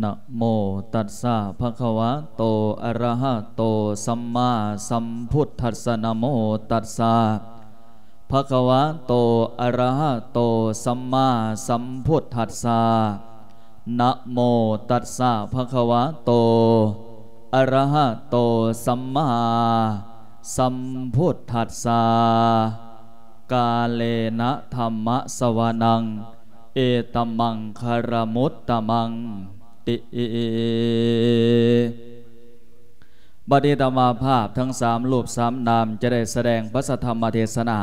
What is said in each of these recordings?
ນະໂມຕັດສະ ພະຄະວະໂຕ ອະຣະຫະໂຕ ສຳມາສຳພຸດທັດສະ ນະໂມຕັດສະ ພະຄະວະໂຕ ອະຣະຫະໂຕ ສຳມາສຳພຸດທັດສະ ນະໂມຕັດສະ ພະຄະວະໂຕ ອະຣະຫະໂຕ ສຳມາສຳພຸດທັດສະ ກາເລນະທຳມະສະວະນັງ ເອຕະມັງຄະລະມຸດຕະມັງຕິ. ບັດນີ້ອາດຕະມາພາບທັງສາມຮູບສາມນາມ ຈະໄດ້ສະແດງພະສັດທຳມະເທດສະໜາ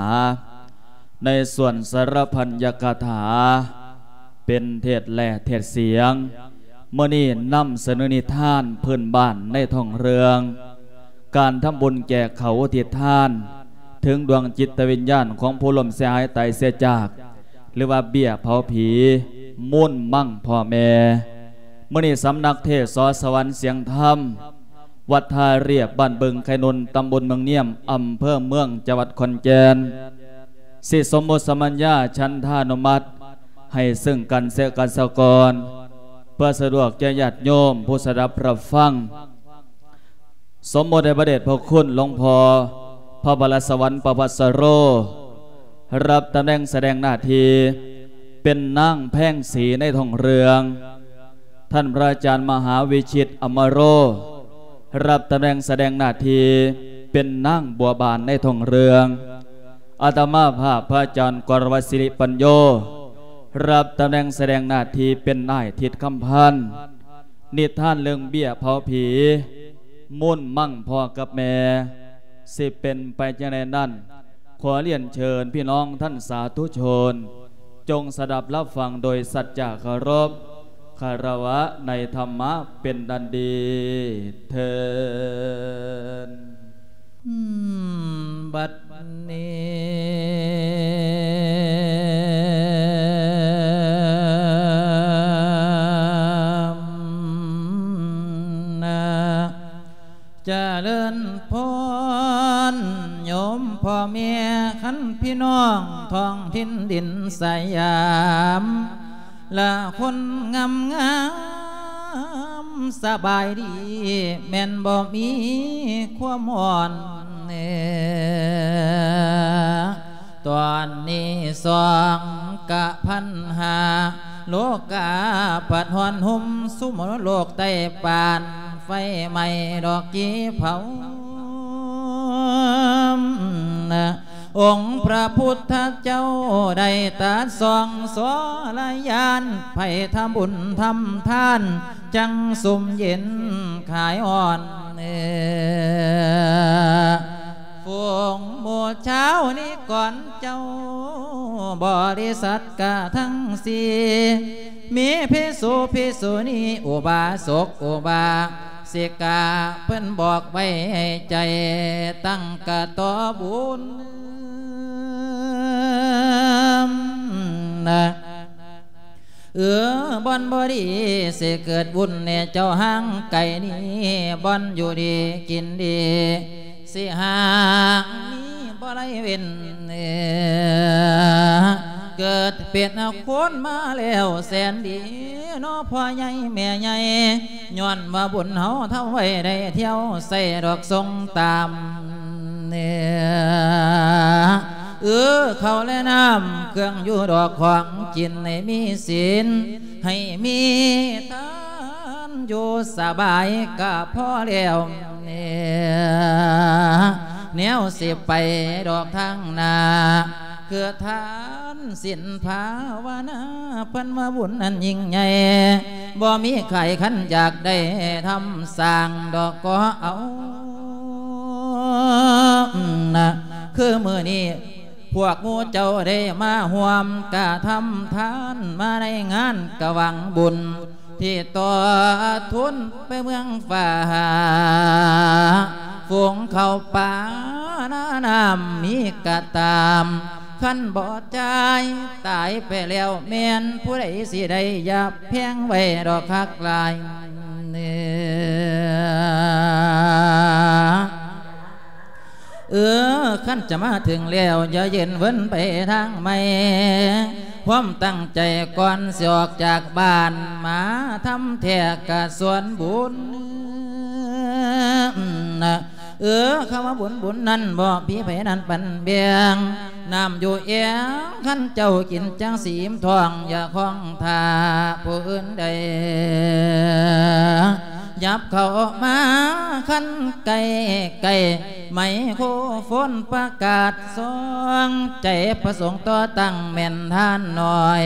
ໃນສ່ວນສາລະພັນຍະກະຖາ ເປັນເທດແລະເທດສຽງ. ມື້ນີ້ນຳສະເໜີນິທານພື້ນບ້ານໃນທ້ອງເລື່ອງ ການທຳບຸນແຈກເຂົ້າອຸທິດທານ ເຖິງດວງຈິດຕະວິນຍານຂອງຜູ້ລົ້ມເສຍຫາຍຕາຍເສຍຈາກ ຫຼືວ່າເບ້ຍເຜົາຜີ ມູນມັງພໍ່ແມ່. ມື້ນີ້ສຳນັກເທດ ສ ສະຫວັນສຽງທຳ ວັດທ່າລຽບ ບ້ານບຶງໄຄນົນ ຕຳບົນເມືອງນຽມ ອຳເພີເມືອງ ຈັງຫວັດຂອນແກ່ນ ຊິສົມມຸດສະມັນຍາ ສັນທານຸມັດ ໃຫ້ເຊິ່ງກັນແລະກັນສາກ່ອນ ເພື່ອສະດວກແກ່ຍາດໂຍມຜູ້ສະດັບຮັບຟັງ. ສົມມຸດໃຫ້ພະເດດພະຄຸນຫຼວງພໍ່ ພະວະລະສະຫວັນ ປະພັດສະໂລ ຮັບຕຳແໜ່ງສະແດງໜ້າທີ່ເປັນນາງແພງສີໃນທ້ອງເລື່ອງ, ທ່ານພະອາຈານມະຫາວິຊິດ ອຳມະໂລ ຮັບຕຳແໜ່ງສະແດງໜ້າທີ່ເປັນນາງບົວບານໃນທ້ອງເລື່ອງ, ອາດຕະມາພາບພະອາຈານກອນວັດສິລິປັນໂຍ ຮັບຕຳແໜ່ງສະແດງໜ້າທີ່ເປັນນາຍທິດຄຳພັນ. ນິທານເລື່ອງເບ້ຍເຜົາຜີ ມູນມັງພໍ່ກັບແມ່ ຊິເປັນໄປຈັ່ງໃດນັ້ນ, ຂໍລຽນເຊີນພີ່ນ້ອງທ່ານສາທຸຊົນ ຈົ່ງສະດັບຮັບຟັງໂດຍສັດຈະເຄົາລົບ ຄາລະວະໃນທຳມະເປັນອັນດີເທີ້ນ. ບັດນີ້ນະ ຈະເລີນພອນໂຍມພໍ່ແມ່ ຄັນພີ່ນ້ອງທ້ອງຖິ່ນດິນສະຫຍາມ ລະຄົນງາມໆ ສະບາຍດີ ແມ່ນບໍ່ມີຄວາມຮ້ອນ. ຕອນນີ້ສອງກະພັນຫ້າ ໂລກາພັດຮ້ອນຮຸ່ມ ສຸມໂລກໃຕ້ປານ ໄຟໄໝ້ດອກກີເຜົາ. ອົງພະພຸດທະເຈົ້າໄດ້ຕັດສອງສໍລະຍານ ໃຜທຳບຸນທຳທານ ຈັ່ງຊຸ່ມເຢັນຄາຍຮ້ອນ. ຝູງໝູ່ຊາວນິກອນເຈົ້າ ບໍລິສັດກະທັງສີ່ ມີພິສຸພິສຸນີ ອຸບາສົກອຸບາສິກາ ເພິ່ນບອກໄວ້ໃຫ້ໃຈຕັ້ງກະຕໍ່ບຸນນະ. ເອີ ບ່ອນບໍ່ດີຊິເກີດວຸ່ນແດ່ ເຈົ້າຫ່າງໄກນີ້ ບ່ອນຢູ່ດີກິນດີ ຊິຫາມີບໍ່ໄດ້ເວັ້ນ. ເກີດເປັນຄົນມາແລ້ວແສນດີ ເນາະພໍ່ໃຫຍ່ແມ່ໃຫຍ່ ຍ້ອນວ່າບຸນເຮົາທຳໄວ້ ໄດ້ທ່ຽວໃສ່ດອກຊົງຕາມ ເອີ ເຂົ້າແລະນ້ຳເຄື່ອງຢູ່ດອກຂອງກິນ ໃຫ້ມີສິນ ໃຫ້ມີທານ ຢູ່ສະບາຍກະພໍແລ້ວ ແນວຊິໄປດອກທາງໜ້າ ຄືທານສິນພາວະນາ ເພິ່ນວ່າບຸນອັນຍິ່ງໃຫຍ່ ບໍ່ມີໃຜຄັນຢາກໄດ້ທຳສ້າງດອກກໍເອົານະ. ຄືມື້ນີ້ພວກໝູ່ເຈົ້າໄດ້ມາຮ່ວມກະທຳທານ ມາໃນງານກະຫວັງບຸນ ທີ່ຕໍ່ທຶນໄປເມືອງຟ້າ ຝູງເຂົ້າປ່ານານ້ຳມີກະຕາມ ຄັນບໍ່ຈ່າຍຕາຍໄປແລ້ວ ແມ່ນຜູ້ໃດຊິໄດ້ ຢ່າແພງໄວ້ດອກຄັກຫຼາຍ. ເອີ ຄັນຈະມາເຖິງແລ້ວ ຢ່າເຢັນເວີນໄປທາງໃໝ່ ຄວາມຕັ້ງໃຈກ່ອນຊິອອກຈາກບ້ານ ມາທຳແທ້ກະສ່ວນບຸນ. ເອີ ຄຳວ່າບຸນ ບຸນນັ້ນບໍ່ມີໃຜນັ້ນປັນແບ່ງ ນ້ຳຢູ່ແອ່ງ ຄັນເຈົ້າກິນຈັ່ງຊິອີ່ມທ້ອງ ຢ່າຄອງຖ້າຜູ້ອື່ນໃດ ຫຍັບເຂົ້າມາຄັນໃກ້ໆ ໄມໂຄຣໂຟນປະກາດສອງໃຈ ປະສົງຕໍ່ຕັ້ງແມ່ນທ່ານນ້ອຍ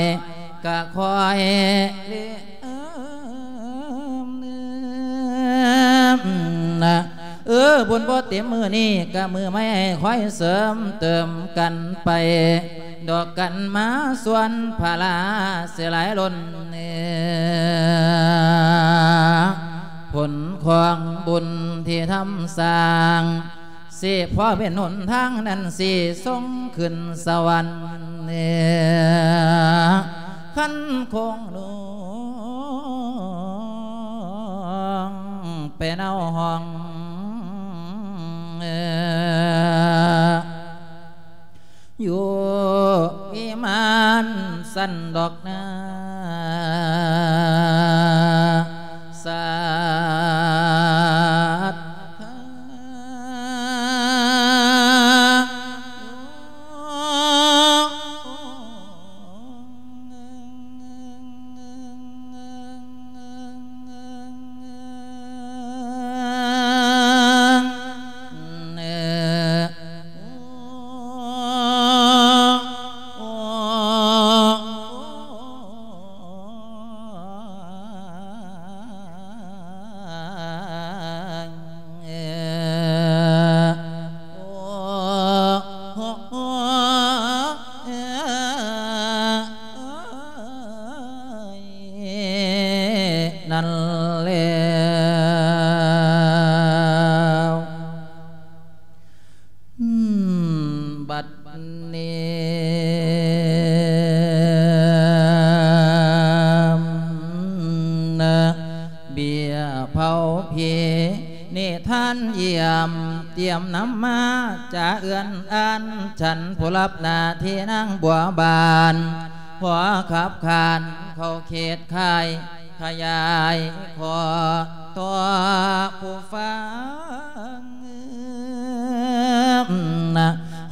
ກະຄ່ອຍເລີ່ມ ເອີ ບຸນບໍ່ເຕັມມື້ນີ້ ກະມື້ໃໝ່ໃຫ້ຄ່ອຍເສີມເຕີມກັນໄປ ດອກກັນມາສ່ວນພາລາຊິຫຼາຍລົ້ນ ເອີ ຜົນຂອງບຸນທີ່ທຳສ້າງ ຊິພໍເປັນຫົນທາງນັ້ນ ຊິສົ່ງຂຶ້ນສະຫວັນ ເອີ ຄັນຄົງໜູງໄປເນົາຫ້ອງ ເອີ ຢູ່ວິມານຊັ້ນດອກນາ ສັດທາ ນັ້ນແລ້ວ ອືມ ບັດນີ້ ນະ ເບ້ຍເຜົາຜີ ນິທານຢ້ຽມ ຕຽມນຳມາຈາເອື້ອນອ່ານ ສັນຜູ້ຮັບໜ້າທີ່ນາງບົວບານ ຂໍຂັບຂານເຂົ້າເຂດຄ້າຍ ຂະຫຍາຍຂໍ້ຕໍ່ຜູ້ຟັງ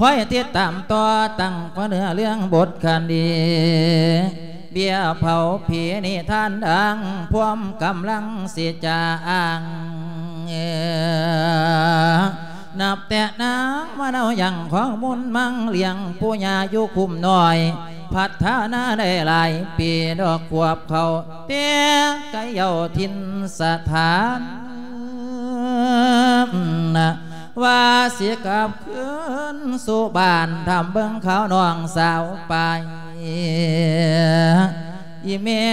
ຄອຍຕິດຕາມຕໍ່ຕັ້ງແຕ່ເນື້ອເລື່ອງບົດຄະດີ ເບ້ຍເຜົາຜີນິທານດັງ ພວມກຳລັງຊິຈາອ້າງ ນັບແຕ່ນາງມາເນົາຍັງຂອງມຸນມັງ ລ້ຽງປູ່ຍ່າຢູ່ຄຸ້ມນ້ອຍ ພັດທະນາໄດ້ຫຼາຍປີ ດອກຂວບເຂົ້າແຕ່ໄກເຍົາຖິ່ນສະຖານ ວ່າຊິກັບຄືນສູ່ບ້ານ ຖາມເບິ່ງຂ່າວນ້ອງສາວໄປ ອີ່ແມ່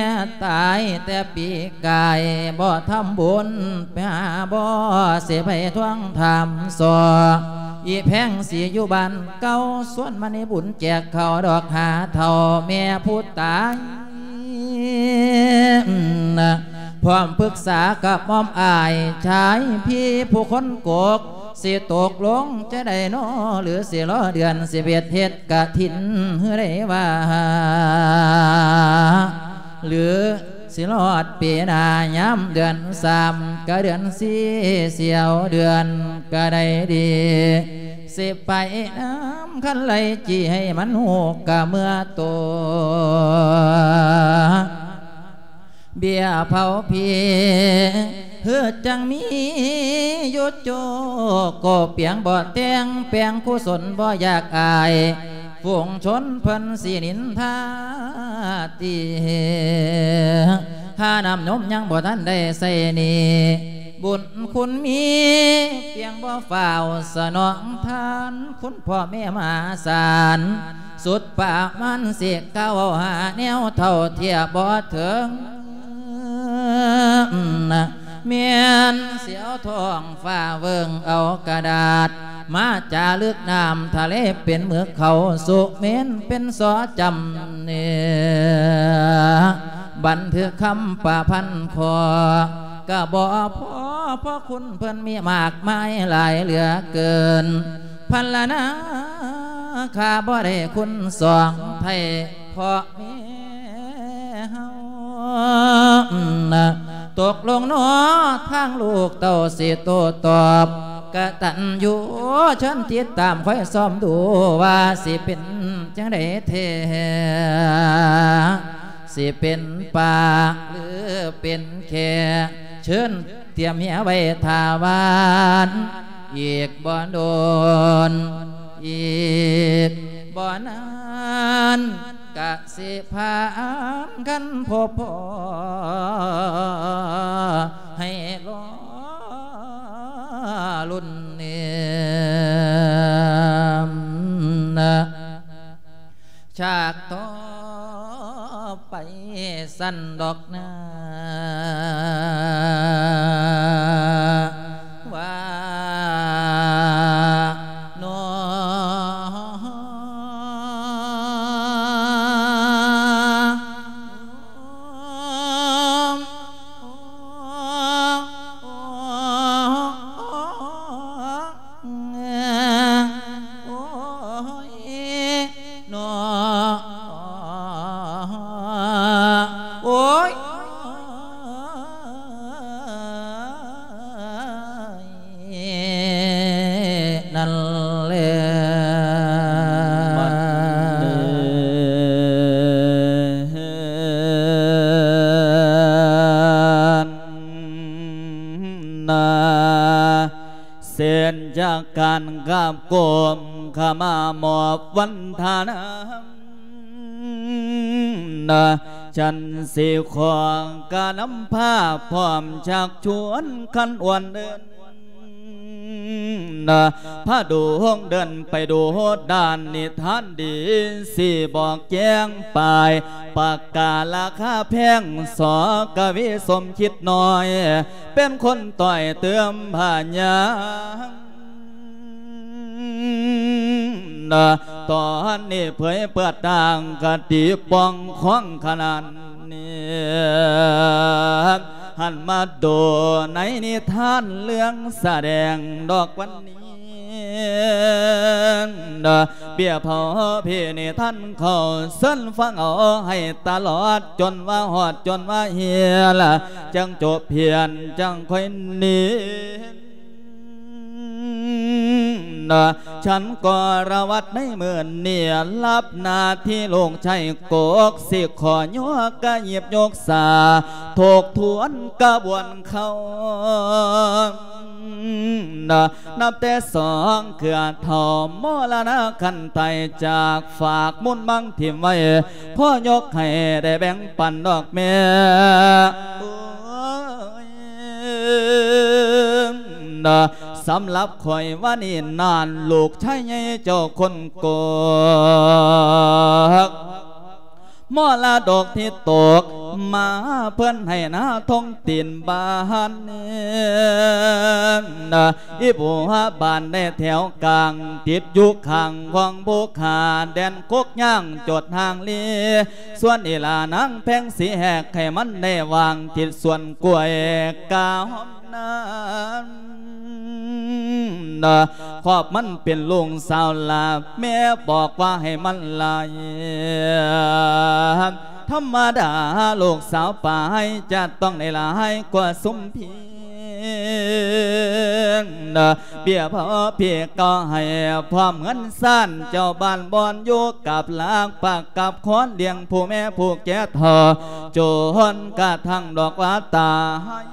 ຕາຍແຕ່ປີກາຍ ບໍ່ທຳບຸນໄປຫາບໍ່ ຊິໄປທວງຖາມສໍ້ ອີ່ແພງຊິຢູ່ບ້ານເກົ່າ ຊວນມະນີບຸນແຈກເຂົ້າດອກຫາເຖົ້າແມ່ຜູ້ຕາຍ ພ້ອມປຶກສາກັບໝອມອ້າຍຊາຍພີ່ຜູ້ຄົນກົກ ຊິຕົກລົງຈະໄດ້ນໍ ຫຼື ຊິລໍເດືອນສິບເອັດເຮັດກະຖິນ ຫຼື ໄດ້ວ່າ ຫຼື ຊິຮອດປີໜ້າຍາມເດືອນສາມ ກະເດືອນສີ່ ຊິເອົາເດືອນກະໄດ້ດີ ຊິໄປນຳຄັນໄລ່ຈີ່ໃຫ້ມັນຮູ້ກະເມື່ອໂຕ ເບ້ຍເຜົາຜີ ຄືຈັ່ງມີຢູ່ໂຈ ກໍປຽງບໍ່ແຕ່ງແປງ ກຸສົນບໍ່ຢາກອາຍ ຝູງຊົນເພິ່ນຊິນິນທາຕິ ຄ່ານ້ຳນົມຍັງບໍ່ທັນໄດ້ໃຊ້ໜີ້ ບຸນຄຸນມີ ປຽງບໍ່ຟ້າວສະໜອງທານ ຄຸນພໍ່ແມ່ມະຫາສານ ສຸດປະມານຊິກ່າວຫາແນວເທົ່າທຽບບໍ່ເຖິງ ແມ່ນຊິເອົາທ້ອງຟ້າເວິ້ງເອົາກະດາດ ມາຈາລຶກນ້ຳທະເລເປັນໝຶກເຂົາ ສຸເມນເປັນສໍ່ຈຳເນ ບັນທຶກຄຳປະພັນຂໍ້ ກະບໍ່ພໍ ເພາະຄຸນເພິ່ນມີມາກມາຍຫຼາຍເຫຼືອເກີນ ພັນລະນາຂ້າບໍ່ໄດ້ຄຸນສອງ ໄພ ພໍ່ແມ່ເຮົາ ຕົກລົງເນາະ ທາງລູກເຕົ້າຊິໂຕ້ຕອບ ກະຕັນຍູເຊີນຕິດຕາມຄອຍສ່ອມດູວ່າຊິເປັນຈັ່ງໃດແທ້ ຊິເປັນປາ ຫຼື ເປັນແຂ ເຊີນຕຽມເຮຍໄວ້ຖ້າຫວານ ອີກບໍ່ດົນ ອີກບໍ່ນານ ກະຊິພາກັນພົບພໍ້ ໃຫ້ລໍລຸ້ນເນມນະ ຊາກຕໍ່ໄປຊັ້ນດອກນາ ວ່າ ນອ ໂອ້ຍ ນອ ໂອ້ຍ ນັ້ນແຫຼະ ບັດນີ້ນະ ເຊັ່ນຈາກການກາບກົ້ມຂະມາມອບວັນທະນາ ນະ ສັນສີຂອງກະນຳພາພ້ອມຊັກຊວນຄັນອວນເດີນ ນະ ພາດົງເດີນໄປດູດານນິທານດີ ຊິບອກແຈ້ງປາຍ ປາກກາລາຄາແພງ ສ ກະວີ ສົມຄິດນ້ອຍ ເປັນຄົນຕ້ອຍເຕີມພະຍາ ນະ ຕອນນີ້ເຜີຍເປີດຕ່າງຄະຕິປ່ອງຂອງຂະໜາດນີ້ ຫັນມາດູໃນນິທານເລື່ອງສະແດງດອກວັນນີ້ ນະ ເບ້ຍເຜົາພີນິທານເຂົາ ເຊີນຟັງເອົາໃຫ້ຕະຫຼອດ ຈົນວ່າຮອດ ຈົນວ່າເຮຍລະ ຈັ່ງຈົບພຽນ ຈັ່ງຄ່ອຍໜີ ນະ ສັນກໍລະວັດໃນມື້ນີ້ ຮັບໜ້າທີ່ລູກຊາຍກົກ ຊິຂໍຍົກກະຫຍິບຍົກສາ ທົບທວນກະບວນເຂົາ ນະ ນັບແຕ່ສອງເຄືອເຖົ້າ ມໍລະນະຄັນຕາຍຈາກ ຝາກມູນມັງຖິ້ມໄວ້ ພໍຍົກໃຫ້ໄດ້ແບ່ງປັນດອກແມ່ ໂອ້ຍ ນະ ສຳລັບຂ້ອຍວ່ານີ້ນານ ລູກຊາຍໃຫຍ່ເຈົ້າຄົນກົກ ມໍລະດົກທີ່ຕົກມາ ເພິ່ນໃຫ້ນາທົງຕີນບ້ານ ນະ ອີບົວບານໃນແຖວກາງ ຕິດຢູ່ຂ້າງຂອງພູຂາ ແດນກົກຍ່າງຈົດຫ່າງລີ ສ່ວນອີຫຼານາງແພງສີແຫກ ໃຫ້ມັນໄດ້ວາງຕິດສວນກ້ວຍກາຫອມນັ້ນ ນະ ຄອບມັນເປັນລູກສາວຫຼ້າ ແມ່ບອກວ່າໃຫ້ມັນໄລ່ ທຳມະດາລູກສາວປາຍ ຈະຕ້ອງໄດ້ຫຼາຍກວ່າຊຸມພີ ເນາະ ເບ້ຍພໍ່ພີ່ກໍໃຫ້ ພ້ອມເຮືອນຊານເຈົ້າບ້ານບ່ອນຢູ່ ກັບຫຼັກປັກກັບຄອນ ລ້ຽງຜູ້ແມ່ຜູ້ແກ່ເຖົ້າ ຈົນກະທັ້ງດອກວ່າຕາຍ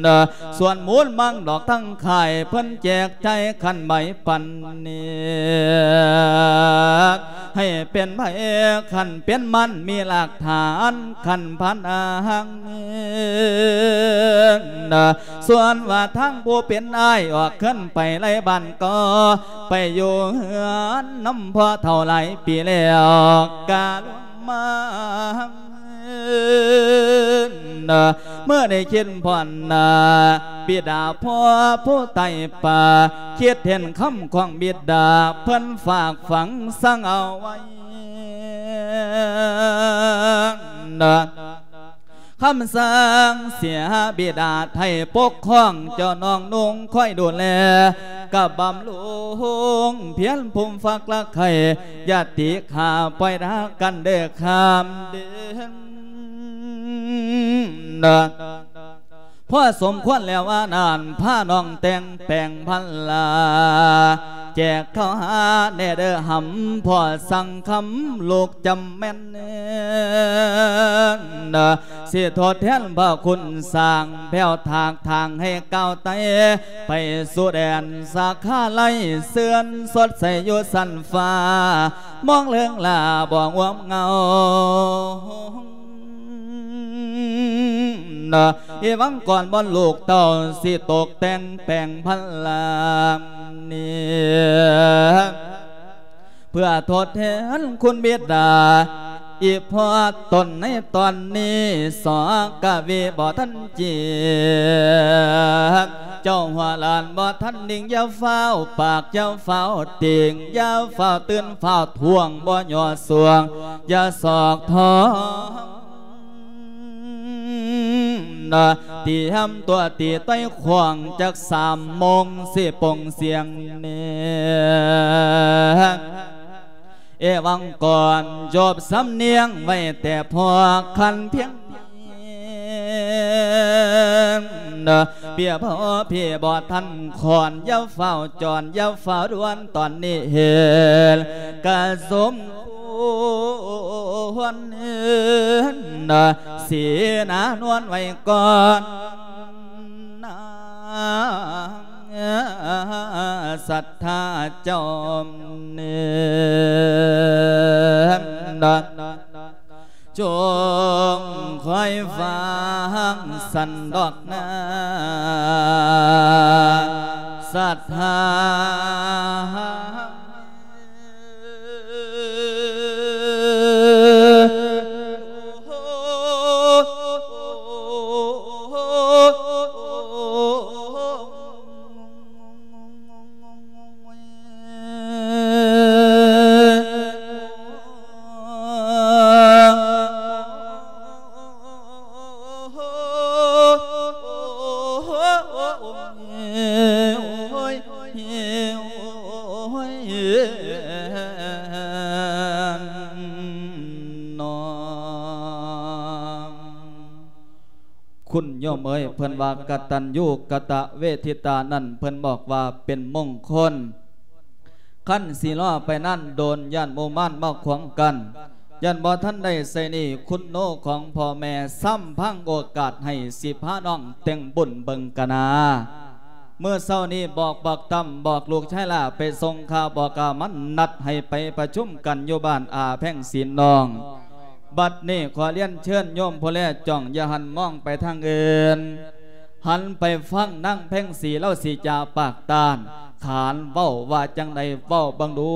ເນາະ ສ່ວນມູນມັງດອກທັງຄ້າຍ ເພິ່ນແຈກໃຈຄັນໃບປັນນີ້ ໃຫ້ເປັນໃບຄັນເປັນມັນ ມີຫຼັກຖານຄັນພັນອາຫັງ ເນາະ ສ່ວນວ່າທາງຜູ້ເປັນອ້າຍ ອອກເຮືອນໄປໄລບ້ານກໍ ໄປຢູ່ເຮືອນນຳພໍ່ເຖົ້າຫຼາຍປີແລ້ວ ກະລົງມາ ເມື່ອໄດ້ຄິດພໍ້ໜ້າບິດາພໍ່ຜູ້ໃຕ້ປ່າ ຄິດເຫັນຄຳຂອງບິດາ ເພິ່ນຝາກຝັງສັ່ງເອົາໄວ້ ເນາະ ຄຳສັ່ງເສຍບິດາໄຖ່ປົກຄອງ ເຈົ້ານ້ອງນຸ່ງຄອຍດູແລ ກະບຳລຸງພຽນພູມຟັກລະໄຂ່ ຢ່າຕິຂ້າປ່ອຍດາກັນເດີຂ້າມເດີນ ພໍສົມຄວນແລ້ວວ່ານັ້ນ ພານ້ອງແຕ່ງແປງພັນລາ ແຈກເຂົ້າຫາແດ່ເດີຫຳ ພໍ່ສັ່ງຄຳລູກຈຳແມ່ນ ຊິທົດແທນພະຄຸນສ້າງ ແພ້ວຖາກທາງໃຫ້ກ້າວໄຕ່ ໄປສູ່ແດນສາຂາໄລ ເຊື່ອນສົດໃສຢູ່ຊັ້ນຟ້າ ມອງເລິງລາບໍ່ງວມເງົາ ເອວັງກອນບ່ອນລູກເຕົ້າ ຊິຕົກແຕ່ງແປງພັນລານີ້ ເພື່ອທົດແທນຄຸນບິດດາ ອີ່ພໍ່ຕົນໃນຕອນນີ້ ສອກະວິບໍ່ທັນຈີກ ເຈົ້າຫົວຫຼານບໍ່ທັນນິ່ງ ຢ່າຟ້າວປາກ ຢ່າຟ້າວຕິງ ຢ່າຟ້າວຕື່ນ ຟ້າວທ່ວງ ບໍ່ຍໍ່ຊ່ວງ ຢ່າຊອກທ້ອງ ຕຽມຕົວຕີໄຕ້ຂວາງ ຈັກສາມໂມງຊິໂປ່ງສຽງແນ ເອວັງກອນ ຈົບສຳນຽງໄວ້ແຕ່ພໍຄັນພຽງ ເປັນເພຍພໍ່ເພຍບໍ່ທັນຂອນ ຢ່າຟ້າວຈອນ ຢ່າຟ້າວດ່ວນ ຕອນນີ້ເຫັນກະສົມຄວນ ສີໜານວນໄວ້ກ່ອນ ນາງສັດທາເຈົ້າ ຈົ່ງຄອຍຟັງສັນດອກນາ ສັດທາ. ຄຸນໂຍມເອີຍ ເພິ່ນວ່າກະຕັນຍູກະຕະເວທິຕານັ້ນ ເພິ່ນບອກວ່າເປັນມົງຄົນ ຄັນຊິລໍໄປນານໂດນ ຢ້ານໝູ່ມານມາຂວາງກັ້ນ ຢ້ານບໍ່ທັນໄດ້ໃຊ້ໜີ້ຄຸນໂນຂອງພໍ່ແມ່ ຊ້ຳພັງໂອກາດໃຫ້ ຊິພານ້ອງແຕ່ງບຸນເບິ່ງກະນາ. ມື້ເຊົ້ານີ້ບອກບັກຕຳ ບອກລູກຊາຍຫຼ້າໄປສົ່ງຂ່າວ ບອກກະມັນນັດໃຫ້ໄປປະຊຸມກັນຢູ່ບ້ານອາແພງສີນ້ອງ. ບັດນີ້ຂໍລຽນເຊີນໂຍມຜູ້ແລຈ້ອງ ຢ່າຫັນມອງໄປທາງອື່ນ ຫັນໄປຟັງນາງແພງສີ ລາວຊິຈາປາກຕ້ານ ຂານເວົ້າວ່າຈັ່ງໃດ ເວົ້າເບິ່ງດູ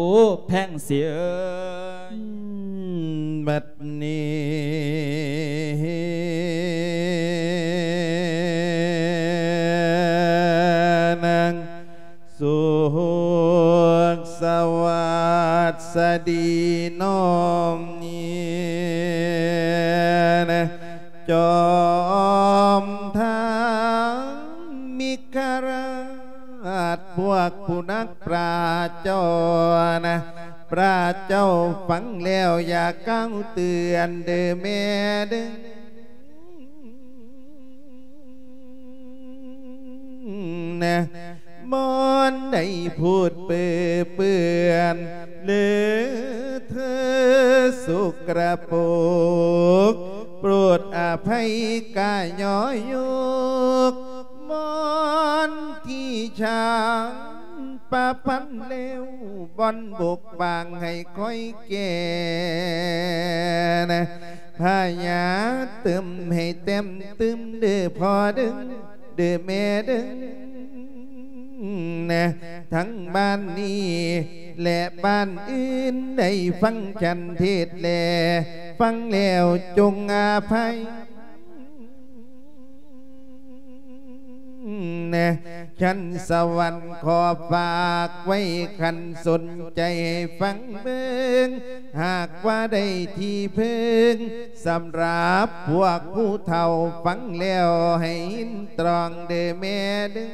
ແພງສີເອີຍ. ບັດນີ້ນາງ ສຸກສະຫວັດສະດີນ້ອງນີ້ນະ ຈອມທັງເມກະລາດ ພວກຜູ້ນັກປາດເຈົ້ານະ ພະເຈົ້າຟັງແລ້ວຢ່າກ່າວເຕືອນເດີແມ່ເດີ. ນະ ບ່ອນໃດພູດເປິເປື້ອນ ເລີເທີສົກກະປົກ ໂປດອະໄພກາຍໍຍົກ ບ່ອນທີ່ຊ່າງປະພັນແລ້ວ ບ່ອນບົກບາງໃຫ້ຄ່ອຍແກ້ ນະ ພະຍາຕື່ມໃຫ້ແຕ້ມຕື່ມເດີພໍ່ເດີ ເດີແມ່ເດີ ນະ ທັງບ້ານນີ້ ແລະ ບ້ານອື່ນ ໄດ້ຟັງສັນເທດແລ ຟັງແລ້ວຈົ່ງອະໄພ ນະ ຊັ້ນສະຫວັນຂໍຝາກໄວ້ ຄັນສົນໃຈໃຫ້ຟັງເບິ່ງ ຫາກວ່າໄດ້ທີ່ເພິ່ງ ສຳລັບພວກຜູ້ເຖົ້າຟັງແລ້ວໃຫ້ຍິນຕຣອງເດີແມ່ເດີ.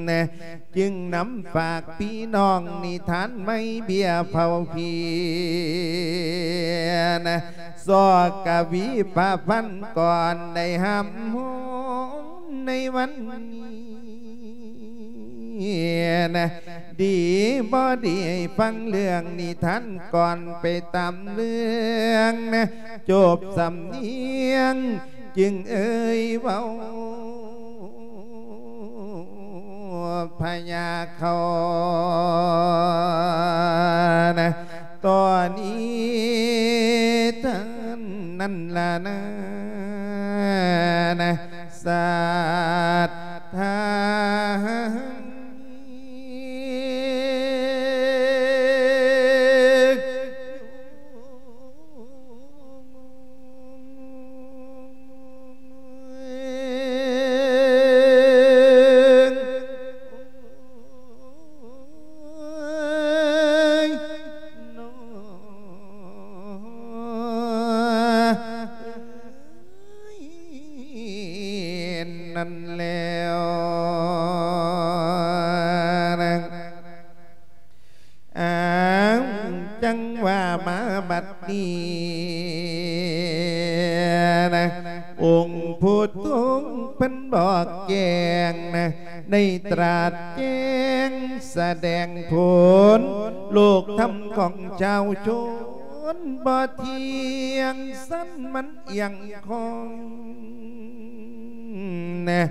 ນະ ຈຶ່ງນຳຝາກພີ່ນ້ອງນິທານໄມ້ເບ້ຍເຜົາເພຍນະ ຊອກກະວີປະພັນກ່ອນໄດ້ຮ່ຳຮ້ອງໃນວັນນີ້ນະ ດີບໍ່ດີໃຫ້ຟັງເລື່ອງນິທານກ່ອນໄປຕາມເລື່ອງນະ ຈົບສຳນຽງຈຶ່ງເອີ່ຍເວົ້າ ພະຍາເຂົານະ ຕອນນີ້ທ່ານນັ້ນລະນານະ ສັດທາ ນັ້ນແລ້ວນະ ອ້າວ ຈັ່ງວ່າມາບັດນີ້ນະ ອົງຜູ້ທົງເພິ່ນບອກແຈ້ງນະ ໄດ້ຕລັດແຈ້ງສະແດງຜົນ ໂລກທຳຂອງຊາວຊົນບໍ່ທ່ຽງ ສັນມັນ ອຽງຄອງນະ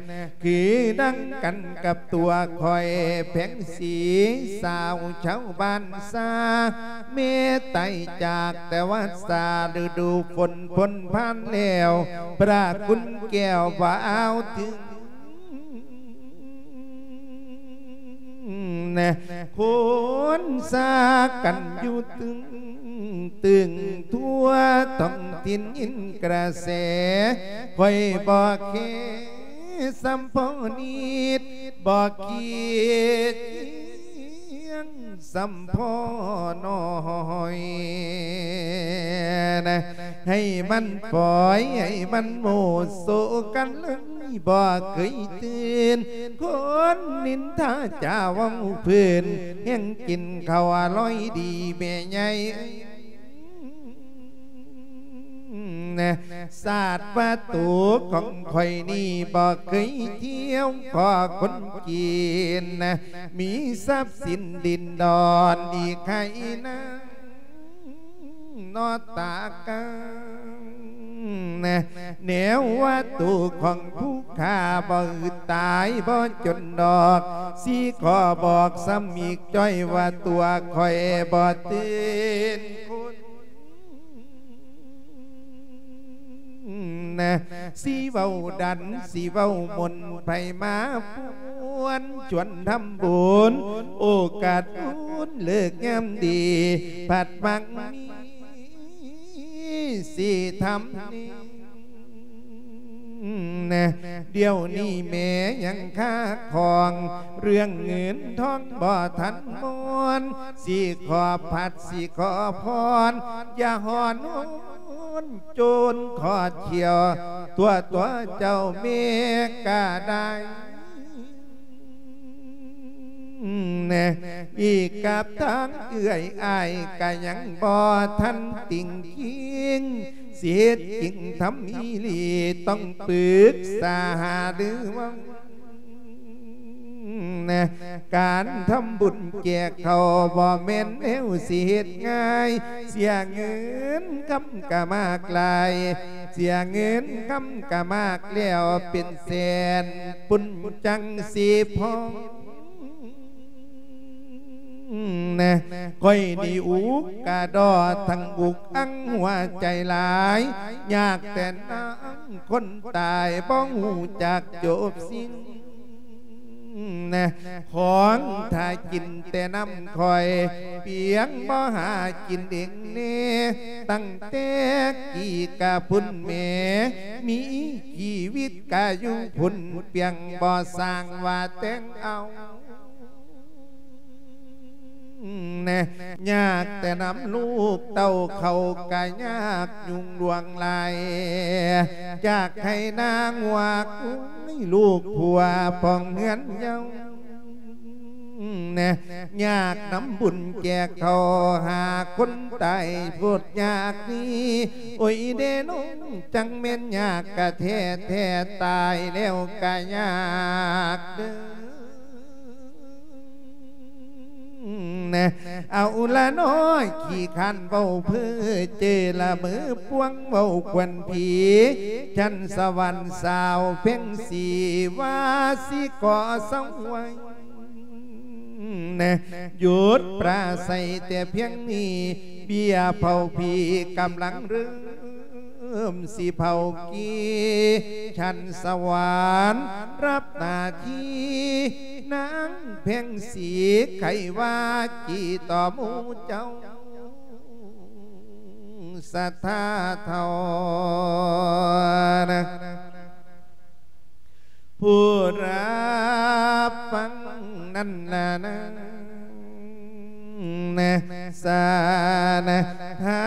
ຄືດັ່ງກັນກັບຕົວຂ້ອຍແພງສີ ສາວຊາວບ້ານຊາ ແມ່ຕາຍຈາກແຕ່ວ່າຊາ ລະດູຝົນພົ້ນຜ່ານແລ້ວ ພະຄຸນແກ້ວບໍ່ອ້າວເຖິງ ນະ ຄົນຊາກັນຢູ່ຕຶງຕຶງ ທົ່ວທ້ອງຖິ່ນຍິນກະແສ ຂ້ອຍບໍ່ແຄສ່ຳພໍນິດ ບໍ່ຂີ້ຈຽງສ່ຳພໍນ້ອຍນະ ໃຫ້ມັນປ່ອຍ ໃຫ້ມັນໂມໂສກັນເລີຍ ບໍ່ເຄີຍຕື່ນ ຄົນນິນທາຈາເວົ້າເພິ່ນ ແຮ່ງກິນເຂົ້າອະລ່ອຍດີແມ່ໃຫຍ່ເອີຍ ນະ ຊາດວ່າໂຕຂອງຂ້ອຍນີ້ບໍ່ເຄີຍທ່ຽວ ຂໍຄົນຈີນນະ ມີຊັບສິນດິນດອນດີໄຄນາ ນອຕາການະ ແນວວ່າໂຕຂອງຜູ້ຂ້າບໍ່ອຶດຕາຍບໍ່ຈົນດອກ ຊິຂໍບອກຊ້ຳອີກຈ້ອຍວ່າຕົວຂ້ອຍບໍ່ຕື່ນຄົນ ນະ ຊິເວົ້າດັນ ຊິເວົ້າມົນ ໃຜມາປວນ ຊວນທຳບຸນ ໂອກາດບຸນເລີກຍາມດີ ພັດມັກມີ ຊິທຳນີ້ ນະ ດຽວນີ້ແມ່ຍັງຄາຄອງ ເລື່ອງເງິນທອງບໍ່ທັນມ່ອນ ຊິຂໍພັດ ຊິຂໍພອນ ຢ່າຮ້ອນໂຫນ ໂຈນຂໍທ່ຽວ ຕົວຕົວເຈົ້າແມ່ກະໄດ້ ນະ ອີກກັບທາງເອື້ອຍອ້າຍກະຍັງບໍ່ທັນຕິງກິງ ຊິເຮັດຈິງທຳອີ່ຫຼີ ຕ້ອງປຶກສາຫາລືເວົ້າ ນະ ການທຳບຸນແຈກເຂົ້າບໍ່ແມ່ນແນວຊິເຮັດງ່າຍ ເສຍເງິນຄຳກະມາກຫຼາຍ ເສຍເງິນຄຳກະມາກແລ້ວເປັນແສນ ປຸ້ນຈັ່ງຊິພໍ ນະ ຂ້ອຍນີ້ອຸກກະດໍທັງອຸກອັງຫົວໃຈຫຼາຍ ຍາກແຕ່ນາງຄົນຕາຍ ບໍ່ຮູ້ຈັກຈົບສິ້ນ ນະ ຂອງຖ້າກິນແຕ່ນ້ຳຂ້ອຍ ປຽງບໍ່ຫາກິນເອງແດ່ ຕັ້ງແຕ່ກີ້ກະພຸ້ນແມ່ ມີຊີວິດກະຢູ່ພຸ້ນ ປຽງບໍ່ສ້າງວ່າແຕ່ງເອົາ ນະ ຍາກແຕ່ນຳລູກເຕົ້າເຂົ້າກະຍາກ ຫຍຸ້ງລວງຫຼາຍ ຈາກໄຮ່ນາງົວ ລູກຜົວພ້ອມເຮືອນເຍົາ ຍາກນຳບຸນແຈກເຂົ້າຫາຄົນຕາຍໂພດຍາກນີ້ ໂອ້ຍເດນ້ອງ ຈັ່ງແມ່ນຍາກກະແທ້ແທ້ ຕາຍແລ້ວກະຍາກເດີ. ເອົາລະນ້ອຍ ຂີ້ຄ້ານເວົ້າເພີ້ເຈີລະເມີ ພວງເວົ້າຄວັນຜີ ຊັ້ນສະຫວັນສາວແພງສີ ວ່າຊິຂໍເຊົາໄວ້ ຢຸດປາໄສແຕ່ພຽງນີ້ ເບ້ຍເຜົາຜີກຳລັງເລີ່ມ ເລີ່ມຊິເຜົາກີ່ ຊັ້ນສະຫວັນຮັບໜ້າທີ່ ນາງແພງສີ ໃຄວ່າກີ່ຕໍ່ໝູ່ເຈົ້າ ສັດທາເທົ່ານະ ຜູ້ຮັບຟັງນັ້ນນະນາງ ສານະທາ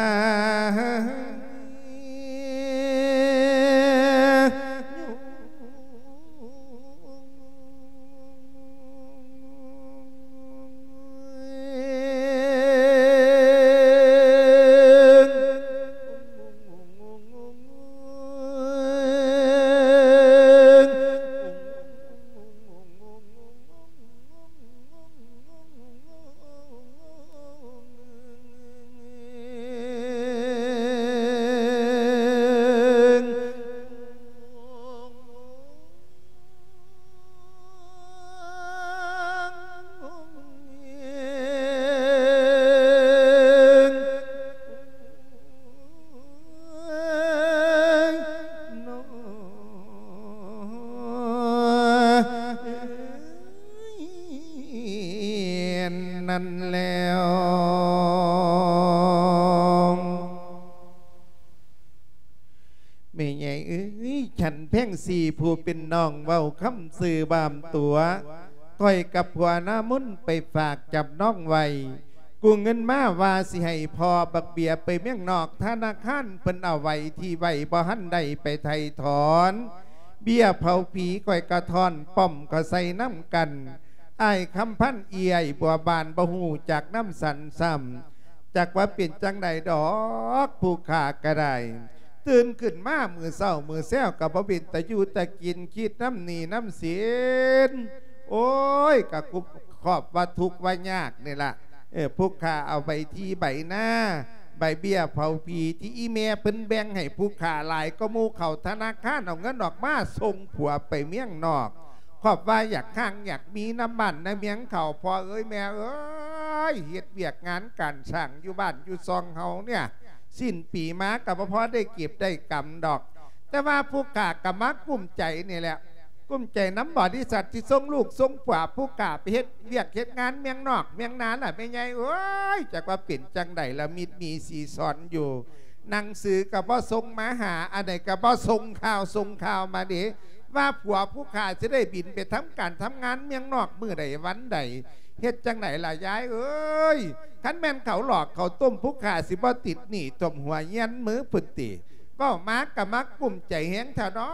ນັ້ນແລ້ວ ແມ່ໃຫຍ່ເອີຍ ຊັ້ນແພງສີ ຜູ້ເປັນນ້ອງເວົ້າຄຳຊື່ບາມຕົວະ ຂ້ອຍກັບຜົວນາມົນໄປຝາກຈຳນອງໄວ້ ກູ້ເງິນມາວ່າຊິໃຫ້ພໍ່ບັກເບ້ຍໄປເມືອງນອກ ທະນາຄານເພິ່ນເອົາໄວ້ທີ່ໄວ້ ບໍ່ທັນໄດ້ໄປໄຖ່ຖອນ ເບ້ຍເຜົາຜີຂ້ອຍກະທ້ອນປ້ອມເຂົ້າໃສ່ນຳກັນ ອ້າຍຄຳພັນເອື້ອຍບົວບານ ບໍ່ຮູ້ຈັກນຳສັນຊ້ຳ ຈັກວ່າເປັນຈັ່ງໃດດອກ ຜູ້ຂ້າກະໄດ້ ຕື່ນຂຶ້ນມາມື້ເຊົ້າມື້ແຊວກະບໍ່ເປັນຕາຢູ່ຕາກິນ ຄິດນຳໜີ້ນຳສິນ ໂອ້ຍ ກະຄອບວ່າທຸກວ່າຍາກນີ້ລະ ເອີ ຜູ້ຂ້າເອົາໃບທີ່ໃບນາ ໃບເບ້ຍເຜົາຜີທີ່ອີ່ແມ່ເພິ່ນແບ່ງໃຫ້ຜູ້ຂ້າຫຼາຍກວ່າໝູ່ ເຂົ້າທະນາຄານເອົາເງິນອອກມາສົ່ງຜົວໄປເມືອງນອກ ຄອບວ່າຢາກຮັ່ງຢາກມີນຳບ້ານນຳເມືອງເຂົາ ພໍ່ເອີຍແມ່ເອີຍ ເຮັດວຽກງານການສ້າງຢູ່ບ້ານຢູ່ຊ່ອງເຮົາເນຍ ສິ້ນປີມາກະບໍ່ພໍໄດ້ເກັບໄດ້ກຳດອກ ແຕ່ວ່າຜູ້ຂ້າກະມາກຸ້ມໃຈນີ້ແຫຼະ ກຸ້ມໃຈນຳບໍລິສັດທີ່ສົ່ງລູກສົ່ງຜົວຜູ້ຂ້າໄປເຮັດວຽກເຮັດງານເມືອງນອກເມືອງນາລະແມ່ໃຫຍ່ເອີຍ ຈັກວ່າເປັນຈັ່ງໃດລະ ມິດມີສີສອນຢູ່ ໜັງສືກະບໍ່ສົ່ງມາຫາ ອັນໃດກະບໍ່ສົ່ງຂ່າວສົ່ງຂ່າວມາເດ ວ່າຜົວຜູ້ຂ້າຊິໄດ້ບິນໄປທຳການທຳງານເມືອງນອກມື້ໃດວັນໃດ ເຮັດຈັ່ງໃດລະຍາຍເອີຍ ຄັນແມ່ນເຂົາຫຼອກເຂົາຕົ້ມ ຜູ້ຂ້າຊິບໍ່ຕິດໜີ້ຖ້ວມຫົວຍຽນມືພຸ້ນຕິ ເວົ້າມາກະມາກຸ້ມໃຈແຮງແທ້ດອ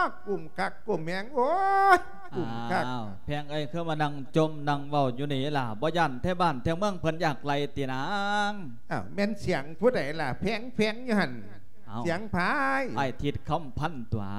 ກ ກຸ້ມຄັກກຸ້ມແຮງ ໂອ້ຍ ກຸ້ມຄັກ. ອ້າວ ແພງເອີຍ ຄືມານັ່ງຈົ່ມນັ່ງເວົ້າຢູ່ນີ້ລະ ບໍ່ຢ້ານແຖວບ້ານແຖວເມືອງເພິ່ນຢາກໄລ່ຕິນາງ? ອ້າວ ແມ່ນສຽງຜູ້ໃດລະ ແພງໆຢູ່ຫັ້ນ? ເອົ້າ ສຽງໃຜ? ອ້າຍທິດຄຳພັນຕົວະ.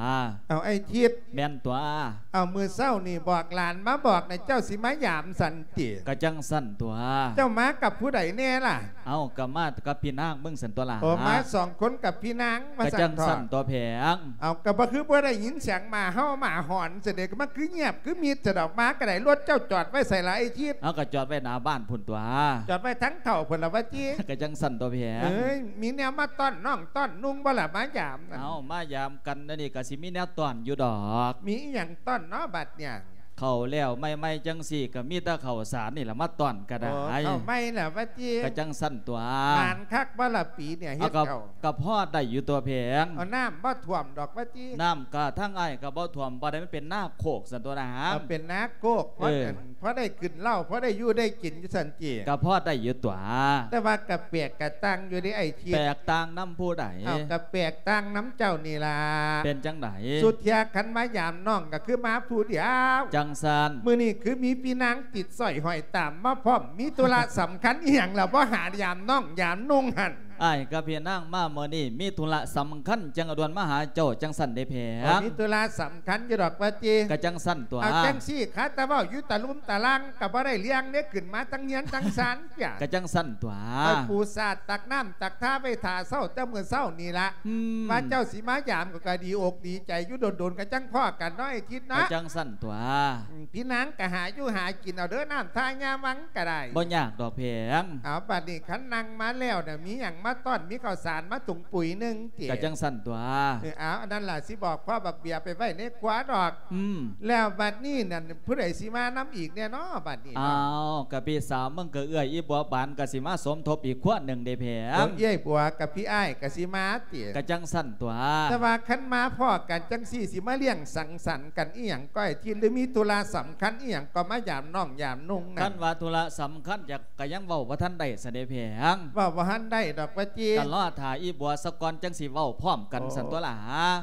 ເອົ້າ ອ້າຍທິດ? ແມ່ນຕົວະ. ເອົ້າ ມື້ເຊົ້ານີ້ບອກຫຼານມາບອກນະ ເຈົ້າຊິມາຢາມສັນຕິ? ກະຈັ່ງຊັ້ນຕົວະ. ເຈົ້າມາກັບຜູ້ໃດແນ່ລະ? ເອົ້າ ກະມາກັບພີ່ນາງເບິ່ງຊັ້ນຕົວະລະ. ໂອ ມາສອງຄົນກັບພີ່ນາງວ່າຊັ້ນເຖາະ. ກະຈັ່ງຊັ້ນຕົວະແພງ. ເອົ້າ ກະບໍ່ຄືບໍ່ໄດ້ຍິນສຽງໝາເຫົ່າໝາຫອນຊັ້ນເດ ກະມາຄືງຽບຄືມິດຊັ້ນດອກ. ມາກະໄດ້ ລົດເຈົ້າຈອດໄວ້ໃສລະອ້າຍທິດ? ເອົາ ກະຈອດໄວ້ໜ້າບ້ານພຸ້ນຕົວະ. ຈອດໄວ້ທາງເຂົ້າພຸ້ນລະຫວາຕິ? ກະຈັ່ງຊັ້ນຕົວະແພງ. ເອີຍ ມີແນວມາຕ້ອນນ້ອງຕ້ອນນຸ່ງບໍ່ລະ ມາຢາມນັ້ນ? ເອົ້າ ມາຢາມກັນແນວນີ້ກະຊິມີແນວຕ້ອນຢູ່ດອກ. ມີອີ່ຫຍັງຕ້ອນເນາະບາດນີ້? ເຂົ້າແລ້ວໃໝ່ໆຈັ່ງຊີ້ກະມີແຕ່ເຂົ້າສານນີ້ລະມາຕ້ອນກະໄດ້. ໂອ້ ເຂົ້າໃໝ່ລະຫວາຕິ? ກະຈັ່ງຊັ້ນຕົວະ. ໝານຄັກບໍ່ລະປີນີ້ເຮັດເຂົ້າ? ກະພໍໄດ້ຢູ່ຕົວະແພງ. ເອົາ ນ້ຳບໍ່ຖ້ວມດອກຫວາຕິ? ນ້ຳກະທາງອ້າຍກະບໍ່ຖ້ວມປານໃດ ມັນເປັນນາໂຄກຊັ້ນຕົວະນະ. ເປັນນາໂຄກ ເອີ ເພາະ ພໍໄດ້ຂຶ້ນເລົາ ພໍໄດ້ຢູ່ໄດ້ກິນຢູ່ຊັ້ນຕິ. ກໍພໍໄດ້ຢູ່ຕົວະ ແຕ່ວ່າກໍແປກກໍຕ່າງຢູ່ເດ້ອ້າຍທິດ. ແປກຕ່າງນຳຜູ້ໃດ? ເອົາ ກໍແປກຕ່າງນຳເຈົ້ານີ້ລະ. ເປັນຈັ່ງໃດ? ສຸດເທື່ອຄັນມາຢາມນ້ອງກໍຄືມາຜູ້ດຽວ. ຈັ່ງຊັ້ນ. ມື້ນີ້ຄືມີພີ່ນາງຕິດສ້ອຍຫ້ອຍຕາມມາພ້ອມ ມີທຸລະສຳຄັນອີ່ຫຍັງລະ ບໍ່ຫາຢາມນ້ອງຢາມນຸ່ງຫັ້ນ? ອ້າຍກັບພີ່ນາງມາມື້ນີ້ ມີທຸລະສຳຄັນ ຈັ່ງດ່ວນມາຫາເຈົ້າຈັ່ງຊັ້ນເດ້ແພງ. ມີທຸລະສຳຄັນຢູ່ດອກວ່າຕິ? ກະຈັ່ງຊັ້ນຕົວະ. ເອົາຈັ່ງຊີ້ ຄາແຕ່ເວົ້າຢູ່ຕະລຸ່ມຕະລ່າງ ກະບໍ່ໄດ້ເລື່ອງເດ້ ຂຶ້ນມາທັງເຮືອນທັງຊານເທື່ອ. ກະຈັ່ງຊັ້ນຕົວະ. ຂ້ອຍປູສາດຕັກນ້ຳຕັກທ່າໄວ້ຖ້າເຊົ້າແຕ່ມື້ເຊົ້ານີ້ລະ ອືມ ວ່າເຈົ້າຊິມາຢາມ ຂ້ອຍກະດີອົກດີໃຈຢູ່ ດົນໆກະຈັ່ງພໍ້ກັນເນາະ ໄອ້ທິດເນາະ. ກະຈັ່ງຊັ້ນຕົວະ. ອືມ ພີ່ນາງກະຫາຢູ່ຫາກິນເອົາເດີ ນ້ຳທ່າຍາວັງກະໄດ້ ບໍ່ຍາກດອກແພງ. ເອົາ ບາດນີ້ຄັນນັ່ງມາແລ້ວນະ ມີຫຍັງມາຕ້ອນ ມີເຂົ້າສານມາຖົງປຸຍໜຶ່ງຕິ? ກະຈັ່ງຊັ້ນຕົວະ. ເອີ ເອົາ ອັນນັ້ນລະ ຊິບອກພໍ່ບັກເບຍໄປໄວ້ໃນຄົວດອກ. ອືມ ແລ້ວບາດນີ້ນັ້ນ ຜູ້ໃດຊິມານຳອີກແດ່ເນາະ ບາດນີ້ເນາະ? ອ້າວ ກະພີ່ສາວເມືອງ ກະເອື້ອຍອີ່ບົວບານ ກະຊິມາສົມທົບອີກຄົວໜຶ່ງເດ້ແພງ. ໂອ້ ເອື້ອຍບົວກັບພີ່ອ້າຍກະຊິມາຕິ? ກະຈັ່ງຊັ້ນຕົວະ. ແຕ່ວ່າຄັນມາພໍ້ກັນຈັ່ງຊີ້ ຊິມາລ້ຽງສັງສັນກັນອີ່ຫຍັງກໍໄອ້ທິດ ຫຼືມີທຸລະສຳຄັນອີ່ຫຍັງກໍມາຢາມນ້ອງຢາມນຸ່ງນັ້ນ? ຄັນວ່າທຸລະສຳຄັນ ຢາກ ກະຍັງເວົ້າບໍ່ທັນໄດ້ຊັ້ນເດ້ແພງ. ເວົ້າບໍ່ທັນໄດ້ດອກວ່າຕິ? ກະລໍຖ້າອີ່ບົວສາກ່ອນ ຈັ່ງຊິເວົ້າພ້ອມກັນຊັ້ນຕົວະລະ.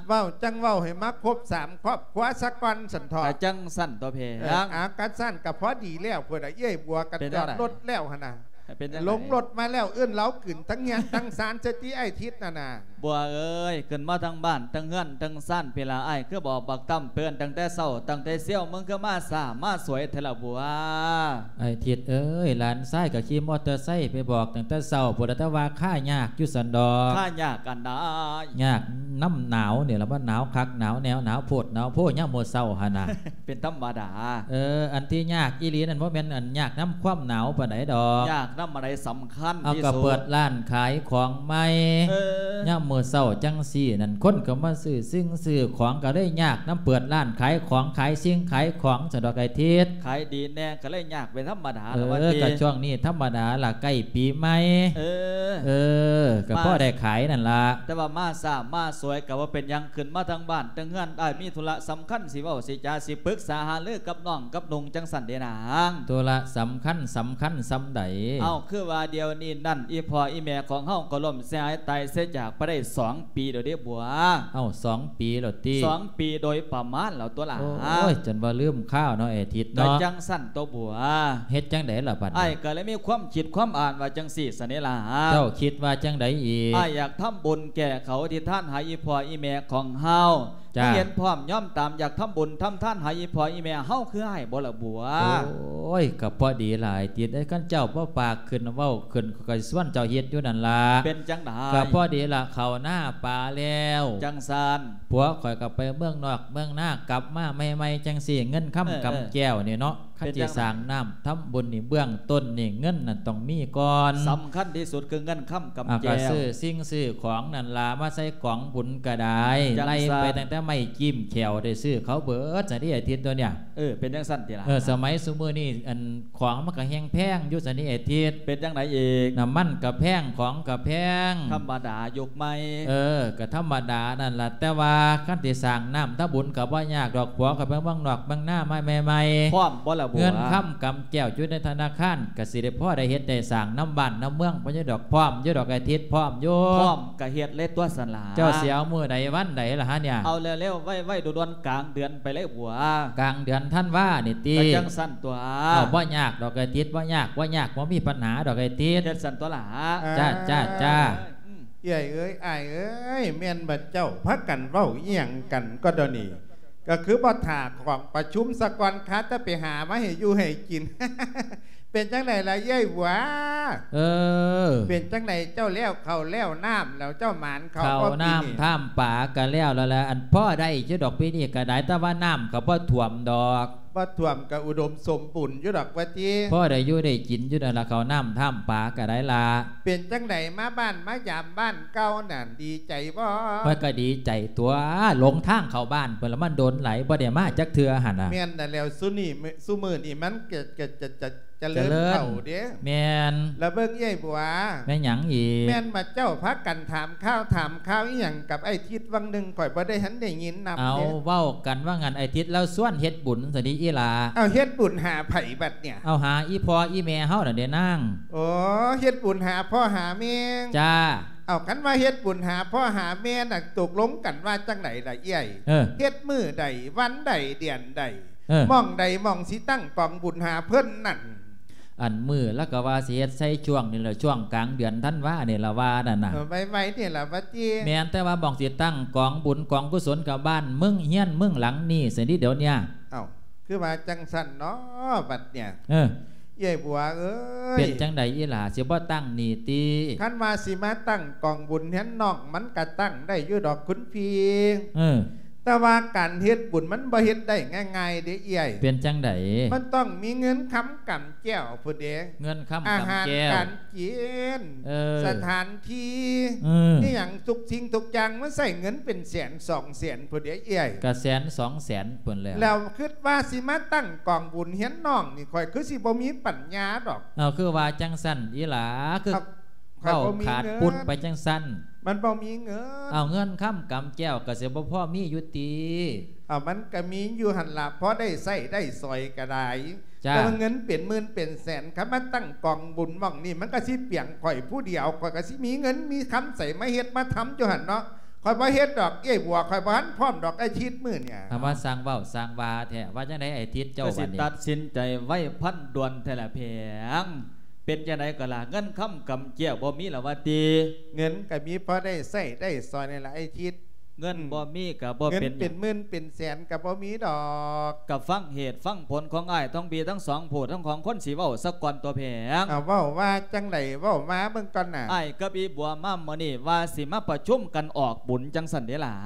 ເວົ້າຈັ່ງເວົ້າໃຫ້ມາຄົບສາມຄອບຄົວສາກ່ອນຊັ້ນເຖາະ. ກະຈັ່ງຊັ້ນຕົວະແພງ. ເອີ ອາ ຄັນຊັ້ນກະພໍດີແລ້ວພຸ້ນນະ ເອື້ອຍບົວກະຈອດລົດແລ້ວຫັ້ນນະ. ເປັນຈັ່ງໃດ? ລົງລົດມາແລ້ວ ເອີ້ນລາວຂຶ້ນທັງເຮືອນທັງຊານ ສະຕິ ໄອ້ທິດນັ້ນນະ. ບົວເອີຍ ຂຶ້ນມາທັງບ້ານ ທັງເຮືອນ ທັງຊານພີ້ລະ. ອ້າຍຄືບອກບັກຕຳເພິ່ນຕັ້ງແຕ່ເຊົ້າ ຕັ້ງແຕ່ຊຽວ ມຶງຄືມາຊ້າມາສວຍແທ້ລະບົວ? ໄອ້ທິດເອີຍ ຫຼານຊາຍກໍຂີ່ມໍເຕີໄຊໄປບອກຕັ້ງແຕ່ເຊົ້າພຸ້ນລະ ແຕ່ວ່າຄາຍາກຢູ່ຊັ້ນດອກ. ຄາຍາກອັນໃດ? ຍາກນຳໜາວນີ້ລະ ມັນໜາວຄັກໜາວແນວ ໜາວໂພດໜາວໂພຍາມມື້ເຊົ້າຫັ້ນນະ. ເປັນທຳມະດາ. ເອີ ອັນທີ່ຍາກອີ່ຫຼີນັ້ນ ບໍ່ແມ່ນອັນຍາກນຳຄວາມໜາວປານໃດດອກ. ຍາກນຳອັນໃດສຳຄັນທີ່ສຸດ? ເອົາ ກໍເປີດຮ້ານຂາຍຂອງໃໝ່. ເອີ ຍາມມື້ເຊົ້າຈັ່ງຊີ້ນັ້ນ ຄົນກໍມາຊື້ສິ່ງຊື້ຂອງ ກໍເລີຍຍາກນຳເປີດຮ້ານຂາຍຂອງ ຂາຍສິ່ງຂາຍຂອງຊັ້ນດອກໄອ້ທິດ. ຂາຍດີແດ່ ກໍເລີຍຍາກເປັນທຳມະດາລະວ່າຕິ? ເອີ ກໍຊ່ວງນີ້ທຳມະດາລະ ໃກ້ປີໃໝ່. ເອີ ເອີ ກໍພໍໄດ້ຂາຍນັ້ນລະ. ແຕ່ວ່າມາຊ້າມາສວຍກໍບໍ່ເປັນຫຍັງ ຂຶ້ນມາທາງບ້ານທາງເຮືອນ ອ້າຍມີທຸລະສຳຄັນຊິເວົ້າຊິຈາ ຊິປຶກສາຫາລືກັບນ້ອງກັບນຸ່ງ ຈັ່ງຊັ້ນເດນາງ. ທຸລະສຳຄັນ ສຳຄັນສ່ຳໃດ? ເອົ້າ ຄືວ່າດຽວນີ້ນັ້ນ ອີ່ພໍ່ອີ່ແມ່ຂອງເຮົາກໍລົ້ມເສຍຫາຍຕາຍເສຍຈາກໄປໄດ້ສອງປີແລ້ວເດບົວ. ເອົ້າ ສອງປີແລ້ວຕິ? ສອງປີໂດຍປະມານແລ້ວຕົວລະ. ໂອ້ຍ ຈົນວ່າລືມຄາວເນາະໄອ້ທິດເນາະ. ກໍຈັ່ງຊັ້ນຕົວບົວ. ເຮັດຈັ່ງໃດລະບັດນີ້? ອ້າຍກໍເລີຍມີຄວາມຄິດຄວາມອ່ານວ່າຈັ່ງຊີ້ຊັ້ນເດລະ. ເຈົ້າຄິດວ່າຈັ່ງໃດອີກ? ອ້າຍຢາກທຳບຸນແກ່ເຂົາ ອະທິຖານໃຫ້ອີ່ພໍ່ອີ່ແມ່ຂອງເຮົາ. ຈ້າ ເຫັນພ້ອມຍອມຕາມ ຢາກທຳບຸນທຳທານໃຫ້ອີ່ພໍ່ອີ່ແມ່ເຮົາຄືອ້າຍບໍ່ລະບົວ? ໂອ້ຍ ກໍພໍດີຫຼາຍຕິດເອີຍ ຄັນເຈົ້າບໍ່ປາກຂຶ້ນເວົ້າຂຶ້ນ ຂ້ອຍກໍຊວນເຈົ້າເຮັດຢູ່ນັ້ນລະ. ເປັນຈັ່ງໃດ? ກໍພໍດີລະ ເຂົ້ານາປາແລ້ວ. ຈັ່ງຊັ້ນ. ຜົວຂ້ອຍກໍໄປເມືອງນອກເມືອງນາ ກັບມາໃໝ່ໆ ຈັ່ງຊີ້ ເງິນຄຳ ເອີ ກຳແກ້ວນີ້ເນາະ. ເອີ ຄັນຊິສ້າງນ້ຳທຳບຸນນີ້ ເບື້ອງຕົ້ນນີ້ເງິນນັ້ນຕ້ອງມີກ່ອນ. ສຳຄັນທີ່ສຸດຄືເງິນຄຳກຳແກ້ວ. ອ່າ ກໍຊື້ສິ່ງຊື້ຂອງນັ້ນລະ ມາໃສ່ກອງບຸນກໍໄດ້. ຈັ່ງຊັ້ນ. ໄລ່ໄປຕັ້ງແຕ່ໄມ້ຈິ້ມແຂ້ວ ໄດ້ຊື້ເຂົາເບິດຊັ້ນເດ ອາທິດຕົວເນີ້ຍ. ເອີ ເປັນຈັ່ງຊັ້ນຕິລະ? ເອີ ສະໄໝຊຸມື້ນີ້ ອັນ ຂອງມັນກໍແຮງແພງຢູ່ຊັ້ນເດ ອາທິດ. ເປັນຈັ່ງໃດອີກ? ນ້ຳມັນກໍແພງ ຂອງກໍແພງ. ທຳມະດາ ຍຸກໃໝ່. ເອີ ກໍທຳມະດານັ້ນລະ ແຕ່ວ່າຄັນຊິສ້າງນ້ຳທຳບຸນກໍບໍ່ຍາກດອກ ຜົວຂ້ອຍໄປເມືອງນອກເມືອງນາມາໃໝ່ໆ. ພ້ອມບໍ່ລະບົວ? ເງິນຄຳກຳແກ້ວຢູ່ໃນທະນາຄານ ກໍຊິໄດ້ພໍໄດ້ເຮັດໄດ້ສ້າງນຳບ້ານນຳເມືອງ ພໍຢູ່ດອກ ພ້ອມຢູ່ດອກ ອາທິດ ພ້ອມຢູ່. ພ້ອມກໍເຮັດເລີຍຕົວຊັ້ນລະ. ເຈົ້າຊິເອົາມື້ໃດວັນໃດລະຫະເນຍ? ເອົາແລ້ວໆ ໄວໆ ດ່ວນໆ ກາງເດືອນໄປເລີຍບົວ. ກາງເດືອນທັນວານີ້ຕິ? ກໍຈັ່ງຊັ້ນຕົວ. ເອົາ ບໍ່ຍາກດອກ ອາທິດ ບໍ່ຍາກ ບໍ່ຍາກ ບໍ່ມີບັນຫາດອກ ອາທິດ. ເຮັດຊັ້ນຕົວລະ. ຈ້າ ຈ້າ ຈ້າ. ເອີ ອືມ ເອື້ອຍເອີຍ ອ້າຍເອີຍ ແມ່ນບັດເຈົ້າພາກັນເວົ້າອີ່ຫຍັງກັນກໍດຽວນີ້? ກໍຄືບໍ່ຖ້າຂອງປະຊຸມສາກ່ອນ ຄາແຕ່ໄປຫາມາໃຫ້ຢູ່ໃຫ້ກິນ. ເປັນຈັ່ງໃດລະເອື້ອຍບົວ? ເອີ ເປັນຈັ່ງໃດ ເຈົ້າແລ້ວເຂົ້າແລ້ວນ້ຳແລ້ວ ເຈົ້າໝານເຂົ້າບໍ່ປີນີ້? ເຂົ້ານ້ຳຖ້ຳປາກໍແລ້ວແລ້ວລະ ອັນພໍໄດ້ຢູ່ດອກປີນີ້ກໍໄດ້ ແຕ່ວ່ານ້ຳກໍບໍ່ຖ້ວມດອກ. ບໍ່ຖ້ວມກໍອຸດົມສົມບູນຢູ່ດອກວ່າຕິ? ພໍໄດ້ຢູ່ໄດ້ກິນຢູ່ນັ້ນລະ ເຂົ້ານ້ຳຖ້ຳປາກໍໄດ້ລະ. ເປັນຈັ່ງໃດ ມາບ້ານມາຢາມບ້ານເກົ່ານັ້ນ ດີໃຈບໍ່? ຂ້ອຍກໍດີໃຈຕົວະ ຫຼົງທາງເຂົ້າບ້ານເພິ່ນລະ ມັນດົນຫຼາຍ ບໍ່ໄດ້ມາຈັກເທື່ອຫັ້ນນະ. ແມ່ນນັ້ນແຫຼ້ວ ຊຸນີ້ ຊຸມື້ນີ້ມັນກະ ກະ ກະ ກະ ຈະເລີນເຂົ້າເດ້. ແມ່ນ. ລະເບິ່ງເອື້ອຍບົວ. ແມ່ນຫຍັງອີກ? ແມ່ນວ່າເຈົ້າພາກັນຖາມຂ່າວ ຖາມຂ່າວອີ່ຫຍັງກັບອ້າຍທິດຫວ່າງໜຶ່ງ ຂ້ອຍບໍ່ໄດ້ທັນໄດ້ຍິນນຳເດ້. ເອົາ ເວົ້າກັນວ່າຫັ້ນ ອ້າຍທິດລາວຊວນເຮັດບຸນຊັ້ນຕິອີ່ຫຼ້າ. ເອົາ ເຮັດບຸນຫາໃຜບັດເນີ້ຍ? ເອົາ ຫາອີ່ພໍ່ອີ່ແມ່ເຮົານັ້ນເດ້ນາງ. ໂອ້ ເຮັດບຸນຫາພໍ່ຫາແມ່. ຈ້າ. ເອົາ ຄັນວ່າເຮັດບຸນຫາພໍ່ຫາແມ່ນັ້ນ ຕົກລົງກັນວ່າຈັ່ງໃດລະເອື້ອຍ? ເອີ ເຮັດມື້ໃດ ວັນໃດ ເດືອນໃດ? ເອີ ໝ່ອງໃດໝ່ອງຊິຕັ້ງກອງບຸນຫາເພິ່ນນັ້ນ? ອັນມື້ລະກະວ່າຊິເຮັດໃສ່ຊ່ວງນີ້ລະ ຊ່ວງກາງເດືອນທັນວານີ້ລະວ່ານັ້ນນະ. ເອີ ໄວໆນີ້ລະວ່າຕິ. ແມ່ນ ແຕ່ວ່າໝ່ອງຊິຕັ້ງກອງບຸນກອງກຸສົນກະບ້ານເມືອງເຮືອນເມືອງຫຼັງນີ້ຊັ້ນຕິດຽວເນີ້ຍ. ເອົ້າ ຄືວ່າຈັ່ງຊັ້ນເນາະບັດເນີ້ຍ. ເອີ ເອື້ອຍບົວເອີຍ. ເປັນຈັ່ງໃດອີ່ຫຼ້າ ຊິບໍ່ຕັ້ງນີ້ຕິ? ຄັນວ່າຊິມາຕັ້ງກອງບຸນເຮືອນນ້ອງ ມັນກະຕັ້ງໄດ້ຢູ່ດອກຄຸນພີ່. ເອີ ແຕ່ວ່າການເຮັດບຸນມັນບໍ່ເຮັດໄດ້ງ່າຍໆເດ້ເອື້ອຍ. ເປັນຈັ່ງໃດ? ມັນຕ້ອງມີເງິນຄຳກຳແກ້ວພຸ້ນເດ້. ເງິນຄຳກຳແກ້ວ ອາຫານການກິນ. ເອີ ສະຖານທີ່. ເອີ ອີ່ຫຍັງທຸກສິ່ງທຸກຢ່າງ ມັນໃຊ້ເງິນເປັນແສນສອງແສນພຸ້ນເດ້ເອື້ອຍ. ກະແສນສອງແສນພຸ້ນແລ້ວ. ແລ້ວຄິດວ່າຊິມາຕັ້ງກອງບຸນເຮືອນນ້ອງນີ້ ຂ້ອຍຄືຊິບໍ່ມີປັນຍາດອກ. ເອົາ ຄືວ່າຈັ່ງຊັ້ນອີ່ຫຼ້າ ຄື ເວົ້າຂາດປຸດໄປຈັ່ງຊັ້ນ. ມັນບໍ່ມີເງິນ. ເອົາ ເງິນຄຳກຳແກ້ວກະຊິບໍ່ພໍມີຢູ່ຕິ? ເອົາ ມັນກະມີຢູ່ຫັ້ນລະ ພໍໄດ້ໃຊ້ໄດ້ສອຍກະໄດ້. ຈ້າ. ແຕ່ວ່າເງິນເປັນໝື່ນເປັນແສນ ຄັນມາຕັ້ງກອງບຸນໝ່ອງນີ້ ມັນກະຊິປຽງຂ້ອຍຜູ້ດຽວ ຂ້ອຍກະຊິມີເງິນມີຄຳໃສມາເຮັດມາທຳຢູ່ຫັ້ນເນາະ. ຂ້ອຍບໍ່ເຮັດດອກເອື້ອຍບົວ ຂ້ອຍບໍ່ທັນພ້ອມດອກ ອາທິດມື້ນີ້. ເອົາ ມາສ້າງເວົ້າສ້າງວ່າແທ້ ວ່າຈັ່ງໃດອາທິດເຈົ້າ ກະຊິຕັດສິນໃຈໄວພັນດ່ວນແທ້ລະແພງ. ເປັນຈັ່ງໃດກໍລະ ເງິນຄຳກຳແກ້ວບໍ່ມີລະວ່າຕິ? ເງິນກະມີພໍໄດ້ໃຊ້ໄດ້ສອຍນີ້ລະອ້າຍທິດ. ເງິນບໍ່ມີກະບໍ່ເປັນຫຍັງ ເງິນເປັນໝື່ນເປັນແສນກະບໍ່ມີດອກ. ກະຟັງເຫດຟັງຜົນຂອງອ້າຍທັງພີ່ທັງສອງຜູ້ທັງສອງຄົນຊິເວົ້າສາກ່ອນຕົວະແພງ. ເອົາ ເວົ້າວ່າຈັ່ງໃດ ເວົ້າມາເບິ່ງກ່ອນນະ. ອ້າຍກັບອີ່ບົວມາມື້ນີ້ວ່າຊິມາປະຊຸມກັນອອກບຸນຈັ່ງຊັ້ນເດລະ.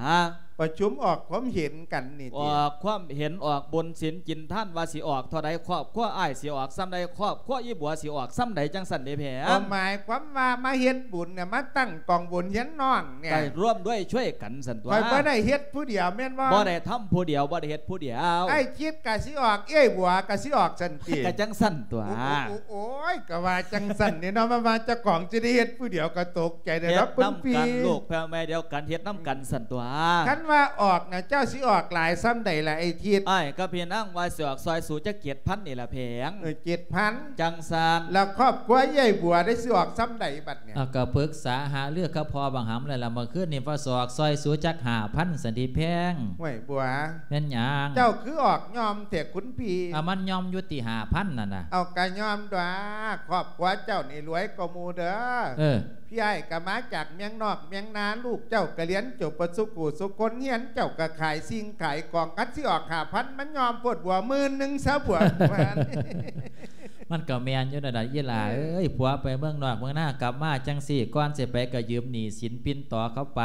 ປະຊຸມອອກຄວາມເຫັນກັນນີ້ຕິ? ອອກຄວາມເຫັນ ອອກບຸນສິນກິນທານ ວ່າຊິອອກເທົ່າໃດ ຄອບຄົວອ້າຍຊິອອກສ່ຳໃດ ຄອບຄົວອີ່ບົວຊິອອກສ່ຳໃດ ຈັ່ງຊັ້ນເດແພງ. ກໍໝາຍຄວາມວ່າມາເຮັດບຸນນະ ມາຕັ້ງກອງບຸນຮຽນນ້ອງນີ້ ກໍຮ່ວມດ້ວຍຊ່ວຍກັນຊັ້ນຕົວະ. ຂ້ອຍບໍ່ໄດ້ເຮັດຜູ້ດຽວແມ່ນບໍ່? ບໍ່ໄດ້ທຳຜູ້ດຽວ ບໍ່ໄດ້ເຮັດຜູ້ດຽວ. ອ້າຍຈິດກໍຊິອອກ ເອື້ອຍບົວກໍຊິອອກຊັ້ນຕິ? ກໍຈັ່ງຊັ້ນຕົວະ. ໂອ້ ໂອ້ ໂອ້ຍ ກໍວ່າຈັ່ງຊັ້ນນີ້ເນາະ ມາວ່າເຈົ້າຂອງຊິໄດ້ເຮັດຜູ້ດຽວກໍຕົກ ໃຈເດ້ດອກຄຸນພີ່. ເຮັດນຳກັນ ລູກແພວແມ່ດຽວກັນ ເຮັດນຳກັນຊັ້ນຕົວະ. ຄັນວ່າອອກນະ ເຈົ້າຊິອອກຫຼາຍສ່ຳໃດລະໄອ້ທິດ? ອ້າຍກັບພີ່ນາງວ່າຊິອອກຊ່ອຍສູຈັກເຈັດພັນນີ້ລະແພງ. ເອີ ເຈັດພັນ ຈັ່ງຊັ້ນ. ແລ້ວຄອບຄົວເອື້ອຍບົວໄດ້ຊິອອກສ່ຳໃດບັດນີ້? ເອົາ ກໍປຶກສາຫາລືກັບພໍ່ບັກຫຳແລ້ວລະ ມື້ຄືນນີ້ວ່າຊິອອກຊ່ອຍສູຈັກຫ້າພັນຊັ້ນຕິແພງ. ຫ້ວຍບົວ ແມ່ນຫຍັງ? ເຈົ້າຄືອອກຍ່ອມແທ້ຄຸນພີ່? ເອົາ ມັນຍ່ອມຢູ່ຕິ ຫ້າພັນນັ້ນນະ. ເອົາ ກະຍ່ອມຕົວະ ຄອບຄົວເຈົ້ານີ້ລວຍກວ່າໝູ່ເດີ. ເອີ ພີ່ອ້າຍກະມາຈາກເມືອງນອກເມືອງນາ ລູກເຈົ້າກະຮຽນຈົບເບິດສູ່ຜູ້ສູ່ຄົນ ເຮືອນເຈົ້າກະຂາຍສິ່ງຂາຍຂອງ ຄັນຊິອອກຫ້າພັນ ມັນຍ່ອມໂພດບົວ ໝື່ນໜຶ່ງຊະບົວ. ມັນກະແມ່ນຢູ່ນັ້ນລະອີ່ຫຼ້າເອີຍ ຜົວໄປເມືອງນອກເມືອງນາກັບມາຈັ່ງຊີ້ ກ່ອນຊິໄປກະຢືມໜີ້ສິນປິ່ນຕໍ່ເຂົາໄປ.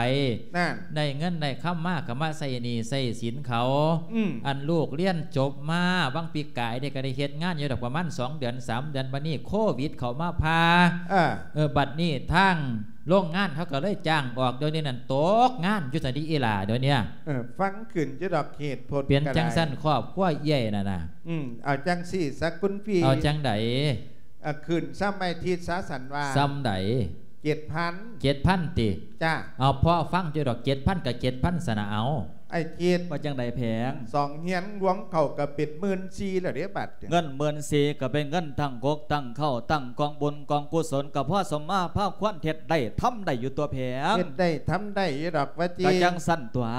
ນັ້ນ ໄດ້ເງິນໄດ້ຄຳມາກະມາໃຊ້ໜີ້ໃຊ້ສິນເຂົາ. ອືມ ອັນລູກຮຽນຈົບມາຫວ່າງປີກາຍນີ້ກະໄດ້ເຮັດງານຢູ່ດອກ ປະມານສອງເດືອນສາມເດືອນ ບັດນີ້ໂຄວິດເຂົ້າມາຜ່າ. ເອີ ເອີ ບັດນີ້ທາງໂລງງານເຂົາກໍເລີຍຈ້າງອອກ ດຽວນີ້ນັ້ນຕົກງານຢູ່ຊັ້ນຕິອີ່ຫຼ້າດຽວນີ້. ເອີ ຟັງຂຶ້ນຢູ່ດອກເຫດຜົນ. ເປັນຈັ່ງຊັ້ນຄອບຄົວເອື້ອຍນັ້ນນະ. ອືມ ເອົາຈັ່ງຊີ້ຊະຄຸນພີ່. ເອົາຈັ່ງໃດ? ເອົາ ຂຶ້ນສ່ຳໄອ້ທິດຊະຊັ້ນວ່າ. ສ່ຳໃດ? ເຈັດພັນ. ເຈັດພັນຕິ? ຈ້າ. ເອົາ ພໍຟັງຢູ່ດອກ ເຈັດພັນກໍເຈັດພັນຊັ້ນນະ ເອົາ. ໄອ້ຈິດ ວ່າຈັ່ງໃດແພງ? ສອງຮຽນລວມເຂົ້າກໍເປັນໝື່ນສີ່ແລ້ວເດ້ບັດນີ້. ເງິນໝື່ນສີ່ກໍເປັນເງິນຕັ້ງກົກຕັ້ງເຄົ້າ ຕັ້ງກອງບຸນກອງກຸສົນ ກໍພໍສົມມາພາຄວນເຮັດໄດ້ທຳໄດ້ຢູ່ຕົວະແພງ. ເຮັດໄດ້ທຳໄດ້ຢູ່ດອກວ່າຕິ? ກໍຈັ່ງຊັ້ນຕົວະ.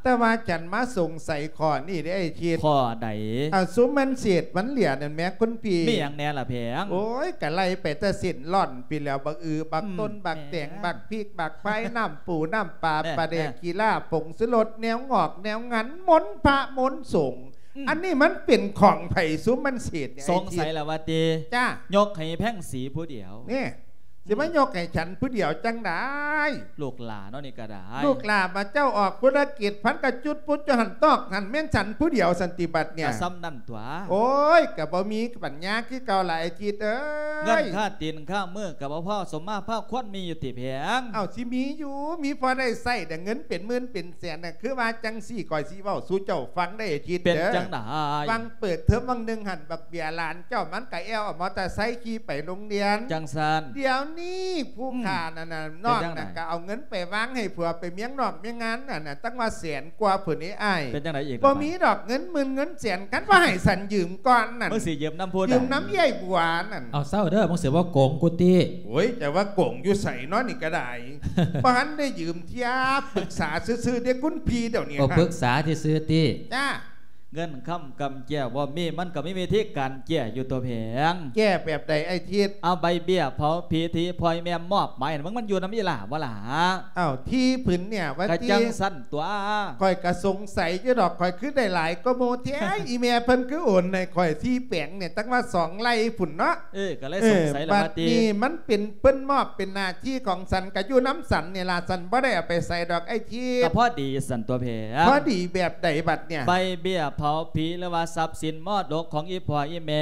ແຕ່ວ່າຈັ່ງມາສົງໄສຂໍ້ນີ້ເດ້ໄອ້ຈິດ. ຂໍ້ໃດ? ເອົາ ຊຸມມັນເສດມັນເຫຼືອນັ້ນແໝ່ຄຸນພີ່. ມີຫຍັງແດ່ລະແພງ? ໂອ້ຍ ກະໄລ່ໄປແຕ່ເສັ້ນລ້ອນພີ້ແຫຼ້ວ ບັກອື ບັກຕົ້ນ ອືມ ບັກແຕງ ແໝ່ ບັກພິກ ບັກພາຍ ນ້ຳປູນ້ຳປາ ແໝ່ ປາແດກ ແໝ່ ຂີ້ຫຼ້າ ຜົງຊູລົດ ແນວງອກແນວງັນ ມົນພະມົນສົງ. ອືມ ອັນນີ້ມັນເປັນຂອງໃຜຊຸມມັນເສດນີ້? ສົງໄສລະວ່າຕິ? ຈ້າ. ຍົກໃຫ້ແພງສີຜູ້ດຽວ. ນີ້ ຊິມາຍົກໃຫ້ສັນຜູ້ດຽວຈັ່ງໃດ? ລູກຫຼ້າເນາະ ນີ້ກໍໄດ້ ລູກຫຼ້າມາເຈົ້າອອກທຸລະກິດ ພັນກະຈຸດປຸດຢູ່ຫັ້ນຕອກຫັ້ນ ແມ່ນສັນຜູ້ດຽວສັນຕິບັດເນຍ ກໍສ່ຳນັ້ນຕົວະ. ໂອ້ຍ ກໍບໍ່ມີປັນຍາຄືເກົ່າລະ ໄອ້ທິດເອີຍ ເງິນຄ່າຕີນຄ່າມືກໍບໍ່ພໍສົມມາພາຄວນມີຢູ່ຕິແພງ? ເອົ້າ ຊິມີຢູ່ ມີພໍໄດ້ໃຊ້ ແຕ່ເງິນເປັນໝື່ນເປັນແສນນະ ຄືວ່າຈັ່ງຊີ້ ຂ້ອຍຊິເວົ້າສູ່ເຈົ້າຟັງໄດ໋ ໄອ້ທິດເດີ ເປັນຈັ່ງໃດ? ຫວ່າງເປີດເທີມຫວ່າງໜຶ່ງຫັ້ນ ບັກເບຍຫຼານເຈົ້າມັນກໍແອວເອົາມໍເຕີໄຊຂີ່ໄປໂຮງຮຽນ ຈັ່ງຊັ້ນ ດຽວນີ້ຜູ້ ອືມ ຂ້ານັ້ນນະ ເປັນຈັ່ງໃດ? ນ້ອງນັ້ນກໍເອົາເງິນໄປວາງໃຫ້ຜົວໄປເມຍງນອກເມຍງງານນັ້ນນະ ຕັ້ງວ່າແສນກວ່າພຸ້ນເດ້ອ້າຍ ເປັນຈັ່ງໃດອີກ? ບໍ່ມີດອກເງິນໝື່ນເງິນແສນ ຄັນວ່າໃຫ້ສັນຢືມກ່ອນນັ້ນ ມຶງຊິຢືມນຳຜູ້ໃດ? ຢືມນຳຍາຍບົວນັ້ນ. ເອົາ ເຊົາເດີ ມຶງຊິບໍ່ໂກງກູຕິ. ໂອ້ຍ ຈະວ່າໂກງຢູ່ໃສເນາະ ນີ້ກໍໄດ້ ບໍ່ທັນໄດ້ຢືມເທື່ອ ປຶກສາຊື່ໆເດ້ຄຸນພີ່ ດຽວນີ້ ເອົາ ປຶກສາຊື່ໆຕິ. ຈ້າ ເງິນຄຳກຳແກ້ວບໍ່ມີ ມັນກໍມີວິທີການແກ້ຢູ່ຕົວະແພງ. ແກ້ແບບໃດອ້າຍທິດ? ເອົາໃບເບ້ຍເຜົາຜີທີ່ພໍ່ອີ່ແມ່ມອບໝາຍໃຫ້ມຶງ ມັນຢູ່ນຳອີ່ຫຼ້າບໍ່ລະ? ເອົ້າ ທີ່ຜືນເນຍວ່າ ກໍຈັ່ງຊັ້ນຕົວະ ຂ້ອຍກໍສົງໄສຢູ່ດອກ ຂ້ອຍຄືໄດ້ຫຼາຍກວ່າໝູ່ແທ້ ອີ່ແມ່ເພິ່ນຄືໂອນໃຫ້ຂ້ອຍສີ່ແປງເນຍ ຕັ້ງວ່າສອງໄຮ່ພຸ້ນເນາະ. ເອີ ກໍເລີຍສົງໄສລະວ່າຕິ ບັດນີ້ມັນເປັນ ເພິ່ນມອບເປັນໜ້າທີ່ຂອງສັນ ກໍຢູ່ນຳສັນນີ້ລະ ສັນບໍ່ໄດ້ເອົາໄປໃສດອກອ້າຍທິດ. ກໍພໍດີສັນຕົວະແພງ. ພໍດີແບບໃດບັດເນຍ? ໃບເບ້ຍເຜົາຜີ ຫຼືວ່າຊັບສິນມໍລະດົກຂອງອີ່ພໍ່ອີ່ແມ່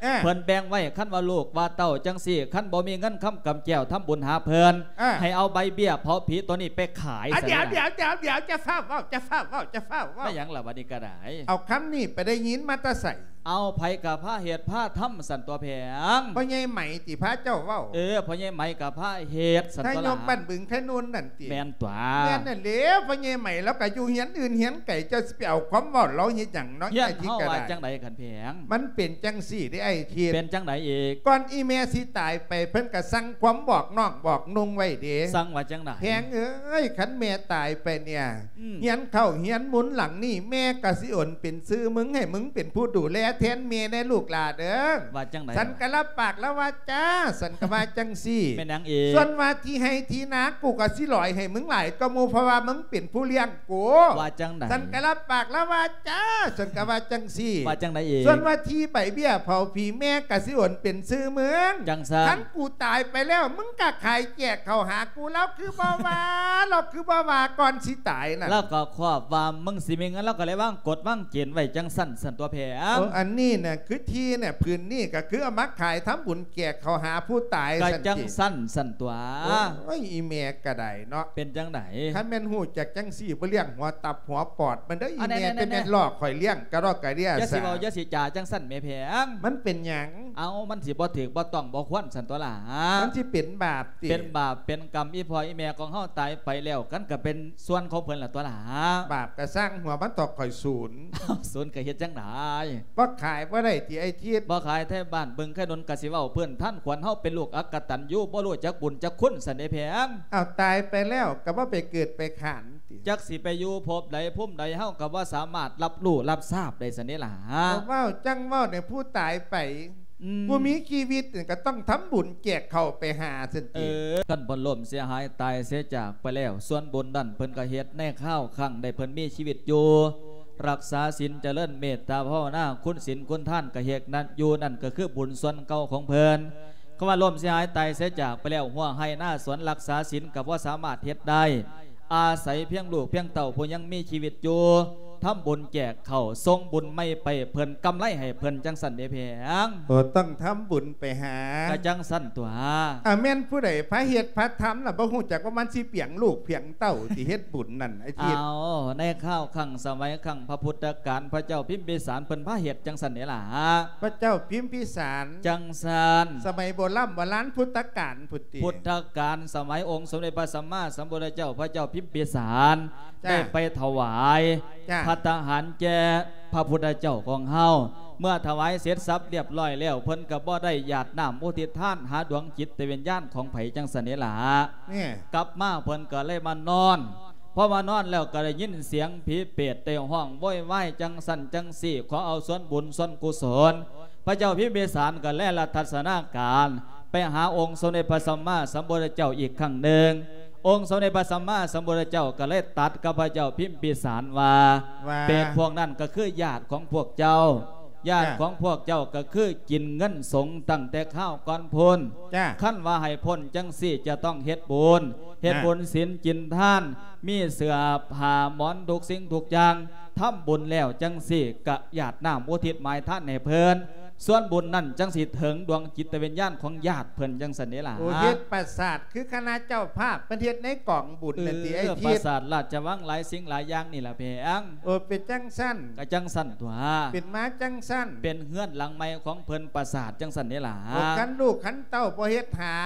ເອີ ເພິ່ນແບ່ງໄວ້ ຄັນວ່າລູກວ່າເຕົ້າຈັ່ງຊີ້ ຄັນບໍ່ມີເງິນຄຳກຳແກ້ວທຳບຸນຫາເພິ່ນ ເອີ ໃຫ້ເອົາໃບເບ້ຍເຜົາຜີຕົວນີ້ໄປຂາຍ. ອາ ສະ ດຽວ ດຽວ ດຽວ ດຽວ ຈະຟ້າວເວົ້າ ຈະຟ້າວເວົ້າ ຈະຟ້າວເວົ້າ ແມ່ນຫຍັງລະບັດນີ້ກໍໄດ້? ເອົາ ຄຳນີ້ໄປໄດ້ຍິນມາແຕ່ໃສ? ເອົາ ໃຜກໍພາເຮັດພາທຳສັນຕົວະແພງ. ພໍ່ໃຫຍ່ໄໝຕິພາເຈົ້າເວົ້າ? ເອີ ພໍ່ໃຫຍ່ໄໝກໍພາເຮັດສັນຕົວະລະ ນາຍົກບ້ານບຶງໄຄນູນນັ້ນຕິ? ແມ່ນຕົວະ. ແມ່ນນັ້ນແຫຼະ ພໍ່ໃຫຍ່ໄໝລາວກໍຢູ່ເຮືອນອື່ນເຮືອນໄກ ເຈົ້າຊິໄປເອົາຄວາມເວົ້າລາວເຮັດຫຍັງເນາະ? ເຮືອນເຮົາວ່າຈັ່ງໃດຄັນແພງ? ມັນເປັນຈັ່ງຊີ້ເດ້ອ້າຍທິດ. ເປັນຈັ່ງໃດອີກ? ກ່ອນອີ່ແມ່ຊິຕາຍໄປ ເພິ່ນກໍສັ່ງຄວາມບອກນ້ອງບອກນຸ່ງໄວ້ເດ້. ສັ່ງວ່າຈັ່ງໃດ? ແພງເອີຍ ຄັນແມ່ຕາຍໄປເນຍ ອືມ ເຮືອນເຂົ້າເຮືອນໝູນຫຼັງນີ້ ແມ່ກໍຊິໂອນເປັນຊື່ມຶງ ໃຫ້ມຶງເປັນຜູ້ດູແລແທນແມ່ແດ່ລູກຫຼ້າເດີ. ວ່າຈັ່ງໃດ? ສັນກໍຮັບປາກແລ້ວວ່າຈ້າ ສັນກໍວ່າຈັ່ງຊີ້. ແມ່ນຫຍັງອີກ? ສ່ວນວ່າທີ່ໄຮ່ທີ່ນາ ກູກໍຊິຫຼອຍໃຫ້ມຶງຫຼາຍກວ່າໝູ່ ເພາະວ່າມຶງເປັນຜູ້ລ້ຽງກູ. ວ່າຈັ່ງໃດ? ສັນກໍຮັບປາກແລ້ວວ່າຈ້າ ສັນກໍວ່າຈັ່ງຊີ້. ວ່າຈັ່ງໃດອີກ? ສ່ວນວ່າທີ່ໃບເບ້ຍເຜົາຜີ ແມ່ກໍຊິໂອນເປັນຊື່ມຶງ. ຈັ່ງຊັ້ນ. ຄັນ ກູຕາຍໄປແລ້ວ ມຶງກໍຂາຍແຈກເຂົ້າຫາກູ. ລາວຄືບໍ່ວ່າ ລາວຄືບໍ່ວ່າກ່ອນຊິຕາຍນະ? ລາວກໍຄວບວ່າມຶງຊິມີເງິນ ລາວກໍເລີຍວາງກົດວາງເກນໄວ້ຈັ່ງຊັ້ນ ສັນຕົວະແພງ. ໂອ້ ອັນນີ້ນະ ຄືທີ່ນະ ຜືນນີ້ກໍຄືເອົາມາຂາຍທຳບຸນແຈກເຂົ້າຫາຜູ້ຕາຍ ກໍຈັ່ງຊັ້ນ ສັນຕິ ສັນຕົວະ. ໂອ້ຍ ອີ່ແມ່ກໍໄດ້ເນາະ. ເປັນຈັ່ງໃດ? ຄັນແມ່ນຮູ້ຈັກຈັ່ງຊີ້ ບໍ່ລ້ຽງຫົວຕັບຫົວປອດມັນເດີ ອີ່ແມ່. ແຕ່ແມ່ນຫຼອກຂ້ອຍລ້ຽງກະດອກກະເດຍ. ຢ່າຊິເວົ້າ ຢ່າຊິຈາຈັ່ງຊັ້ນແມ່ແພງ. ມັນເປັນຫຍັງ? ເອົ້າ ມັນຊິບໍ່ຖືກບໍ່ຕ້ອງບໍ່ຄວນ ສັນຕົວະລະ. ມັນຊິເປັນບາບຕິ? ເປັນບາບເປັນກຳ. ອີ່ພໍ່ອີ່ແມ່ຂອງເຮົາຕາຍໄປແລ້ວ ມັນກໍເປັນສ່ວນຂອງເພິ່ນລະຕົວະລະ. ບາບກໍຊ່າງຫົວມັນເຖາະ ຂ້ອຍສູນ. ສູນກໍເຮັດຈັ່ງໃດ? ບໍ່ຂາຍບໍ່ໄດ້ຕິອ້າຍທິດ? ບໍ່ຂາຍ ໄທບ້ານບຶງໄຄນົນກໍຊິເວົ້າພື້ນຖານຂວັນເຮົາເປັນລູກອັກກະຕັນຍູ ບໍ່ຮູ້ຈັກບຸນຈັກຄຸນ ສັນເດແພງ. ເອົາ ຕາຍໄປແລ້ວກໍບໍ່ໄປເກີດໄປຂານ ຕິ? ຈັກຊິໄປຢູ່ພົບໃດພູມໃດ ເຮົາກໍບໍ່ສາມາດຮັບຮູ້ຮັບຊາບໄດ້ຊັ້ນເດລະ. ເວົ້າຈັ່ງເວົ້າໃນຜູ້ຕາຍໄປ. ອືມ ຜູ້ມີຊີວິດນີ້ກໍຕ້ອງທຳບຸນແຈກເຂົ້າໄປຫາຊັ້ນຕິ. ເອີ ຄັນເພິ່ນລົ້ມເສຍຫາຍຕາຍເສຍຈາກໄປແລ້ວ ສ່ວນບຸນນັ້ນເພິ່ນກໍເຮັດໃນຄາວຄັ້ງໃດເພິ່ນມີຊີວິດຢູ່ ຮັກສາສິນ ຈະເລີນເມດຕາພາວະນາ ຄຸນສິນຄຸນທານກໍເຮັດນັ້ນຢູ່ ນັ້ນກໍຄືບຸນສ່ວນເກົ່າຂອງເພິ່ນ. ຄຳວ່າລົ້ມເສຍຫາຍຕາຍເສຍຈາກໄປແລ້ວ ຮົ້ວໄຮ່ນາສວນ ຮັກສາສິນກໍບໍ່ສາມາດເຮັດໄດ້ ອາໄສພຽງລູກພຽງເຕົ້າຜູ້ຍັງມີຊີວິດຢູ່ ທຳບຸນແຈກເຂົ້າ ສົ່ງບຸນໃໝ່ໄປເພິ່ນ ກຳໄລໃຫ້ເພິ່ນ ຈັ່ງຊັ້ນເດແພງ. ໂອ ຕ້ອງທຳບຸນໄປຫາ. ກະຈັ່ງຊັ້ນຕົວະ. ອາ ແມ່ນຜູ້ໃດພາເຮັດພາທຳລະ ບໍ່ຮູ້ຈັກວ່າມັນຊິພຽງລູກພຽງເຕົ້າ ຊິເຮັດບຸນນັ້ນ ອາທິດ. ເອົາ ໃນຄາວຄັ້ງສະໄໝຄັ້ງພະພຸດທະການ ພະເຈົ້າພິມພິສານເພິ່ນພາເຮັດຈັ່ງຊັ້ນເດລະ. ພະເຈົ້າພິມພິສານ. ຈັ່ງຊັ້ນ. ສະໄໝໂບລຳໂບລານພຸດທະການພຸ້ນຕິ? ພຸດທະການ ສະໄໝອົງສົມເດັດພະສຳມາສຳພຸດທະເຈົ້າ ພະເຈົ້າພິມພິສານ ໄດ້ໄປຖວາຍ ຈ້າ ພັດຕາຫານແກ່ພະພຸດທະເຈົ້າຂອງເຮົາ. ເມື່ອຖວາຍເສັດສັບລຽບລ້ອຍແລ້ວ ເພິ່ນກໍບໍ່ໄດ້ຢາດນ້ຳອຸທິດທານຫາດວງຈິດຕະວິນຍານຂອງໃຜຈັ່ງຊັ້ນເດລະ. ກັບມາເພິ່ນກໍເລີຍມານອນ ພໍມານອນແລ້ວກໍໄດ້ຍິນສຽງຜີເປດໄດ້ຮ້ອງໂວຍວາຍຈັ່ງຊັ້ນຈັ່ງຊີ້ ຂໍເອົາສ່ວນບຸນສ່ວນກຸສົນ. ພະເຈົ້າພິມພິສານກໍແລລັດທັດສະນາການໄປຫາອົງສົມເດັດພະສຳມາສຳພຸດທະເຈົ້າອີກຄັ້ງໜຶ່ງ. ອົງສົມເດັດພະສຳມາສຳພຸດທະເຈົ້າກໍເລີຍຕັດກັບພະເຈົ້າພິມພິສານວ່າ ວ່າ ເປດພວກນັ້ນກໍຄືຍາດຂອງພວກເຈົ້າ ຍາດ ຈົ້າ ຂອງພວກເຈົ້າກໍຄືກິນເງິນສົງຕັ້ງແຕ່ຄາວກ່ອນພຸ້ນ. ຈ້າ ຄັນວ່າໃຫ້ພົ້ນຈັ່ງຊີ້ຈະຕ້ອງເຮັດບຸນ ເຮັດ ນະ ບຸນສິນກິນທານ ມີເສື້ອຜ້າໝອນທຸກສິ່ງທຸກຢ່າງ ທຳບຸນແລ້ວຈັ່ງຊີ້ກະຢາດນ້ຳອຸທິດໝາຍທານໃຫ້ເພິ່ນ ສ່ວນບຸນນັ້ນຈັ່ງຊິເຖິງດວງຈິດຕະວິນຍານຂອງຍາດເພິ່ນຈັ່ງຊັ້ນເດ້ລະ. ໂອ້ ເຮັດປາສາດຄືຄະນະເຈົ້າພາບເພິ່ນເຮັດໃນກອງບຸນນັ້ນຕິ ເອີ ໄອ້ທິດ ປາສາດລາດຈະວັງຫຼາຍສິ່ງຫຼາຍຢ່າງນີ້ລະແພງ. ໂອ້ ເປັນຈັ່ງຊັ້ນ ກະຈັ່ງຊັ້ນຕົວະ ເປັນມາຈັ່ງຊັ້ນ ເປັນເຮືອນຫຼັງໃໝ່ຂອງເພິ່ນ ປາສາດຈັ່ງຊັ້ນເດ້ລະ. ໂອ້ ຄັນລູກຄັນເຕົ້າບໍ່ເຮັດຫາ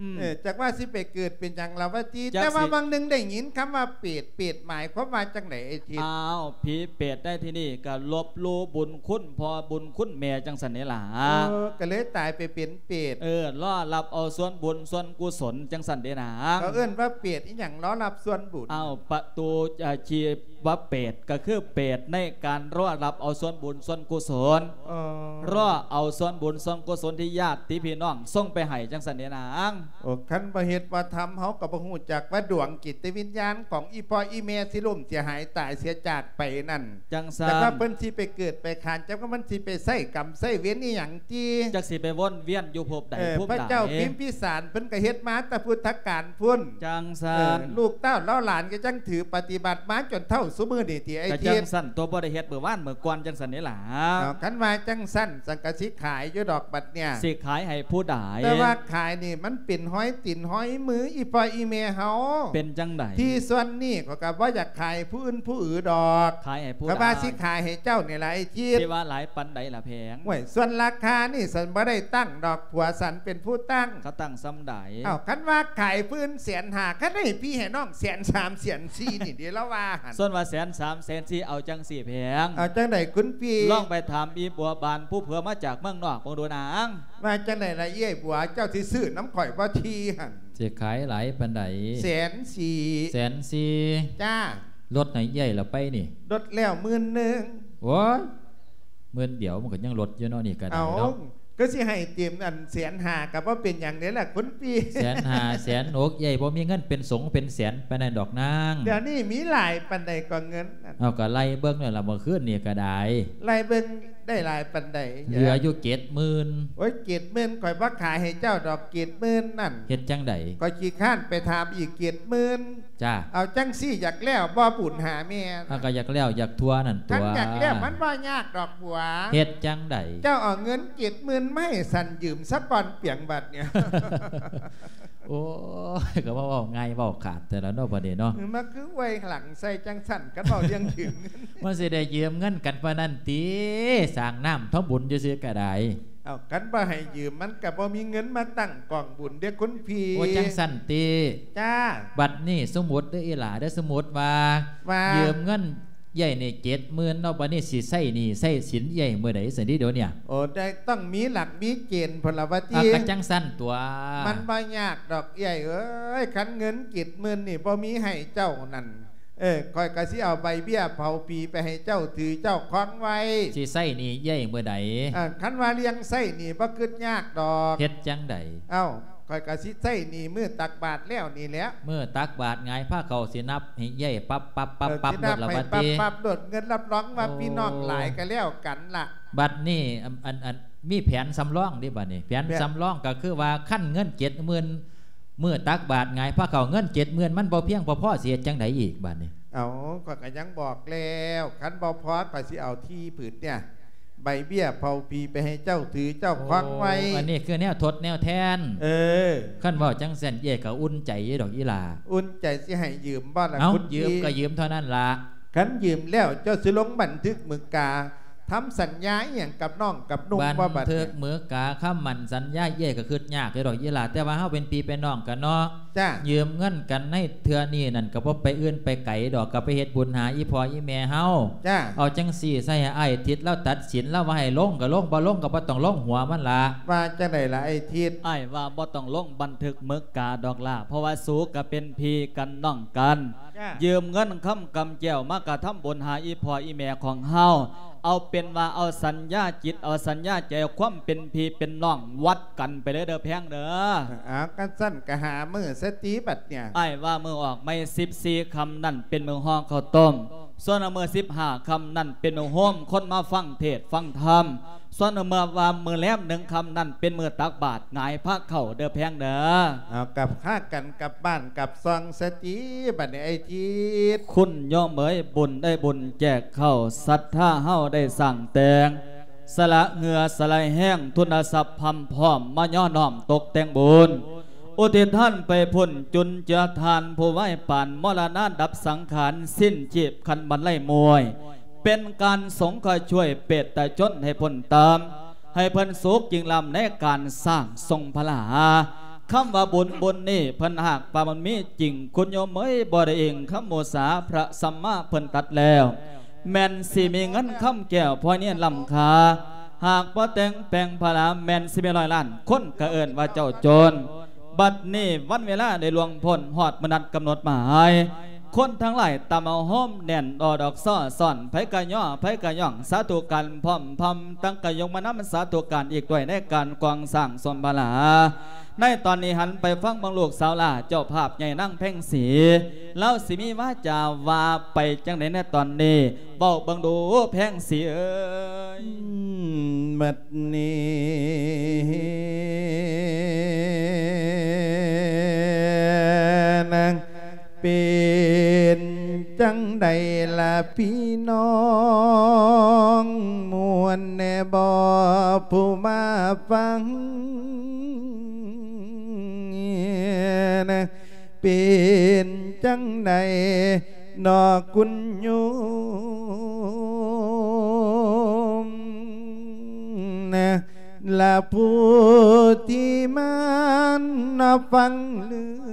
ອືມ ເອີ ຈັກວ່າຊິໄປເກີດເປັນຫຍັງລະວະຕິ. ຈັກ ແຕ່ວ່າ ຊິ ຫວ່າງໜຶ່ງໄດ້ຍິນຄຳວ່າເປດ ເປດໝາຍຄວາມວ່າຈັ່ງໃດໄອ້ທິດ? ອ້າວ ຜີເປດໃນທີ່ນີ້ກໍລົບຫຼູ່ບຸນຄຸນພໍ່ບຸນຄຸນແມ່ຈັ່ງຊັ້ນເດ້ລະ. ເອີ ກໍເລີຍຕາຍໄປເປັນເປດ. ເອີ ລໍຮັບເອົາສ່ວນບຸນສ່ວນກຸສົນຈັ່ງຊັ້ນເດ້ນາງ. ເຂົາເອີ້ນວ່າເປດອີຫຍັງ? ລໍຮັບສ່ວນບຸນ. ອ້າວ ປະຕູ ອາ ຊີວະເປດ ກໍຄືເປດໃນການລໍຮັບເອົາສ່ວນບຸນສ່ວນກຸສົນ. ອໍ ລໍເອົາສ່ວນບຸນສ່ວນກຸສົນທີ່ຍາດຕິພີ່ນ້ອງສົ່ງໄປໃຫ້ຈັ່ງຊັ້ນເດ້ນາງ. ໂອ້ ຄັນບໍ່ເຮັດບໍ່ທຳ ເຮົາກໍບໍ່ຮູ້ຈັກວ່າດວງຈິດຕະວິນຍານຂອງອີ່ພໍ່ອີ່ແມ່ຊິລົ້ມເສຍຫາຍຕາຍເສຍຈາກໄປນັ້ນ. ຈັ່ງຊັ້ນ ຈັກວ່າເພິ່ນຊິໄປເກີດໄປຄານ ຈັກວ່າມັນຊິໄປໃຊ້ກຳໃຊ້ເວນອີ່ຫຍັງຕິ ຈັກຊິໄປວົນວຽນຢູ່ພົບໃດ ເອີ ພົບໃດ. ພະເຈົ້າພິມພິສານເພິ່ນກໍເຮັດມາແຕ່ພຸດທະການພຸ້ນ. ຈັ່ງຊັ້ນ ເອີ ລູກເຕົ້າເຫຼົ່າຫຼານກໍຈັ່ງຖືປະຕິບັດມາຈົນເທົ່າຊຸມື້ນີ້ຕິໄອ້ທິດ. ກໍຈັ່ງຊັ້ນຕົວະ ບໍ່ໄດ້ເຮັດມື້ວານມື້ກ່ອນຈັ່ງຊັ້ນນີ້ລະ. ເອົາ ຄັນວ່າຈັ່ງຊັ້ນ ສັງກະຊິຂາຍຢູ່ດອກບັດເນີ້ຍ. ຊິຂາຍໃຫ້ຜູ້ໃດ? ແຕ່ວ່າຂາຍນີ້ມັນເປັນຮອຍຕີນຮອຍມືອີ່ພໍ່ອີ່ແມ່ເຮົາ. ເປັນຈັ່ງໃດ? ທີ່ສ່ວນນີ້ຂ້ອຍກໍບໍ່ຢາກຂາຍຜູ້ອື່ນຜູ້ອື່ດອກ. ຂາຍໃຫ້ຜູ້ໃດ? ຂ້ອຍວ່າຊິຂາຍໃຫ້ເຈົ້ານີ້ລະໄອ້ທິດ. ຊິວ່າຫຼາຍປານໃດລະແພງ? ໂອ້ຍ ສ່ວນລາຄານີ້ສັນບໍ່ໄດ້ຕັ້ງດອກ ຜົວສັນເປັນຜູ້ຕັ້ງ. ເຂົາຕັ້ງສ່ຳໃດ? ເອົ້າ ຄັນວ່າຂາຍພື້ນແສນຫ້າ ຄັນໃຫ້ພີ່ໃຫ້ນ້ອງແສນສາມແສນສີ່ນີ້ເດ ລາວວ່າຫັ້ນ. ສ່ວນວ່າແສນສາມແສນສີ່ ເອົາຈັ່ງຊີ້ແພງ. ເອົາຈັ່ງໃດຄຸນພີ່? ລອງໄປຖາມອີ່ບົວບານຜູ້ເຜື່ອມາຈາກເມືອງນອກເບິ່ງດູນາງ. ວ່າຈັ່ງໃດລະເອື້ອຍບົວ ເຈົ້າຊິຊື້ນຳຂ້ອຍບໍ່ທີ່ຫັ້ນ? ຊິຂາຍຫຼາຍປານໃດ? ແສນສີ່. ແສນສີ່? ຈ້າ. ລົດໃຫ້ເອື້ອຍລະໄປນີ້? ລົດແລ້ວໝື່ນໜຶ່ງ. ໂອ້ຍ ໝື່ນດຽວມັນກໍຍັງລົດຢູ່ເນາະ ນີ້ກໍໄດ້ເນາະ. ເອົ້າ ຄືຊິໃຫ້ເຕັມອັນແສນຫ້າກໍບໍ່ເປັນຫຍັງເດ້ລະຄຸນພີ່. ແສນຫ້າ ແສນຫົກ ເອື້ອຍບໍ່ມີເງິນເປັນສົງເປັນແສນປານນັ້ນດອກນາງ. ດຽວນີ້ມີຫຼາຍປານໃດກໍເງິນ? ເອົາ ກໍໄລ່ເບິ່ງແລ້ວລະ ມື້ຄືນນີ້ກໍໄດ້. ໄລ່ເບິ່ງໄດ້ຫຼາຍປານໃດ? ເຫຼືອຢູ່ເຈັດໝື່ນ. ໂອ້ຍ ເຈັດໝື່ນ ຂ້ອຍບໍ່ຂາຍໃຫ້ເຈົ້າດອກ ເຈັດໝື່ນນັ້ນ. ເຮັດຈັ່ງໃດ? ຂ້ອຍຂີ້ຄ້ານໄປຖາມອີກເຈັດໝື່ນ. ຈ້າ. ເອົາ ຈັ່ງຊີ້ ຢາກແລ້ວບໍ່ບຸນຫາແມ່? ເຮົາກໍຢາກແລ້ວຢາກທົ່ວນັ້ນຕົວະ. ຄັນຢາກແລ້ວມັນບໍ່ຍາກດອກບົວ. ເຮັດຈັ່ງໃດ? ເຈົ້າເອົາເງິນເຈັດໝື່ນມາໃຫ້ສັນຢືມສາກ່ອນປຽງບັດນີ້. ໂອ້ຍ ກໍມາເວົ້າງ່າຍເວົ້າຂາດແທ້ລະເນາະ ບັດນີ້ເນາະ. ມາຄືອວຍຫຼັງໃສ່ຈັ່ງຊັ້ນ ຄັນເວົ້າເລື່ອງຢືມເງິນ. ມັນຊິໄດ້ຢືມເງິນກັນປານນັ້ນຕິ? ສ້າງນ້ຳທຳບຸນຊື່ໆກໍໄດ້. ເອົ້າ ຄັນບໍ່ໃຫ້ຢືມ ມັນກໍບໍ່ມີເງິນມາຕັ້ງກອງບຸນເດ້ຄຸນພີ່. ໂອ້ ຈັ່ງຊັ້ນຕິ? ຈ້າ. ບັດນີ້ສົມມຸດເດີອີ່ຫຼ້າເດີ ສົມມຸດວ່າ ວ່າ ຢືມເງິນເອື້ອຍນີ້ເຈັດໝື່ນເນາະ ບັດນີ້ຊິໃຊ້ໜີ້ໃຊ້ສິນເອື້ອຍມື້ໃດຊັ້ນຕິດຽວນີ້? ໂອ້ ໄດ້ ຕ້ອງມີຫຼັກມີເກນພຸ້ນລະວ່າຕິ. ອ່າ ກໍຈັ່ງຊັ້ນຕົວະ. ມັນບໍ່ຍາກດອກເອື້ອຍເອີຍ ຄັນເງິນເຈັດໝື່ນນີ້ບໍ່ມີໃຫ້ເຈົ້ານັ້ນ ເອີ ຂ້ອຍກໍຊິເອົາໃບເບ້ຍເຜົາຜີໄປໃຫ້ເຈົ້າຖືເຈົ້າຄອງໄວ້. ຊິໃຊ້ໜີ້ເອື້ອຍມື້ໃດ? ເອີ ຄັນວ່າເລື່ອງໃຊ້ໜີ້ບໍ່ຄິດຍາກດອກ. ເຮັດຈັ່ງໃດ? ເອົ້າ ຂ້ອຍກໍຊິໃຊ້ໜີ້ມື້ຕັກບາດແລ້ວນີ້ແຫຼະ. ມື້ຕັກບາດຫງາຍພາເຂົ້າຊິນັບໃຫ້ເອື້ອຍປັບໆໆໆ ເອີ ຊິນັບໃຫ້ປັບໆໂລດ. ເງິນຮັບຮອງວ່າ ໂອ້ ພີ່ນ້ອງຫຼາຍກໍແລ້ວກັນລະ. ບັດນີ້ ອັນ ອັນ ອັນ ມີແຜນສຳລອງເດ້ບັດນີ້. ແຜນ ແຜນສຳລອງກໍຄືວ່າ ຄັນເງິນເຈັດໝື່ນ ມື້ຕັກບາດຫງາຍພາເຂົ້າເງິນເຈັດໝື່ນ ມັນບໍ່ພຽງພໍ ພໍຊິເຮັດຈັ່ງໃດອີກບາດນີ້? ເອົ້າ ຂ້ອຍກໍຍັງບອກແລ້ວ ຄັນບໍ່ພໍ ຂ້ອຍຊິເອົາທີ່ຜືນເນີ້ຍ ໃບເບ້ຍເຜົາຜີໄປໃຫ້ເຈົ້າຖືເຈົ້າຄອງໄວ້. ໂອ້ ອັນນີ້ຄືແນວທົດແນວແທນ. ເອີ ຄັນເວົ້າຈັ່ງຊັ້ນເອື້ອຍກໍອຸ່ນໃຈຢູ່ດອກອີ່ຫຼ້າ. ອຸ່ນໃຈຊິໃຫ້ຢືມບໍ່ລະ? ເອົ້າ ຄຸນ ຢືມກໍຢືມເທົ່ານັ້ນລະ. ຄັນຢືມແລ້ວເຈົ້າຊິລົງບັນທຶກໝຶກກາ ທຳສັນຍາອີ່ຫຍັງກັບນ້ອງກັບນຸ່ງບໍ່ບັດນີ້? ບັນທຶກໝຶກກາຄຳໝັ້ນສັນຍາເອື້ອຍກໍຄິດຍາກຢູ່ດອກອີ່ຫຼ້າ ແຕ່ວ່າເຮົາເປັນພີ່ເປັນນ້ອງກັນເນາະ. ຈ້າ. ຢືມເງິນກັນໃນເທື່ອນີ້ນັ້ນ ກໍບໍ່ໄປອື່ນໄປໄກດອກ ກໍໄປເຮັດບຸນຫາອີ່ພໍ່ອີ່ແມ່ເຮົາ. ຈ້າ. ເອົາຈັ່ງຊີ້ ໃສ່ໃຫ້ອ້າຍທິດລາວຕັດສິນ ລາວວ່າໃຫ້ລົງກໍລົງ ບໍ່ລົງກໍບໍ່ຕ້ອງລົງຫົວມັນລະ. ວ່າຈັ່ງໃດລະອ້າຍທິດ? ອ້າຍວ່າບໍ່ຕ້ອງລົງບັນທຶກໝຶກກາດອກລະ ເພາະວ່າສູກໍເປັນພີ່ກັນນ້ອງກັນ. ຈ້າ. ຢືມເງິນຄຳກຳແກ້ວມາກະທຳບຸນຫາອີ່ພໍ່ອີ່ແມ່ຂອງເຮົາ. ເອົາເປັນວ່າເອົາສັນຍາຈິດ ເອົາສັນຍາໃຈ ຄວາມເປັນພີ່ເປັນນ້ອງວັດກັນໄປເລີຍເດີແພງເດີ. ເອົາ ຄັນຊັ້ນກະຫາມື້ສະຕິບັດເນີ້ຍ. ອ້າຍວ່າມື້ອອກໃໝ່ສິບສີ່ຄ່ຳນັ້ນເປັນມື້ຫໍ່ເຂົ້າຕົ້ມ. ສ່ວນເມື່ອສິບຫ້າຄ່ຳນັ້ນເປັນໂຮມຄົນມາຟັງເທດຟັງທຳ, ສ່ວນເມື່ອວ່າມື້ແລມໜຶ່ງຄ່ຳນັ້ນເປັນມື້ຕັກບາດຫງາຍພາເຂົ້າເດີແພງເດີ. ເອົາ ກັບພາກັນກັບບ້ານກັບຊ່ອງສະຕິ ບັດນີ້ໄອ້ທິດ ຄຸນໂຍມເອີຍ ບຸນໄດ້ບຸນແຈກເຂົ້າ, ສັດທາເຮົາໄດ້ສ້າງແຕ່ງ ສະຫຼະເຫື່ອສະຫຼະແຮງ ທຶນຊັບພຳພ້ອມ ມາຍໍ້ນ້ອມຕົກແຕ່ງບຸນ ອຸທິດທານໄປພຸ້ນ ຈຸນເຈືອທ່ານຜູ້ວາຍປານ ມໍລະນາດັບສັງຂານ ສິ້ນຊີບຄັນບັນໄລມວຍ ເປັນການສົງເຄາະຊ່ວຍເປດຕະຊົນໃຫ້ພົ້ນຕາມ ໃຫ້ເພິ່ນສຸກຍິ່ງລ້ຳໃນການສ້າງຊົງພະລາ. ຄຳວ່າບຸນບຸນນີ້ ເພິ່ນຫາກວ່າມັນມີຈິງ ຄຸນໂຍມເອີຍ ບໍ່ໄດ້ອີງຄຳໝູຊາ ພະສຳມາເພິ່ນຕັດແລ້ວ ແມ່ນຊິມີເງິນຄຳແກ້ວພອຍນິນລ້ຳຄ່າ ຫາກບໍ່ແຕ່ງແປງພະລາ ແມ່ນຊິມີຮ້ອຍລ້ານຄົນກະເອີ້ນວ່າເຈົ້າຈົນ. ບັດນີ້ວັນເວລາໄດ້ລ່ວງພົ້ນ ຮອດມື້ນັດກຳນົດໝາຍ ຄົນທັງຫຼາຍຕຳເອົາໂຮມແໜ້ນ ດອກຊໍ້ຊ້ອນ ໃຜກະຍໍ້ ໃຜກະຍ້ອງ ສາທຸການພ້ອມພຳ ຕັ້ງກະຍົກມານຳສາທຸການອີກດ້ວຍ ໃນການກວາງສ້າງສົມພະລາ. ໃນຕອນນີ້ຫັນໄປຟັງເບິ່ງລູກສາວຫຼ້າ ເຈົ້າພາບໃຫຍ່ນາງແພງສີ ລາວຊິມີວາຈາວ່າໄປຈັ່ງໃດໃນຕອນນີ້ ເວົ້າເບິ່ງດູແພງສີເອີຍ. ອືມ ບັດນີ້ນະ ເປັນຈັ່ງໃດລະພີ່ນ້ອງ ມ່ວນແດ່ບໍ່ຜູ້ມາຟັງ? ເປັນຈັ່ງໃດນໍຄຸນໂຍມ ລະຜູ້ທີ່ມານອບຟັງເລື່ອ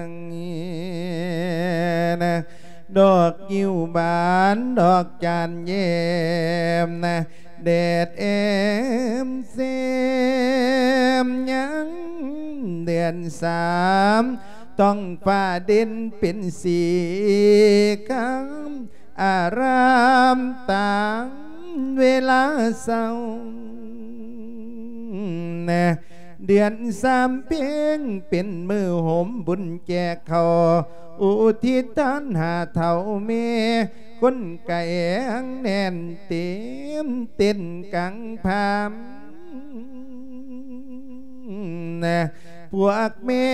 ງ ດອກງິ້ວບານ ດອກຈານແຍ້ມນະ ແດດແອມແຊມ ຍາມເດືອນສາມ ທ້ອງຟ້າເດັ່ນເປັນສີຄຳ ອາຣາມຕາມເວລາເຊົ້າ ເດືອນສາມເພັງເປັນມື້ໂຮມບຸນແຈກເຂົ້າ ອຸທິດທານຫາເຖົ້າແມ່ ຄົນກະແອງແໜ້ນເຕັມເຕັນກາງພາມ ພວກແມ່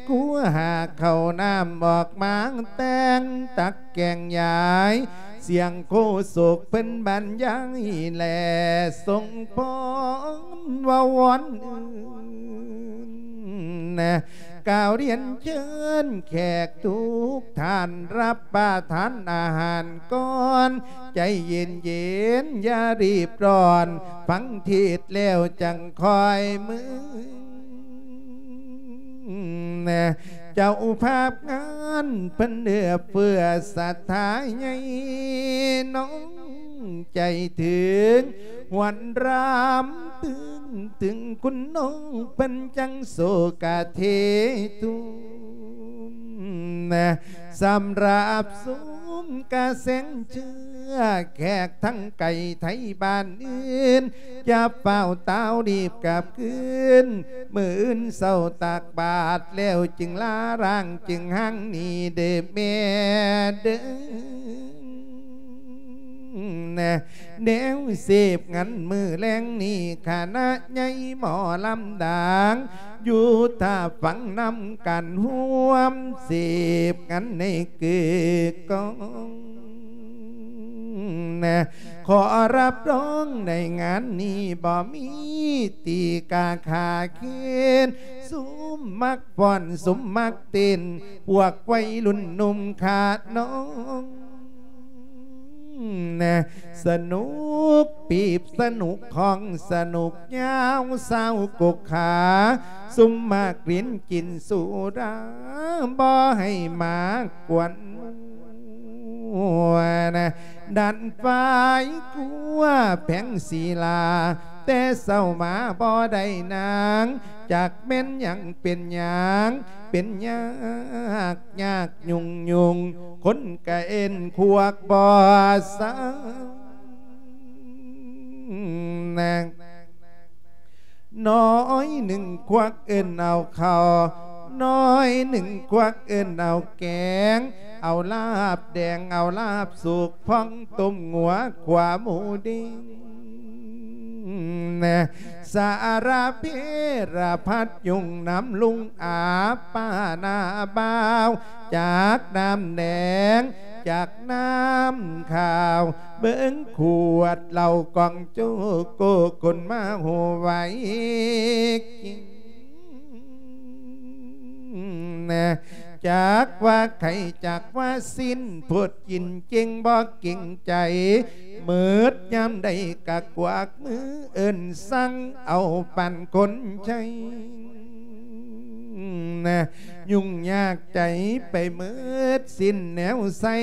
ຄູຫາເຂົ້ານ້ຳອອກມາແຕ່ງຕັກແກງຢາຍ ສຽງໂຄສົກເພິ່ນບັນຍາຍແລະສົ່ງພອນເວົ້າວອນອື່ນ ກ່າວລຽນເຊີນແຂກທຸກທ່ານ ຮັບປະທານອາຫານກ່ອນ ໃຈເຢັນໆ ຢ່າຣີບຮ້ອນ ຟັງເທດແລ້ວຈັ່ງຄ່ອຍມື້ ເຈົ້າພາບງານເພິ່ນເອື້ອເຟື້ອສັດທາໃຫຍ່ ນ້ອງໃຈເຖິງ ຫວນລຳຕຶງ ຕຶງຄຸນນ້ອງເພິ່ນຈັ່ງໂສກະເທທຸມ ສຳລັບຊຸມກະແສງເຊື້ອ ແຂກທັງໄກໄທບ້ານອື່ນ ຢ່າຟ້າວຕ່າວລີບກັບຄືນ ມື້ອື່ນເຊົ້າຕັກບາດແລ້ວຈຶ່ງລາຮ່າງ ຈຶ່ງຮ່າງໜີເດີແມ່ເດີ. ແນວເສບງານມື້ແລງນີ້ ຄະນະໃຫຍ່ໝໍລຳດັງ ຢູ່ຖ້າຟັງນຳກັນຮ່ວມເສບງານໃນກຶກກ້ອງ ຂໍຮັບຮອງໃນງານນີ້ ບໍ່ມີຕີກາຂາເຄນ ຊຸມມັກຟ້ອນ ຊຸມມັກເຕັ້ນ ພວກໄວລຸ້ນໜຸ່ມຂະນ້ອງ ສະໜຸກປີບ ສະໜຸກຂອງ ສະໜຸກຍາວ ຊາວກົກຂາ ຊຸມມັກຫຼິ້ນກິນສຸລາ ບໍ່ໃຫ້ມາກວນ ດັນຝາຍກົວແພງສີລາ ແຕ່ເຊົ້າມາບໍ່ໄດ້ນາງ ຈັກແມ່ນຫຍັງເປັນຫຍັງ ເປັນຍາກຍາກຫຍຸ້ງຫຍຸ້ງ ຄົນກະເອີ້ນຄວກບໍ່ເຊົາ ນ້ອຍໜຶ່ງຄວັກເອີ້ນເອົາເຂົ້າ ນ້ອຍໜຶ່ງຄວັກເອີ້ນເອົາແກງ ເອົາລາບແດງ ເອົາລາບສຸກ ພອງຕົ້ມງົວ ຂົ້ວໝູເດ້ງ ສາລະເພລະພັດ ຍຸ່ງນຳລຸງອາ ປ້າໜ້າບ່າວ ຈັກນ້ຳແດງ ຈັກນ້ຳຂາວ ເບິ່ງຂວດເຫຼົ້າກອງໂຈໂກ ຄົນມາໂຫໄວກິນ ຈັກວ່າໄຂ່ ຈັກວ່າຊີ້ນ ໂພດກິນເກັ່ງບໍ່ເກງໃຈ ໝົດຍາມໃດກະກວັກມືເອີ້ນສັ່ງ ເອົາປານຄົນໃຊ້ ຫຍຸ້ງຍາກໃຈໄປໝົດ ສິ້ນແນວໃສ່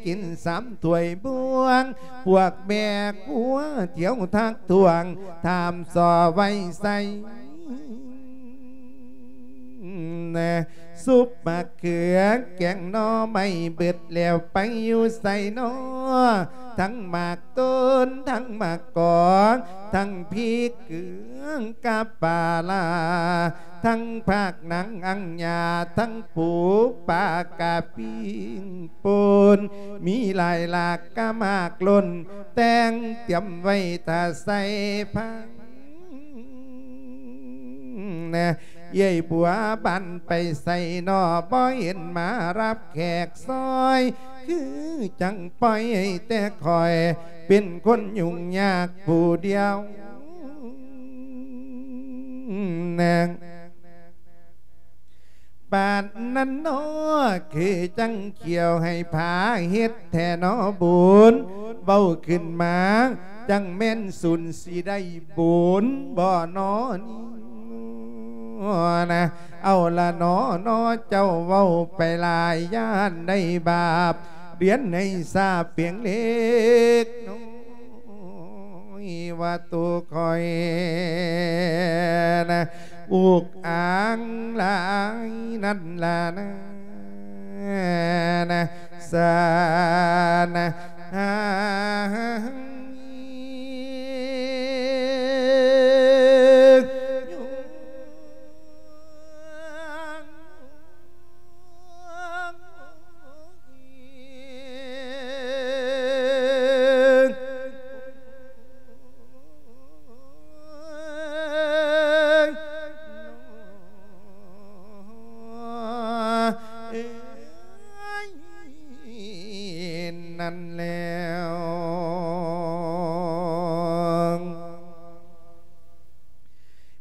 ກິນສາມຖ້ວຍບວງ ພວກແມ່ຄົວທ່ຽວທັກທ້ວງ ຖາມສໍ້ໄວ້ໃສ່ ຊຸບໝາກເຂືອແກງໜໍ່ໄມ້ ເບິດແລ້ວໄປຢູ່ໃສນໍ ທັງໝາກຕົ້ນ ທັງໝາກກອກ ທັງພິກເກືອງກັບປາຫຼ້າ ທັງຜັກໜັງອັງຍາ ທັງປູປາກະປີ້ງປົ່ນ ມີຫຼາຍຫຼາກກະໝາກລົ້ນ ແຕ່ງຕຽມໄວ້ຖ້າໃສ່ພັງ ເອື້ອຍບົວບານໄປໃສນໍ ບໍ່ເຫັນມາຮັບແຂກຊ່ອຍ ຄືຈັ່ງປ່ອຍໃຫ້ແຕ່ຂ້ອຍ ເປັນຄົນຫຍຸ້ງຍາກຜູ້ດຽວ ປານນັ້ນນໍ ຄືຈັ່ງຂ້ຽວໃຫ້ຜາເຮັດແທ້ນໍບຸນ ເວົ້າຂຶ້ນມາຈັ່ງແມ່ນສູນ ຊິໄດ້ບຸນບໍ່ນໍນີ້ນະ ເອົາລະນໍນໍ ເຈົ້າເວົ້າໄປຫຼາຍ ຢ້ານໄດ້ບາບ ລຽນໃຫ້ຊາບພຽງເລັກນ້ອຍ ວ່າໂຕຂ້ອຍນະ ອຸກອາງຫຼາຍນັ້ນລະນາ ນະ ສານະ ຫາ ນັ້ນແລ້ວ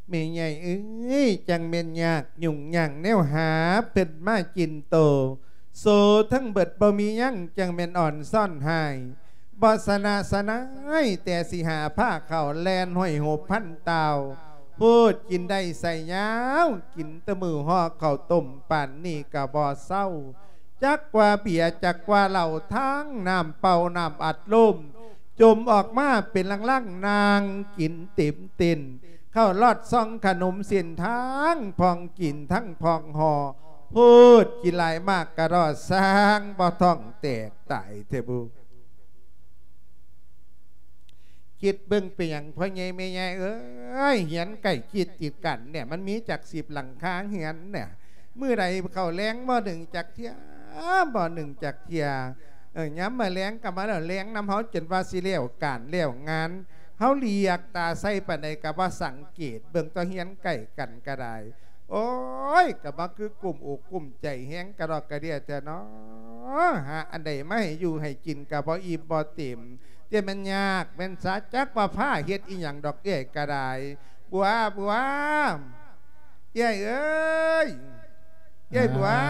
ແມ່ໃຫຍ່ເອີຍ ຈັ່ງແມ່ນຍາກຫຍຸ້ງຍາກແນວຫາເພິ່ນມາກິນໂຕ ໂຊທັງເບິດບໍ່ມີຫຍັງ ຈັ່ງແມ່ນອ່ອນຊ້ອນຮ້າຍ ບໍ່ຊະນະຊະນາຍ ແຕ່ຊິຫາພາເຂົ້າແລ່ນຫ້ອຍຫົບພັນຕ່າວ ໂພດກິນໄດ້ໃສ່ຍາວ ກິນແຕ່ມື້ຫໍ່ເຂົ້າຕົ້ມປານນີ້ກະບໍ່ເຊົາ ຈັກວ່າເບຍ ຈັກວ່າເຫຼົ້າ ທັງນ້ຳເປົ່າ ນ້ຳອັດລົມ ຈົມອອກມາເປັນລັງໆ ນັ່ງກິນເຕັມເຕັ້ນ ເຂົ້າລອດຊ່ອງຂະໜົມເສັ້ນທາງ ພອງກິນທັງພອງຫໍ່ ໂພດກິນຫຼາຍມາກກະດໍ້ ສ້າງບໍ່ທ້ອງແຕກຕາຍແທ້ບຸ. ຄິດເບິ່ງເປັນຫຍັງພໍ່ໃຫຍ່ແມ່ໃຫຍ່ເອີຍ ເຮືອນໃກ້ຊິດຕິດກັນເນຍ ມັນມີຈັກສິບຫຼັງຄາເຮືອນເນຍ ມື້ໃດເຂົ້າແລງບໍ່ໜຶ້ງຈັກເທື່ອ ບໍ່ໜຶ້ງຈັກເທື່ອ ເອີ ຍາມມື້ແລງກໍມາແລ້ວ ແລງນຳເຮົາຈົນວ່າຊິແລ້ວການແລ້ວງານ ເຮົາຫຼຽກຕາໃສ່ປານໃດກໍບໍ່ສັງເກດ ເບິ່ງແຕ່ເຮືອນໃກ້ກັນກໍໄດ້ ໂອ້ຍ ກໍບໍ່ຄືກຸ້ມອົກກຸ້ມໃຈແຮງກະດອກກະເດຍແທ້ເນາະ ຫາອັນໃດມາໃຫ້ຢູ່ໃຫ້ກິນກໍບໍ່ອີ່ມບໍ່ເຕັມ ແຕ່ແມ່ນຍາກແມ່ນສາ ຈັກວ່າພາເຮັດອີ່ຫຍັງດອກເອື້ອຍກໍໄດ້ ບົວ ບົວ ເອື້ອຍເອີຍ ເອື້ອຍບົວ ອ້າ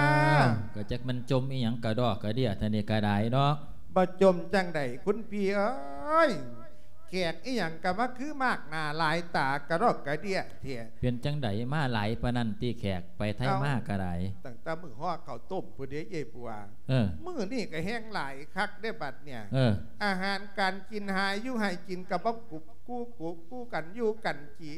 ວ ກໍຈັກມັນຈົ່ມອີ່ຫຍັງກະດອກກະເດຍທ່ານນີ້ກະໄດ້ເນາະ ບໍ່ຈົ່ມຈັ່ງໃດຄຸນພີ່ເອີຍ ແຂກອີ່ຫຍັງກໍມາຄືມາກໜ້າຫຼາຍຕາກະດອກກະເດຍແທ້ ເປັນຈັ່ງໃດມາຫຼາຍປານນັ້ນຕິແຂກ ໄປໄທມາກໍໄດ້ ຕັ້ງແຕ່ມື້ຫໍ່ເຂົ້າຕົ້ມພຸ້ນເດ້ເອື້ອຍບົວ ເອີ ມື້ນີ້ກໍແຮງຫຼາຍຄັກເດ້ບັດເນີ້ຍ ເອີ ອາຫານການກິນຫາຢູ່ໃຫ້ກິນກໍບໍ່ກຸບ ຄູ່ຄູ່ ຄູ່ກັນຢູ່ກັນກິ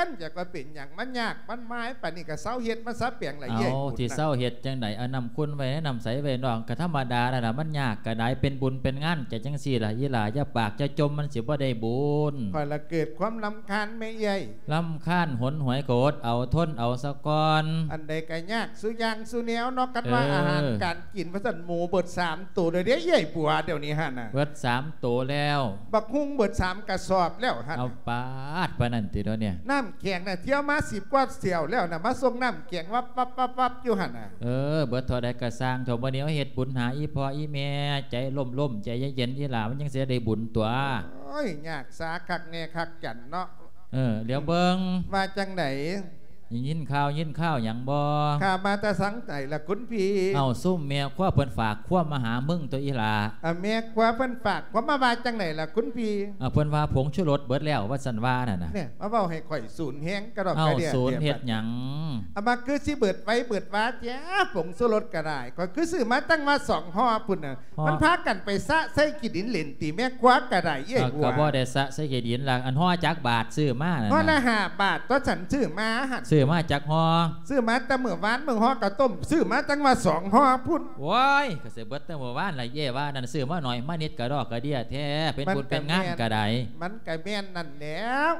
ນ ຈັກວ່າເປັນຫຍັງ ມັນຍາກມັນມາຍປານນີ້ ກໍເຊົາເຮັດມາສາແປງລະ ເອົາ ເອື້ອຍບຸນ ທີ່ເຊົາເຮັດຈັ່ງໃດ ເອົານ້ຳຂຸ່ນໄວ້ໃນນ້ຳໃສໄວ້ນອກ ກໍທຳມະດານັ້ນລະ ມັນຍາກກໍໄດ້ ເປັນບຸນເປັນງານ ຈະຈັ່ງຊີ້ລະ ອີ່ຫຼ້າ ຢ່າປາກຢ່າຈົ່ມ ມັນຊິບໍ່ໄດ້ບຸນ. ຂ້ອຍລະເກີດຄວາມລຳຄານແມ່ເອື້ອຍ ລຳຄານຫົນຫວຍ ກໍອົດເອົາທົນເອົາສະກ່ອນ ອັນໃດກໍຍາກສູ່ຢ່າງສູ່ແນວເນາະ ຄັນວ່າ ເອີ ອາຫານການກິນ ວ່າຊັ້ນ ໝູເບິດສາມໂຕແລ້ວເດ້ ເອື້ອຍບົວ ດຽວນີ້ຫັ້ນນະ ເບິດສາມໂຕແລ້ວ ບັກຫຸ່ງເບິດສາມກະສອບແລ້ວຫັ້ນ ເອົາປາດ ປານນັ້ນຕິດອກນີ້ ນ້ຳແຂງນະ ທ່ຽວມາສິບກວ່າແຖວແລ້ວນະ ມາສົ່ງນ້ຳແຂງວັບໆໆຢູ່ຫັ້ນນະ ເອີ ເບິດເທົ່າໃດກະຊ່າງເຖາະ ມື້ນີ້ເຮົາເຮັດບຸນຫາອີ່ພໍ່ອີ່ແມ່ ໃຈລົມໆ ໃຈເຢັນໆ ອີ່ຫຼ້າ ມັນຈັ່ງຊິໄດ້ບຸນຕົວະ. ໂອ້ຍ ຍາກສາຄັກແນ່ຄັກຈັນເນາະ. ເອີ ຫຼຽວເບິ່ງ ວ່າຈັ່ງໃດ? ໄດ້ຍິນຂ່າວຍິນຂ່າວຫຍັງບໍ່? ຂ່າວມາແຕ່ທາງໃດລະຄຸນພີ່? ເອົາ ຊຸມແມ່ຄົວເພິ່ນຝາກຄວາມມາຫາມຶງຕົວະອີ່ຫຼ້າ. ອາ ແມ່ຄົວເພິ່ນຝາກຄວາມມາວ່າຈັ່ງໃດລະຄຸນພີ່? ອາ ເພິ່ນວ່າຜົງຊູລົດເບິດແລ້ວ ວ່າຊັ້ນວ່ານັ້ນນະ. ແນ່ ມາເວົ້າໃຫ້ຂ້ອຍສູນແຮງກະດອກກະເດຍ. ເອົາ ສູນເຮັດຫຍັງ? ອາ ມາຄືຊິເບິດໄວເບິດວາແທ້ ຜົງຊູລົດກະໄດ້ ຂ້ອຍຄືຊື້ມາຕັ້ງວ່າສອງຫໍ່ພຸ້ນນະ. ອໍ ມັນພາກັນໄປສະໃສ່ຂີ້ດິນເຫຼັ້ນຕິ ແມ່ຄົວກະໄດ້ ເອື້ອຍບົວ. ກໍບໍ່ໄດ້ສະໃສ່ຂີ້ດິນລະ ອັນຫໍ່ຈັກບາດຊື້ມານັ້ນນະ? ຫໍ່ລະຫ້າບາດຕົວະ ສັນຊື້ມາຫັ້ນ. ຊື້ມາຈັກຫໍ່? ຊື້ມາແຕ່ມື້ວານ ມື້ຫໍ່ເຂົ້າຕົ້ມ ຊື້ມາຕັ້ງວ່າສອງຫໍ່ພຸ້ນ. ໂອ້ຍ ກໍຊິເບິດແຕ່ມື້ວານລະ ເອື້ອຍວ່ານັ້ນ ຊື້ມາໜ້ອຍມານິດ ກະດອກກະເດຍແທ້ ເປັນບຸນເປັນງານກະໄດ້. ມັນກະແມ່ນນັ້ນແຫຼ້ວ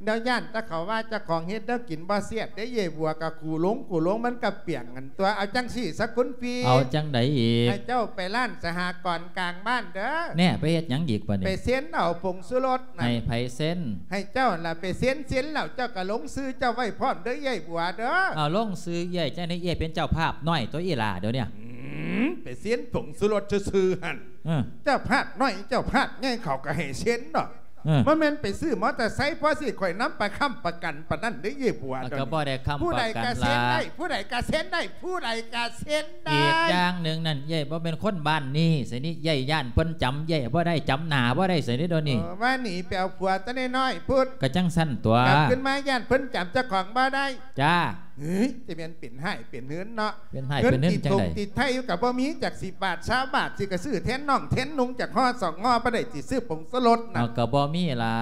ແນວຢ້ານແຕ່ເຂົາວ່າເຈົ້າຂອງເຮັດແນວກິນບໍ່ແຊບເດ້ ເອື້ອຍບົວ ກະຄູລົງຄູລົງ ມັນກະປຽງຫັ້ນຕົວະ. ເອົາຈັ່ງຊີ້ສາຄຸນພີ່ ເອົາຈັ່ງໃດອີກ? ໃຫ້ເຈົ້າໄປຮ້ານສະຫະກອນກາງບ້ານເດີ. ແນ່ ໄປເຮັດຫຍັງອີກບາດນີ້? ໄປເຊັນເອົາຜົງຊູລົດນະ. ໃຫ້ໃຜເຊັນ? ໃຫ້ເຈົ້າລະໄປເຊັນ ເຊັນແລ້ວເຈົ້າກະລົງຊື່ເຈົ້າໄວ້ພ້ອມເດີ ເອື້ອຍບົວເດີ. ເອົາ ລົງຊື່ເອື້ອຍຈັ່ງໃດ? ເອື້ອຍເປັນເຈົ້າພາບນ້ອຍຕົວະ ອີ່ຫຼ້າ ດຽວນີ້. ອືມ ໄປເຊັນຜົງຊູລົດຊື່ໆຫັ້ນ. ເອີ ເຈົ້າພາບນ້ອຍເຈົ້າພາບໃຫຍ່ເຂົາກະໃຫ້ເຊັນດອກ. ເອີ ບໍ່ແມ່ນໄປຊື້ມໍເຕີໄຊພໍຊິຂ້ອຍນຳໄປຄ້ຳປະກັນປານນັ້ນເດ້ ເອື້ອຍບົວ. ເອີ ກໍບໍ່ໄດ້ຄ້ຳປະກັນລະ ຜູ້ໃດກະເຊັນໄດ້ ຜູ້ໃດກະເຊັນໄດ້ ຜູ້ໃດກະເຊັນໄດ້. ອີກຢ່າງໜຶ່ງນັ້ນ ເອື້ອຍບໍ່ແມ່ນຄົນບ້ານນີ້ຊະນີ້ ເອື້ອຍຢ້ານເພິ່ນຈຳເອື້ອຍບໍ່ໄດ້ ຈຳໜ້າບໍ່ໄດ້ຊະນີ້ດຽວນີ້. ເອີ ວ່າໜີໄປເອົາຜົວແຕ່ນ້ອຍໆພຸ້ນ. ກະຈັ່ງຊັ້ນຕົວະ ກັບຄືນມາຢ້ານເພິ່ນຈຳເຈົ້າຂອງບໍ່ໄດ້. ຈ້າ. ເອີຍ ຈະແມ່ນເປັນຮ້າຍເປັນເຮືອນເນາະ. ເປັນຮ້າຍເປັນເຮືອນຈັ່ງໃດ? ເງິນກິນຕົງຕິດໄທຢູ່ກະບໍ່ມີ ຈັກສິບາດຊາວບາດ ຊິກະຊື້ແທນນ້ອງແທນນຸ່ງຈັກຫໍ່ສອງຫໍ່ ບໍ່ໄດ້ຊິຊື້ຜົງຊູລົດນະ. ເອົາ ກະບໍ່ມີລະ.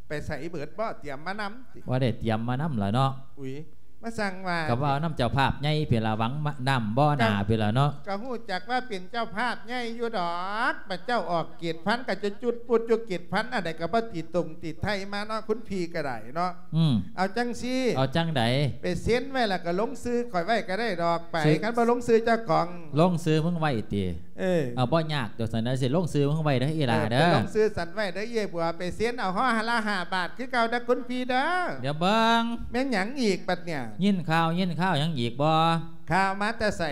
ໄປໃສເບິດ? ບໍ່ຕຽມມານຳຕິ? ບໍ່ໄດ້ຕຽມມານຳລະເນາະ. ອຸ້ຍ ມາສັ່ງວ່າ ກະເວົ້ານຳເຈົ້າພາບໃຫຍ່ພີ້ລະ ຫວັງນຳບໍ່ໜ້າພີ້ລະເນາະ. ກະຮູ້ຈັກວ່າເປັນເຈົ້າພາບໃຫຍ່ຢູ່ດອກ ບາດເຈົ້າອອກເກດພັນກະຈະຈຸດປຸດຢູ່ເກດພັນ ອັນໃດກະບໍ່ຕິດຕົງຕິດໄທມາເນາະ ຄຸນພີ່ກະໄດ້ເນາະ. ອືມ ເອົາຈັ່ງຊີ້ ເອົາຈັ່ງໃດ? ໄປເຊັນໄວ້ລະກະລົງຊື່ຂ້ອຍໄວ້ກະໄດ້ດອກ. ໄປ ຄັນບໍ່ລົງຊື່ເຈົ້າຂອງ ລົງຊື່ມຶງໄວ້ຕິ? ເອີ ເອົາ ບໍ່ຍາກດອກ ຊັ້ນນະ ຊິລົງຊື່ມຶງໄວ້ເດີ ອີ່ຫຼ້າເດີ. ເອີ ໄປລົງຊື່ສັນໄວ້ເດີ ເອື້ອຍບົວ. ໄປເຊັນເອົາຫໍ່ລະຫ້າບາດຄືເກົ່າເດີ ຄຸນພີ່ເດີ. ດຽວເບິ່ງ ແມ່ນຫຍັງອີກບາດນີ້? ຍິນຂ່າວຍິນຂ່າວຫຍັງອີກບໍ່? ຂ່າວມາແຕ່ໃສ?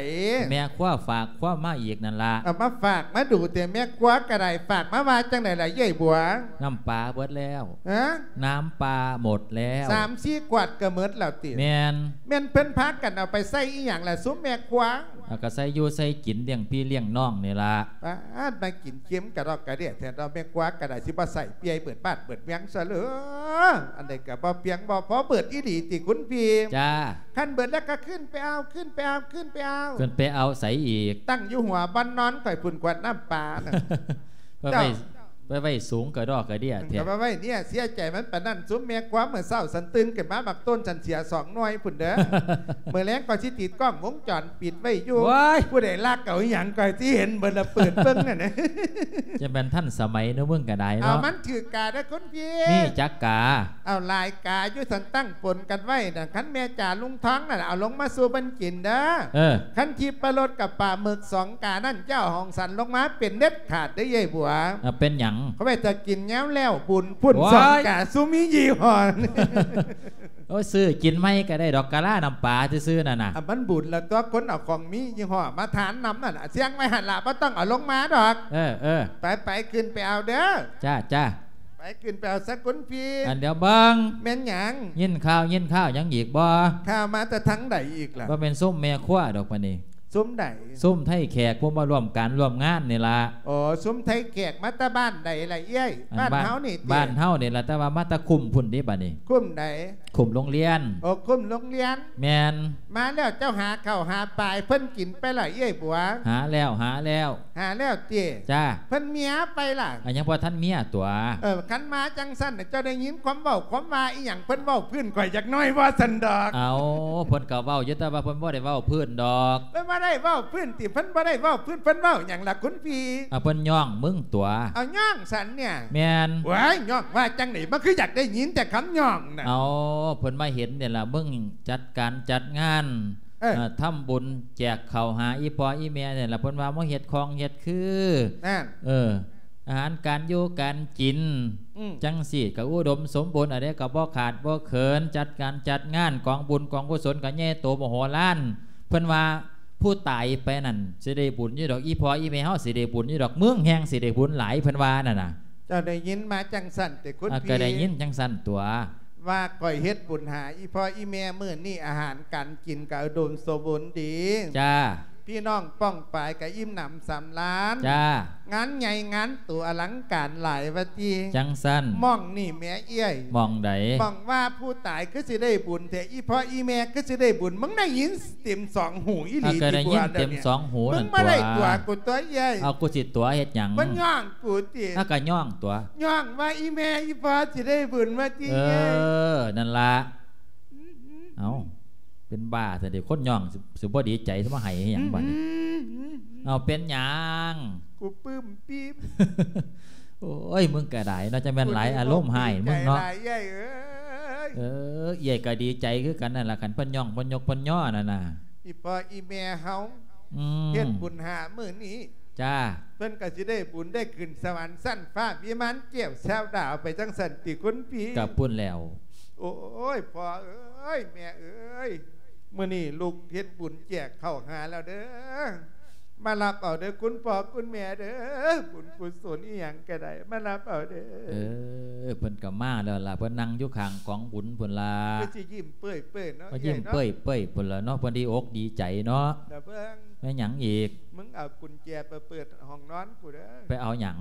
ແມ່ຄົວຝາກຄວາມມາອີກນັ້ນລະ. ເອົາມາຝາກມາດູແຕ່ ແມ່ຄົວກະໄດ້. ຝາກມາວ່າຈັ່ງໃດລະ ເອື້ອຍບົວ? ນ້ຳປາເບິດແລ້ວ. ຮະ? ນ້ຳປາໝົດແລ້ວ. ສາມສີ່ຂວດກະໝົດແລ້ວຕິ? ແມ່ນ. ແມ່ນເພິ່ນພາກັນເອົາໄປໃສ່ອີ່ຫຍັງລະ ຊຸມແມ່ຄົວ? ເອົາ ກະໃສ່ຢູ່ໃສ່ກິນ ລ້ຽງພີ່ລ້ຽງນ້ອງນີ້ລະ. ປາດ ມາກິນເຄັມກະດອກກະເດຍແທ້ເນາະ ແມ່ຄົວກະໄດ້ ຊິບໍ່ໃສ່ປ່ຽຍເບິດບ້ານເບິດເມືອງຊະເລີ. ອັນໃດກະບໍ່ພຽງບໍ່ພໍ ເບິດອີ່ຫຼີຕິຄຸນພີ່? ຈ້າ. ຄັນເບິດແລ້ວກະຂຶ້ນໄປເອົາ ຂຶ້ນໄປເອົາ ຂຶ້ນໄປເອົາ. ຂຶ້ນໄປເອົາໃສອີກ? ຕັ້ງຢູ່ຫົວບ່ອນນອນຂ້ອຍພຸ້ນ ຂວດນ້ຳປານະ. ໄປໄວ້ ໄປໄວ້ສູງກະດອກກະເດຍແທ້. ກະໄປໄວ້ເນຍ ເສຍໃຈມັນປານນັ້ນ. ຊຸມແມ່ຄົວ ມື້ເຊົ້າສັນຕື່ນຂຶ້ນມາ ໝາກຕົ້ນສັນເສຍສອງໜ່ວຍພຸ້ນເດີ. ມື້ແລງກໍຊິຕິດກ້ອງວົງຈອນປິດໄວ້ຢູ່. ໂອ້ຍ ຜູ້ໃດລັກເອົາອີ່ຫຍັງກໍຊິເຫັນເບິດລະ ເປີດເບິ່ງຫັ້ນນະ. ຈະແມ່ນທັນສະໄໝເນາະ ມຶງກະໄດ້ເນາະ. ເອົາ ມັນຖືກກາເດີຄຸນພີ່. ມີຈັກກາ? ເອົາ ຫຼາຍກາຢູ່ ສັນຕັ້ງປົນກັນໄວ້ນະ. ຄັນແມ່ຈາລຸງທອງນັ້ນ ເອົາລົງມາສູ່ເພິ່ນກິນເດີ. ເອີ ຄັນທິບປະລົດກັບປາໝຶກສອງການັ້ນ ເຈົ້າຂອງສັນລົງມາເປັນເດັດຂາດເດີ ເອື້ອຍບົວ. ເອົາ ເປັນຫຍັງ? ເຂົາໄວ້ຖ້າກິນຍາມແລ້ວບຸນພຸ້ນ. ໂອ້ຍ ສອງກາ ຊຸມມີຍີ່ຫໍ້. ໂອ້ຍ ຊື້ກິນໃໝ່ກະໄດ້ດອກ ກະລານ້ຳປາຊື່ໆນັ້ນນະ. ອາ ມັນບຸນລະຕົວະ ຄົນເອົາຂອງມີຍີ່ຫໍ້ມາທານນຳນັ້ນນະ. ສ່ຽງໄວ້ຫັ້ນລະ ບໍ່ຕ້ອງເອົາລົງມາດອກ. ເອີ ເອີ ໄປໆ ຂຶ້ນໄປເອົາເດີ. ຈ້າ ຈ້າ. ໄປຂຶ້ນໄປເອົາຊະຄຸນພີ່. ອັນດຽວເບິ່ງ ແມ່ນຫຍັງ? ຍິນຂ່າວຍິນຂ່າວຫຍັງອີກບໍ່? ຂ່າວມາແຕ່ທາງໃດອີກລະ? ບໍ່ແມ່ນຊຸມແມ່ຄົວດອກບາດນີ້. ຊຸມໃດ? ຊຸມໄທແຂກ ພວກມາຮ່ວມການຮ່ວມງານນີ້ລະ. ໂອ້ ຊຸມໄທແຂກມາແຕ່ບ້ານໃດລະເອື້ອຍ? ອັນ ບ້ານ ບ້ານເຮົານີ້ຕິ? ບ້ານເຮົານີ້ລະ ແຕ່ວ່າມາແຕ່ຄຸ້ມພຸ້ນເດ້ບາດນີ້. ຄຸ້ມໃດ? ຄຸ້ມໂຮງຮຽນ. ໂອ້ ຄຸ້ມໂຮງຮຽນ. ແມ່ນ. ມາແລ້ວເຈົ້າຫາເຂົ້າຫາປາໃຫ້ເພິ່ນກິນໄປລະເອື້ອຍບົວ? ຫາແລ້ວ ຫາແລ້ວ. ຫາແລ້ວຕິ? ຈ້າ. ເພິ່ນເມຍໄປລະ? ອັນ ຍັງບໍ່ທັນເມຍຕົວະ. ເອີ ຄັນມາຈັ່ງຊັ້ນ ເຈົ້າໄດ້ຍິນຄວາມເວົ້າຄວາມວ່າອີ່ຫຍັງ ເພິ່ນເວົ້າພື້ນຂ້ອຍຈັກໜ້ອຍບໍ່ຊັ້ນດອກ? ເອົາ ເພິ່ນກໍເວົ້າຢູ່ ແຕ່ວ່າເພິ່ນບໍ່ໄດ້ເວົ້າພື້ນດອກ. ເພິ່ນບໍ່ໄດ້ເວົ້າພື້ນຕິ? ເພິ່ນບໍ່ໄດ້ເວົ້າພື້ນ ເພິ່ນເວົ້າຫຍັງລະຄຸນພີ່? ເອົາ ເພິ່ນຍ້ອງມຶງຕົວະ. ເອົາ ຍ້ອງສັນເນຍ? ແມ່ນ. ໂອ້ຍ ຍ້ອງວ່າຈັ່ງໃດ? ມັນຄືຢາກໄດ້ຍິນແຕ່ຄຳຍ້ອງນະ. ເອົາ ເພິ່ນມາເຫັນນີ້ລະ ມຶງຈັດການຈັດງານ ເອີ ເອີ ທຳບຸນແຈກເຂົ້າຫາອີ່ພໍ່ອີ່ແມ່ນີ້ລະ ເພິ່ນວ່າມາເຮັດຂອງເຮັດຄື ນັ້ນ ເອີ ອາຫານການຢູ່ການກິນ ອືມ ຈັ່ງຊີ້ກໍອຸດົມສົມບູນ ອັນໃດກໍບໍ່ຂາດບໍ່ເຂີນ ຈັດການຈັດງານ ກອງບຸນກອງກຸສົນກໍໃຫຍ່ໂຕມະໂຫລານ. ເພິ່ນວ່າຜູ້ຕາຍໄປນັ້ນຊິໄດ້ບຸນຢູ່ດອກ ອີ່ພໍ່ອີ່ແມ່ເຮົາຊິໄດ້ບຸນຢູ່ດອກ ເມືອງແຮ່ງຊິໄດ້ບຸນຫຼາຍ ເພິ່ນວ່ານັ້ນນະ. ເຈົ້າໄດ້ຍິນມາຈັ່ງຊັ້ນຕິຄຸນ ອ່າ ພີ່? ກໍໄດ້ຍິນຈັ່ງຊັ້ນຕົວະ. ວ່າຂ້ອຍເຮັດບຸນຫາອີ່ພໍ່ອີ່ແມ່ ມື້ນີ້ອາຫານການກິນກໍອຸດົມສົມບູນດີ. ຈ້າ. ພີ່ນ້ອງປ້ອງປາຍກໍອີ່ມໜຳສຳລານ. ຈ້າ. ງານໃຫຍ່ງານໂຕອະລັງການຫຼາຍວ່າຕິ. ຈັ່ງຊັ້ນ. ໝ່ອງນີ້ແໝເອື້ອຍ. ໝ່ອງໃດ? ໝ່ອງວ່າຜູ້ຕາຍຄືຊິໄດ້ບຸນແທ້ ອີ່ພໍ່ອີ່ແມ່ຄືຊິໄດ້ບຸນ. ມຶງໄດ້ຍິນເຕັມສອງຫູອີ່ຫຼີຕິ? ກໍໄດ້ຍິນເຕັມສອງຫູນັ້ນຕົວະ. ມຶງບໍ່ໄດ້ຕົວະກູຕົວະເອື້ອຍ. ເອົາ ກູຊິຕົວະເຮັດຫຍັງ? ມັນຍ້ອງກູຕິ? ອາ ກໍຍ້ອງຕົວະ. ຍ້ອງວ່າອີ່ແມ່ອີ່ພໍ່ຊິໄດ້ບຸນວ່າຕິ. ເອີ ນັ້ນລະ. ເອົ້າ ເປັນບ້າຊະເດ ຄົນຍ້ອງຊິ ຊິບໍ່ດີໃຈ ຊິມາໄຫ້ອີ່ຫຍັງບາດນີ້? ເອົ້າ ເປັນຫຍັງ? ກູປຶ້ມປິ້ມ. ໂອ້ຍ ມຶງກໍໄດ້ເນາະ ຈັ່ງແມ່ນຫຼາຍອາລົມຮ້າຍມຶງເນາະ. ເອີ ເອື້ອຍກໍດີໃຈຄືກັນນັ້ນລະ ຄັນເພິ່ນຍ້ອງ ເພິ່ນຍົກ ເພິ່ນຍໍນັ້ນນະ. ອີ່ພໍ່ອີ່ແມ່ເຮົາ ອືມ ເຮັດບຸນຫາມື້ນີ້ ຈ້າ ເພິ່ນກໍຊິໄດ້ບຸນໄດ້ຂຶ້ນສະຫວັນຊັ້ນຟ້າວິມານແກ້ວແຊວດາວໄປຈັ່ງຊັ້ນຕິຄຸນພີ່? ກໍພຸ້ນແລ້ວ. ໂອ້ຍ ພໍ່ເອີຍ ແມ່ເອີຍ ມື້ນີ້ລູກເຮັດບຸນແຈກເຂົ້າຫາແລ້ວເດີ ມາຮັບເອົາເດີຄຸນພໍ່ຄຸນແມ່ເດີ ບຸນກຸສົນອີ່ຫຍັງກໍໄດ້ ມາຮັບເອົາເດີ. ເອີ ເພິ່ນກໍມາແລ້ວລະ ເພິ່ນນັ່ງຢູ່ຂ້າງກອງບຸນພຸ້ນລະ ຄືຊິຍິ້ມເປີ້ຍໆເນາະ ກໍຍິ້ມເປີ້ຍໆພຸ້ນລະເນາະ ເພິ່ນດີອົກດີໃຈເນາະ. ລະເບິ່ງ ແມ່ນຫຍັງອີກ? ມຶງເອົາກຸນແຈໄປເປີດຫ້ອງນອນກູເດີ. ໄປເອົາຫຍັງ?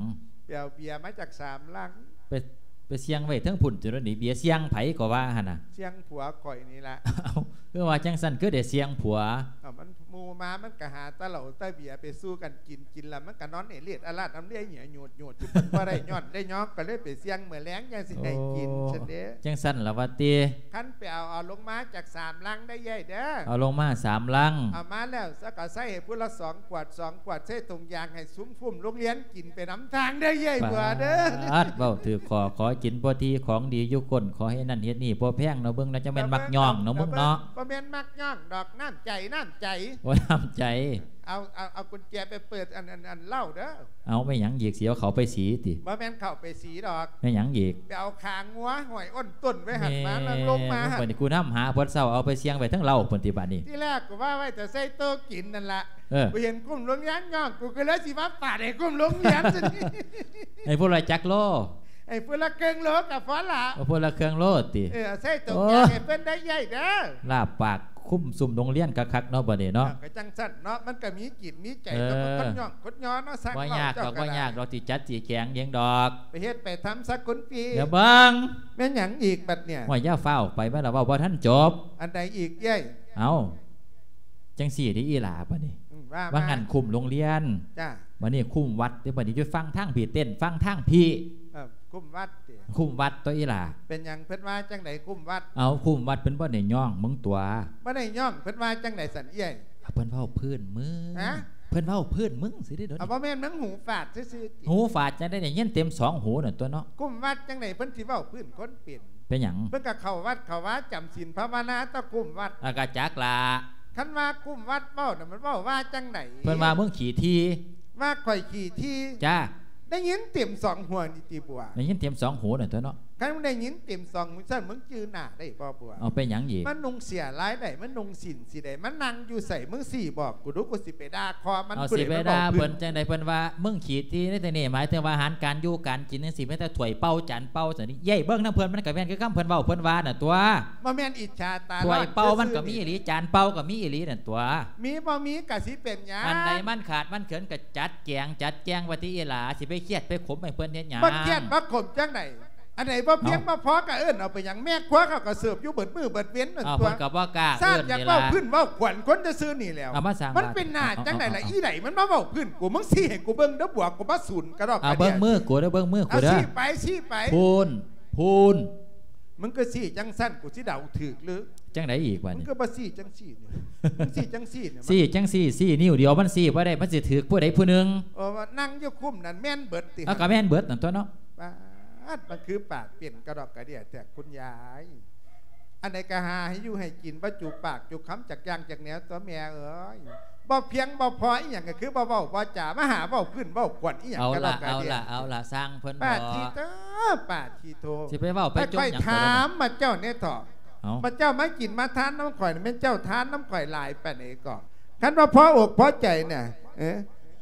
ໄປເອົາເບຍມາຈາກສາມລັງ. ໄປ ໄປສ່ຽງໄວ້ເທິງພຸ້ນ ຈຸດນີ້ເບຍສ່ຽງໃຜກໍວ່າຫັ້ນນະ? ສ່ຽງຜົວຂ້ອຍນີ້ລະ. ເອົ້າ ຄືວ່າຈັ່ງຊັ້ນ ຄືໄດ້ສ່ຽງຜົວ? ເອົ້າ ມັນ ໝູ່ມາມັນກະຫາແຕ່ເຫຼົ້າແຕ່ເບຍໄປສູ່ກັນກິນ ກິນແລ້ວມັນກະນອນເອເລດອາລາດອຳເລຍເຫຍຍໂຫຍດໆ ຢູ່ ເພິ່ນບໍ່ໄດ້ຍ້ອນໄດ້ຍອມ ກໍເລີຍໄປສ່ຽງມື້ແລງຈັ່ງຊິໃຫ້ກິນຊັ້ນເດ້. ຈັ່ງຊັ້ນລະວ່າຕິ? ຄັນໄປເອົາ ເອົາລົງມາຈາກສາມລັງໄດ້ເອື້ອຍເດີ. ເອົາລົງມາສາມລັງ. ເອົາມາແລ້ວຊະກໍໃສ່ໃຫ້ຜູ້ລະສອງຂວດ ສອງຂວດ ໃສ່ຖົງຢາງໃຫ້ຊຸມຟຸ້ມໂຮງຮຽນກິນໄປນຳທາງເດີເອື້ອຍບົວເດີ. ປາດ ເວົ້າຖືກຂໍ້ ຂໍກິນພໍດີ ຂອງດີຢູ່ກົ້ນ ຂໍເຮັດນັ້ນເຮັດນີ້ບໍ່ແພງເນາະ ເບິ່ງເນາະ ຈັ່ງແມ່ນມັກຍ້ອງເນາະ ມຶງເນາະ. ບໍ່ແມ່ນມັກຍ້ອງດອກ ນ້ຳໃຈ ນ້ຳໃຈ. ໂອ້ ນ້ຳໃຈ. ເອົາ ເອົາ ເອົາກຸນແຈໄປເປີດອັນ ອັນ ອັນເຫຼົ້າເດີ. ເອົາ ແມ່ນຫຍັງອີກ ຊິເອົາເຂົ້າໄປສີຕິ? ບໍ່ແມ່ນເຂົ້າໄປສີດອກ. ແມ່ນຫຍັງອີກ? ໄປເອົາຂາງົວຫ້ອຍໂອ້ນຕົ້ນໄວ້ຫັ້ນມາ ແມ່ນ ແລ້ວລົງມາຫັ້ນ. ບັດນີ້ກູນຳຫາເພິ່ນເຊົາ ເອົາໄປສ່ຽງໄວ້ເທິງເຫຼົ້າພຸ້ນຕິບາດນີ້? ທີແລກກໍວ່າໄວ້ແຕ່ໃສ່ໂຕະກິນນັ້ນລະ. ເອີ ກູເຫັນກຸ່ມໂຮງຮຽນຍ້ອງ ກູກໍເລີຍຊິມາປາດໃຫ້ກຸ່ມໂຮງຮຽນຊັ້ນ. ໃຫ້ຜູ້ລະຈັກໂລ? ໃຫ້ຜູ້ລະເຄິ່ງໂລກໍພໍລະ. ເອົາຜູ້ລະເຄິ່ງໂລຕິ? ເອີ ໃສ່ໂຕະ ໂອ້ ໃຫ້ເພິ່ນໄດ້ໃຫຍ່ເດີ. ລາບປາກ ຄຸມຊຸມໂຮງຮຽນຄັກໆເນາະ ບັດນີ້ເນາະ. ເອີ ກໍຈັ່ງຊັ້ນເນາະ ມັນກໍມີຈິດມີໃຈ ເອີ ກັບຄົນຍ້ອງຄົນຍໍເນາະ. ບໍ່ຍາກດອກ ບໍ່ຍາກດອກ ຊິຈັດຊິແຂງເອງດອກ. ໄປເຮັດໄປທຳຊະຄຸນພີ່. ດຽວເບິ່ງ ແມ່ນຫຍັງອີກບັດນີ້? ໂອ້ຍ ຢ່າຟ້າວໄປ ມາລະເວົ້າບໍ່ທັນຈົບ. ອັນໃດອີກເອື້ອຍ? ເອົ້າ ຈັ່ງຊີ້ເດ້ອີ່ຫຼ້າ ບັດນີ້ ອືມ ວ່າ ວ່າ ວ່າ ວ່າ ງານຄຸ້ມໂຮງຮຽນ. ຈ້າ. ບັດນີ້ຄຸ້ມວັດເດ້ ບັດນີ້ຢູ່ຝັ່ງທາງພີ້ ເຕັ້ນຝັ່ງທາງພີ້. ເອີ ຄຸ້ມວັດຕິ? ຄຸ້ມວັດຕົວະອີ່ຫຼ້າ. ເປັນຫຍັງ ເພິ່ນວ່າຈັ່ງໃດຄຸ້ມວັດ? ເອົາ ຄຸ້ມວັດ ເພິ່ນບໍ່ໄດ້ຍ້ອງມຶງຕົວະ. ບໍ່ໄດ້ຍ້ອງ ເພິ່ນວ່າຈັ່ງໃດຊັ້ນເອື້ອຍ? ເພິ່ນເວົ້າພື້ນເມືອງ. ຮະ? ເພິ່ນເວົ້າພື້ນເມືອງຊີ້ເດ້. ເອົາ ບໍ່ແມ່ນ ມັນຫູຝາດຊື່ໆຕິ? ຫູຝາດຈັ່ງໃດ ໄດ້ຍິນເຕັມສອງຫູນັ້ນຕົວະເນາະ. ຄຸ້ມວັດຈັ່ງໃດ ເພິ່ນຊິເວົ້າພື້ນຄົນເປັນ? ເປັນຫຍັງ? ເພິ່ນກໍເຂົ້າວັດເຂົ້າວາ ຈຳສິນພາວະນາ ຕະຄຸ້ມວັດ. ອາ ກະຈັກລະ. ຄັນວ່າຄຸ້ມວັດເວົ້ານະ ມັນເວົ້າວ່າຈັ່ງໃດ? ເພິ່ນວ່າມຶງຂີ້ຖີ່. ວ່າຂ້ອຍຂີ້ຖີ່? ຈ້າ. ໄດ້ຍິນເຕັມສອງຫູນີ້ຕິບົວ? ໄດ້ຍິນເຕັມສອງຫູນັ້ນຕົວະເນາະ. ຄັນໄດ້ຍິນເຕັມສອງຫູຊັ້ນ ມຶງຈື່ໜ້າໄດ້ບໍ່ບົວ? ເອົາ ເປັນຫຍັງອີກ? ມັນນຸ່ງເສື້ອລາຍໃດ? ມັນນຸ່ງສິ້ນສີໃດ? ມັນນັ່ງຢູ່ໃສ? ມຶງຊີ້ບອກກູດູ ກູຊິໄປດ່າຄໍມັນ. ເອົາ ຊິໄປດ່າເພິ່ນຈັ່ງໃດ? ເພິ່ນວ່າມຶງຂີ້ຖີ່ໃນທີ່ນີ້ ໝາຍເຖິງວ່າອາຫານການຢູ່ການກິນຈັ່ງຊີ້ ມີແຕ່ຖ້ວຍເປົາຈານເປົາຊັ້ນນີ້. ເອີຍ ເບິ່ງນຳເພິ່ນ ມັນກໍແມ່ນຄືຄຳເພິ່ນເວົ້າ ເພິ່ນວ່ານັ້ນຕົວະ. ບໍ່ແມ່ນອິດສາຕາຮ້ອນ ຖ້ວຍເປົາມັນກໍມີອີ່ຫຼີ ຈານເປົາກໍມີອີ່ຫຼີນັ້ນຕົວະ. ມີບໍ່ມີກໍຊິເປັນຫຍັງ? ອັນໃດມັນຂາດມັນເຂີນກໍຈັດແຈງ ຈັດແຈງໄວ້ຕິອີ່ຫຼ້າ ຊິໄປຄຽດໄປຂົມໃຫ້ເພິ່ນເຮັດຫຍັງ? ບໍ່ຄຽດບໍ່ຂົມຈັ່ງໃດ? ອັນໃດບໍ່ພຽງບໍ່ພໍກໍເອີ້ນເອົາໄປຫຍັງ? ແມ່ຄົວເຂົາກໍເສີບຢູ່ເບິດມື້ເບິດເວັນນັ້ນຕົວະ. ເພິ່ນກໍບໍ່ກ້າເອີ້ນນີ້ລະ ຢາກເວົ້າພື້ນເວົ້າຂວັນຄົນຊື່ໆນີ້ແລ້ວ. ມັນເປັນໜ້າຈັ່ງໃດລະ? ອີໃດມັນມາເວົ້າພື້ນກູ ມຶງຊີ້ໃຫ້ກູເບິ່ງເດີບົວ ກູມາສູນກະດອກກະເດຍ. ເບິ່ງມືກູເດີ ເບິ່ງມືກູເດີ. ຊີ້ໄປ ຊີ້ໄປ. ພຸ້ນ ພຸ້ນ. ມຶງກໍຊີ້ຈັ່ງຊັ້ນ ກູຊິເດົາຖືກຫຼື? ຈັ່ງໃດອີກບາດນີ້? ມຶງກໍບໍ່ຊີ້ຈັ່ງຊີ້ນີ້ ມຶງຊີ້ຈັ່ງຊີ້ນີ້ ຊີ້ຈັ່ງຊີ້ ຊີ້ນິ້ວດຽວມັນຊີ້ບໍ່ໄດ້ ມັນຊິຖືກຜູ້ໃດຜູ້ໜຶ່ງ. ເອີ ວ່ານັ່ງຢູ່ຄຸ້ມນັ້ນແມ່ນເບິດຕິ? ເອົາ ກໍແມ່ນເບິດນັ້ນຕົວະເນາະ. ປາດ ມັນຄືປາກເປັນກະດອກກະເດຍແທ້ຄຸນຍາຍ. ອັນໃດກໍຫາໃຫ້ຢູ່ໃຫ້ກິນ ບໍ່ຈູປາກຈູຄຳຈັກຢ່າງຈັກແນວຕົວະແມ່ເອີຍ. ບໍ່ພຽງບໍ່ພໍອີ່ຫຍັງ ກໍຄືບໍ່ເວົ້າບໍ່ຈາ ມາຫາເວົ້າພື້ນເວົ້າຂວັນອີ່ຫຍັງກະດອກກະເດຍ. ເອົາລະ ເອົາລະ ເອົາລະ ຊ່າງເພິ່ນເຖາະ. ປາດທິໂທ ປາດທິໂທ ຊິໄປເວົ້າໄປຈົ່ມຫຍັງ? ຂ້ອຍຖາມໝູ່ເຈົ້າແດ່ເຖາະ. ເອົ້າ ໝູ່ເຈົ້າມາກິນມາທານນຳຂ້ອຍນີ້ ແມ່ນເຈົ້າທານນຳຂ້ອຍຫຼາຍປານໃດກໍ? ຄັນວ່າພໍອົກພໍໃຈນະ ເອີ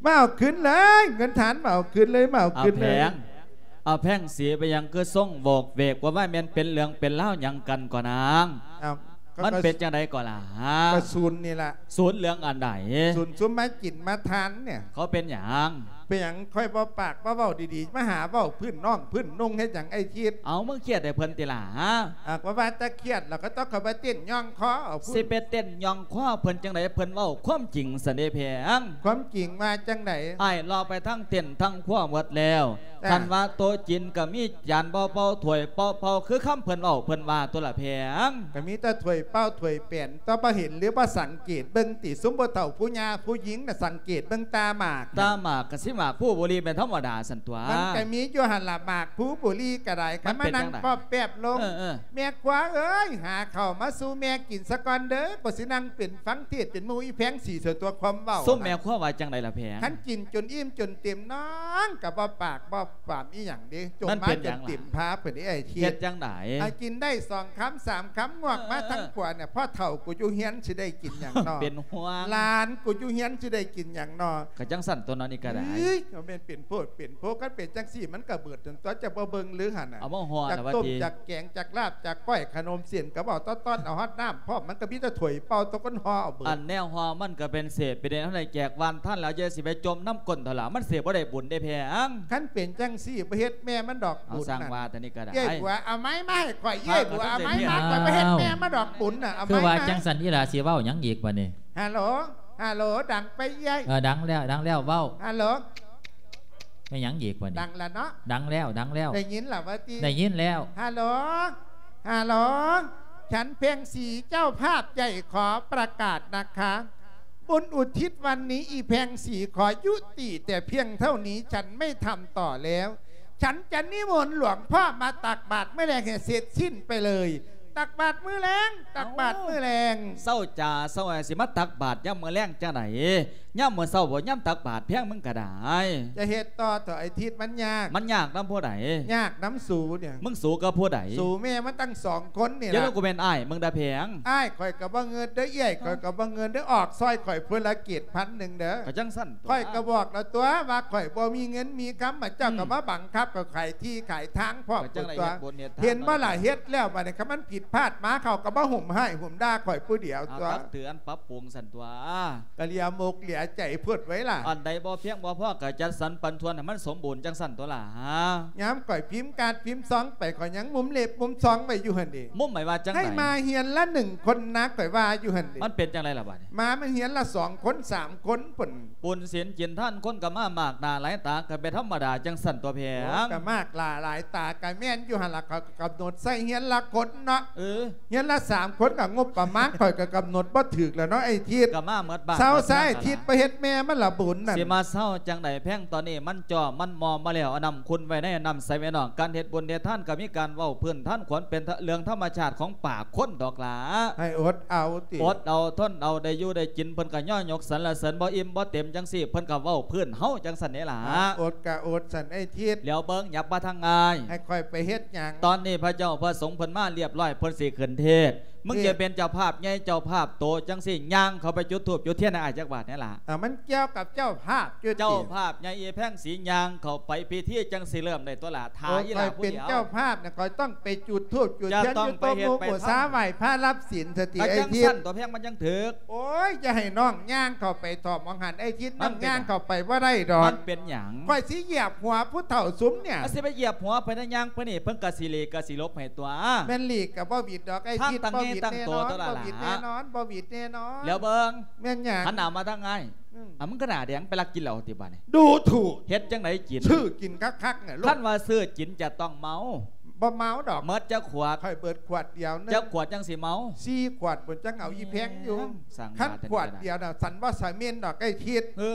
ມາເອົາຄືນເລີຍ ເງິນທານ ມາເອົາຄືນເລີຍ ມາເອົາຄືນເລີຍ. ເອົາແພງ ເອົາແພງສີ ເປັນຫຍັງຄືສົ່ງໂຫວກເວກ ວ່າວ່າແມ່ນເປັນເລື່ອງເປັນລາວຫຍັງກັນກໍນາງ? ເອົ້າ ມັນເປັນຈັ່ງໃດກໍລະ? ກໍສູນນີ້ລະ. ສູນເລື່ອງອັນໃດ? ສູນຊຸມມາກິນມາທານນີ້. ເຂົາເປັນຫຍັງ? ເປັນຫຍັງ? ຂ້ອຍບໍ່ປາກບໍ່ເວົ້າດີໆ ມາຫາເວົ້າພື້ນນ້ອງພື້ນນຸ່ງເຮັດຫຍັງໄອ້ທິດ? ເອົາ ມຶງຄຽດໃຫ້ເພິ່ນຕິລະ? ອາ ກໍວ່າແຕ່ຄຽດລະ ກໍຕ້ອງເຂົ້າໄປເຕັ້ນຍ່ອງຄໍເອົາພຸ້ນ. ຊິໄປເຕັ້ນຍ່ອງຄໍເພິ່ນຈັ່ງໃດ? ເພິ່ນເວົ້າຄວາມຈິງຊັ້ນເດແພງ. ຄວາມຈິງວ່າຈັ່ງໃດ? ອ້າຍເລາະໄປທັງເຕັນທັງຄົວໝົດແລ້ວ. ຄັນວ່າໂຕະຈີນກໍມີຈານເປົ່າເປົ່າ ຖ້ວຍເປົ່າເປົ່າ ຄືຄຳເພິ່ນເວົ້າເພິ່ນວ່າຕົວະລະແພງ. ກໍມີແຕ່ຖ້ວຍເປົ່າຖ້ວຍແປນ ແຕ່ບໍ່ເຫັນຫຼືບໍ່ສັງເກດເບິ່ງຕິ? ຊຸມຜູ້ເຖົ້າຜູ້ຍ່າຜູ້ຍິງນະ ສັງເກດເບິ່ງຕາໝາກ. ຕາໝາກກະຊິໝາກພູບູລີແມ່ນທຳມະດາຊັ້ນຕົວະ. ມັນກະມີຢູ່ຫັ້ນລະ ໝາກພູບູລີກະໄດ້. ຄັນມານັ່ງປ້ອມແປບລົງ ເອີ ເອີ ແມ່ຄົວເອີຍ ຫາເຂົ້າມາສູ່ແມ່ກິນສາກ່ອນເດີ ກໍຊິນັ່ງເປັນຟັງເທດເປັນໝູ່ອີ່ແພງສີສ່ວນຕົວຄວາມເວົ້າ. ຊຸມແມ່ຄົວວ່າຈັ່ງໃດລະແພງ? ຄັນກິນຈົນອີ່ມຈົນເຕັມ ນ້ອງກໍບໍ່ປາກບໍ່ປາມອີ່ຫຍັງເດ້ ຈົ່ມມາຈົນເຕັມພາເພິ່ນເດ້ອ້າຍທິດ. ເຮັດຈັ່ງໃດ? ອາ ກິນໄດ້ສອງຄຳສາມຄຳ ງວກມາທາງຂວານີ້ ເອີ ພໍ່ເຖົ້າກູຢູ່ເຮືອນຊິໄດ້ກິນຫຍັງນໍ? ເປັນຫ່ວງ. ຫຼານກູຢູ່ເຮືອນຊິໄດ້ກິນຫຍັງນໍ? ກໍຈັ່ງຊັ້ນຕົວເນາະ ນີ້ກໍໄດ້. ເອີຍ ກໍແມ່ນເປັນໂພດເປັນໂພ ຄັນເປັນຈັ່ງຊີ້ມັນກໍເບິດຕົນຕົວະ ຈະບໍ່ເບິ່ງຫຼືຫັ້ນນະ? ເອົາມາຮອດ ຈັກຕົ້ມຈັກແກງຈັກລາບຈັກກ້ອຍຂະໜົມເສັ້ນກໍບໍ່ຕ້ອນໆ ເອົາຮອດນ້ຳພ້ອມ ມັນກໍມີແຕ່ຖ້ວຍເປົ່າຕົວະ ຄົນຫໍ່ເອົາເບິດ. ອັນແນວຫໍ່ມັນກໍເປັນເສດເປັນເດນ ເຮົາໄດ້ແຈກວານທ່ານແລ້ວ ຢ່າຊິໄປຈົ່ມນຳກົ້ນເຂົາລະ ມັນຊິບໍ່ໄດ້ບຸນເດ້ແພງ. ຄັນເປັນຈັ່ງຊີ້ບໍ່ເຮັດແມ່ມັນດອກບຸນ. ເອົາ ຊ່າງວ່າແຕ່ນີ້ກໍໄດ້. ເອື້ອຍບົວ ເອົາໄມ້ມາໃຫ້ຂ້ອຍ ເອື້ອຍບົວ ເອົາໄມ້ມາ ຂ້ອຍບໍ່ເຮັດແມ່ມັນດອກບຸນນະ. ເອົາໄມ້ມາ. ຄືວ່າຈັ່ງຊັ້ນ ອີ່ຫຼ້າຊິເວົ້າຫຍັງອີກບາດນີ້? ຮາໂຫຼ ຮາໂຫຼ ດັງໄປເອື້ອຍ. ເອີ ດັງແລ້ວ ດັງແລ້ວ ເວົ້າ. ຮາໂຫຼ ແມ່ນຫຍັງອີກບາດນີ້? ດັງລະເນາະ. ດັງແລ້ວ ດັງແລ້ວ. ໄດ້ຍິນລະວ່າຕິ? ໄດ້ຍິນແລ້ວ. ຮາໂຫຼ ຮາໂຫຼ ສັນເພັງສີເຈົ້າພາບໃຫຍ່ຂໍປະກາດນະຄະ ບຸນອຸທິດວັນນີ້ ອີ່ແພງສີຂໍຍຸຕິແຕ່ພຽງເທົ່ານີ້ ສັນໄມ່ທຳຕໍ່ແລ້ວ. ສັນຈະນິມົນຫຼວງພໍ່ມາຕັກບາດມື້ແລງໃຫ້ເສັດສິ້ນໄປເລີຍ. ຕັກບາດມື້ແລງ ຕັກບາດມື້ແລງ. ເອົ້າ ເຊົ້າຈາເຊົ້າ ຊິມາຕັກບາດຍາມມື້ແລງຈັ່ງໃດ? ຍາມມື້ເຊົ້າບໍ່ ຍາມຕັກບາດແພງມຶງກໍໄດ້. ຈະເຮັດຕໍ່ເຖາະໄອ້ທິດ ມັນຍາກ. ມັນຍາກນຳຜູ້ໃດ? ຍາກນຳສູນີ້. ມຶງສູກັບຜູ້ໃດ? ສູແມ່ມັນຕັ້ງສອງຄົນນີ້ລະ. ຢ່າລະ ກູແມ່ນອ້າຍມຶງດາແພງ. ອ້າຍຂ້ອຍກໍບໍ່ເງິດເດີ ເອື້ອຍຂ້ອຍກໍບໍ່ເງິດເດີ ອອກຊ່ອຍຂ້ອຍຜູ້ລະເຈັດພັນໜຶ່ງເດີ. ກໍຈັ່ງຊັ້ນຕົວະ. ຂ້ອຍກໍບອກແລ້ວຕົວະວ່າຂ້ອຍບໍ່ມີເງິນມີຄຳ ມາເຈົ້າກໍມາບັງຄັບ ກໍຂາຍທີ່ຂາຍທາງພ້ອມຕົວະ. ເຫັນບໍ່ລະ ເຮັດແລ້ວບາດນີ້ ຄັນມັນຜິດພາດມາ ເຂົາກໍມາໂຫມຮ້າຍໂຫມດ່າຂ້ອຍຜູ້ດຽວຕົວະ. ເອົາ ຕັກເຕືອນປັບປຸງຊັ້ນຕົວະ. ກະເຫຼືອມົກເຫຼືອໃຈໂພດໄວ້ລະ. ອັນໃດບໍ່ພຽງບໍ່ພໍກໍຈັດສັນປັນສ່ວນໃຫ້ມັນສົມບູນຈັ່ງຊັ້ນຕົວະລະ. ຍາມຂ້ອຍພິມກາດພິມຊອງໄປ ຂ້ອຍຍັງມຸມເລັບມຸມຊອງໄວ້ຢູ່ຫັ້ນເດ. ມຸມໄວ້ວ່າຈັ່ງໃດ? ໃຫ້ມາເຮືອນລະໜຶ່ງຄົນນະ ຂ້ອຍວ່າຢູ່ຫັ້ນເດ. ມັນເປັນຈັ່ງໃດລະບາດນີ້? ມາມັນເຮືອນລະສອງຄົນສາມຄົນພຸ້ນ. ບຸນສິນກິນທານຄົນກໍມາມາກໜ້າຫຼາຍຕາ ກໍເປັນທຳມະດາຈັ່ງຊັ້ນຕົວະແພງ. ໂອ້ ກໍມາກຫຼາຍຕາ ກໍແມ່ນຢູ່ຫັ້ນລະ ເຂົາກໍກຳນົດໃສ່ເຮືອນລະຄົນເນາະ. ເອີ ເຮືອນລະສາມຄົນກໍງົບປະມານ ຂ້ອຍກໍກຳນົດບໍ່ຖືກແລ້ວເນາະ ໄອ້ທິດ. ກໍມາໝົດບ້ານ ເຊົາຊະ ໄອ້ທິດ ໄປເຮັດແມ່ມັນລະບຸນນັ້ນ. ຊິມາເຊົາຈັ່ງໃດແພງ? ຕອນນີ້ມັນຈ່ອມາແລ້ວ ເອົານ້ຳຂຸ່ນໄວ້ໃນ ເອົານ້ຳໃສ່ໄວ້ນອກ. ການເຮັດບຸນເຮັດທານກໍມີການເວົ້າພື້ນຖານຄວາມເປັນເລື່ອງທຳມະຊາດຂອງປາກຄົນດອກຫຼ້າ. ໃຫ້ອົດເອົາຕິ ອົດເອົາ ທົນເອົາ ໄດ້ຢູ່ໄດ້ກິນ ເພິ່ນກໍຍໍຍົກສັນລະເສີນ. ບໍ່ອີ່ມບໍ່ເຕັມຈັ່ງຊີ້ ເພິ່ນກໍເວົ້າພື້ນເຮົາຈັ່ງຊັ້ນເດ້ຫຼ້າ. ອົດກໍອົດຊັ້ນ ໄອ້ທິດ. ແລ້ວເບິ່ງ ຫຍັບມາທາງອ້າຍ. ໃຫ້ຂ້ອຍໄປເຮັດຫຍັງ? ຕອນນີ້ພະເຈົ້າພະສົງເພິ່ນມາລຽບຮ້ອຍ ເພິ່ນຊິຂຶ້ນເທດ. ມຶງຈະເປັນເຈົ້າພາບໃຫຍ່ເຈົ້າພາບໂຕຈັ່ງຊີ້ ຍ່າງເຂົ້າໄປຈຸດທູບຈຸດທຽນໃຫ້ອ້າຍຈັກບາດແດ່ຫຼ້າ. ເອົາ ມັນກ່ຽວກັບເຈົ້າພາບຢູ່ຕິ? ເຈົ້າພາບໃຫຍ່ອີ່ແພງສີ ຍ່າງເຂົ້າໄປພິທີຈັ່ງຊິເລີ່ມໄດ້ຕົວະຫຼ້າ. ຖ້າອີ່ຫຼ້າຜູ້ດຽວ ຂ້ອຍເປັນເຈົ້າພາບນະ ຂ້ອຍຕ້ອງໄປຈຸດທູບຈຸດທຽນ ຢູ່ໂຕະໝູ່ບູຊາ ໄຫວ້ພະຮັບສິນສະຕິ ໄອ້ທິດ. ຈັ່ງຊັ້ນຕົວະແພງ ມັນຈັ່ງຖືກ. ໂອ້ຍ ຢ່າໃຫ້ນ້ອງຍ່າງເຂົ້າໄປຖອບໝອງຫັ້ນ ໄອ້ທິດ. ນ້ອງຍ່າງເຂົ້າໄປບໍ່ໄດ້ດອກ. ມັນເປັນຫຍັງ? ຂ້ອຍຊິຢຽບຫົວຜູ້ເຖົ້າຊຸມນີ້. ຊິໄປຢຽບຫົວໄປນະ ຍ່າງໄປນີ້ ເພິ່ນກໍຊິຫຼີກກໍຊິຫຼົບໃຫ້ຕົວະ. ແມ່ນຫຼີກກໍບໍ່ຫວິດດອກ ໄອ້ທິດ. ບໍ່ຫວິດແນ່ນອນ ບໍ່ຫວິດແນ່ນອນ ບໍ່ຫວິດແນ່ນອນ. ແລ້ວເບິ່ງ ແມ່ນຫຍັງ? ຫັນໜ້າມາທາງອ້າຍ. ອືມ ອ່າ ມຶງກໍໜ້າແດງ ໄປລັກກິນເຫຼົ້າຕິບາດນີ້. ດູຖູກ ເຮັດຈັ່ງໃດກິນ? ຊື້ກິນຄັກໆ ນະລູກ. ຄັນວ່າຊື້ກິນຈະຕ້ອງເມົາ. ບໍ່ເມົາດອກ. ໝົດຈັກຂວດ? ຂ້ອຍເບິດຂວດດຽວໜຶ່ງ. ຈັກຂວດຈັ່ງຊິເມົາ? ສີ່ຂວດພຸ້ນ ຈັ່ງເອົາອີ່ແພງຢູ່. ຄັນຂວດດຽວນະ ສັນບໍ່ສະເໝັນດອກ ໄອ້ທິດ. ເອີ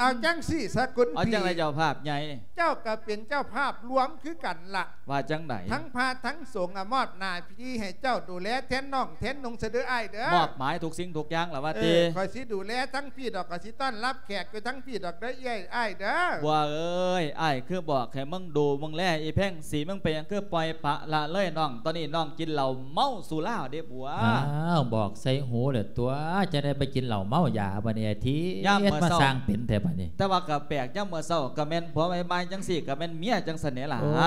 ເອົາຈັ່ງຊີ້ສະ ຄຸນພີ່. ເອົາຈັ່ງໃດເຈົ້າພາບໃຫຍ່? ເຈົ້າກໍເປັນເຈົ້າພາບລວມຄືກັນລະ. ວ່າຈັ່ງໃດ? ທັງພະທັງສົງ ອະ ມອບໜ້າທີ່ໃຫ້ເຈົ້າດູແລແທນນ້ອງແທນນຸ່ງຊະເດີອ້າຍເດີ. ມອບໝາຍທຸກສິ່ງທຸກຢ່າງລະວ່າຕິ. ເອີ ຂ້ອຍຊິດູແລທັງພີ້ດອກ ຂ້ອຍຊິຕ້ອນຮັບແຂກຢູ່ທັງພີ້ດອກເດີ ເອື້ອຍ ອ້າຍເດີ. ບົວເອີຍ ອ້າຍຄືບອກໃຫ້ມຶງດູເບິ່ງແລອີ່ແພງສີ ມຶງເປັນຫຍັງຄືປ່ອຍປະລະເລີຍນ້ອງ? ຕອນນີ້ນ້ອງກິນເຫຼົ້າເມົາສຸລາເດ້ບົວ. ອ້າວ ບອກໃສ່ຫູແລ້ວຕົວະ ຈະໄດ້ໄປກິນເຫຼົ້າເມົາຢາບາດນີ້ ໄອ້ທິດ. ມາສ້າງເປັນແທ້ບາດນີ້. ແຕ່ວ່າກໍແປກ ຍາມມື້ເຊົ້າກໍແມ່ນຜົວ ບ່າຍໆ ຈັ່ງຊີ້ກໍແມ່ນເມຍຈັ່ງຊັ້ນແຫຼະ. ໂອ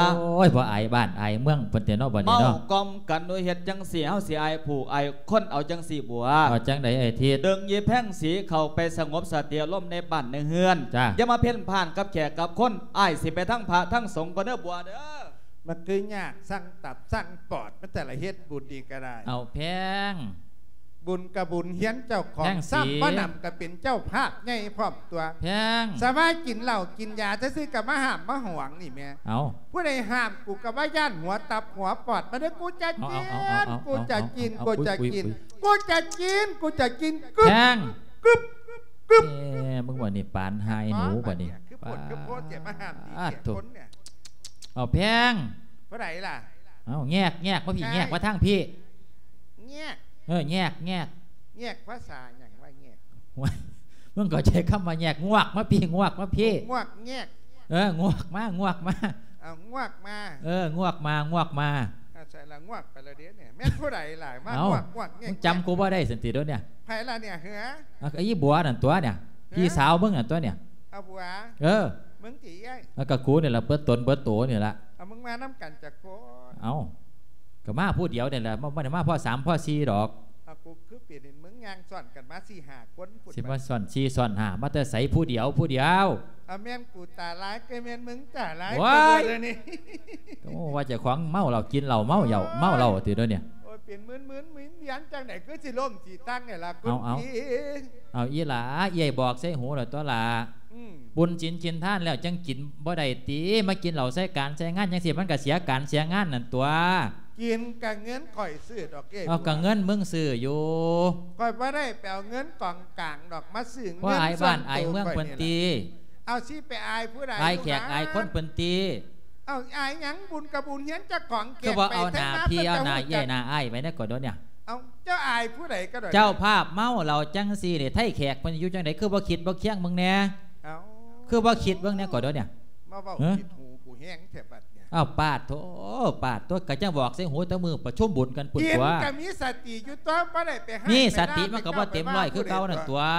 ້ຍ ບໍ່ອາຍບ້ານອາຍເມືອງເພິ່ນແທ້ເນາະບາດນີ້ເນາະ. ເມົາກ່ອມກັນໂດຍເຮັດຈັ່ງຊີ້ ເຮົາຊິອາຍຜູ້ອາຍຄົນເອົາຈັ່ງຊີ້ບົວ. ເອົາຈັ່ງໃດໄອ້ທິດ? ດຶງອີ່ແພງສີເຂົ້າໄປສະຫງົບສະຕິອາລົມໃນບ້ານໃນເຮືອນ. ຢ່າມາເພ້ນພານກັບແຂກກັບຄົນ. ອ້າຍຊິໄປທາງພະທາງສົງກ່ອນເດີບົວເດີ. ມັນຄືຍາກ ສ້າງຕັບສ້າງປອດ ມັນແຕ່ລະເຮັດບຸນນີ້ກໍໄດ້. ເອົາແພງ ບຸນກະບຸນຮຽນເຈົ້າຂອງ ແພງສີ ຊ້ຳບໍ່ໜຳກໍເປັນເຈົ້າພາບໃຫຍ່ພ້ອມຕົວະ. ແພງ ສະວ່າກິນເຫຼົ້າກິນຢາຊື່ໆກໍມາຫ້າມມາຫວງນີ້ແໝ່. ເອົາ ຜູ້ໃດຫ້າມ ກູກໍວ່າຢ້ານຫົວຕັບຫົວປອດ. ມາເດີ ກູຈະກິນ ເອົາ ເອົາ ເອົາ ກູຈະກິນ ເອົາ ກູຈະກິນ ກູຈະກິນ ກູຈະກິນ. ແພງ ກຶບ ກຶບ ເອີ ມຶງວ່ານີ້ປານຫາຍໜູບາດນີ້. ຄືໂພດຄືໂພດ ຈະມາຫ້າມດີແກ່ຄົນນີ້. ເອົາແພງ ຜູ້ໃດລະ? ເອົາແງກ ແງກມາພີ້ ແງກມາທາງພີ້. ແງກ ເອີ ແງກ ແງກ ແງກພາສາຫຍັງວະ? ແງກ ໂອ້ຍ ມຶງເຂົ້າໃຈຄຳວ່າແງກ? ງວກມາພີ້ ງວກມາພີ້. ງວກແງກ ເອີ ງວກມາ ງວກມາ. ເອົາງວກມາ ເອີ ງວກມາ ງວກມາ. ອາ ໃສ່ລະງວກໄປລະເດ້ນີ້. ແມ່ນຜູ້ໃດລະ ມາງວກງວກແງກ? ເອົ້າ ມຶງຈຳກູບໍ່ໄດ້ຊັ້ນຕິໂດນນີ້? ໃຜລະນີ້ເຫືອ? ອ່າ ອີ່ບົວນັ້ນຕົວະນີ້ ພີ່ສາວມຶງນັ້ນຕົວະນີ້. ເອົາບົວ ເອີ ມຶງຕິເອື້ອຍ? ອ່າ ກໍກູນີ້ລະ ເບິດຕົນເບິດໂຕນີ້ລະ. ເອົາ ມຶງມານຳກັນຈັກຄົນ? ເອົ້າ ກໍມາຜູ້ດຽວນີ້ແຫຼະ ບໍ່ ບໍ່ໄດ້ມາພໍ້ສາມພໍ້ສີ່ດອກ. ເອົາ ກູຄືເປັນ ເຫັນມຶງຍ່າງຊ້ອນກັນມາສີ່ຫ້າຄົນພຸ້ນ. ຊິມາຊ້ອນສີ່ຊ້ອນຫ້າມາແຕ່ໃສ? ຜູ້ດຽວ ຜູ້ດຽວ. ເອົາ ແມ່ນກູຕາຫຼາຍ ກໍແມ່ນມຶງຕາຫຼາຍ. ໂອ້ຍ ເດີນີ້ ໂອ້ ວ່າເຈົ້າຂອງເມົາເຫຼົ້າ ກິນເຫຼົ້າເມົາເຫຼົ້າ ເມົາເຫຼົ້າຕິໂດນນີ້. ໂອ້ຍ ເປັນໝື່ນໆ ໝື່ນວຽນຈັ່ງໃດ ຄືຊິລົ້ມຊິຕັ້ງນີ້ລະ ຄຸນພີ່. ເອົາ ເອົາ ອີ່ຫຼ້າ ເອື້ອຍບອກໃສ່ຫູແລ້ວຕົວະຫຼ້າ. ອືມ ບຸນສິນກິນທານແລ້ວຈັ່ງກິນບໍ່ໄດ້ຕິ? ມາກິນເຫຼົ້າໃສ່ການໃສ່ງານຈັ່ງຊີ້ ມັນກະເສຍການເສຍງານນັ້ນຕົວະ. ກິນກະເງິນຂ້ອຍຊື້ດອກເອ້ຍ. ເອົາ ກະເງິນມຶງຊື້ຢູ່. ຂ້ອຍບໍ່ໄດ້ໄປເອົາເງິນກອງກາງດອກມາຊື້ເງິນ. ບໍ່ອາຍບ້ານອາຍເມືອງເພິ່ນຕິ? ເອົາ ຊິໄປອາຍຜູ້ໃດ? ອາຍແຂກອາຍຄົນເພິ່ນຕິ? ເອົາ ອາຍຫຍັງ? ບຸນກະບຸນຮຽນເຈົ້າຂອງແຂກ. ຄືບໍ່ເອົາໜ້າພີ່ເອົາໜ້າເອື້ອຍໜ້າອ້າຍໄວ້ແດ່ກໍໂດນນີ້. ເອົາ ເຈົ້າອາຍຜູ້ໃດກໍໂດນ. ເຈົ້າພາບເມົາເຫຼົ້າຈັ່ງຊີ້ນີ້ ໄທແຂກເພິ່ນຢູ່ຈັ່ງໃດ ຄືບໍ່ຄິດບໍ່ຄຽງເບິ່ງແດ່? ເອົ້າ ຄືບໍ່ຄິດເບິ່ງແດ່ກໍໂດນນີ້. ມາເວົ້າຜິດຫູກູແຮງແທ້ບັດນີ້. ອ້າວ ປາດໂທ້ ປາດໂທ້ ກະຈັ່ງບອກໃສ່ຫູແຕ່ມື້ປະຊຸມບຸນກັນພຸ້ນຕົວະ. ກິນກະມີສະຕິຢູ່ຕົວະ ບໍ່ໄດ້ໄປຮ້າຍ ມີສະຕິມັນກະບໍ່ເຕັມຮ້ອຍຄືເກົ່ານັ້ນຕົວະ.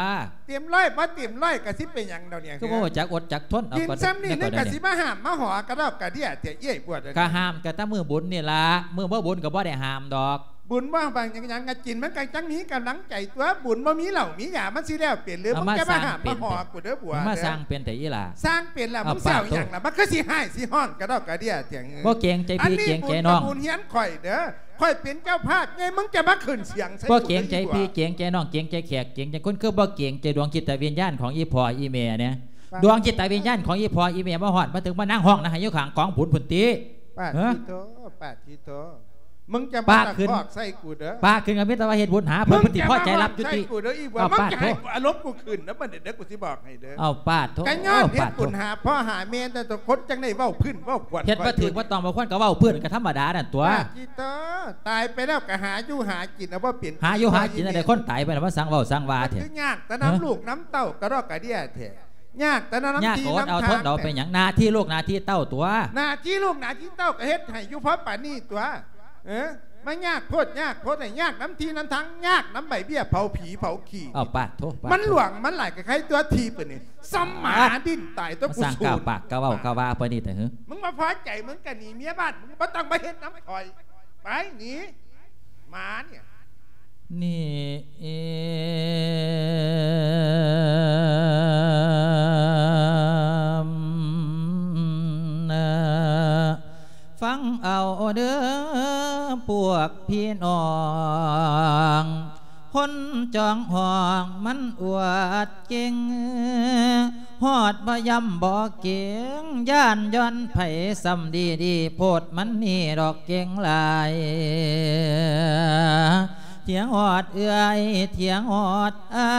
ເຕັມຮ້ອຍບໍ່ເຕັມຮ້ອຍກະຊິເປັນຫຍັງດອກນີ້? ຄືບໍ່ຮູ້ຈັກອົດຈັກທົນ. ເອົາ ກິນຊ່ຳນີ້ ກະຊິມາຫ້າມມາຫໍກະດອກກະເດຍແທ້ເອື້ອຍບວດ. ກະຫ້າມກະແຕ່ມື້ບຸນນີ້ລະ ມື້ບໍ່ບຸນກະບໍ່ໄດ້ຫ້າມດອກ. ບຸນບໍ່ບາງຫຍັງຫຍັງ ກະກິນມັນກະຈັ່ງມີກຳລັງໃຈຕົວະ. ບຸນບໍ່ມີເຫຼົ້າມີຢາ ມັນຊິແລ້ວເປັນຫຼື? ມຶງຈະມາຫ້າມມາຫໍກູເດີບົວ. ມາສ້າງເປັນແທ້ອີ່ຫຼ້າ. ສ້າງເປັນລະ ມຶງຊິເອົາຫຍັງລະ? ມັນຄືຊິຮ້າຍຊິຮ້ອນກະດອກກະເດຍແທ້. ບໍ່ເກງໃຈພີ່ເກງໃຈນ້ອງ. ອັນນີ້ບຸນກະບຸນຮຽນຂ້ອຍເດີ ຂ້ອຍເປັນເຈົ້າພາບໃຫຍ່ ມຶງຈະມາຂຶ້ນສຽງໃສ່ກູເດີ. ບໍ່ເກງໃຈພີ່ເກງໃຈນ້ອງ ເກງໃຈແຂກເກງໃຈຄົນ ຄືບໍ່ເກງໃຈດວງຈິດຕະວິນຍານຂອງອີ່ພໍ່ອີ່ແມ່ແດ່? ດວງຈິດຕະວິນຍານຂອງອີ່ພໍ່ອີ່ແມ່ມາຮອດມາເຖິງ ມານັ່ງຮ້ອງນະໄຫ້ຢູ່ຂ້າງກອງບຸນພຸ້ນຕິ. ປາດທິໂທ ປາດທິໂທ. ມຶງຈະມາຕະຄອກໃສ່ກູເດີ ປາກຂຶ້ນກໍມີແຕ່ວ່າເຮັດບຸນຫາເພິ່ນ ເພິ່ນຊິພໍໃຈຮັບຈຸຕິ ເອົາປາດໂທ ອາລົມກູຂຶ້ນນະບັດນີ້ເດີ ກູຊິບອກໃຫ້ເດີ ເອົາປາດໂທ ກະຍ້ອນເຮັດບຸນຫາພໍ່ຫາແມ່ແຕ່ຕົວຄົນ ຈັ່ງໄດ້ເວົ້າພື້ນເວົ້າຄວນ ເຮັດບໍ່ຖືກບໍ່ຕ້ອງບໍ່ຄວນກໍເວົ້າພື້ນ ກໍທຳມະດານັ້ນຕົວະ ຕາຍໄປແລ້ວກໍຫາຢູ່ຫາກິນ ເອົາບໍ່ເປັນ ຫາຢູ່ຫາກິນໄດ້ ຄົນຕາຍໄປແລ້ວມາສັງເວົ້າສັງວ່າແທ້ ຄືຍາກແຕ່ນຳລູກນຳເຕົ້າ ກະດອກກະເດຍແທ້ ຍາກແຕ່ນຳ ຍາກກໍອົດເອົາທົນເອົາ ເປັນຫຍັງ ໜ້າທີ່ລູກໜ້າທີ່ເຕົ້າຕົວະ ໜ້າທີ່ລູກໜ້າທີ່ເຕົ້າກໍເຮັດໃຫ້ຢູ່ພໍປານນີ້ຕົວະ ເອີ ມາຍາກໂພດຍາກໂພດ ຍາກນຳທີ່ນຳທາງ ຍາກນຳໃບເບ້ຍເຜົາຜີເຜົາຂີ້ ເອົາປາດໂທ ມັນຫຼວງມັນຫຼາຍ ກະໄຄຕົວະທີ່ປານນີ້ ສຳມາດິນຕາຍຕົວະ ກູສູນ ປາກປາກກະເວົ້າກະວ່າປານນີ້ແທ້ຫື ມຶງບໍ່ພໍໃຈ ມຶງກະໜີເມຍບ້ານ ມຶງບໍ່ຕ້ອງມາເຮັດນຳຂ້ອຍ ໄປໜີ ໝານີ້ ນີ້ ຟັງເອົາເດີພວກພີ່ນ້ອງ ຄົນຈອງຫ້ອງມັນອວດເກັ່ງ ຮອດບໍ່ຢ້ຳບໍ່ເກງ ຢ້ານຍ້ອນໃຜສ່ຳດີໆ ໂພດມັນນີ້ດອກເກັ່ງຫຼາຍ ຖຽງຮອດເອື້ອຍ ຖຽງຮອດອ້າ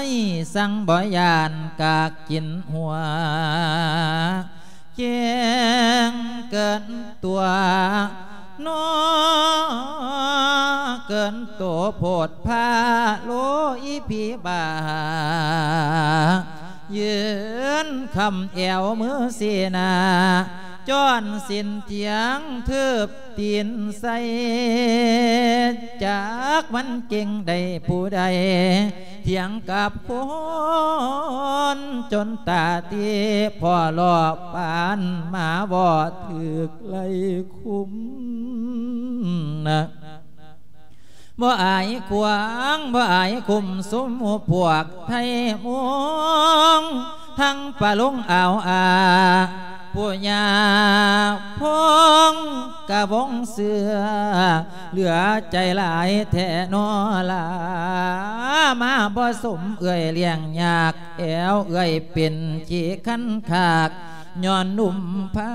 ຍ ສັງບໍ່ຢ້ານກາກກິນຫົວ ເກັ່ງເກີນຕົວ ນອເກີນໂຕໂພດພາໂລອີຜີບ້າ ຢືນຄ້ຳແອວມືຊີ້ໜ້າ ຈ້ອນສິ້ນຖຽງ ຖືບຕີນໃສ່ ຈັກມັນເກັ່ງໄດ້ຜູ້ໃດ ຖຽງກັບຄົນຈົນຕາຕີ ພໍຫຼໍ່ປານໝາບໍ່ຖືກໄລ່ຄຸມນະ ບໍ່ອາຍຂວາງ ບໍ່ອາຍຄຸມ ຊຸມໝູ່ພວກໄທມົງ ທັງປະລຸງອາວອາ ຜູ້ຍາພົງກະວົງເສືອ ເຫຼືອໃຈຫຼາຍແທ້ນໍລາ ມາບໍ່ສົມເອື້ອຍລ້ຽງຍາກ ແອວເອື້ອຍເປັນຂີ້ຄັນຄາກ ຍ້ອນໜຸ່ມພາ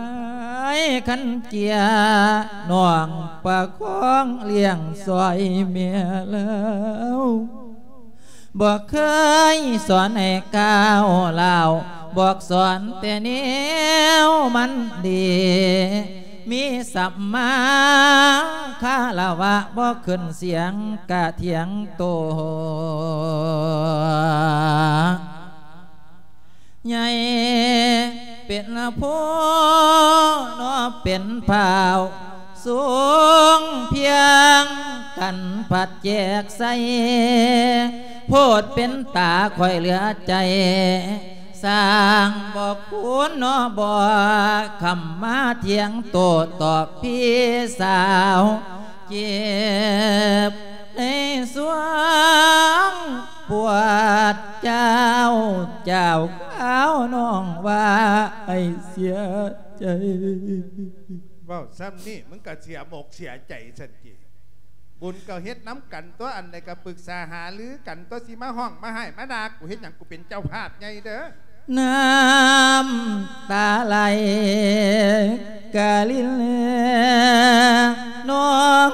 ຍຄັນເກຍ ນ້ອງປະຄອງລ້ຽງຊ່ອຍແມ່ລາວ ບໍ່ເຄີຍສອນໃຫ້ກ້າວລາວ ບອກສອນແຕ່ແນວມັນດີ ມີສັມມາຄາລະວະ ບໍ່ຂຶ້ນສຽງກະຖຽງໂຕ ໃຫຍ່ເປັນຜູ້ ເນາະເປັນພ້າວ ສູງພຽງກັນພັດແຈກໃສ່ ໂພດເປັນຕາຂ້ອຍເຫຼືອໃຈ ສ້າງບໍ່ຄູນເນາະບໍ່ ຄຳມາຖຽງໂຕ້ຕອບພີ່ສາວ ເຈັບໃນສວງປວດເຈົ້າ ເຈົ້າຂາວນ້ອງວ່າໃຫ້ເສຍໃຈ. ເວົ້າຊ່ຳນີ້ ມຶງກະເສຍອົກເສຍໃຈຊັ້ນຕິ. ບຸນກໍເຮັດນຳກັນຕົວະ ອັນໃດກໍປຶກສາຫາລືກັນຕົວະ ຊິມາຮ້ອງມາໄຫ້ມາດ່າກູເຮັດຫຍັງ? ກູເປັນເຈົ້າພາບໃຫຍ່ເດີ. ນ້ຳຕາໄຫຼກະລິນນອງ.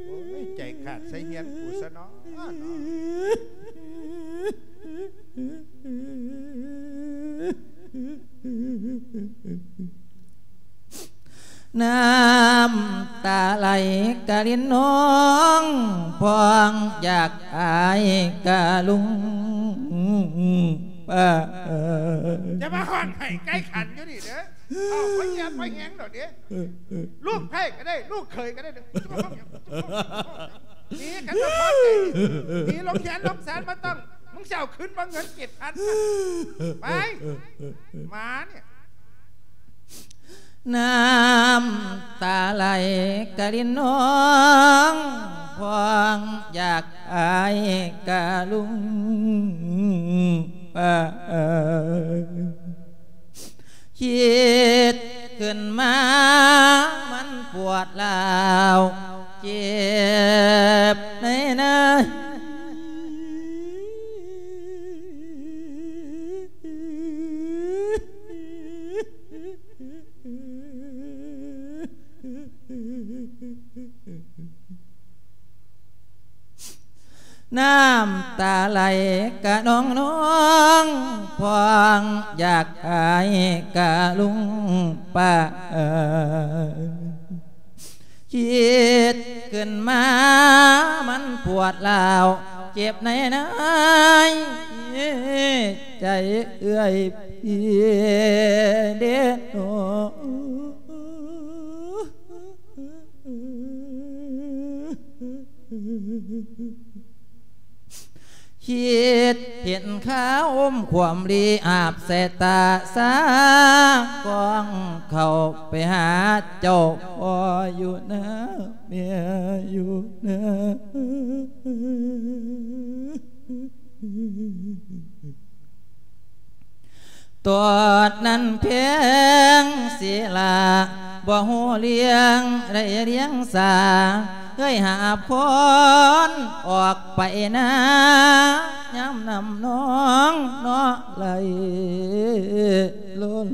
ໂອ້ຍ ໃຈຂາດໃສ່ເຮືອນກູຊະເນາະ. ນ້ຳຕາໄຫຼກະລິນນອງ ພ້ອງຢາກອາຍກະລຸງປາ. ຢ່າມາຮ້ອງໄຫ້ໄກ່ຂັນຢູ່ນີ້ເດີ. ເອົາ ບໍ່ເຫຍບໍ່ແຮງດອກເດ້. ລູກໃພ້ກໍໄດ້ ລູກເຂີຍກໍໄດ້ເດີ. ໜີກັນສະເພາະໃຈ ໜີລົງແຂນລົງສານບໍ່ຕ້ອງ. ມຶງຊິເອົາຄືນບໍ່ເງິນເຈັດພັນນະ? ໄປ ໝານີ້. ນ້ຳຕາໄຫຼກະລິນນອງ ພ້ອງຢາກອາຍກະລຸງປາ. ຄິດຂຶ້ນມາມັນປວດຮ້າວ ເຈັບໃນໃນ. ນ້ຳຕາໄຫຼກະນອງໆ ພ້ອງຢາກອາຍກະລຸງປາ ຄິດຂຶ້ນມາມັນປວດຮ້າວ ເຈັບໃນໃນໃຈເອື້ອຍພີ່ເດໂນ. ຄິດເຫັນຄາອົມຄວາມລີ ອາບສາຍຕາສາກອງ ເຂົ້າໄປຫາເຈົ້າພໍ່ຢູ່ນາ ແມ່ຢູ່ນາ. ຕອນນັ້ນແພງສີລາ ບໍ່ຮູ້ລ້ຽງໄດ້ລ້ຽງສາ ເອີຍຫາບຄອນອອກໄປນາ ຍາມນ້ຳນອງເນາະໄຫຼລົ້ນ.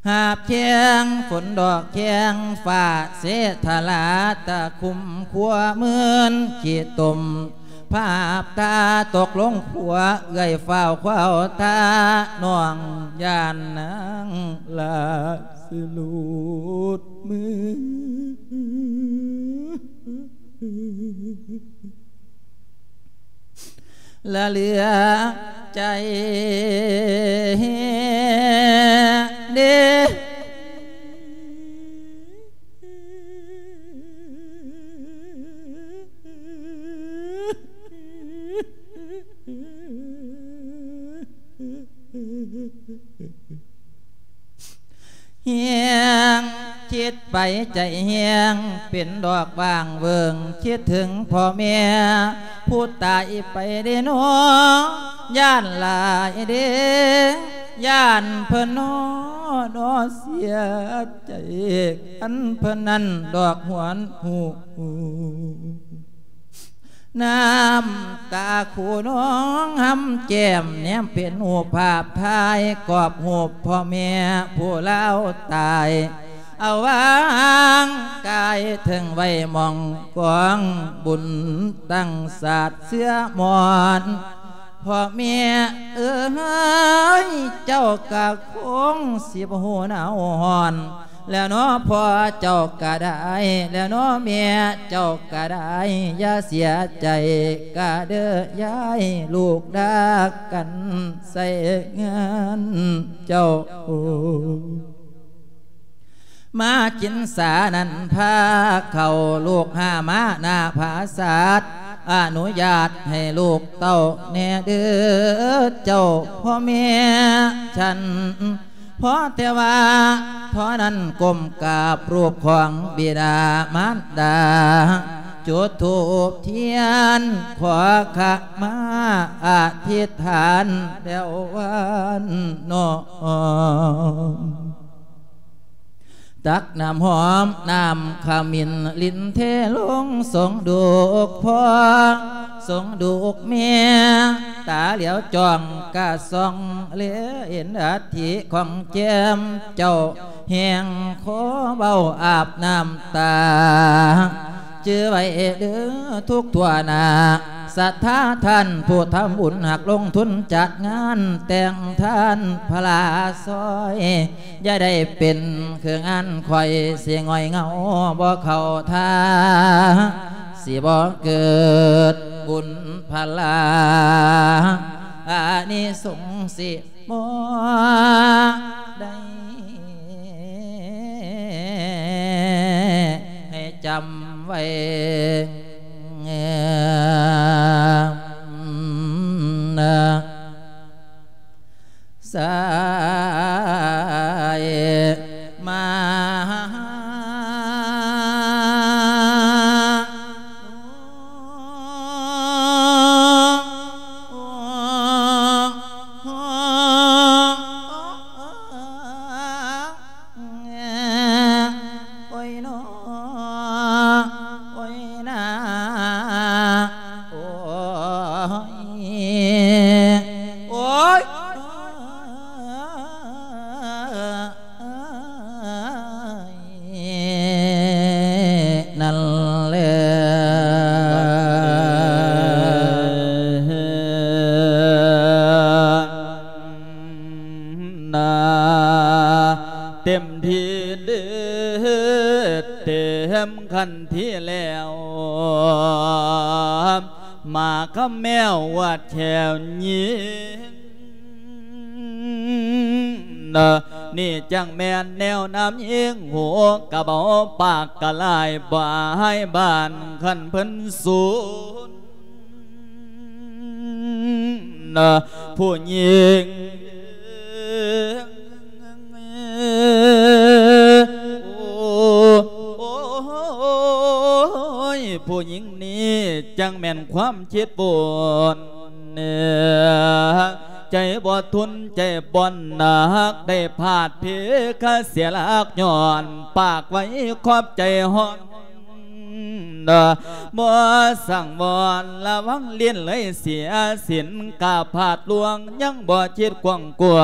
ຫາບແຄງຝົນດອກແຄງຟ້າເສດຖະລາ ຕະຄຸ່ມຄົວໝື່ນຂີ້ຕົມ ພາບຕາຕົກລົງຂົວ ເອື້ອຍຟ້າວຄວ້າວທ່າ ນ້ອງຢ້ານນາງລາຊິຫຼຸດມື. ລະເຫຼືອໃຈເດ້ ແຮງຄິດໄປໃຈແຮງເປັນດອກຫວ່າງເຫວີງ ຄິດເຖິງພໍ່ແມ່ຜູ້ຕາຍໄປເດ້ນໍ ຢ້ານຫຼາຍເດ້ ຢ້ານເພິ່ນນໍ ນໍເສຍໃຈ ອັນເພິ່ນນັ້ນດອກຫວນຫູ. ນ້ຳຕາຄູນອງຫຳແກ້ມ ແນມເປັນຮູບພາບຖ່າຍ ກອບຮູບພໍ່ແມ່ຜູ້ລາວຕາຍ ເອົາວາງກາຍເທິງໄວ້ໝ່ອງກອງບຸນຕັ້ງສາດເຊື້ອມອນ. ພໍ່ແມ່ເອີຍ ເຈົ້າກະຄົງຊິບໍ່ຮູ້ໜາວຮ້ອນ ແລ້ວນໍພໍ່ເຈົ້າກະໄດ້ ແລ້ວນໍແມ່ເຈົ້າກະໄດ້ ຢ່າເສຍໃຈກະເດີຍາຍ ລູກດາກັນໃສ່ງານເຈົ້າ. ມາກິນສານັ້ນພາເຂົ້າ ລູກຫ້າມາໜ້າຜາສາດ ອະນຸຍາດໃຫ້ລູກເຕົ້າແດ່ເດີເຈົ້າພໍ່ແມ່ ຊັ້ນພໍແຕ່ວ່າທໍ່ນັ້ນກົ້ມກາບຮູບຂອງບິດາມານດາ ຈຸດທູບທຽນຂໍຂະມາອະທິດຖານແລ້ວວານນ້ອມ ຕັກນ້ຳຫອມນ້ຳຂະມິນ ລິນເທລົງສົງດູກພໍ່ ສົງດູກແມ່ ຕາຫຼຽວຈ້ອງກະສ່ອງ ແລເຫັນອັດຖິຂອງແຈມເຈົ້າ ແຮງຂໍເວົ້າອາບນ້ຳຕາ. ຈື່ໄວ້ເດີທຸກທົ່ວໜ້າ ສັດທາທ່ານຜູ້ທຳບຸນ ຫາກລົງທຶນຈັດງານແຕ່ງທ່ານພະລາຊ່ອຍ ຢ່າໄດ້ເປັນຄືງານຂ້ອຍ ຊິຫງອຍເຫງົາບໍ່ເຂົ້າທ່າ ຊິບໍ່ເກີດບຸນພະລາ ອານິສົງສິບໍ່ໄດ້ ໃຫ້ຈຳໄວ້ ສາຍມາ ຄຳແມວອວດແຂວຍິງ ນີ້ຈັ່ງແມ່ນແນວນຳຍິງ ຫູກະເບົາປາກກະລາຍ ບໍ່ໃຫ້ບ້ານຄັນເພິ່ນສູນ ນະ ຜູ້ຍິງ ໂອ້ຍ ຜູ້ຍິງນີ້ຈັ່ງແມ່ນຄວາມຄິດບຸນ ໃຈບໍ່ທົນ ໃຈບໍ່ໜັກ ໄດ້ພາດເພກະເສຍຫຼັກ ຍ້ອນປາກໄວ້ຂອບໃຈຮ້ອນ ບໍ່ສັງວອນ ລະວັງຫຼິ້ນເລີຍເສຍສິນ ກະພາດລ່ວງ ຍັງບໍ່ຄິດກວ້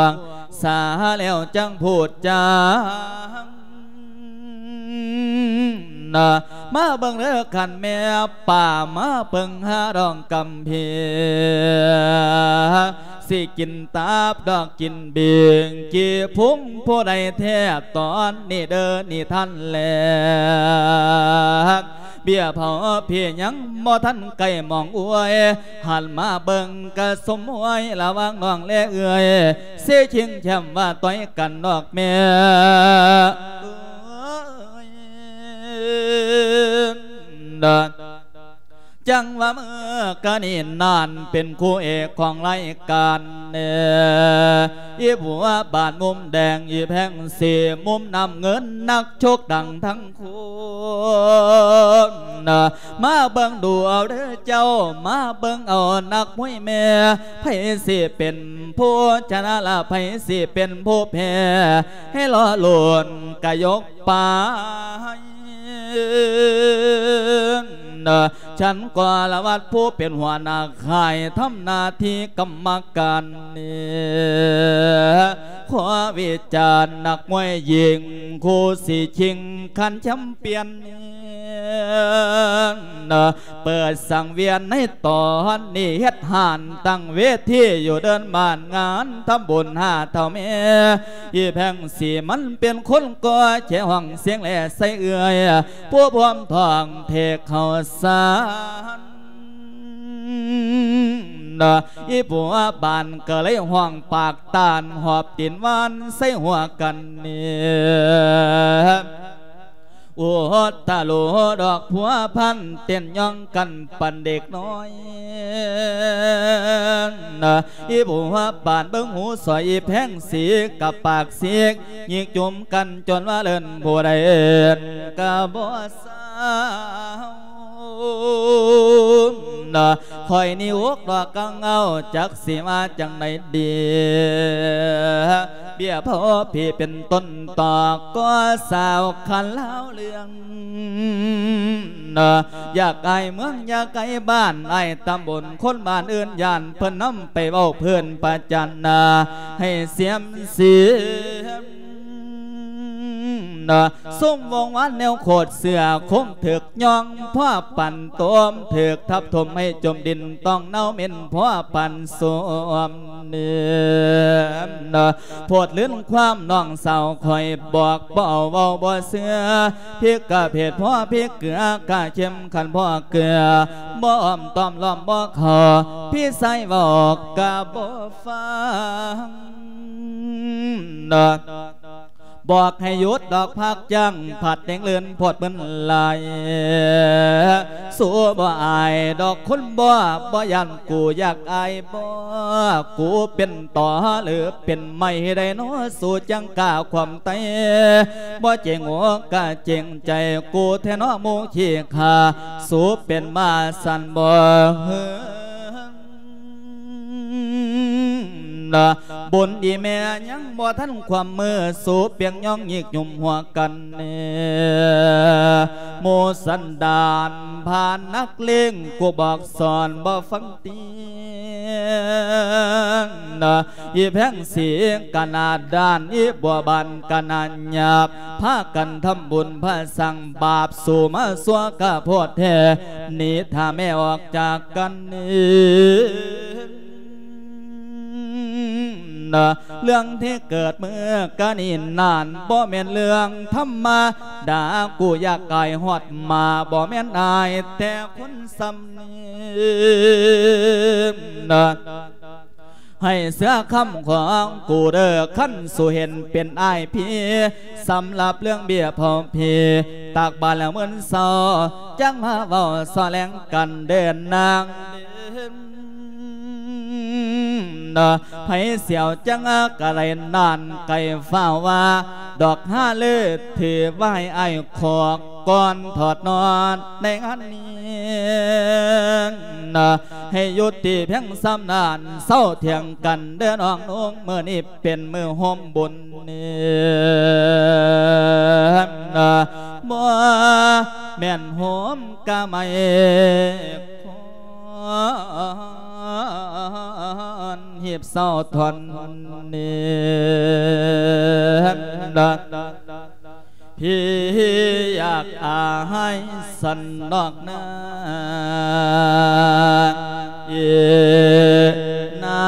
າງໆ ສາແລ້ວຈັ່ງພູດຈາ ມາເບິ່ງເດີຄັນແມ່ປ້າ ມາເບິ່ງຫາດອງກຳເພ ຊິກິນຕັບດອກກິນເບງ ກີ່ພຸງຜູ້ໃດແທ້ ຕອນນີ້ເດີນິທານແລກ ເບ້ຍເຜົາເພຍັງບໍ່ທັນໃກ້ມອງອວຍ ຫັນມາເບິ່ງກະສົມອວຍ ລະຫວ່າງນ້ອງແລເອື້ອຍ ເຊຊິງແຄມວ່າຕ່ອຍກັນນອກແມ່ ຈັ່ງວ່າເມື່ອກະນີ້ນັ້ນ ເປັນຄູ່ເອກຂອງລາຍການແດ່ ອີຜົວບ້ານມຸມແດງ ອີແພງສີມຸມນ້ຳເງິນ ນັກຊົກດັງທັງຄົນ ມາເບິ່ງດູເອົາເດີເຈົ້າ ມາເບິ່ງເອົານັກມວຍແມ່ ໃຜຊິເປັນຜູ້ຊະນະລະ ໃຜຊິເປັນຜູ້ແພ້ ໃຫ້ລໍລຸ້ນກະຍົກ ໄປ ນະ ສັນກໍລະວັດຜູ້ເປັນຫົວໜ້າຄ້າຍ ທຳໜ້າທີ່ກຳມະການນີ້ ຂໍວິຈານນັກມວຍຍິງ ຄູ່ຊິຊິງຂັນແຊມປຽນນີ້ ນະ ເປີດສັງວຽນໃນຕອນນີ້ ເຮັດຮ້ານຕັ້ງເວທີຢູ່ເດີ່ນບ້ານ ງານທຳບຸນຫ້າເຖົ້າແມ່ ອີແພງສີມັນເປັນຄົນກໍ່ແຈຮ້ອງສຽງແລໃສ່ເອື້ອຍ ຜູ້ພວມທ້ອງເທເຂົ້າສານ ນະ ອີຜົວບ້ານກໍເລີຍຮ້ອງປາກຕານ ຫອບຕີນຫວານໃສ່ຫົວກັນນີ້ ໂອດຕະໂລ ດອກພົວພັນ ເຕັ້ນຍ່ອງກັນປານເດັກນ້ອຍ ນະ ອີຜົວບ້ານເບິ່ງຫູສອຍ ອີແພງສີກະປາກສີກ ຍິກຈຸມກັນຈົນວ່າເອີ້ນຜູ້ໃດເອີ້ນກະບໍ່ເຊົາ ນະ ຂ້ອຍນີ້ອົກດອກກັງເອົາ ຈັກຊິວ່າຈັ່ງໃດດີ ເບ້ຍເຜົາເພເປັນຕົ້ນຕອກ ກໍສາວຄັນລາວເລື່ອງ ນະ ຢາກອາຍເມືອງ ຢາກອາຍບ້ານ ອາຍຕຳບົນ ຄົນບ້ານອື່ນຢ້ານ ເພິ່ນນຳໄປເວົ້າເພິ່ນປະຈັນນາ ໃຫ້ສຽມເສຍ ນະ ຊຸມວົງວານແນວໂຄດເສື້ອ ຄົງຖືກຍ່ອງພໍປັນຕົມ ຖືກທັບຖົມໃຫ້ຈົມດິນ ຕ້ອງເນົ່າເໝັນພໍປັນໂຊມເນ ນະ ໂພດລື່ນຄວາມນ້ອງສາວຂ້ອຍບອກ ບໍ່ເອົາເວົ້າບໍ່ເຊື່ອ ພິກກະເພດພໍພິກເກືອ ກະເຂັ້ມຂັນພໍເກືອ ບໍ່ອ້ອມຕ້ອມລ້ອມບໍ່ເຂົ້າ ພີ່ຊາຍເວົ້າກະບໍ່ຟັງ ນະ ບອກໃຫ້ຢຸດດອກພາກຈ້າງ ພັດເດັງເລື່ອນໂພດມຶນຫຼາຍ ສູບໍ່ອາຍດອກຄົນບໍ່ ບໍ່ຢ້ານກູຢາກອາຍບໍ່ ກູເປັນຕໍຫຼືເປັນໄມ້ໃດນໍ ສູຈັ່ງກ້າຄວາມໄຕ ບໍ່ເຈັງອົກກະເຈັງໃຈ ກູແທ້ນໍໝູ່ຂີ້ຂ້າ ສູເປັນໝາສັນບໍ່ ນະ ບຸນອີແມ່ຍັງບໍ່ທັນຄວາມມື ສູປຽກຍ່ອງຍິກຫຍຸມຫົວກັນແນ່ ໝູ່ສັນດານພານນັກເລງ ກູບອກສອນບໍ່ຟັງຕິ ນະ ອີແພງສີກະໜ້າດ້ານ ອີບົວບານກະໜ້າຫຍາບ ພາກັນທຳບຸນພະສັງ ບາບສູມາຊົ່ວກະໂພດແທ້ ໜີຖ້າແມ່ອອກຈາກກັນນີ້ ນະ ເລື່ອງທີ່ເກີດເມື່ອກະນີ້ນັ້ນ ບໍ່ແມ່ນເລື່ອງທຳມະດາ ກູຢາກກາຍຮອດໝາ ບໍ່ແມ່ນອາຍແຕ່ຄົນຊ່ຳນີ້ ໃຫ້ເຊື່ອຄຳຂອງກູເດີ ຄັນສູເຫັນເປັນອ້າຍພີ ສຳລັບເລື່ອງເບ້ຍເຜົາຜີ ຕັກບາດແລ້ວມື້ເຊົ້າ ຈັ່ງມາເວົ້າສໍແລງກັນເດີນາງ ໃຜສຽວຈັ່ງກະໄລນານໄກຟ້າວວ່າ ດອກຫາລືຖືໄວ້ອ້າຍຂອກ ກ່ອນຖອດນອນໃນງານນີ້ ໃຫ້ຢຸດຕິພຽງສ່ຳນັ້ນ ເຊົາຖຽງກັນເດີນ້ອງນຸ່ງ ມື້ນີ້ເປັນມື້ໂຮມບຸນ ບໍ່ແມ່ນໂຮມກະໄໝ ຄອນຮີບເຊົາທ່ອນນີ້ ພີ່ຢາກອາຍສັນນອກນາ ເອນາ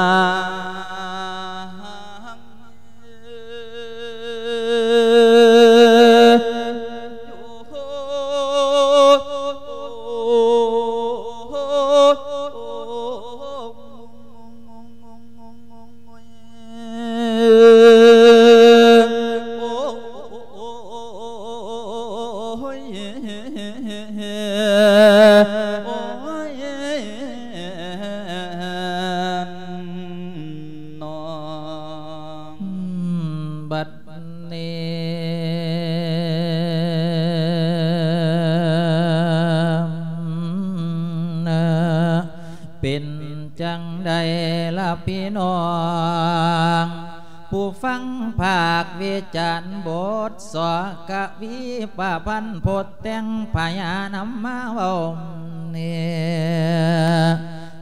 ບັດນີ້ ເປັນຈັ່ງໃດລະພີ່ນ້ອງ ຜູ້ຟັງພາກວິຈານບົດ ສອກະວີປະພັນ ພົດແຕ່ງພະຍານຳມາເວົ້ານີ້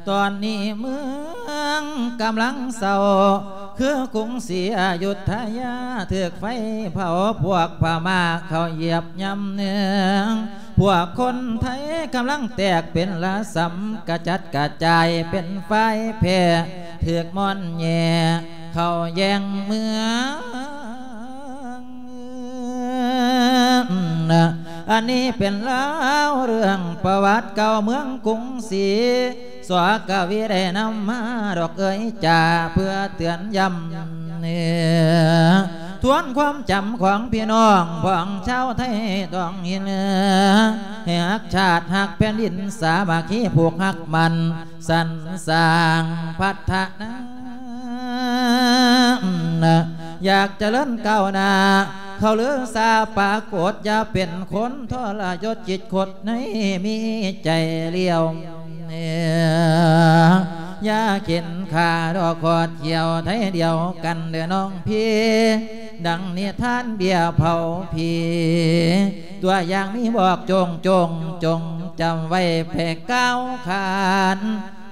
ຕອນນີ້ເມືອງກຳລັງເສົ້າ ຄືກຸງສີອະຍຸດທະຍາ ຖືກໄຟເຜົາ ພວກພະມ້າເຂົ້າຢຽບຍຳເໜືອງ ພວກຄົນໄທກຳລັງແຕກເປັນລະສຳ ກະຈັດກະຈາຍເປັນຝ່າຍແພ້ ຖືກມ່ອນແຍ່ເຂົ້າແຍ່ງເມືອງ. ອັນນີ້ເປັນລາວເລື່ອງປະຫວັດເກົ່າເມືອງກຸງສີ ສອກະວີໄດ້ນຳມາດອກເອີຍຈາ ເພື່ອເຕືອນຢ້ຳ ເອີ ທວນຄວາມຈຳຂອງພີ່ນ້ອງ ຂອງຊາວໄທທ້ອງຖິ່ນ ໃຫ້ຮັກຊາດຮັກແຜ່ນດິນ ສາມັກຄີຜູກຮັກໝັ້ນ ສັນສ້າງພັດທະນາ ຢາກຈະເລີນກ້າວໜ້າ ເຂົາລືຊາປາກົດ ຢ່າເປັນຄົນທໍລະຍົດ ຄິດຄົດໃນມີໃຈລ້ຽວ ຢ່າເຂັນຂ້າດອກຂອດຂຽວໄທດຽວກັນເດີນ້ອງພີ່ ດັ່ງນິທານເບ້ຍເຜົາຜີ ຕົວຢ່າງມີບອກໂຈງໆ ຈົ່ງຈຳໄວ້ແຜ່ກ້າວຂານ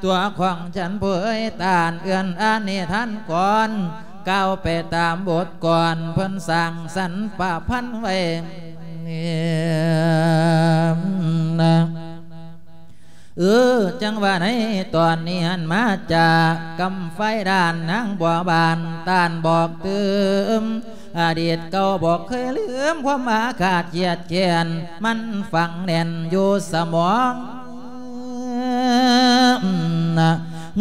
ຕົວຂອງສັນຜູ້ເອີຍຕານ ເອື້ອນອານນິທານກ່ອນ ກ່າວໄປຕາມບົດກ່ອນ ເພິ່ນສ້າງສັນປະພັນໄວ້ ເອີ ຈັ່ງວ່າໃນຕອນນີ້ຫັ້ນ ມາຈາກກຳໄຟດ້ານນາງບົວບານ ຕ້ານບອກຕື່ມ ອະດີດເກົ່າບໍ່ເຄີຍລືມ ຄວາມອາຄາດຄຽດແຄ້ນ ມັນຝັງແໜ້ນຢູ່ສະໝອງ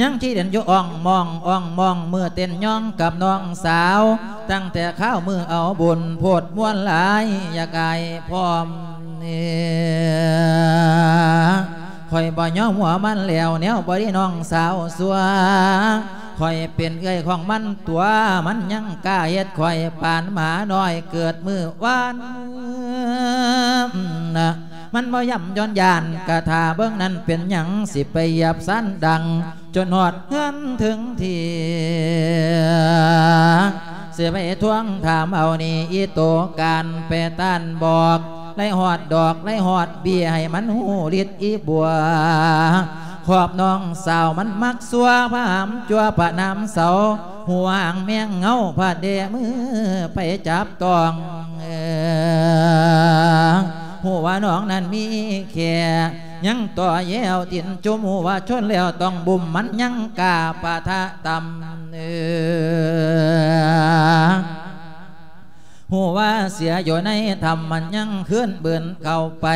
ຍັງຄິດເຫັນຢູ່ອ່ອງມອງ ອ່ອງມອງ ມື້ເຕັ້ນຍ້ອງກັບນ້ອງສາວ ຕັ້ງແຕ່ຄາວມື້ເອົາບຸນ ໂພດມ່ວນຫຼາຍ ຢາກອາຍພ້ອມ ຂ້ອຍບໍ່ຍອມຫົວມັນແລ້ວ ແນວບໍ່ດີນ້ອງສາວຊົ່ວ ຂ້ອຍເປັນເອື້ອຍຂອງມັນຕົວະ ມັນຍັງກ້າເຮັດຂ້ອຍປານໝານ້ອຍເກີດມື້ວານ ມັນບໍ່ຢ້ຳຢ້ອນຢ້ານ ກະຖ້າເບິ່ງນັ້ນເປັນຫຍັງ ຊິໄປຢຽບຊານດັງ ຈົນຮອດເຮືອນເຖິງທີ່ ຊິໄປທວງຖາມເອົານີ້ ອີໂຕການໄປຕ້ານບອກ ໄລ່ຮອດດອກ ໄລ່ຮອດເບ້ຍ ໃຫ້ມັນຮູ້ລິດອີບົວ ຂອບນ້ອງສາວມັນມັກຊົ່ວ ພະຫາມຈົວພະນາມເສົາ ຫວງແມງເຫງົາ ພະເດມືໄປຈັບຕ້ອງ ເອີ ຮູ້ວ່ານ້ອງນັ້ນມີແຂ້ ຍັງຕໍ່ແຍວຕີນຈຸ່ມ ຮູ້ວ່າຊົນແລ້ວຕ້ອງບຸ້ມ ມັນຍັງກ້າປະທະຕ່ຳ ເອີ ຮູ້ວ່າເສຍຢູ່ໃນຖ້ຳ ມັນຍັງຄືນບືນເຂົ້າໄປ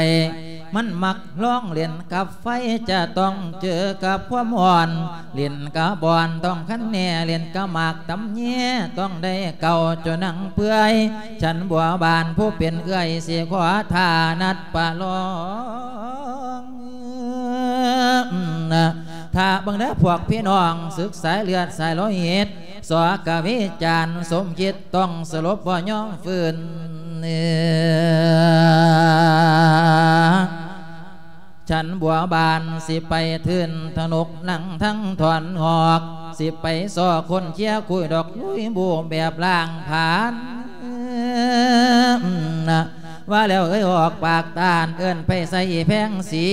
ມັນມັກລອງຫຼິ້ນກັບໄຟ ຈະຕ້ອງເຈີກັບຄວາມຮ້ອນ ຫຼິ້ນກະບ່ອນຕ້ອງຄັນແນ່ ຫຼິ້ນກະໝາກຕຳແຍ ຕ້ອງໄດ້ເກົາຈົນໜັງເປື່ອຍ ຊັ້ນບົວບານຜູ້ເປັນເອື້ອຍ ຊິຂໍທ່ານັດປະລອງ ຖ້າເບິ່ງເດີພວກພີ່ນ້ອງ ສຶກສາຍເລືອດສາຍໂລຫິດ ສອກະວິຈານສົມຄິດ ຕ້ອງສະຫຼົບບໍ່ຍອມຟື້ນ ຊັ້ນບົວບານຊິໄປທຶນທະນົກນັ່ງທັງຖອນຫອກ ຊິໄປຊອກຄົ້ນເຄຍຄຸຍດອກລຸຍບູແບບລ້າງຜານ ວ່າແລ້ວເອີຍອອກປາກຕ້ານ ເອີ້ນໄປໃສ່ອີແພງສີ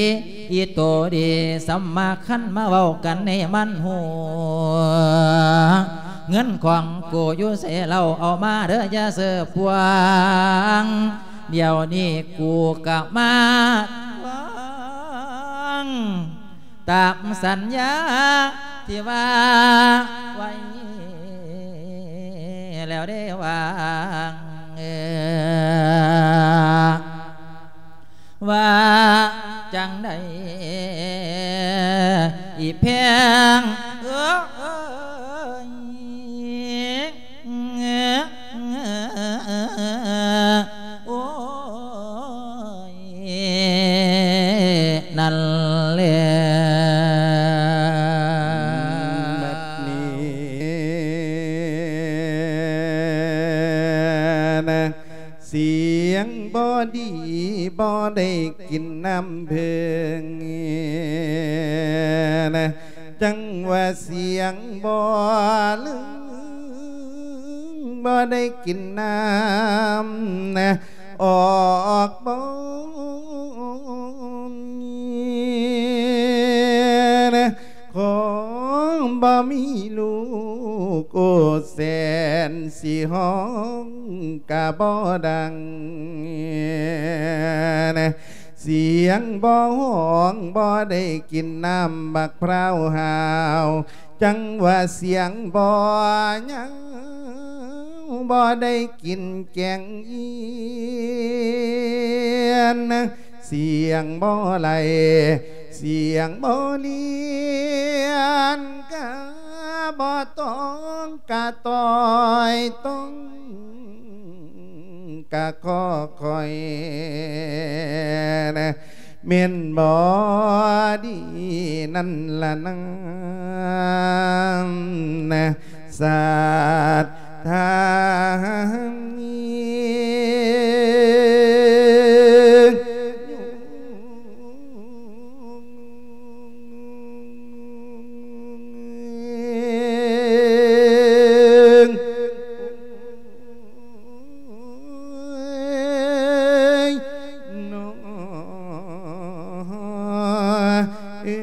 ອີໂຕດີສຳມາຄັນ ມາເວົ້າກັນໃຫ້ມັນຮູ້ ເງິນຂອງກູຢູ່ໃສເລົ່າ ເອົາມາເດີຢ່າເສີບພວງ ດຽວນີ້ກູກະມາທວງ ຕາມສັນຍາທີ່ວ່າໄວ້ແລ້ວເດ້ວ່າ ວ່າຈັ່ງໃດອີແພງເອີຍ ໂອ້ຍ ນັ້ນແຫຼະ ບັດນີ້ນະ ສຽງບໍ່ດີ ບໍ່ໄດ້ກິນນ້ຳເພິ່ງນະ ຈັ່ງວ່າສຽງບໍ່ລຶງ ບໍ່ໄດ້ກິນນ້ຳນະ ອອກບໍ່ນະ ຂໍບໍ່ມີລູກ ໂອ້ ແສນຊິຮ້ອງກະບໍ່ດັງນະ ສຽງບໍ່ຮ້ອງ ບໍ່ໄດ້ກິນນ້ຳບັກພ້າວຫາວ ຈັ່ງວ່າສຽງບໍ່ຍາວ ບໍ່ໄດ້ກິນແກງເອຍນ ສຽງບໍ່ໄຫຼ ສຽງບໍ່ລຽນ ກະບໍ່ຕ້ອງກະຕ່ອຍ ຕ້ອງກະຂໍຄອຍນະ ແມ່ນບໍ່ດີນັ້ນລະນາ ສັດທາ ເອີ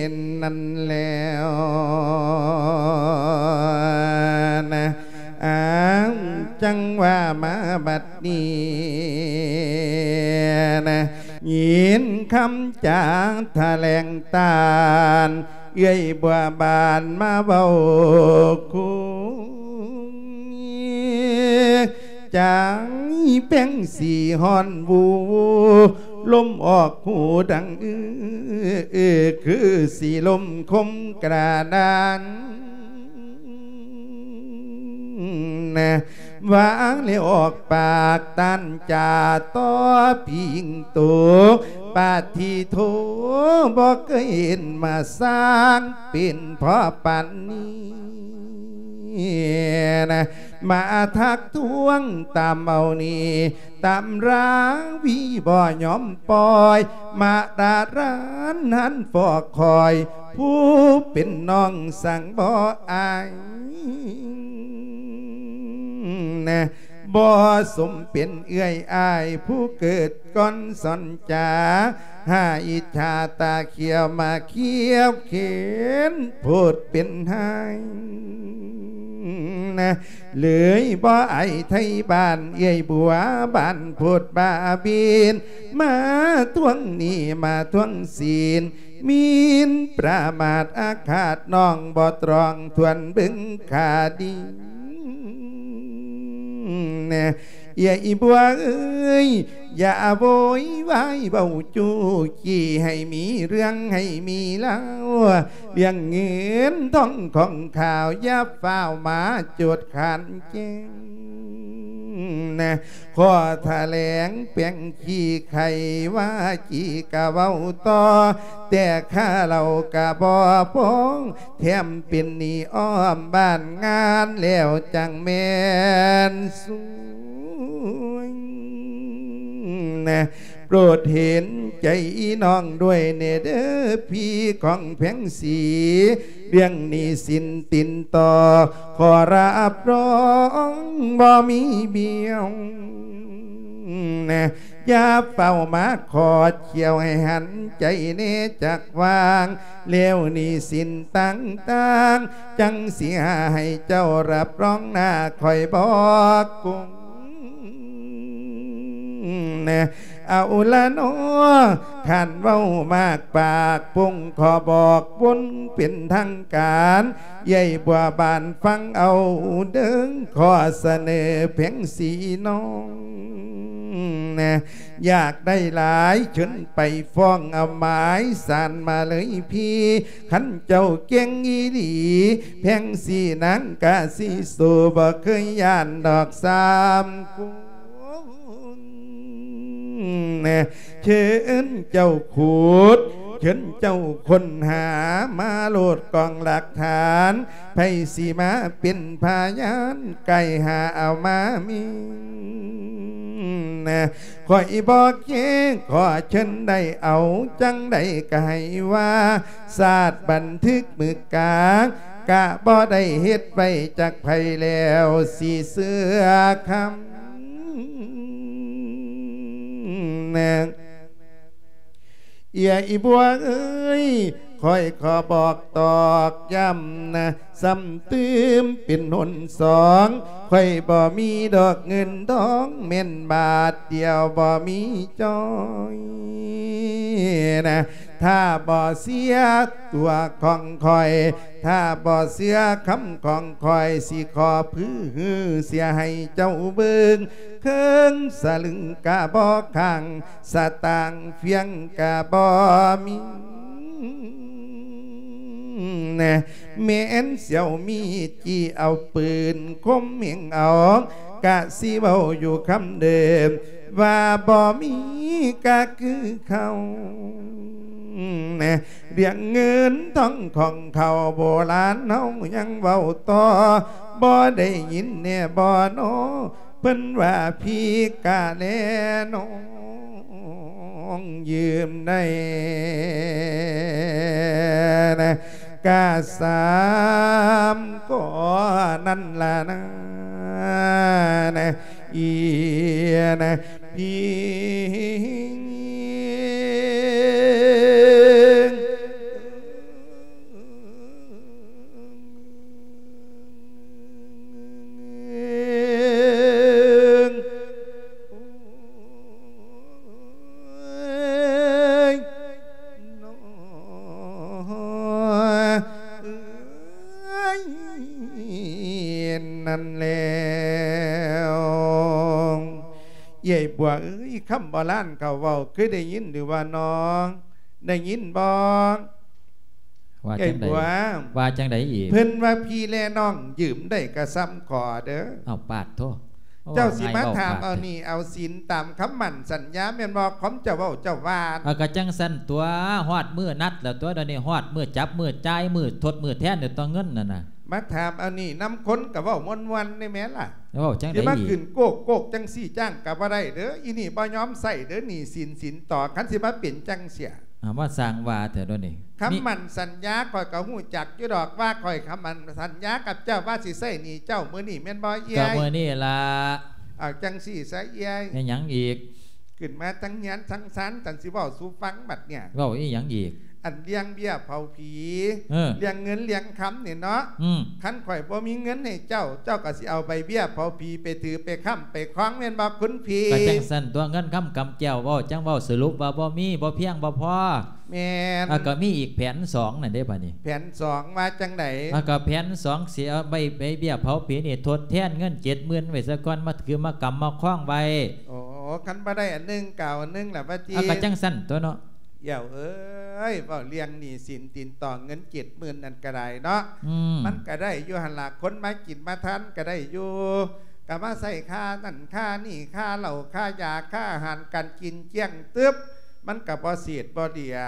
ຍ ນັ້ນແລ້ວນະ ອ້າວ ຈັ່ງວ່າມາບັດນີ້ນະ ຍິນຄຳຈາຖະແຫຼງຕ້ານ ເອື້ອຍບົວບານມາເວົ້າຄູ່ ໃຈແປ້ງສີຮ້ອນວູ ລົມອອກຫູດັງອື້ ຄືສີລົມຄົມກະດານ ນະ ວ່າແລ້ວອອກປາກຕ້ານຈາຕໍ່ຜິງໂຕ ປາທິໂທ ບໍ່ເຄີຍເຫັນມາສ້າງເປັນພໍປານນີ້ນະ ມາທັກທ້ວງຕາມເອົານີ້ ຕຳລາວີບໍ່ຍອມປ່ອຍ ມາຕາລານຫັ້ນຟອກຄອຍ ຜູ້ເປັນນ້ອງສັງບໍ່ອາຍນະ ບໍ່ສົມເປັນເອື້ອຍອ້າຍ ຜູ້ເກີດກ່ອນສອນຈາ ຫາອິດສາຕາຂຽວມາຂຽວເຂັນ ໂພດເປັນຫາຍນະ ເລີຍບໍ່ອາຍໄທບ້ານ ເອື້ອຍບົວບານໂພດບ້າບິນ ມາທວງໜີ້ມາທວງສິນ ໝິ່ນປະໝາດອາຄາດ ນ້ອງບໍ່ຕຣອງຖ້ວນເບິ່ງຄ່າດີ ເອື້ອຍບົວເອີຍ ຢ່າໂວຍວາຍເວົ້າຈູ້ຈີ້ ໃຫ້ມີເລື່ອງໃຫ້ມີລາວ ເລື່ອງເງິນທອງຂອງຂ້າວ ຢ່າຟ້າວມາໂຈດຂັດແຍ່ງນະ. ຂໍຖະແຫຼງແປງຂີ້ໄຂ ວາຈີກະເວົ້າຕໍ່ ແຕ່ຄ່າເຫຼົ້າກະບໍ່ພອງ ແຖມເປັນໜີ້ອ້ອມບ້ານງານ ແລ້ວຈັ່ງແມ່ນສວຍນະ. ໂປດເຫັນໃຈນ້ອງດ້ວຍແດ່ເດີ ພີ່ຂອງແພງສີ ເລື່ອງໜີ້ສິນຕິດຕໍ່ ຂໍຮັບຮອງບໍ່ມີບຽວນະ. ຢ່າເຝົ້າມາຂອດຂ້ຽວ ໃຫ້ຫັນໃຈແດ່ຈັກວ່າງ ແລ້ວໜີ້ສິນຕ່າງໆ ຈັ່ງຊິຫາໃຫ້ເຈົ້າຮັບຮອງໜ້າ ຂ້ອຍບໍ່ກົງນະ. ເອົາລະເນາະ ຄັນເວົ້າມາກປາກ ປົງຂໍບອກບົນເປັນທາງການ ເອື້ອຍບົວບານຟັງເອົາເດີ ຂໍສະເໜີແພງສີນ້ອງນະ. ຢາກໄດ້ຫຼາຍ ເຊີນໄປຟ້ອງເອົາໝາຍສານມາເລີຍພີ່ ຄັນເຈົ້າເກັ່ງອີ່ຫຼີ ແພງສີນາງກະຊິສູ້ ບໍ່ເຄີຍຢ້ານດອກສາມຄົນນະ. ເຊີນເຈົ້າຂຸດ ເຊີນເຈົ້າຄົ້ນຫາ ມາໂລດກອງຫຼັກຖານ ໃຜຊິມາເປັນພະຍານ ໄກ່ຫາເອົາມາມີນະ. ຂ້ອຍບໍ່ແຄ ຂໍເຊີນໄດ້ເອົາ ຈັ່ງໃດກະໃຫ້ວ່າ ຊາດບັນທຶກມື້ກາ ກະບໍ່ໄດ້ເຮັດໄວ້ຈັກໃຜ ແລ້ວຊິເຊື່ອຄຳນະ. ເອື້ອຍອີ່ບົວເອີຍ ຂ້ອຍຂໍບອກຕອກຢ້ຳນະ ຊ້ຳຕື່ມເປັນຫົນສອງ ຂ້ອຍບໍ່ມີດອກເງິນທອງ ແມ່ນບາດດຽວບໍ່ມີຈ່ອຍນະ. ຖ້າບໍ່ເຊື່ອຕົວຂອງຂ້ອຍ ຖ້າບໍ່ເຊື່ອຄຳຂອງຂ້ອຍ ຊິຂໍຜືເສຍໃຫ້ເຈົ້າເບິ່ງ ເຄິ່ງສະລຶງກະບໍ່ຄ້າງ ສະຕາງຟຽງກະບໍ່ມີນະ. ແມ່ນສຽວມີດ ຈີ້ເອົາປືນ ຄົມເຫງເອົາ ກະຊິເວົ້າຢູ່ຄຳເດີມ ວ່າບໍ່ມີກະຄືເຂົານະ. ເລື່ອງເງິນທອງຂອງເຂົາ ໂບລານເຮົາຍັງເວົ້າຕໍ່ ບໍ່ໄດ້ຍິນແດ່ບໍ່ນໍ ເພິ່ນວ່າພີກະແລນ້ອງ ຢືມໄດ້ນະ ກະສາມກໍນັ້ນລະນະ ນະ ອີນະ ພີ ນັ້ນແລ້ວ ເອື້ອຍບົວເອີຍ ຄຳໂບລານເຂົາເວົ້າ ເຄີຍໄດ້ຍິນຫຼືວ່ານ້ອງ? ໄດ້ຍິນບໍ່? ວ່າຈັ່ງໃດ? ເອື້ອຍບົວ ວ່າຈັ່ງໃດອີກ? ເພິ່ນວ່າພີ່ແລນ້ອງຢືມໄດ້ກະສ່ຳຂໍເດີ. ເອົາ ປາດໂທ ເຈົ້າຊິມາຖາມເອົາໜີ້ເອົາສິນຕາມຄຳໝັ້ນສັນຍາແມ່ນບໍ່? ຄວາມເຈົ້າເວົ້າເຈົ້າວ່າ ເອົາ ກະຈັ່ງຊັ້ນຕົວະ ຮອດມື້ນັດແລ້ວຕົວະ ດຽວນີ້ຮອດມື້ຈັບມື້ຈ່າຍ ມື້ທົດມື້ແທນແລ້ວຕົວະ ເງິນນັ້ນນະ. ມາຖາມເອົານີ້ນຳຄົນກະເວົ້າມ່ວນໆ ໄດ້ແມ່ນລະ. ເວົ້າຈັ່ງໃດອີກ? ຊິມາຂຶ້ນໂກກໆ ຈັ່ງຊີ້ຈ້າງກະບໍ່ໄດ້ເດີ. ອີນີ້ບໍ່ຍອມໃຊ້ເດີ ໜີ້ສິນສິນຕໍ່ ຄັນຊິມາເປັນຈັ່ງເສຍ. ອາ ມາສ້າງວ່າແທ້ດຽວນີ້. ຄຳໝັ້ນສັນຍາຂ້ອຍກະຮູ້ຈັກຢູ່ດອກ ວ່າຂ້ອຍຄຳໝັ້ນສັນຍາກັບເຈົ້າວ່າຊິໃຊ້ໜີ້ເຈົ້າມື້ນີ້ແມ່ນບໍ່ເອື້ອຍ? ກະມື້ນີ້ລະ. ເອົາຈັ່ງຊີ້ຊະເອື້ອຍ. ແມ່ນຫຍັງອີກ? ຂຶ້ນມາທັງເຮືອນທັງຊານ ຈັ່ງຊິເວົ້າສູ່ຟັງບັດເນີ້ຍ. ເວົ້າອີ່ຫຍັງອີກ? ອັນເລື່ອງເບ້ຍເຜົາຜີ ເອີ ເລື່ອງເງິນເລື່ອງຄຳນີ້ເນາະ. ອືມ ຄັນຂ້ອຍບໍ່ມີເງິນໃຫ້ເຈົ້າ ເຈົ້າກໍຊິເອົາໃບເບ້ຍເຜົາຜີໄປຖືໄປຄ້ຳໄປຄອງແມ່ນບໍ່ຄຸນພີ່? ກໍຈັ່ງຊັ້ນຕົວະ ເງິນຄຳກຳແກ້ວ ເວົ້າຈັ່ງເວົ້າສະຫຼຸບວ່າບໍ່ມີ ບໍ່ພຽງບໍ່ພໍ. ແມ່ນ. ອາ ກໍມີອີກແຜນສອງນັ້ນເດ້ບາດນີ້. ແຜນສອງວ່າຈັ່ງໃດ? ອາ ກໍແຜນສອງ ຊິເອົາໃບ ໃບເບ້ຍເຜົາຜີນີ້ທົດແທນເງິນເຈັດໝື່ນໄວ້ຊະກ່ອນ ມາຖືມາກຳມາຄອງໄວ້. ໂອ້ ຄັນບໍ່ໄດ້ອັນໜຶ່ງກໍເອົາອັນໜຶ່ງລະວ່າຕິ. ເອົາ ກໍຈັ່ງຊັ້ນຕົວະເນາະ. ເອີຍ ເວົ້າເລື່ອງໜີ້ສິນຕິດຕໍ່ເງິນເຈັດໝື່ນນັ້ນກໍໄດ້ເນາະ. ອືມ ມັນກໍໄດ້ຢູ່ຫັ້ນລະ ຄົນມາກິນມາທານກໍໄດ້ຢູ່ ກໍມາໃຊ້ຄ່ານັ້ນຄ່ານີ້ ຄ່າເຫຼົ້າ ຄ່າຢາ ຄ່າອາຫານການກິນ ຈຽງຕຶບ ມັນກໍບໍ່ເສດບໍ່ເຫຼືອ.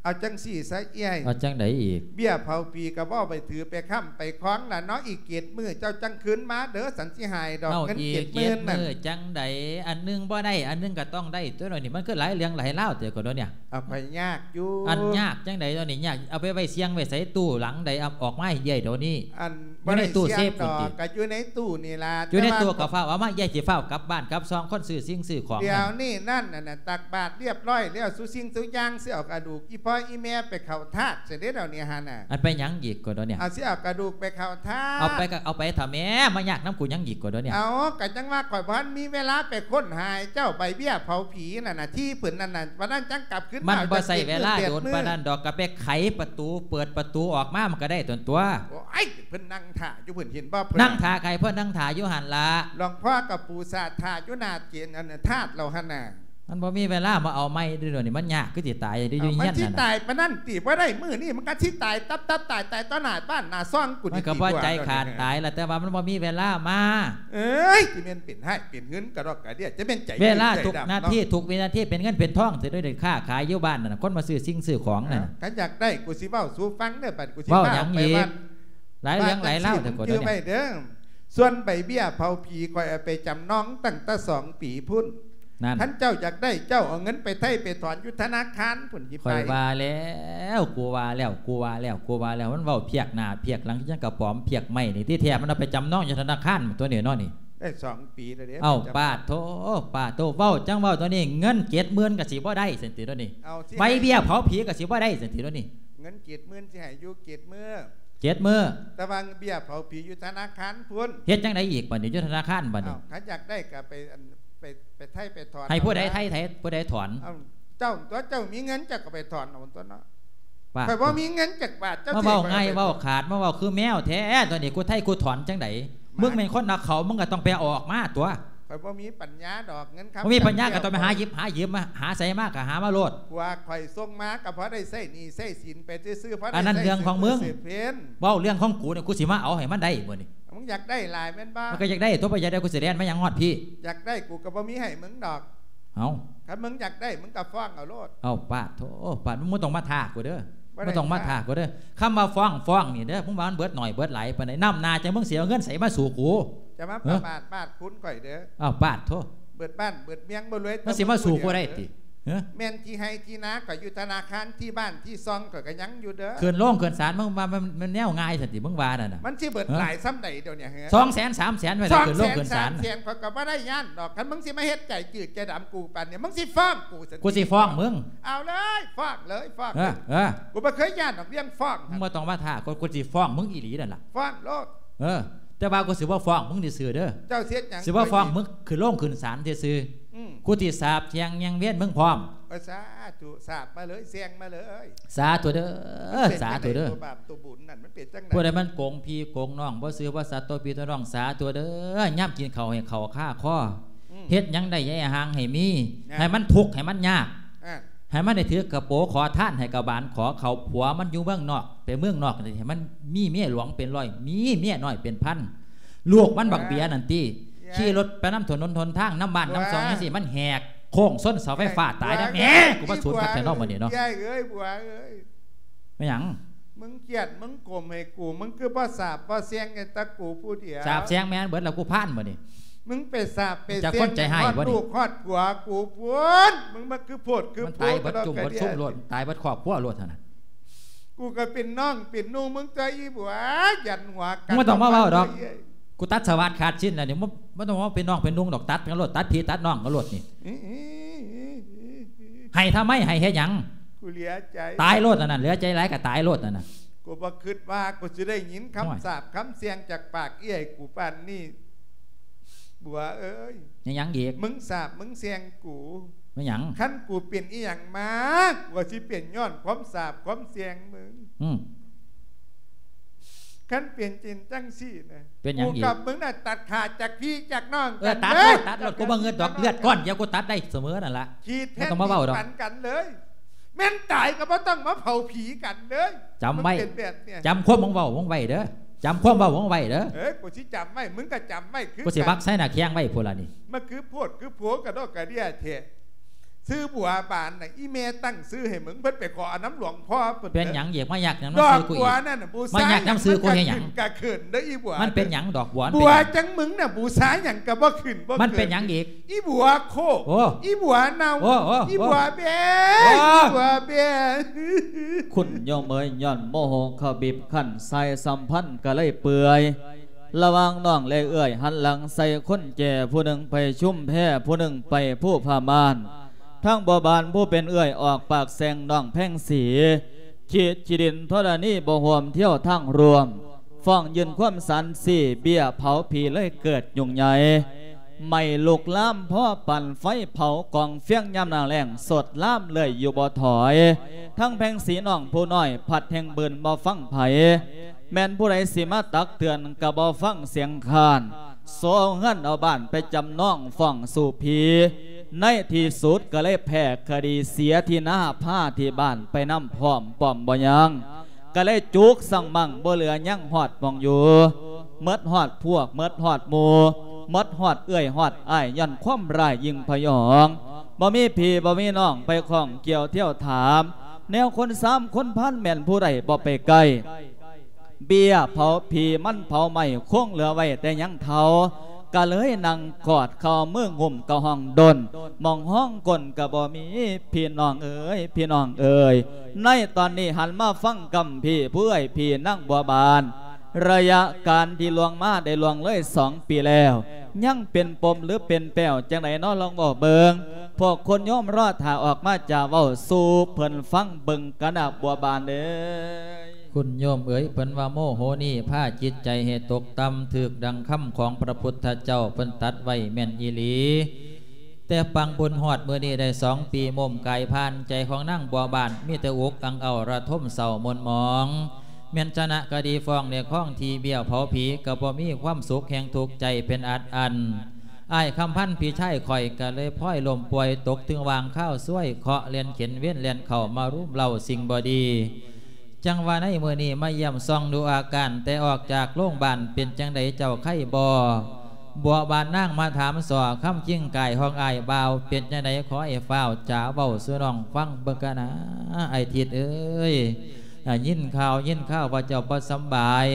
ເອົາຈັ່ງຊີ້ຊະເອື້ອຍ ເອົາຈັ່ງໃດອີກ? ເບ້ຍເຜົາຜີກໍບໍ່ໄປຖືໄປຄ້ຳໄປຄອງລະເນາະ. ອີກເຈັດມື້ເຈົ້າຈັ່ງຄືນມາເດີ ສັນຊິໃຫ້ດອກເງິນເຈັດໝື່ນນັ້ນ. ເອົາອີກເຈັດມື້ຈັ່ງໃດ? ອັນໜຶ່ງບໍ່ໄດ້ ອັນໜຶ່ງກໍຕ້ອງໄດ້ຕົວະເນາະ. ນີ້ມັນຄືຫຼາຍເລື່ອງຫຼາຍລາວແທ້ກໍດຽວນີ້. ເອົາ ຂ້ອຍຍາກຢູ່. ອັນຍາກຈັ່ງໃດດຽວນີ້? ຍາກ ເອົາໄປໄວ້ສ່ຽງໄວ້ໃສ? ຕູ້ຫຼັງໃດ? ເອົາອອກມາໃຫ້ເອື້ອຍດຽວນີ້. ອັນ ຢູ່ໃນຕູ້ເຊຟພຸ້ນຕິ? ກໍຢູ່ໃນຕູ້ນີ້ລະ. ຢູ່ໃນຕູ້ກໍຟ້າວເອົາມາ ເອື້ອຍຊິຟ້າວກັບບ້ານກັບຊ່ອງ ຄົນຊື້ສິ່ງຊື້ຂອງ. ດຽວນີ້ນັ້ນ ອັນນັ້ນ ຕັກບາດລຽບຮ້ອຍແລ້ວ ສູ່ສິ່ງສູ່ຢ່າງ ຊິເອົາກະດູກອີ່ພໍ່ອີ່ແມ່ໄປເຂົ້າທາດຊະເດ້ດຽວນີ້ຫັ້ນນະ. ອັນໄປຫຍັງອີກກໍດຽວນີ້? ເອົາ ຊິເອົາກະດູກໄປເຂົ້າທາດ. ເອົາໄປກໍເອົາໄປເຖາະແມ່ ມາຍາກນຳກູຫຍັງອີກກໍດຽວນີ້? ເອົາ ກໍຈັ່ງວ່າຂ້ອຍບໍ່ທັນມີເວລາໄປຄົ້ນຫາໃຫ້ເຈົ້າ ໃບເບ້ຍເຜົາຜີນັ້ນນະ ທີ່ເພິ່ນນັ້ນນະ ວັນນັ້ນຈັ່ງກັບຄືນມາ. ມັນບໍ່ໃຊ້ເວລາດົນປານນັ້ນດອກ ກໍໄປໄຂປະຕູ ເປີດປະຕູອອກມາ ມັນກໍໄດ້ຕົນຕົວະ. ໂອ້ຍ ເພິ່ນນັ່ງຖ້າຢູ່ພຸ້ນ ເຫັນບໍ່? ນັ່ງຖ້າໃຜ? ເພິ່ນນັ່ງຖ້າຢູ່ຫັ້ນລະ. ຫຼວງພໍ່ກັບປູຊາດຖ້າຢູ່ໜ້າເຈນ ອັນທາດເຮົາຫັ້ນນະ. ມັນບໍ່ມີເວລາມາເອົາໃໝ່ເດ້ດຽວນີ້. ມັນຍາກຄືຊິຕາຍເດ້ ຢູ່ເຮືອນນັ້ນນະ. ມັນຊິຕາຍປານນັ້ນຕິ? ບໍ່ໄດ້ ມື້ນີ້ມັນກໍຊິຕາຍຕັບໆ ຕາຍ ຕາຍຕໍ່ໜ້າບ້ານໜ້າຊ່ອງກູ. ມັນກໍບໍ່ໃຈຂາດຕາຍລະ ແຕ່ວ່າມັນບໍ່ມີເວລາມາ. ເອີຍ ຊິແມ່ນເປັນຮ້າຍເປັນຫືນກະດອກກະເດຍ ຈະແມ່ນໃຈ. ເວລາທຸກນາທີ ທຸກວິນາທີເປັນເງິນເປັນທອງຊິໄດ້ຄ້າຂາຍຢູ່ບ້ານນັ້ນນະ ຄົນມາຊື້ສິ່ງຊື້ຂອງນັ້ນ. ຄັນຢາກໄດ້ ກູຊິເວົ້າສູ່ຟັງເດີ ບັດກູຊິພາໄປວັດ. ຫຼາຍເລື່ອງຫຼາຍລາວແທ້ ກູເດີ. ສ່ວນໃບເບ້ຍເຜົາຜີ ຂ້ອຍເອົາໄປຈຳນອງຕັ້ງແຕ່ສອງປີພຸ້ນ. ນັ້ນ ຄັນເຈົ້າຢາກໄດ້ ເຈົ້າເອົາເງິນໄປໄຖ່ໄປຖອນຢູ່ທະນາຄານພຸ້ນ. ຂ້ອຍວ່າແລ້ວ ກູວ່າແລ້ວ ກູວ່າແລ້ວ ກູວ່າແລ້ວ. ມັນເວົ້າພຽກໜ້າພຽກຫຼັງ ຄືຫຍັງກະປອມພຽກໄມ້ນີ້. ທີ່ແທ້ມັນເອົາໄປຈຳນອງຢູ່ທະນາຄານຕົວະນີ້ເນາະນີ້. ໄດ້ສອງປີແລ້ວເດ້. ເອົ້າ ປາດໂທ ປາດໂທ ເວົ້າຈັ່ງເວົ້າຕົວະນີ້ ເງິນເຈັດໝື່ນກໍຊິບໍ່ໄດ້ຊັ້ນຕິຕົວະນີ້. ເອົາ ໃບເບ້ຍເຜົາຜີກໍຊິບໍ່ໄດ້ຊັ້ນຕິຕົວະນີ້. ເງິນເຈັດໝື່ນຊິໃຫ້ຢູ່ເຈັດມື້. ເຈັດມື້. ແຕ່ວ່າເບ້ຍເຜົາຜີຢູ່ທະນາຄານພຸ້ນ. ເຮັດຈັ່ງໃດອີກບັດນີ້ ຢູ່ທະນາຄານບັດນີ້? ເອົ້າ ຄັນຢາກໄດ້ກໍໄປ ອັນ ໄປ ໄປໄຖ່ໄປຖອນ. ໃຫ້ຜູ້ໃດໄຖ່ ໃຫ້ຜູ້ໃດຖອນ? ເອົ້າ ເຈົ້າຕົວະ ເຈົ້າມີເງິນເຈົ້າກໍໄປຖອນເອົາຕົວະເນາະ. ປາດ ຂ້ອຍບໍ່ມີເງິນຈັກບາດ ເຈົ້າ ມາເວົ້າງ່າຍເວົ້າຂາດ ມາເວົ້າຄືແມວແທ້ຕົວະນີ້. ກູໄຖ່ກູຖອນຈັ່ງໃດ? ມຶງແມ່ນຄົນນຳເຂົາ ມຶງກໍຕ້ອງໄປເອົາອອກມາຕົວະ. ຂ້ອຍບໍ່ມີປັນຍາດອກ ເງິນຄຳ ບໍ່ມີປັນຍາກໍຕ້ອງໄປຫາຢິບ ຫາຢືມມາ ຫາໃສມາກໍຫາມາໂລດ. ຜົວຂ້ອຍສົ່ງມາກໍພໍໄດ້ໃຊ້ໜີ້ໃຊ້ສິນໄປຊື່ໆ ພໍໄດ້ໃຊ້ ອັນນັ້ນເລື່ອງຂອງມຶງ. ເວົ້າເລື່ອງຂອງກູນີ້ ກູຊິມາເອົາໃຫ້ມັນໄດ້ມື້ນີ້. ມຶງຢາກໄດ້ຫຼາຍແມ່ນບໍ່? ມັນກໍຢາກໄດ້ຕົວະ ບໍ່ຢາກໄດ້ ກູຊິແລ່ນມາຫຍັງຮອດພີ້? ຢາກໄດ້ ກູກໍບໍ່ມີໃຫ້ມຶງດອກ. ເອົ້າ ຄັນມຶງຢາກໄດ້ ມຶງກໍຟ້ອງເອົາໂລດ. ເອົ້າ ປາດໂທ ປາດ ມຶງບໍ່ຕ້ອງມາທ້າກູເດີ ບໍ່ຕ້ອງມາທ້າກູເດີ. ຄຳວ່າຟ້ອງ ຟ້ອງນີ້ເດີ ມຶງວ່າມັນເບິດໜ້ອຍເບິດຫຼາຍປານໃດ? ນຳໜ້າຈັ່ງ ມຶງຊິເອົາເງິນໃສມາສູ້ກູ? ຈະມາປະມາດບາດຄຸນຂ້ອຍເດີ. ເອົ້າ ປາດໂທ ເບິດບ້ານເບິດເມືອງບໍ່ລວຍ ມັນຊິມາສູ້ກູໄດ້ຕິ? ຮະ ແມ່ນທີ່ໄຮ່ທີ່ນາຂ້ອຍຢູ່ທະນາຄານ ທີ່ບ້ານທີ່ຊ່ອງຂ້ອຍກໍຍັງຢູ່ເດີ. ຂຶ້ນໂລງຂຶ້ນສານ ມຶງວ່າມັນ ມັນແນວງ່າຍຊັ້ນຕິ ມຶງວ່ານັ້ນນະ? ມັນຊິເບິດຫຼາຍສ່ຳໃດດຽວນີ້? ສອງແສນ ສາມແສນ ໄວ້ແລ້ວຂຶ້ນໂລງຂຶ້ນສານ. ສອງແສນ ສາມແສນ ຂ້ອຍກໍບໍ່ໄດ້ຢ້ານດອກ. ຄັນມຶງຊິມາເຮັດໃຈຈືດໃຈດຳກູປານນີ້ ມຶງຊິຟ້ອງກູຊັ້ນ. ກູຊິຟ້ອງມຶງ. ເອົາເລີຍ ຟ້ອງເລີຍ ຟ້ອງ. ເອີ ເອີ ກູບໍ່ເຄີຍຢ້ານດອກເລື່ອງຟ້ອງ. ມຶງບໍ່ຕ້ອງມາທ້າ ກູ ກູຊິຟ້ອງມຶງອີ່ຫຼີນັ້ນລະ. ຟ້ອງໂລດ. ເອີ ແຕ່ວ່າກູຊິບໍ່ຟ້ອງມຶງຊື່ໆເດີ. ເຈົ້າຊິເຮັດຫຍັງ? ຊິບໍ່ຟ້ອງມຶງ ຂຶ້ນໂລງຂຶ້ນສານຊື່ໆ. ອືມ ກູຊິສາບແຊ່ງຍັງວຽນມຶງພ້ອມ. ໂອ້ຍ ສາທຸ ສາບມາເລີຍ ແຊ່ງມາເລີຍ. ສາທຸເດີ ສາທຸເດີ. ຜູ້ໃດມັນໂກງພີ່ໂກງນ້ອງ ບໍ່ຊື່ວ່າສັດຕໍ່ພີ່ຕໍ່ນ້ອງ ສາທຸເດີ. ຍາມກິນເຂົ້າໃຫ້ເຂົ້າຄາຄໍ ອືມ ເຮັດຫຍັງໄດ້ຢ່າໃຫ້ຫ່າງໃຫ້ມີ ນະ ໃຫ້ມັນທຸກໃຫ້ມັນຍາກ ອ່າ ໃຫ້ມັນໄດ້ຖືກກະໂປຂໍທານ ໃຫ້ກະບານຂໍເຂົ້າ. ຜົວມັນຢູ່ເມືອງນອກ ໄປເມືອງນອກນີ້ ໃຫ້ມັນມີເມຍຫຼວງເປັນຮ້ອຍ ມີເມຍນ້ອຍເປັນພັນ. ລູກມັນບັກເບຍນັ້ນຕິ ອ່າ ຂີ່ລົດໄປນຳຖະໜົນຫົນທາງ ນຳບ້ານນຳຊ່ອງ ອ່າ ຈັ່ງຊີ້ ມັນແຫກໂຄ້ງຊົນເສົາໄຟຟ້າຕາຍນະ. ແມ່ ກູມາສູນຄັກແທ້ເນາະມື້ນີ້ເນາະ. ເອີຍ ບົວເອີຍ ແມ່ນຫຍັງ? ມຶງກຽດ ມຶງກົມໃຫ້ກູ ມຶງຄືບໍ່ສາບບໍ່ແຊ່ງໃຫ້ແຕ່ກູຜູ້ດຽວ? ສາບແຊ່ງແມ່ນເບິດແລ້ວ ກູພານມື້ນີ້. ມຶງໄປສາບໄປແຊ່ງ ຈັ່ງຄົນໃຈຮ້າຍບໍ່ນີ້? ຮອດລູກຮອດຜົວກູພຸ້ນ. ມຶງມາຄືໂພດຄືໂພ ມັນຕາຍເບິດຈຸ້ມເບິດຊຸມໂລດ ຕາຍເບິດຄອບຄົວໂລດຫັ້ນນະ. ກູກໍເປັນນ້ອງເປັນນຸ່ງມຶງຕົວະ ອີບົວ ຢັນຫົວກັນ. ມຶງບໍ່ຕ້ອງມາເວົ້າດອກ. ກູຕັດສະຫວັດຂາດສິ້ນແລ້ວນີ້. ບໍ່ ບໍ່ຕ້ອງມາເປັນນ້ອງເປັນນຸ່ງດອກ ຕັດກັນໂລດ ຕັດພີ່ຕັດນ້ອງກັນໂລດນີ້. ໃຫ້ທຳໄມ? ໃຫ້ເຮັດຫຍັງ? ກູເຫຼືອໃຈ. ຕາຍໂລດອັນນັ້ນ ເຫຼືອໃຈຫຼາຍກໍຕາຍໂລດອັນນັ້ນ. ກູບໍ່ຄິດວ່າກູຊິໄດ້ຍິນຄຳ ໂອ້ຍ ສາບຄຳແຊ່ງຈາກປາກເອື້ອຍກູປານນີ້ ບົວເອີຍ. ແມ່ນຫຍັງອີກ? ມຶງສາບມຶງແຊ່ງກູ. ແມ່ນຫຍັງ? ຄັນກູເປັນອີ່ຫຍັງມາ ກູກໍຊິເປັນຍ້ອນຄວາມສາບຄວາມແຊ່ງມຶງ. ອືມ. ຄັນເປັນຈິງຈັ່ງຊີ້ນະ ເປັນຫຍັງອີກ? ກູກັບມຶງນະ ຕັດຂາດຈາກພີ່ຈາກນ້ອງ ເອີ ກັນເລີຍ ຕັດໂລດ ຕັດໂລດ ກູບໍ່ເງິນດອກ ເລືອດກ້ອນດຽວ ກູຕັດໄດ້ສະເໝີນັ້ນລະ ຂີດແທນ ບໍ່ມາເວົ້າດອກ ຜິດປັນກັນເລີຍ ແມ່ນຕາຍກໍບໍ່ຕ້ອງມາເຜົາຜີກັນເລີຍ ຈຳໄວ້ ມຶງເປັນແບບນີ້ ຈຳຄວາມມຶງເວົ້າມຶງໄວ້ເດີ ຈຳຄວາມເວົ້າມຶງໄວ້ເດີ ເອີ ກູຊິຈຳໄວ້ ມຶງກໍຈຳໄວ້ຄືກັນ ກູຊິບັກໃສ່ໜ້າແຂ້ງໄວ້ພຸ້ນລະນີ້ ມາຄືໂພດຄືໂພກະດອກກະເດຍແທ້ ຊື່ບົວບານນະ ອີ່ແມ່ຕັ້ງຊື່ໃຫ້ມຶງ ເພິ່ນໄປຂໍເອົານຳຫຼວງພໍ່ເພິ່ນ ເປັນຫຍັງອີກ? ມາຍາກນຳຊື່ກູອີກ ມາຍາກນຳຊື່ກູເຮັດຫຍັງ? ກະເຂີນເດີອີບົວ ມັນເປັນຫຍັງດອກບົວ? ບົວຈັ່ງມຶງນະ ບູຊາຫຍັງກະບໍ່ຂຶ້ນບໍ່ເກີດ ມັນເປັນຫຍັງອີກ? ອີບົວໂຄກ ໂອ້ ອີບົວເນົ່າ ໂອ້ ໂອ້ ອີບົວແບ້ ໂອ້ ອີບົວແບ້ ຄຸນໂຍມເອີຍ ຍ້ອນໂມໂຫເຂົາບີບຄັ້ນ ສາຍສຳພັນກະເລີຍເປື່ອຍ ລະຫວ່າງນ້ອງແລະເອື້ອຍ ຫັນຫຼັງໃສ່ຄົນແກ່ ຜູ້ໜຶ່ງໄປຊຸມແພ ຜູ້ໜຶ່ງໄປພູຜາມ່ານ ທາງບົວບານຜູ້ເປັນເອື້ອຍອອກປາກແຊ່ງນ້ອງແພງສີ ຂີດຂີ້ດິນທໍລະນີບໍ່ຮ່ວມທຽວທາງຮ່ວມ ຟ້ອງຍື່ນຄວາມສານຊີ້ ເບ້ຍເຜົາຜີເລີຍເກີດຫຍຸ້ງໃຫຍ່ ໄໝ້ລຸກລາມພໍປານໄຟເຜົາກອງຟຽງຍາມໜ້າແລ້ງ ສົດລາມເລື້ອຍຢູ່ບໍ່ຖອຍ ທັງແພງສີນ້ອງຜູ້ນ້ອຍ ພັດແຮ່ງບືນບໍ່ຟັງໃຜ ແມ່ນຜູ້ໃດຊິມາຕັກເຕືອນກໍບໍ່ຟັງສຽງຄ້ານ ໂຊເອົາເຮືອນເອົາບ້ານໄປຈຳນອງຟ້ອງສູ້ຜີ ໃນທີ່ສຸດກໍເລີຍແພ້ຄະດີເສຍທີ່ນາ ພາທີ່ບ້ານໄປນຳພ້ອມປ້ອມບໍ່ຍັງ ກໍເລີຍຈຸກສັງມັງບໍ່ເຫຼືອຍັງຮອດໝ່ອງຢູ່ ໝົດຮອດພວກ ໝົດຮອດໝູ່ ໝົດຮອດເອື້ອຍຮອດອ້າຍ ຍ້ອນຄວາມຮ້າຍຍິ່ງພະຍອງ ບໍ່ມີພີ່ບໍ່ມີນ້ອງໄປຂ້ອງກ່ຽວທຽວຖາມ ແນວຄົນສາມຄົນພັນແມ່ນຜູ້ໃດບໍ່ໄປໃກ້ ເບ້ຍເຜົາຜີມັນເຜົາໄໝ້ ຄົງເຫຼືອໄວ້ແຕ່ຍັງເທົ້າ ກະເລີຍນັ່ງກອດເຂົ່າມືງຸ້ມກະຮ້ອງດົນ ໝ່ອງຮອງກົ້ນກະບໍ່ມີ ພີ່ນ້ອງເອີຍ ພີ່ນ້ອງເອີຍ ໃນຕອນນີ້ຫັນມາຟັງກຳພີ່ ຜູ້ເອື້ອຍພີ່ນາງບົວບານ ໄລຍະການທີ່ລ່ວງມາໄດ້ລ່ວງເລີຍສອງປີແລ້ວ ຍັງເປັນປົມຫຼືເປັນແປ້ວຈັ່ງໃດນໍ ລອງເວົ້າເບິ່ງ ພວກຄົນໂຍມລໍຖ້າອອກມາຈາເວົ້າສູ່ເພິ່ນຟັງເບິ່ງກັນນະ ບົວບານເອີຍ. ຄຸນໂຍມເອີຍ ເພິ່ນວ່າໂມໂຫນີ້ພາຈິດໃຈໃຫ້ຕົກຕ່ຳ ຖືກດັ່ງຄຳຂອງພະພຸດທະເຈົ້າເພິ່ນຕັດໄວ້ແມ່ນອີ່ຫຼີ. ແຕ່ປາງບຸນຮອດມື້ນີ້ໄດ້ສອງປີ ໂມມກາຍຜ່ານ ໃຈຂອງນາງບົວບານມີແຕ່ອຸກອັ່ງເອົ້າ ລະທົມເສົ້າໝົນໝອງ ແມ່ນຊະນະຄະດີຟ້ອງເລີຍຄອງທີ່ເບ້ຍເຜົາຜີ ກໍບໍ່ມີຄວາມສຸກ ແຮ່ງທຸກໃຈເປັນອັດອັ່ນ. ອ້າຍຄຳພັນ ພີ່ຊາຍຂ້ອຍ ກໍເລີຍພອຍລົ້ມປ່ວຍ ຕົກເຖິງຫວ່າງຄາວຊວຍ ເຄາະແລ່ນເຂັນ ເວນແລ່ນເຂົ້າມາລຸມເລົ້າສິ່ງບໍ່ດີ. ຈັ່ງວ່າໃນມື້ນີ້ມາຢ້ຽມສ່ອງດູອາການ ແຕ່ອອກຈາກໂລງບານ ເປັນຈັ່ງໃດເຈົ້າໄຄບໍ່? ບົວບານນາງມາຖາມສໍ້ ຄຳຈິງກາຍຂອງອ້າຍບ່າວ ເປັນຈັ່ງໃດ ຂໍໃຫ້ຟ້າວຈາເວົ້າສູ່ນ້ອງຟັງເບິ່ງກະນາ ອ້າຍທິດເອີຍ. ອ່າ ຍິນຂ່າວ ຍິນຂ່າວວ່າເຈົ້າບໍ່ສຳບາຍ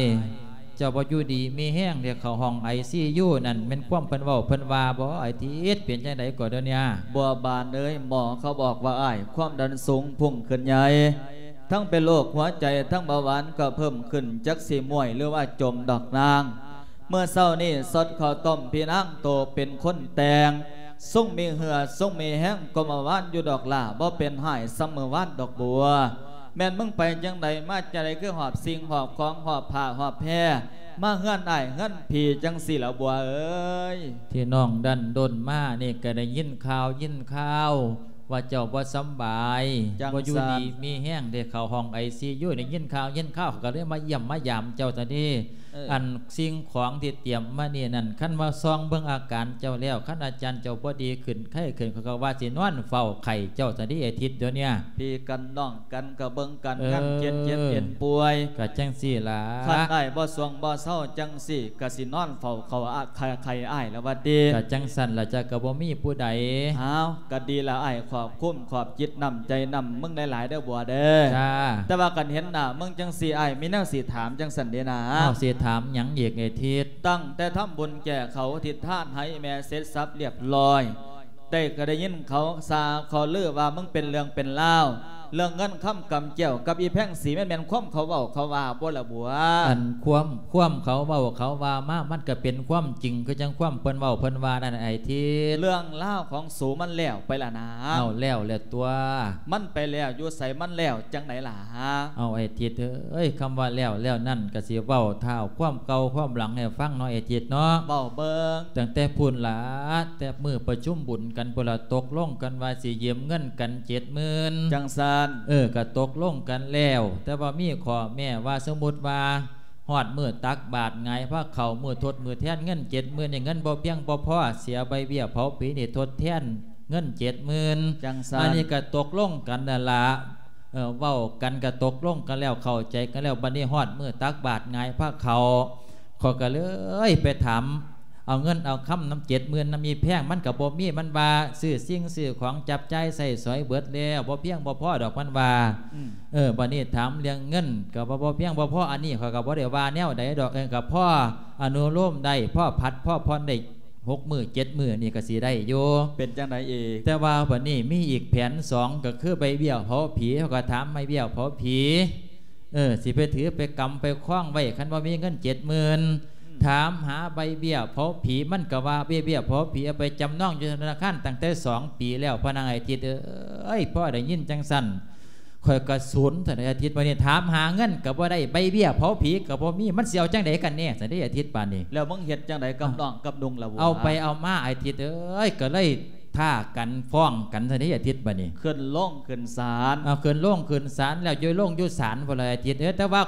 ເຈົ້າບໍ່ຢູ່ດີມີແຮງ ໄດ້ເຂົ້າຫ້ອງໄອຊີຢູນັ້ນ ແມ່ນຄວາມເພິ່ນເວົ້າເພິ່ນວ່າບໍ່ ອ້າຍທິດ? ເປັນຈັ່ງໃດກໍດຽວນີ້? ບົວບານເອີຍ ໝໍເຂົາບອກວ່າອ້າຍຄວາມດັນສູງພຸ່ງຂຶ້ນໃຫຍ່ ທັງເປັນໂລກຫົວໃຈ ທັງເບົາຫວານກໍເພີ່ມຂຶ້ນ ຈັກຊິມ້ວຍ ຫຼືວ່າຈົມດອກນາງ. ເມື່ອເຊົ້ານີ້ ສອດເຂົ້າຕົ້ມ ພີ່ນາງໂຕເປັນຄົນແຕ່ງ ຊົງມີເຫື່ອຊົງມີແຮງກວ່າເມື່ອວານຢູ່ດອກຫຼ້າ ບໍ່ເປັນຮ້າຍສ່ຳເມື່ອວານດອກບົວ. ແມ່ນມຶງໄປຈັ່ງໃດມາຈັ່ງໃດ ຄືຫອບສິ່ງຫອບຂອງ ຫອບຜ້າຫອບແພ ມາເຮືອນອ້າຍເຮືອນພີ່ຈັ່ງຊີ້ລະບົວເອີຍ? ທີ່ນ້ອງດັນດົນມານີ້ ກໍໄດ້ຍິນຂ່າວ ຍິນຂ່າວວ່າເຈົ້າບໍ່ສຳບາຍ ບໍ່ຢູ່ດີມີແຮງ ໄດ້ເຂົ້າຫ້ອງໄອຊີຢູ ໄດ້ຍິນຂ່າວ ຍິນຂ່າວ ກໍເລີຍມາຢ້ຽມມາຢາມເຈົ້າຊະນີ້. ເອີ ອັນສິ່ງຂອງທີ່ຕຽມມານີ້ນັ້ນ ຄັນວ່າສ່ອງເບິ່ງອາການເຈົ້າແລ້ວ ຄັນອາຈານເຈົ້າບໍ່ດີຂຶ້ນ ໄຂ້ຂຶ້ນ ເຂົາກໍວ່າຊິນອນເຝົ້າໄຂ້ເຈົ້າຊະນີ້ ອາທິດດຽວນີ້. ພີ່ກັນນ້ອງກັນກໍເບິ່ງການງານ ເອີ ເຈັບເຈັບເອັນປ່ວຍ ກໍຈັ່ງຊີ້ລະ. ຄັນອ້າຍບໍ່ສວງບໍ່ເຊົາຈັ່ງຊີ້ ກໍຊິນອນເຝົ້າເຂົາອະ ໄຂ້ ໄຂ້ອ້າຍລະວ່າຕິ. ກໍຈັ່ງຊັ້ນລະ ເຈົ້າກໍບໍ່ມີຜູ້ໃດ. ອ້າວ ກໍດີລະ ອ້າຍຂອບຄຸນຂອບຈິດນ້ຳໃຈນ້ຳມຶງຫຼາຍໆເດີບົວເດີ. ຈ້າ. ແຕ່ວ່າຄັນເຫັນໜ້າມຶງຈັ່ງຊີ້ ອ້າຍມີແນວຊິຖາມຈັ່ງຊັ້ນເດນາ. ເອົາ ຊິຖາມຫຍັງອີກ ເອທິດ? ຕັ້ງແຕ່ທຳບຸນແກ່ເຂົາ ທິດທານໃຫ້ແມ່ເສັດສັບລຽບລ້ອຍ ໄດ້ ກໍໄດ້ຍິນເຂົາຊ່າເຂົາລືວ່າມຶງເປັນເລື່ອງເປັນລາວ ເລື່ອງເງິນຄຳກຳແກ້ວກັບອີ່ແພງສີ ແມ່ນ ແມ່ນຄວາມເຂົາເວົ້າເຂົາວ່າບໍ່ລະບົວ? ອັນຄວາມ ຄວາມເຂົາເວົ້າເຂົາວ່າມາ ມັນກໍເປັນຄວາມຈິງ ຄືຈັ່ງຄວາມເພິ່ນເວົ້າເພິ່ນວ່ານັ້ນ ອ້າຍທິດ. ເລື່ອງລາວຂອງສູມັນແລ້ວໄປລະນາ. ເອົາ ແລ້ວແລ້ວຕົວະ. ມັນໄປແລ້ວຢູ່ໃສ ມັນແລ້ວຈັ່ງໃດລະ? ເອົາ ອ້າຍທິດເອີຍ ຄຳວ່າແລ້ວ ແລ້ວນັ້ນ ກໍຊິເວົ້າທ້າວຄວາມເກົ່າຄວາມຫຼັງໃຫ້ຟັງເນາະ ອ້າຍທິດເນາະ. ເວົ້າເບິ່ງ. ຕັ້ງແຕ່ພຸ້ນລະ ແຕ່ມື້ປະຊຸມບຸນກັນພຸ້ນລະ ຕົກລົງກັນວ່າຊິຢືມເງິນກັນເຈັດໝື່ນ ຈັ່ງຊັ້ນ. ເອີ ກໍຕົກລົງກັນແລ້ວ ແຕ່ວ່າມີຂໍ້ແມ້ວ່າ ສົມມຸດວ່າ ຮອດມື້ຕັກບາດຫງາຍພາເຂົ້າ ມື້ທົດມື້ແທນເງິນເຈັດໝື່ນນີ້ ເງິນບໍ່ພຽງບໍ່ພໍ ເສຍໃບເບ້ຍເຜົາຜີນີ້ທົດແທນເງິນເຈັດໝື່ນ ຈັ່ງຊັ້ນ ອັນນີ້ກໍຕົກລົງກັນນັ້ນລະ ເອີ ເວົ້າກັນກໍຕົກລົງກັນແລ້ວ ເຂົ້າໃຈກັນແລ້ວ ບັດນີ້ຮອດມື້ຕັກບາດຫງາຍພາເຂົ້າ ຂ້ອຍກໍເລີຍໄປຖາມ ເອົາເງິນເອົາຄຳນຳເຈັດໝື່ນນຳອີ່ແພງ ມັນກໍບໍ່ມີ ມັນວ່າຊື້ສິ່ງຊື້ຂອງຈັບຈ່າຍໃຊ້ສອຍເບິດແລ້ວ ບໍ່ພຽງບໍ່ພໍດອກ ມັນວ່າ ອືມ ເອີ ບັດນີ້ຖາມເລື່ອງເງິນກໍວ່າບໍ່ພຽງບໍ່ພໍ ອັນນີ້ຂ້ອຍກໍບໍ່ໄດ້ວ່າແນວໃດດອກ ເອີ ກໍພໍອະນຸໂລມໄດ້ ພໍຜັດພໍຜ່ອນໄດ້ ຫົກມື້ເຈັດມື້ນີ້ກໍຊິໄດ້ຢູ່ ເປັນຈັ່ງໃດອີກ? ແຕ່ວ່າບັດນີ້ມີອີກແຜນສອງ ກໍຄືໃບເບ້ຍເຜົາຜີ ເຮົາກໍຖາມໃບເບ້ຍເຜົາຜີ ເອີ ຊິໄປຖືໄປກຳໄປຄອງໄວ້ ຄັນບໍ່ມີເງິນເຈັດໝື່ນ ອືມ ຖາມຫາໃບເບ້ຍເຜົາຜີ ມັນກໍວ່າເບ້ຍ ເບ້ຍເຜົາຜີເອົາໄປຈຳນອງຢູ່ທະນາຄານຕັ້ງແຕ່ສອງປີແລ້ວ ພໍ່ນາງອາທິດເອີຍ ພໍໄດ້ຍິນຈັ່ງຊັ້ນ ຂ້ອຍກໍສູນ ທ່ານອາທິດ ບັດນີ້ຖາມຫາເງິນກໍບໍ່ໄດ້ ໃບເບ້ຍເຜົາຜີກໍບໍ່ມີ ມັນຊິເອົາຈັ່ງໃດກັນແນ່ ຊັ້ນເດ ອາທິດ ບາດນີ້ ແລ້ວມຶງເຮັດຈັ່ງໃດກັບ ອ້າວ ນ້ອງກັບນຸ່ງລະບົວ? ເອົາໄປເອົາມາ ອາທິດເອີຍ ກໍເລີຍທ້າກັນຟ້ອງກັນ ຊັ້ນເດ ອາທິດ ບາດນີ້ ຂຶ້ນໂລງຂຶ້ນສານ ເອົາ ຂຶ້ນໂລງຂຶ້ນສານ ແລ້ວຢູ່ໂລງຢູ່ສານພຸ້ນລະ ອາທິດເອີຍ ແຕ່ວ່າ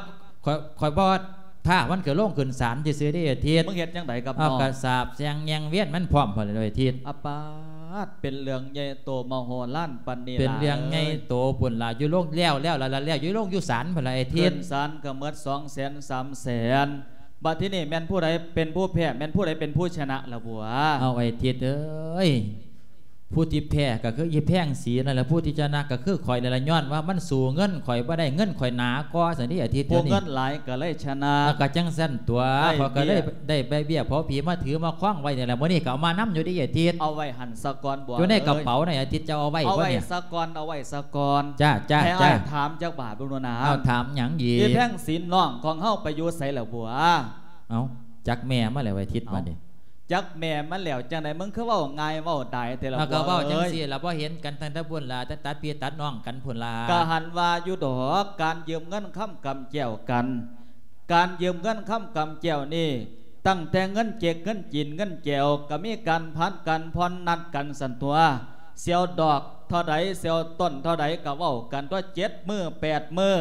ຂ້ອຍ ຂ້ອຍບໍ່ ຖ້າມັນກໍລົງຂຶ້ນສານຊື່ໆເດ້ອາທິດ ມຶງເຮັດຈັ່ງໃດກັບ ເອົາ ນ້ອງ? ກໍສາບແຊ່ງແຍ່ງວຽນມັນພ້ອມພຸ້ນລະອາທິດ ອາປາດ ເປັນເລື່ອງໃຫຍ່ໂຕມະໂຫລານປານນີ້ ເປັນເລື່ອງໃຫຍ່ໂຕພຸ້ນລະ ຢູ່ໂລງແລ້ວ ແລ້ວລະ ແລ້ວຢູ່ໂລງຢູ່ສານພຸ້ນລະອາທິດ ຂຶ້ນສານກໍໝົດສອງແສນສາມແສນ ບັດທີນີ້ແມ່ນຜູ້ໃດເປັນຜູ້ແພ້ ແມ່ນຜູ້ໃດເປັນຜູ້ຊະນະລະບົວ? ເອົາ ອາທິດເອີຍ ຜູ້ທີ່ແພ້ກໍຄືອີ່ແພງສີນັ້ນແຫຼະ ຜູ້ທີ່ຊະນະກໍຄືຂ້ອຍນັ້ນລະ ຍ້ອນວ່າມັນສູ້ເງິນຂ້ອຍບໍ່ໄດ້ ເງິນຂ້ອຍໜາກວ່າຊັ້ນເດ ອາທິດ ຜູ້ເງິນຫຼາຍກໍເລີຍຊະນະ ກໍຈັ່ງຊັ້ນຕົວະ ຂ້ອຍກໍເລີຍໄດ້ໃບເບ້ຍເຜົາຜີມາຖືມາຄອງໄວ້ນີ້ລະ ມື້ນີ້ກໍເອົາມານຳຢູ່ເດ ອາທິດ ເອົາໄວ້ຫັ້ນສາກ່ອນ ບົວ ຢູ່ໃນກະເປົານັ້ນ ອາທິດ ເຈົ້າເອົາໄວ້ບໍ່ນີ້? ເອົາໄວ້ສາກ່ອນ ເອົາໄວ້ສາກ່ອນ ຈ້າ ຈ້າ ໃຫ້ອ້າຍຖາມຈັກບາດເບິ່ງດູນະ ເອົາ ຖາມຫຍັງອີກ? ອີ່ແພງສີນ້ອງຂອງເຮົາໄປຢູ່ໃສລະບົວ? ເອົາ ຈັກແມ່ມາແລ້ວ ອາທິດ ເອົ້າ ບັດນີ້ ຈັກແມ່ມັນແລ້ວຈັ່ງໃດ ມຶງຄືເວົ້າງ່າຍເວົ້າດາຍແທ້ລະ ເຮົາກໍເວົ້າຈັ່ງຊີ້ລະ ບໍ່ເຫັນກັນຕັ້ງແຕ່ພຸ້ນລະ ແຕ່ຕັດພີ່ຕັດນ້ອງກັນພຸ້ນລະ ກໍຫັ້ນວ່າຢູ່ດອກ ການຢືມເງິນຄຳກຳແກ້ວກັນ ການຢືມເງິນຄຳກຳແກ້ວນີ້ ຕັ້ງແຕ່ເງິນເຈັກ ເງິນຈີນ ເງິນແຈວ ກໍມີການຜັດກັນຜ່ອນນັດກັນຊັ້ນຕົວະ ຊິເອົາດອກເທົ່າໃດ ຊິເອົາຕົ້ນເທົ່າໃດ ກໍເວົ້າກັນຕົວະ ເຈັດມື້ແປດມື້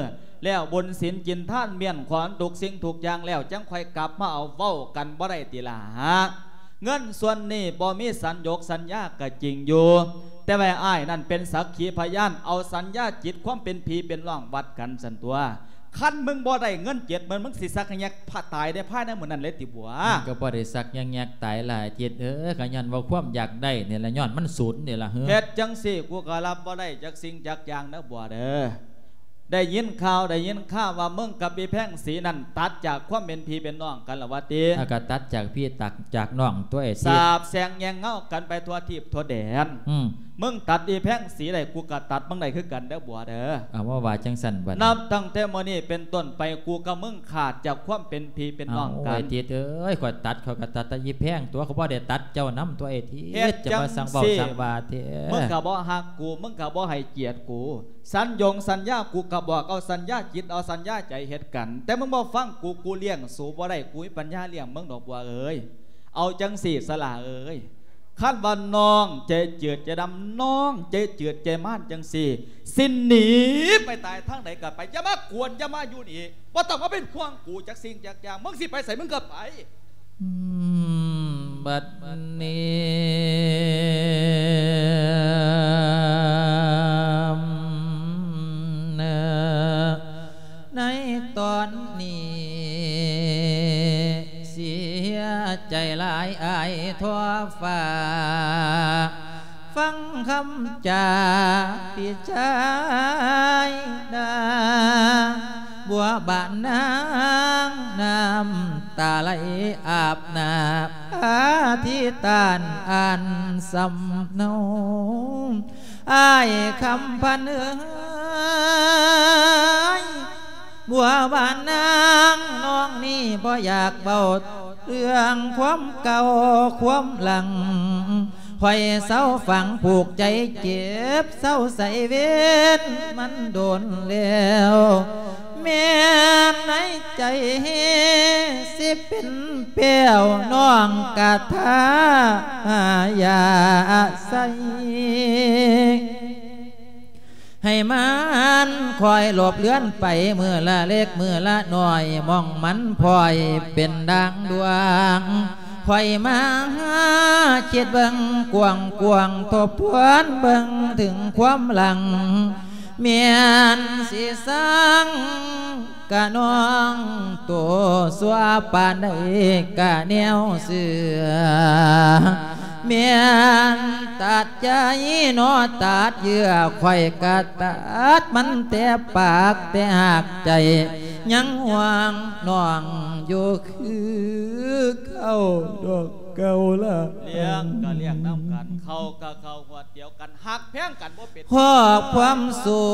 ແລ້ວບຸນສິນກິນທານມ້ຽນຂອງທຸກສິ່ງທຸກຢ່າງແລ້ວ ຈັ່ງຄ່ອຍກັບມາເອົາ ເວົ້າກັນບໍ່ໄດ້ຕິລະ? ເງິນສ່ວນນີ້ບໍ່ມີສັນຢົກສັນຍາກໍຈິງຢູ່ ແຕ່ວ່າອ້າຍນັ້ນເປັນສັກຂີພະຍານ ເອົາສັນຍາຈິດຄວາມເປັນພີ່ເປັນນ້ອງວັດກັນຊັ້ນຕົວະ ຄັນມຶງບໍ່ໄດ້ເງິນເຈັດໝື່ນ ມຶງຊິສັກແຍກຕາຍໃນພາຍໃນມື້ນັ້ນເລີຍຕິບົວ? ມັນກໍບໍ່ໄດ້ສັກແຍກຕາຍຫຼາຍ ອາທິດເອີຍ ກໍຍ້ອນວ່າຄວາມຢາກໄດ້ນີ້ລະ ຍ້ອນມັນສູນນີ້ລະ ເຮັດຈັ່ງຊີ້ ກູກໍຮັບບໍ່ໄດ້ຈັກສິ່ງຈັກຢ່າງເດີບົວເດີ. ໄດ້ຍິນຂ່າວ ໄດ້ຍິນຂ່າວວ່າມຶງກັບອີ່ແພງສີນັ້ນຕັດຈາກຄວາມເປັນພີ່ເປັນນ້ອງກັນລະວະຕິ? ອາ ກໍຕັດຈາກພີ່ຕັດຈາກນ້ອງຕົວ ອາທິດ ສາບແຊ່ງແຍງເງົາກັນໄປທົ່ວທີບທົ່ວແດນ. ອືມ ມຶງຕັດອີ່ແພງສີໄດ້ ກູກໍຕັດມຶງໄດ້ຄືກັນເດີບົວເດີ. ເອົາ ວ່າ ວ່າຈັ່ງຊັ້ນບັດນີ້ ນັບຕັ້ງແຕ່ມື້ນີ້ເປັນຕົ້ນໄປ ກູກັບມຶງຂາດຈາກຄວາມເປັນພີ່ເປັນນ້ອງກັນ. ເອົາ ອາທິດເອີຍ ຂ້ອຍຕັດ ຂ້ອຍກໍຕັດແຕ່ອີ່ແພງຕົວະ ຂ້ອຍບໍ່ໄດ້ຕັດເຈົ້ານຳຕົວ ອາທິດ. ຈະມາສັ່ງເວົ້າສັ່ງວ່າແທ້ ມຶງກໍບໍ່ຮັກກູ ມຶງກໍບໍ່ໃຫ້ກຽດກູ. ສັນຢົງສັນຍາ ກູກໍບອກເອົາສັນຍາຈິດເອົາສັນຍາໃຈເຮັດກັນ ແຕ່ມຶງບໍ່ຟັງກູ ກູລ້ຽງສູບໍ່ໄດ້ ກູມີປັນຍາລ້ຽງມຶງດອກບົວເອີຍ. ເອົາຈັ່ງຊີ້ສະຫຼ້າເອີຍ ຄັນວ່ານ້ອງໃຈຈືດໃຈດຳ ນ້ອງໃຈຈືດໃຈມານຈັ່ງຊີ້ ຊິໜີໄປຕາຍທາງໃດກໍໄປ ຢ່າມາກວນ ຢ່າມາຢູ່ນີ້ ບໍ່ຕ້ອງມາເປັນຫ່ວງກູຈັກສິ່ງຈັກຢ່າງ ມຶງຊິໄປໃສ ມຶງກໍໄປ. ອືມ ບັດນີ້ ໃນຕອນນີ້ ເສຍໃຈຫຼາຍອາຍທົ່ວຟ້າ ຟັງຄຳຈາພີ່ຊາຍນາ ບົວບານນາງ ນ້ຳຕາໄຫຼອາບໜ້າ ອາທິຕານອັນສຳເນົາ ອ້າຍຄຳພັນເອີຍ ບົວບານນາງ ນ້ອງນີ້ບໍ່ຢາກເວົ້າເລື່ອງຄວາມເກົ່າຄວາມຫຼັງ ຂ້ອຍເຊົາຝັງຜູກໃຈເຈັບ ເຊົາໃສ່ເວນມັນດົນແລ້ວ ແມ່ນໃນໃຈຊິເປັນແປ້ວ ນ້ອງກະທາຢາໃສ. ໃຫ້ມັນຄ່ອຍຫຼົບເລືອນໄປ ມື້ລະເລັກມື້ລະນ້ອຍ ໝ່ອງມັນພອຍເປັນດ່າງດວງ. ຂ້ອຍມາຄິດເບິ່ງກວ້າງໆ ທົບທວນເບິ່ງເຖິງຄວາມຫຼັງ ແມ່ນຊິສັງ ກະນ້ອງໂຕຊົ່ວປານໃດກະແນວເຊື່ອ ແມ່ນຕັດໃຈເນາະ ຕັດເຍື່ອ ຂ້ອຍກະຕັດມັນແຕ່ປາກແຕ່ຫາກໃຈ ຍັງຫ່ວງນ້ອງຢູ່ຄືເກົ່າດອກເກົ່າລະ. ລ້ຽງກະລ້ຽງນຳກັນ ເຂົ້າກະເຂົ້າຮວດດຽວກັນ ຮັກແພງກັນບໍ່ເປັນ ຄອບຄວາມສູ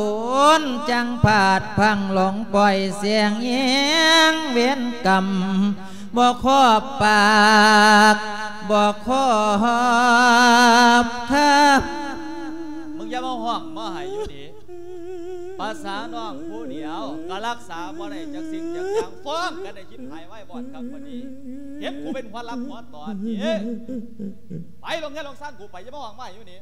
ນຈັ່ງພາດພັງ ຫຼົງປ່ອຍສຽງແຮງເວນກຳ ບໍ່ຂອບປາກ ບໍ່ຂອບຄຳ. ມຶງຢ່າມາຮ້ອງມາໄຫ້ຢູ່ນີ້ ພາສານ້ອງຜູ້ດຽວກະລັກສາບໍ່ໄດ້ຈັກສິ່ງຈັກຢ່າງ ຟ້ອງກັນໄດ້ຊິບຫາຍວາຍວອດຄັກປານນີ້ ເຮັດກູເປັນຫົວຫຼັກຫົວຕອນນີ້ ໄປລົງເຮືອນລົງຊານກູໄປ ຢ່າມາຮ້ອງມາຢູ່ນີ້.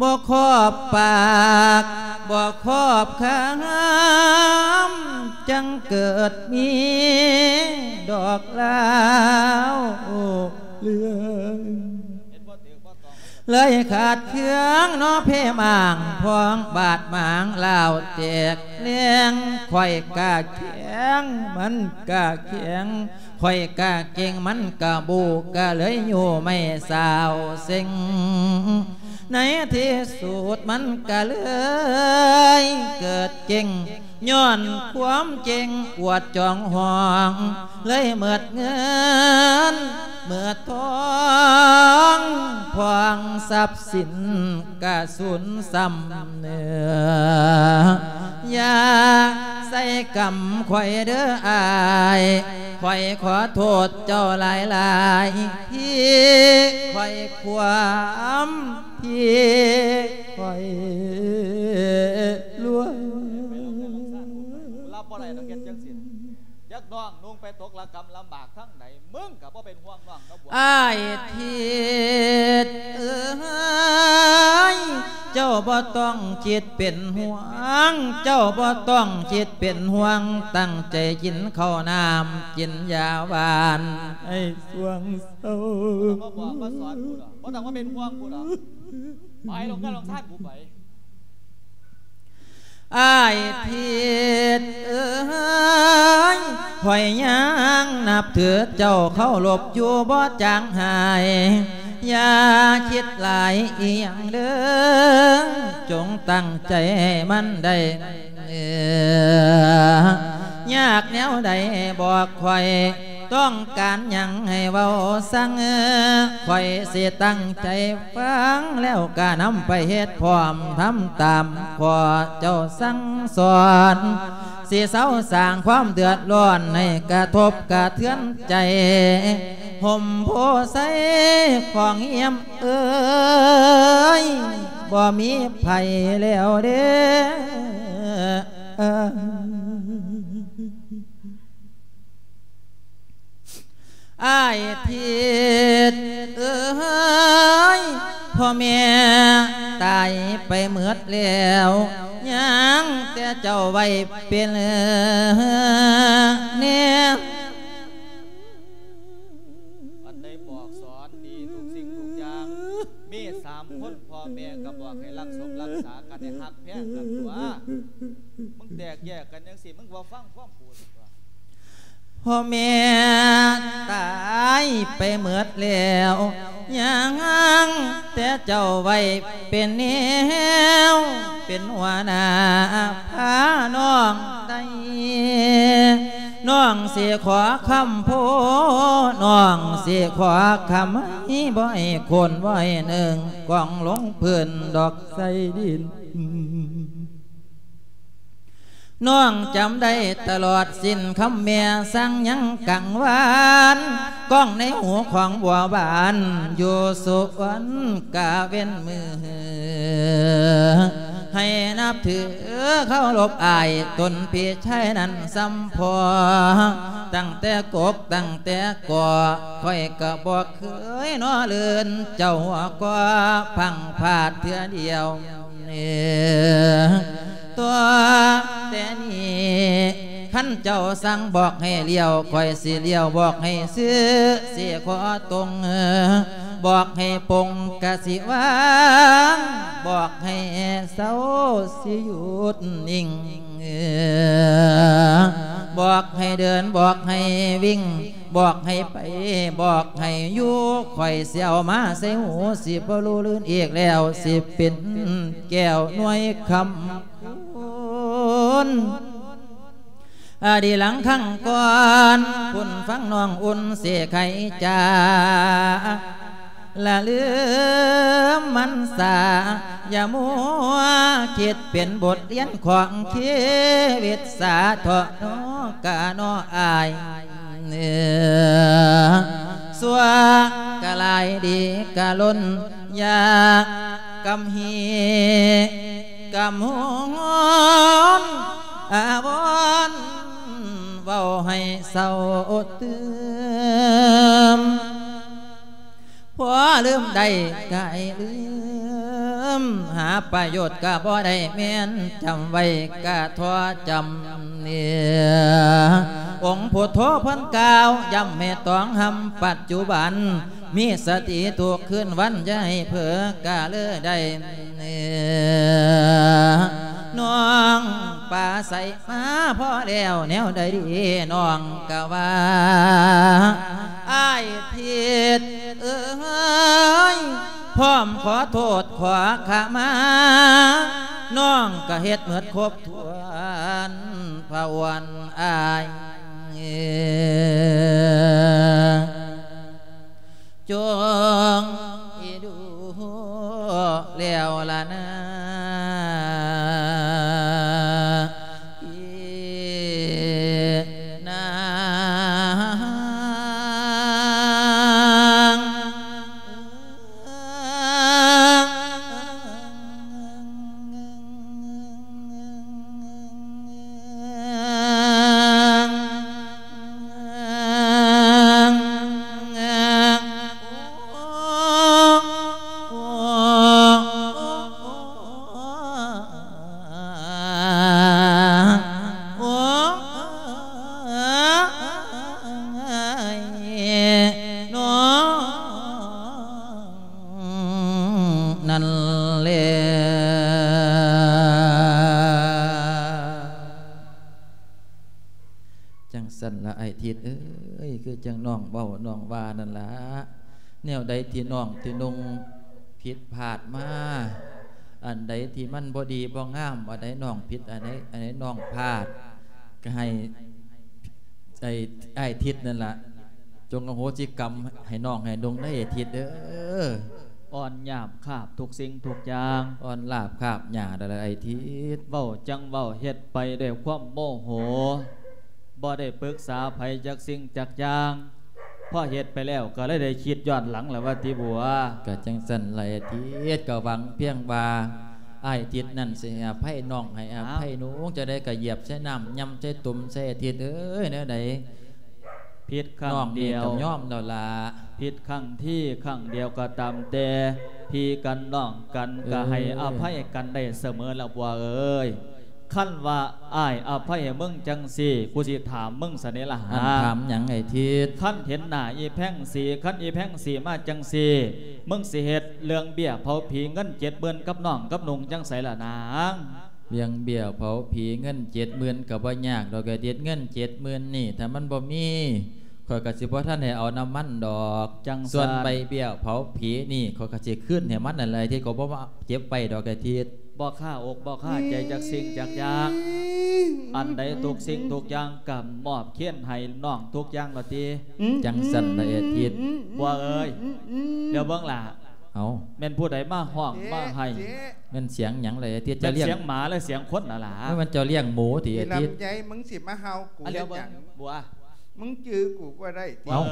ບໍ່ຂອບປາກ ບໍ່ຂອບຄຳ ຈັ່ງເກີດມີດອກລາວເລື່ອງ ເລີຍຂາດເຄືອງເນາະ ເພໝາງພອງບາດໝາງລາວແຕກແຫຼງ ຂ້ອຍກະແຂງ ມັນກະແຂງ ຂ້ອຍກະເກັ່ງ ມັນກະບູ້ ກະເລີຍຢູ່ໄມ່ສາວເສັງ ໃນທີ່ສຸດມັນກະເລີຍເກີດເກັ່ງ ຍ້ອນຄວາມເກັ່ງອວດຈອງຫອງ ເລີຍໝົດເງິນໝົດທອງ ພອງຊັບສິນກະສູນຊຳເໜືອ ຢ່າໃສ່ກຳຂ້ອຍເດີອ້າຍ ຂ້ອຍຂໍໂທດເຈົ້າຫຼາຍໆ ທີ່ຂ້ອຍຄວາມ ທີ່ຂ້ອຍລວຍ ຮັບບໍ່ໄດ້ດອກເຮັດຈັ່ງຊີ້ ຈັກນ້ອງນຸ່ງໄປຕົກລະກຳລຳບາກທາງໃດ ມຶງກະບໍ່ເປັນຫ່ວງນ້ອງເນາະ ອ້າຍທິດເອີຍ ເຈົ້າບໍ່ຕ້ອງຄິດເປັນຫ່ວງ ເຈົ້າບໍ່ຕ້ອງຄິດເປັນຫ່ວງ ຕັ້ງໃຈກິນເຂົ້ານ້ຳ ກິນຢາຫວານໃຫ້ຊ່ວງເຊົາ. ບໍ່ຕ້ອງມາບອກມາສອນກູດອກ ບໍ່ຕ້ອງມາເປັນຫ່ວງກູດອກ ໄປລົງເຮືອນລົງຊານກູໄປ. ອ້າຍທິດເອີຍ ຂ້ອຍຍັງນັບຖືເຈົ້າ ເຄົາລົບຢູ່ບໍ່ຈາງຫາຍ ຢ່າຄິດຫຼາຍອີ່ຫຍັງເດີ ຈົ່ງຕັ້ງໃຈໃຫ້ມັນໄດ້ ເອີ ຍາກແນວໃດບອກຂ້ອຍ ຕ້ອງການຫຍັງໃຫ້ເວົ້າສັ່ງ ຂ້ອຍຊິຕັ້ງໃຈຟັງ ແລ້ວກະນຳໄປເຮັດພ້ອມ ທຳຕາມຂໍ້ເຈົ້າສັ່ງສອນ ຊິເຊົາສ້າງຄວາມເດືອດຮ້ອນ ໃຫ້ກະທົບກະເທືອນໃຈ ຮົ່ມໂພໄຊຂອງຢ້ຽມເອີຍ ບໍ່ມີໃຜແລ້ວເດ້. ອ້າຍທິດເອີຍ ພໍ່ແມ່ຕາຍໄປໝົດແລ້ວ ຍັງແຕ່ເຈົ້າໄວ້ເປັນແນວ ອັນໃດບອກສອນດີທຸກສິ່ງທຸກຢ່າງ ມີສາມຄົນ ພໍ່ແມ່ກໍບອກໃຫ້ລັກສົມລັກສາກັນ ໃຫ້ຮັກແພງກັນຕົວະ ມຶງແຕກແຍກກັນຈັ່ງຊີ້ ມຶງບໍ່ຟັງຄວາມກູ ພໍ່ແມ່ຕາຍໄປໝົດແລ້ວ ຍັງແຕ່ເຈົ້າໄວ້ເປັນແນວ ເປັນຫົວໜ້າພານ້ອງໄດ້ ນ້ອງຊິຂໍຄຳໂພ ນ້ອງຊິຂໍຄຳໃຫ້ ບໍ່ໃຫ້ໂຄ່ນ ບໍ່ໃຫ້ໜຶ້ງ ກອງລົງພື້ນດອກໃສ່ດິນ. ນ້ອງຈຳໄດ້ຕະຫຼອດສິ້ນຄຳແມ່ສັ່ງ ຍັງກັງວານກ້ອງໃນຫູຂອງບົວບານ ຢູ່ສຸວັນກາເວັນມື້ ໃຫ້ນັບຖືເຄົາລົບອ້າຍ ຕົນພີ່ຊາຍນັ້ນສ່ຳພໍ່ ຕັ້ງແຕ່ກົກຕັ້ງແຕ່ກໍ ຂ້ອຍກະບໍ່ເຄີຍນໍເລີນ ເຈົ້າຫົວກໍພັງພາດເທື່ອດຽວ. ເອີ ຕົວະແຕ່ນີ້ ຄັນເຈົ້າສັ່ງບອກໃຫ້ລ້ຽວ ຂ້ອຍຊິລ້ຽວ ບອກໃຫ້ຊື່ ຊິຂໍຕົງ ບອກໃຫ້ປົງກະຊິວາງ ບອກໃຫ້ເຊົາຊິຢຸດນິ່ງ ບອກໃຫ້ເດີນ ບອກໃຫ້ວິ່ງ ບອກໃຫ້ໄປ ບອກໃຫ້ຢູ່ ຂ້ອຍຊິເອົາມາໃສ່ຫູ ຊິບໍ່ຮູ້ລື່ນອີກແລ້ວ ຊິເປັນແກ້ວໜ່ວຍຄຳຄູນ. ອາ ດີຫຼັງຄັ້ງກ່ອນ ພຸ້ນຟັງນ້ອງອຸ່ນເສໄຂຈາ ລະລືມມັນສາ ຢ່າມົວຄິດເປັນບົດຮຽນຂອງຊີວິດສາເຖາະເນາະກະເນາະອ້າຍ ຊົ່ວກະຫຼາຍດີກະລົ້ນ ຢ່າກຳຮີກຳຫົນ ອາວອນເວົ້າໃຫ້ເຊົາຕື່ມ ພໍລືມໄດ້ກະໃຫ້ລືມ ຫາປະໂຫຍດກະບໍ່ໄດ້ແມ່ນ ຈຳໄວ້ກະທໍ່ຈຳເນ ອົງພຸດໂທເພິ່ນກ່າວ ຢ້ຳໃຫ້ຕ້ອງຮຳປັດຈຸບັນ ມີສະຕິທຸກຄືນວັນ ຢ່າໃຫ້ເຜີກະເລີໄດ້ ນ້ອງປາໃສມາພໍແລ້ວແນວໃດດີ ນ້ອງກະວ່າ ອ້າຍທິດເອີຍ ພ້ອມຂໍໂທດຂໍຂະມາ ນ້ອງກະເຮັດໝົດຄົບຖ້ວນ ພະອວນອ້າຍ ຈົ່ງອີດູແລ້ວລະນາ ອີນາງ. ນັ້ນແຫຼະ ຈັ່ງຊັ້ນລະອ້າຍທິດເອີຍ ຄືຈັ່ງນ້ອງເວົ້ານ້ອງວ່ານັ້ນລະ ແນວໃດທີ່ນ້ອງທີ່ນຸ່ງຜິດພາດມາ ອັນໃດທີ່ມັນບໍ່ດີບໍ່ງາມ ອັນໃດນ້ອງຜິດ ອັນໃດ ອັນໃດນ້ອງພາດ ກະໃຫ້ ໄອ້ ອ້າຍທິດນັ້ນລະ ຈົ່ງອະໂຫສິກຳໃຫ້ນ້ອງໃຫ້ນຸ່ງເດີ ອ້າຍທິດເດີ. ອ່ອນຫຍາບຄາບທຸກສິ່ງທຸກຢ່າງ ອ່ອນລາບຄາບຫຍ້າໄດ້ລະອ້າຍທິດ ເວົ້າຈັ່ງເວົ້າ ເຮັດໄປດ້ວຍຄວາມໂມໂຫ ບໍ່ໄດ້ປຶກສາໃຜຈັກສິ່ງຈັກຢ່າງ ພໍເຮັດໄປແລ້ວກໍເລີຍໄດ້ຄິດຍ້ອນຫຼັງລະວ່າຕິບົວ. ກະຈັ່ງຊັ້ນລະອ້າຍທິດ ກະຫວັງພຽງວ່າອ້າຍທິດນັ້ນຊິໃຫ້ອະໄພນ້ອງ ໃຫ້ອະໄພໜູ ຈັ່ງໃດກະຢຽບໃສ່ນ້ຳ ຍ່ຳໃສ່ຕຸ່ມໃສ່ ອ້າຍທິດເອີຍ ແນວໃດ ຜິດຄັ້ງດຽວ ນ້ອງນີ້ກໍຍອມແລ້ວລະ ຜິດຄັ້ງທີຄັ້ງດຽວກໍຕາມແຕ່ ພີ່ກັນນ້ອງກັນ ເອີ ກໍໃຫ້ອະໄພກັນໄດ້ສະເໝີລະບົວເອີຍ. ຄັນວ່າອ້າຍອະໄພໃຫ້ມຶງຈັ່ງຊີ້ ກູຊິຖາມມຶງຊະເດລະຫາ ອັນຖາມຫຍັງໄອ້ທິດ? ຄັນເຫັນໜ້າອີແພງສີ ຄັນອີແພງສີມາຈັ່ງຊີ້ ມຶງຊິເຮັດເລື່ອງເບ້ຍເຜົາຜີເງິນເຈັດໝື່ນກັບນ້ອງກັບນຸ່ງຈັ່ງໃສລະນາງ? ເລື່ອງເບ້ຍເຜົາຜີເງິນເຈັດໝື່ນກໍບໍ່ຍາກດອກ ໄອ້ທິດ ເງິນເຈັດໝື່ນນີ້ ຖ້າມັນບໍ່ມີ ຂ້ອຍກໍຊິບໍ່ທັນໃຫ້ເອົານຳມັນດອກ. ຈັ່ງຊັ້ນ ສ່ວນໃບເບ້ຍເຜົາຜີນີ້ ຂ້ອຍກໍຊິຄືນໃຫ້ມັນນັ້ນແຫຼະ ໄອ້ທິດ ກໍບໍ່ມາເກັບໄວ້ດອກ ໄອ້ທິດ. ບໍ່ຄາອົກບໍ່ຄາໃຈຈັກສິ່ງຈັກຢ່າງ ອັນໃດທຸກສິ່ງທຸກຢ່າງກໍມອບເຄນໃຫ້ນ້ອງທຸກຢ່າງລະຕິ. ຈັ່ງຊັ້ນລະ ໄອ້ທິດ ບົວເອີຍ ດຽວເບິ່ງລະ ເອົ້າ ແມ່ນຜູ້ໃດມາຮ້ອງມາໄຫ້? ແມ່ນສຽງຫຍັງລະ ໄອ້ທິດ? ເຈົ້າລ້ຽງ ແມ່ນສຽງໝາຫຼືສຽງຄົນລະລະ? ມັນເຈົ້າລ້ຽງໝູຕິ ໄອ້ທິດ? ລຳໄຍ ມຶງຊິມາເຫົ່າກູເຮັດຫຍັງ? ບົວ ມຶງຈື່ກູບໍ່ໄດ້ຕິ? ເອົ້າ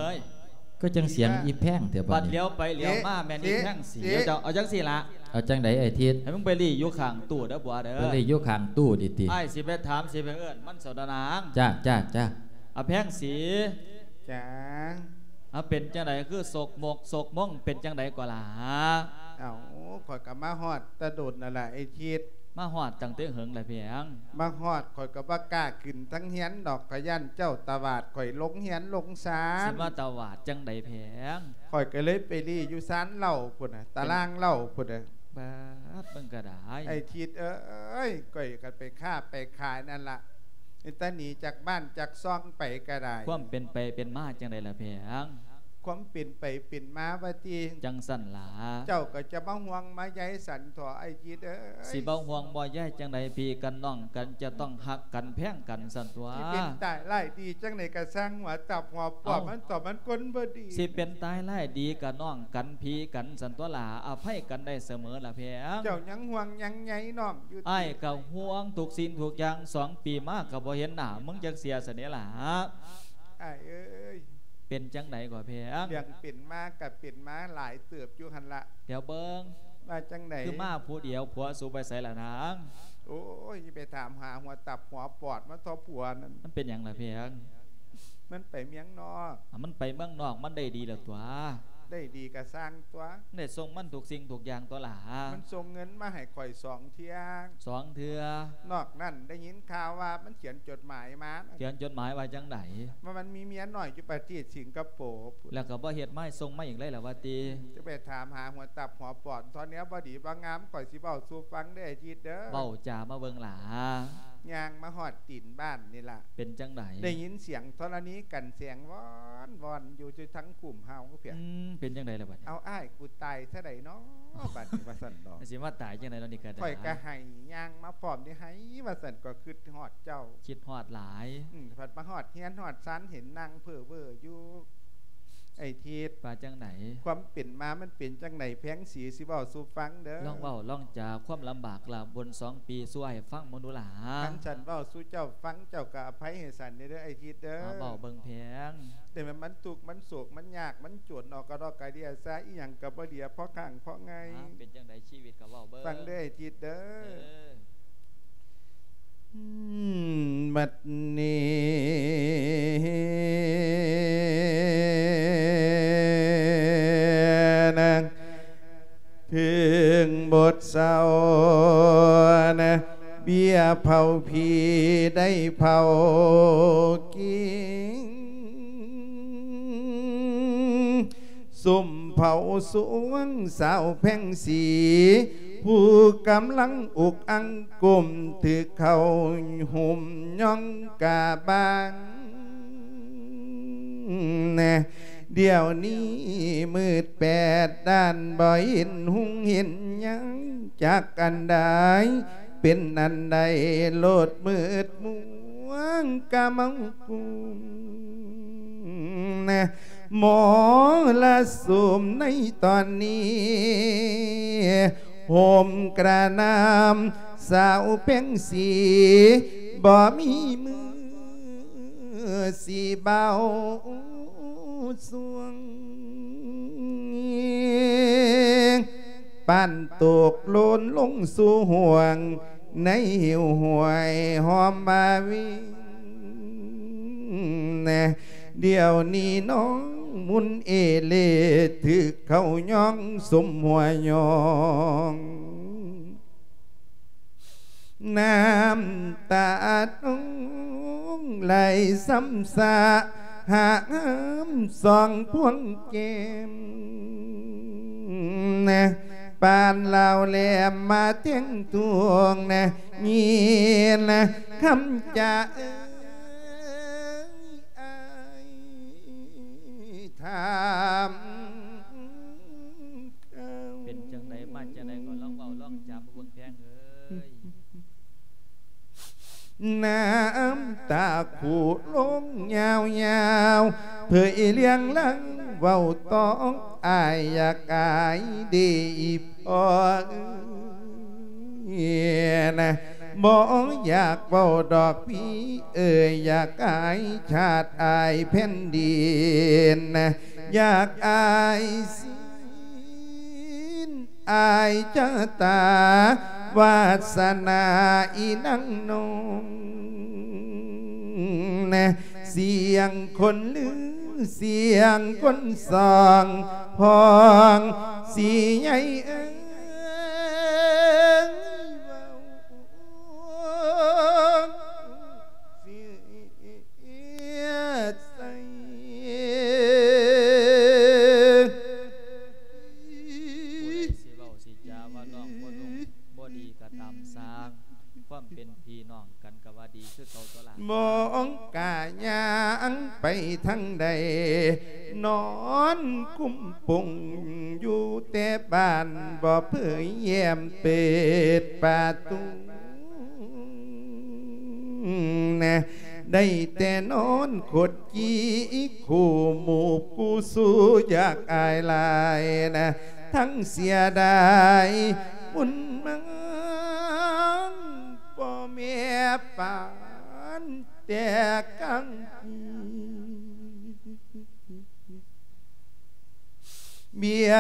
ຄືຈັ່ງສຽງອີແພງແທ້ບາດນີ້? ບາດຫຼຽວໄປຫຼຽວມາແມ່ນອີແພງສີ. ເຈົ້າເອົາຈັ່ງຊີ້ລະ ເອົາຈັ່ງໃດໄອ້ທິດ? ໃຫ້ມຶງໄປລີ້ຢູ່ຂ້າງຕູ້ເດີບົວເດີ. ໄປລີ້ຢູ່ຂ້າງຕູ້ຕິ? ອ້າຍຊິໄປຖາມ ຊິໄປເອີ້ນມັນເຈົ້ານາງ. ຈ້າ ຈ້າ ຈ້າ. ອະແພງສີ ຈ້າ. ອາ ເປັນຈັ່ງໃດຄືສົກມົກສົກມົງ ເປັນຈັ່ງໃດກໍລະ? ເອົ້າ ຂ້ອຍກໍມາຮອດແຕ່ດົນນັ້ນລະ ໄອ້ທິດ. ມາຮອດຕັ້ງແຕ່ເຫິງລະເພງ? ມາຮອດ ຂ້ອຍກໍບໍ່ກ້າຂຶ້ນທາງເຮືອນດອກ ຂ້ອຍຢ້ານເຈົ້າຕະຫວາດຂ້ອຍລົງເຮືອນລົງຊານ. ຊິມາຕະຫວາດຈັ່ງໃດເພງ? ຂ້ອຍກໍເລີຍໄປລີ້ຢູ່ຊານເຫຼົ້າພຸ້ນນະ ຕາລາງເຫຼົ້າພຸ້ນນະ. ບາດ ມຶງກໍໄດ້ ໄອ້ທິດເອີຍ ຂ້ອຍກໍໄປຄ້າໄປຂາຍນັ້ນລະ ແຕ່ໜີຈາກບ້ານຈາກຊ່ອງໄປກໍໄດ້. ຄວາມເປັນໄປເປັນມາຈັ່ງໃດລະເພງ? ຄວາມເປັນໄປເປັນມາວ່າຕິ? ຈັ່ງຊັ້ນລະ. ເຈົ້າກໍຈະມາຫ່ວງມາໃຍສັນເຖາະ ໄອ້ທິດເອີຍ. ຊິບໍ່ຫ່ວງບໍ່ໃຍຈັ່ງໃດ ພີ່ກັນນ້ອງກັນຈະຕ້ອງຮັກກັນແພງກັນຊັ້ນຕົວະ. ຊິເປັນຕາຍຮ້າຍດີຈັ່ງໃດກໍຊ່າງ ຫົວຕັບຫົວປອດ ເອົ້າ ມັນຕໍ່ມັນຄົນບໍ່ດີ. ຊິເປັນຕາຍຮ້າຍດີກໍນ້ອງກັນພີ່ກັນຊັ້ນຕົວະລະ ອະໄພກັນໄດ້ສະເໝີລະເພງ. ເຈົ້າຍັງຫ່ວງຍັງໃຍນ້ອງຢູ່ຕິ? ອ້າຍກໍຫ່ວງທຸກສິ່ງທຸກຢ່າງ ສອງປີມາກໍບໍ່ເຫັນໜ້າມຶງຈັກເທື່ອຊັ້ນເດລະ. ອ້າຍເອີຍ ເປັນຈັ່ງໃດກໍເພງ? ເລື່ອງເປັນມາກໍເປັນມາຫຼາຍເຕີບຢູ່ຫັ້ນລະ. ດຽວເບິ່ງ ວ່າຈັ່ງໃດ? ຄືມາຜູ້ດຽວ ຜົວສູໄປໃສລະນາງ? ໂອ້ຍ ຢ່າໄປຖາມຫາຫົວຕັບຫົວປອດມັນເຖາະ ຜົວນັ້ນ. ມັນເປັນຫຍັງລະເພງ? ມັນໄປເມືອງນອກ. ອາ ມັນໄປເມືອງນອກ ມັນໄດ້ດີແລ້ວຕົວະ. ໄດ້ດີກໍຊ່າງຕົວະ. ໄດ້ສົ່ງມັນທຸກສິ່ງທຸກຢ່າງຕົວະລະ. ມັນສົ່ງເງິນມາໃຫ້ຂ້ອຍສອງເທື່ອ. ສອງເທື່ອ? ນອກນັ້ນໄດ້ຍິນຂ່າວວ່າມັນຂຽນຈົດໝາຍມາ. ຂຽນຈົດໝາຍວ່າຈັ່ງໃດ? ວ່າມັນມີເມຍນ້ອຍຢູ່ປະເທດສິງກະໂປ. ແລ້ວກໍບໍ່ເຮັດມາໃຫ້ ສົ່ງມາອີກເລີຍລະວ່າຕິ? ຈະໄປຖາມຫາຫົວຕັບຫົວປອດ ເທາະແນວບໍ່ດີບໍ່ງາມ ຂ້ອຍຊິເວົ້າສູ່ຟັງເດີ ໄອ້ທິດເດີ. ເວົ້າຈາມາເບິ່ງຫຼ້າ. ຍ່າງມາຮອດຕີນບ້ານນີ້ລະ. ເປັນຈັ່ງໃດ? ໄດ້ຍິນສຽງທໍລະນີກັນແສງວອນໆຢູ່ ຢູ່ທາງຄຸ້ມເຮົາພຽງ. ອືມ ເປັນຈັ່ງໃດລະບັດນີ້? ເອົາ ອ້າຍ ກູຕາຍຊະໃດເນາະ ບັດນີ້ວ່າຊັ້ນດອກ. ຊິມາຕາຍຈັ່ງໃດເນາະນີ້ກໍໄດ້. ຂ້ອຍກໍໄຫ້ ຍ່າງມາພ້ອມນີ້ໄຫ້ວ່າຊັ້ນ ກໍຄິດຮອດເຈົ້າ. ຄິດຮອດຫຼາຍ. ອືມ ພັດມາຮອດເຮືອນຮອດຊານ ເຫັນນັ່ງເພີເວີຢູ່. ໄອ້ທິດ ວ່າຈັ່ງໃດ? ຄວາມເປັນມາມັນເປັນຈັ່ງໃດ ແພງສີ ຊິເວົ້າສູ່ຟັງເດີ. ລອງເວົ້າລອງຈາຄວາມລຳບາກລາບົນສອງປີສູ່ອ້າຍຟັງເບິ່ງດູຫຼ້າ. ຄັນສັນເວົ້າສູ່ເຈົ້າຟັງ ເຈົ້າກໍອະໄພໃຫ້ສັນແດ່ເດີ ໄອ້ທິດເດີ. ເວົ້າເບິ່ງແພງ. ແຕ່ມັນ ມັນທຸກ ມັນໂສກ ມັນຍາກ ມັນຈົນ ອອກກະດອກກະເດຍຊາ ອີ່ຫຍັງກໍບໍ່ເຫຼືອ ພໍຄ້າງພໍງາຍ. ເປັນຈັ່ງໃດຊີວິດກໍເວົ້າເບິ່ງ. ຟັງເດີ ໄອ້ທິດເດີ. ເອີ. ອືມ ບັດນີ້ນະ ເພິ່ງບົດເຊົານະ ເບ້ຍເຜົາຜີໄດ້ເຜົາກິນ ສຸມເຜົາສວງສາວແພງສີ ຜູ້ກຳລັງອົກອັ່ງກົ້ມຖືກເຂົາຫຸ້ມຍ້ອງກາບາງແນ. ດຽວນີ້ມືດແປດດ້ານ ບໍ່ເຫັນຮຸ່ງເຫັນຫຍັງຈັກອັນໃດ ເປັນອັນໃດໂລດມືດມົວງກະເມົາກຸ້ມນະ. ມໍລະສຸມໃນຕອນນີ້ ໂຫມກະໜ່ຳສາວແພງສີ ບໍ່ມີມືຊິເບົາສວງ ປານຕົກໂລນລົງສູ່ຫ້ວງ ໃນຫິວຫ້ວຍຫອມມາວິນແນ. ດຽວນີ້ນ້ອງມຸນເອເລ ຖືກເຂົາຍ້ອງສົມຫົວຍ້ອງ ນ້ຳຕານ້ອງໄຫຼຊ້ຳຊະຫາງຫ້າມສອງພວງແກ້ມແນ. ປານລາວແຫຼມມາແທງທວງນະ ຍິນນະຄຳຈາເອີຍ ອ້າຍຖາມເຂົາ ເປັນຈັ່ງໃດມາຈັ່ງໃດ ກໍລອງເວົ້າລອງຈາມາເບິ່ງແພງເອີຍ. ນ້ຳຕາຄູລົງຍາວໆ ເຜີຍລຽງຫຼັງເວົ້າຕໍ່ ອ້າຍຢາກອາຍເດອີ່ພໍ່ເອີຍນະ ບໍ່ຢາກເວົ້າດອກພີ່ເອີຍ ຢາກອາຍຊາດອາຍແຜ່ນດິນນະ ຢາກອາຍສິນ ອາຍຊະຕາວາສະໜາອີນາງນ້ອງນະ ສຽງຄົນລື ສຽງຄົນສອງພ້ອງສີໃຫຍ່ເອີຍ ເວົ້າເສຍໃສ. ຜູ້ໃດຊິເວົ້າຊິຈາວ່ານ້ອງບໍ່ນຸ່ງບໍ່ດີກໍຕາມຊ່າງ ຄວາມເປັນພີ່ນ້ອງກັນກໍວ່າດີຄືເກົ່າຕົວລະ. ມອງກະຍ່າງໄປທາງໃດ ນອນກຸມປຸງຢູ່ແຕ່ບ້ານ ບໍ່ເຜີຍແຍ້ມເປີດປະຕູ ນະ ໄດ້ແຕ່ນອນຄົດ ຈີ່ຄູ່ໝູ່ຄູ່ຊູ ຢາກອາຍຫຼາຍນະ ທັງເສຍດາຍບຸນມາ ພໍ່ແມ່ປານແຕ່ກາງປີ ເບຍ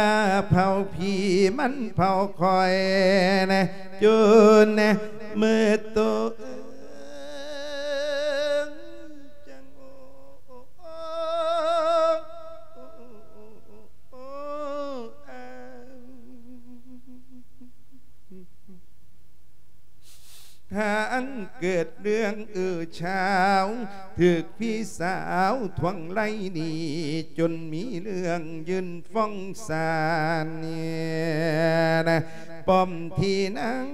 ເຜົາຜີມັນເຜົາຂ້ອຍນະ ຈົນນະມືໂຕເອີງ ທັງເກີດເລື່ອງເອີ່ເຊົ້າ ຖືກພີ່ສາວທວງໄລ່ໜີ້ ຈົນມີເລື່ອງຍື່ນຟ້ອງສານ ປ້ອມທີ່ນັ່ງ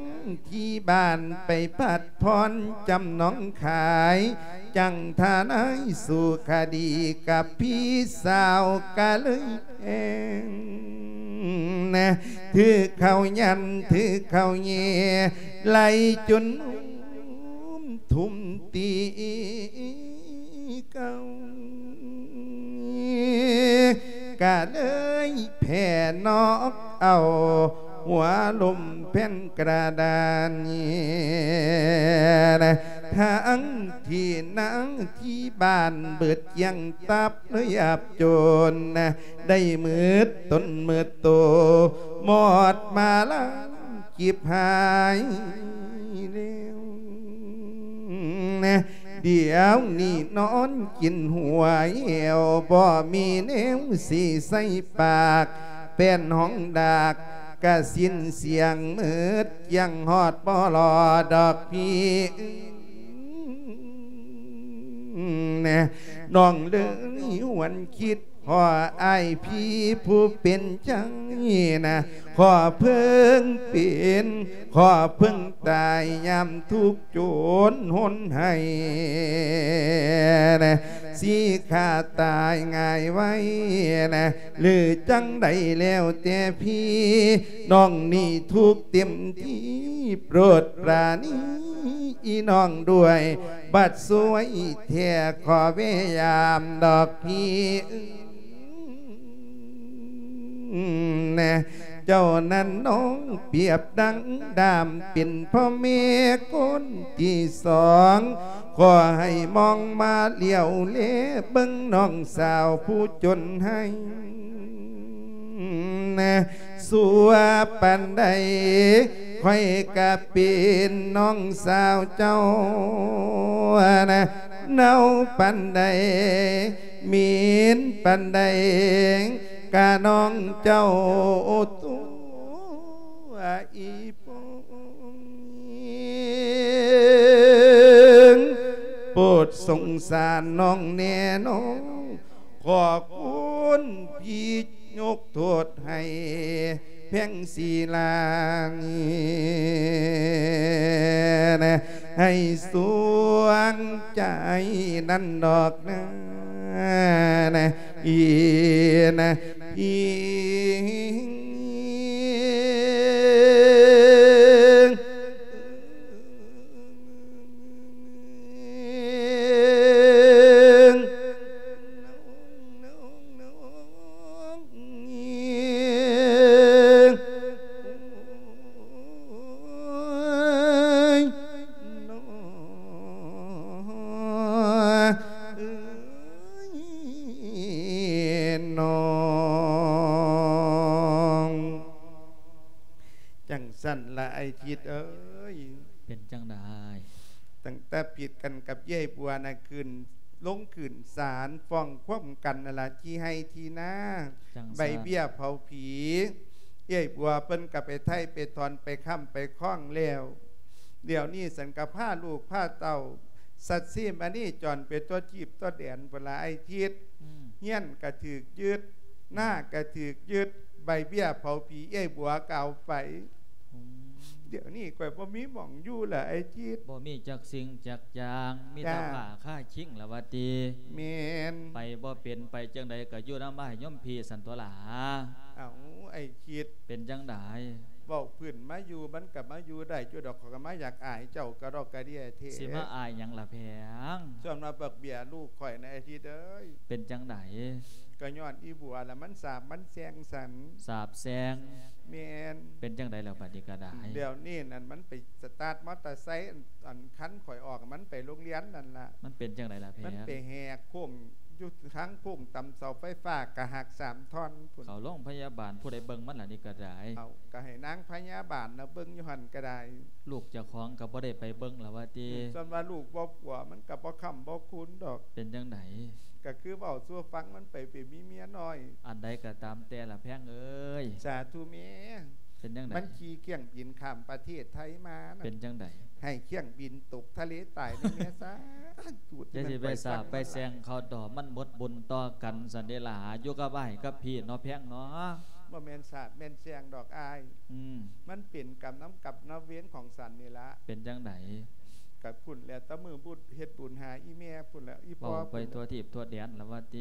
ທີ່ບ້ານໄປພັດຜ່ອນຈຳນອງຂາຍ ຈັ່ງທະນາຍສູ້ຄະດີກັບພີ່ສາວກະເລີຍແພງ ຖືກເຂົາຢັນ ຖືກເຂົາແຍ່ ໄລ່ຈົນ ທຸ່ມຕີເກົ່າ ກະເລີຍແຜ່ນອກເອົາ ຫົວລົ້ມແຜ່ນກະດານ ທັງທີ່ນາທີ່ບ້ານເບິດກ້ຽງຕັບ ເລີຍອັບຈົນ ໄດ້ໝົດຕົນໝົດໂຕ ໝອດມາລາງ ຈິບຫາຍແລ້ວ ດຽວນີ້ນອນກິນຫົວແອວ ບໍ່ມີແນວຊິໃສ່ປາກ ແປ້ນຫ້ອງດາກກະສິ້ນສຽງໝົດ ຍັງຮອດບໍ່ລອດດອກພີ່ ນ້ອງເລີຍຫວນຄິດ ຂໍອ້າຍພີ່ຜູ້ເປັນໃຈນະ ຂໍເພິ່ງເປັນ ຂໍເພິ່ງຕາຍຍາມທຸກຈົນຫົນໄຫ້ນະ ຊິຂ້າຕາຍງ່າຍໄວນະ ຫຼືຈັ່ງໃດແລ້ວແຕ່ພີ່ ນ້ອງນີ້ທຸກເຕັມທີ່ ໂປດປານີອີນ້ອງດ້ວຍ ບັດສວຍແທ້ຂໍແວະຢາມດອກພີ່ເອີຍ ແນ່ ເຈົ້ານັ້ນນ້ອງປຽບດັ່ງດາມ ເປັນພໍ່ແມ່ຄົນທີສອງ ຂໍໃຫ້ມອງມາຫຼຽວແລເບິ່ງນ້ອງສາວຜູ້ຈົນໄຫ້ ຊົ່ວປານໃດ ຂ້ອຍກະເປັນນ້ອງສາວເຈົ້ານະ ເນົ່າປານໃດ ເໝັນປານໃດ ກະນ້ອງເຈົ້າຕົວອີ່ປົງ ໂປດສົງສານນ້ອງແນ່ນ້ອງ ຂໍຄຸນພີ່ຍົກໂທດໃຫ້ແພງສີລາງ ໃຫ້ສວງໃຈນັ້ນດອກນາ ອີນະ ອີ ຈັ່ງຊັ້ນລະອ້າຍທິດເອີຍ ເປັນຈັ່ງໃດ? ຕັ້ງແຕ່ຜິດກັນກັບຍາຍບົວນະ ຄືນ ລົງຂຶ້ນສານຟ້ອງຄວາມກັນນັ້ນລະ ທີ່ໄຮ່ທີ່ນາ ຈັ່ງຊັ້ນ ໃບເບ້ຍເຜົາຜີ ເອື້ອຍບົວເພິ່ນກໍໄປໄຖ່ໄປຖອນໄປຄ້ຳໄປຄອງແລ້ວ ດຽວນີ້ສັນກໍພາລູກພາເຕົ້າ ສັດຊີມະນີຈອນໄປທົ່ວທີບທົ່ວແດນພຸ້ນລະອ້າຍທິດ ອືມ ເຮືອນກໍຖືກຍຶດ ນາກໍຖືກຍຶດ ໃບເບ້ຍເຜົາຜີເອື້ອຍບົວກໍເອົາໄປ ອືມ ດຽວນີ້ຂ້ອຍບໍ່ມີໝ່ອງຢູ່ລະອ້າຍທິດ ບໍ່ມີຈັກສິ່ງຈັກຢ່າງ ມີແຕ່ ຈ້າ ຜ້າຄາຄີງລະວ່າຕິ ແມ່ນ ໄປບໍ່ເປັນ ໄປຈັ່ງໃດກໍຢູ່ນຳອ້າຍໂຍມພີ່ຊັ້ນຕົວຫຼ້າ ເອົ້າ ອ້າຍທິດ ເປັນຈັ່ງໃດ ເວົ້າພື້ນມາຢູ່ ມັນກໍມາຢູ່ໄດ້ຢູ່ດອກ ຂ້ອຍກໍມາຢາກອາຍເຈົ້າກະດອກກະເດຍແທ້ ຊິມາອາຍຫຍັງລະແພງ ສ່ວນວ່າບັກເບ້ຍລູກຂ້ອຍນະອ້າຍທິດເອີຍ ເປັນຈັ່ງໃດ ກໍຍ້ອນອີບົວລະມັນສາບມັນແຊ່ງຊັ້ນ ສາບແຊ່ງ ແມ່ນ ເປັນຈັ່ງໃດແລ້ວບັດນີ້ກໍໄດ້ ດຽວນີ້ນັ້ນມັນໄປສະຕາດມໍເຕີໄຊ ອັນ ອັນຄັນຂ້ອຍອອກ ມັນໄປໂຮງຮຽນນັ້ນລະ ມັນເປັນຈັ່ງໃດລະແພງ ມັນໄປແຫກໂຄ້ງຢູ່ທາງໂຄ້ງຕຳເສົາໄຟຟ້າກະຫັກສາມທ່ອນພຸ້ນ ເຂົ້າໂຮງພະຍາບານ ຜູ້ໃດເບິ່ງມັນລະນີ້ກໍໄດ້ ເອົາ ກໍໃຫ້ນາງພະຍາບານລະເບິ່ງຢູ່ຫັ້ນກໍໄດ້ ລູກເຈົ້າຂອງກໍບໍ່ໄດ້ໄປເບິ່ງລະວ່າຕິ ສ່ວນວ່າລູກບໍ່ປົວ ມັນກໍບໍ່ຄ້ຳບໍ່ຄູນດອກ ເປັນຈັ່ງໃດ ກໍຄືເວົ້າສູ່ຟັງ ມັນໄປ ໄປມີເມຍນ້ອຍ ອັນໃດກໍຕາມແຕ່ລະແພງເອີຍ ສາທຸແມ່ ເປັນຈັ່ງໃດ ມັນຂີ່ເຄື່ອງບິນຂ້າມປະເທດໄທມານະ ເປັນຈັ່ງໃດ ໃຫ້ເຄື່ອງບິນຕົກທະເລຕາຍໃນແມ່ ສາທຸ ຢ່າຊິໄປສາບໄປແຊ່ງເຂົາດອກ ມັນໝົດບຸນຕໍ່ກັນຊັ້ນເດລະ ຢູ່ກັບອ້າຍກັບພີ່ເນາະແພງເນາະ ບໍ່ແມ່ນສາບແມ່ນແຊ່ງດອກອ້າຍ ອືມ ມັນເປັນກຳນຳກັບນຳເວນຂອງສັນນີ້ລະ ເປັນຈັ່ງໃດ ກະພຸ້ນແຫຼະ ແຕ່ມື້ບຸດເຮັດບຸນຫາອີແມ່ພຸ້ນແຫຼະ ອີພໍ່ ເວົ້າໄປທົ່ວທີບທົ່ວແດນລະວ່າຕິ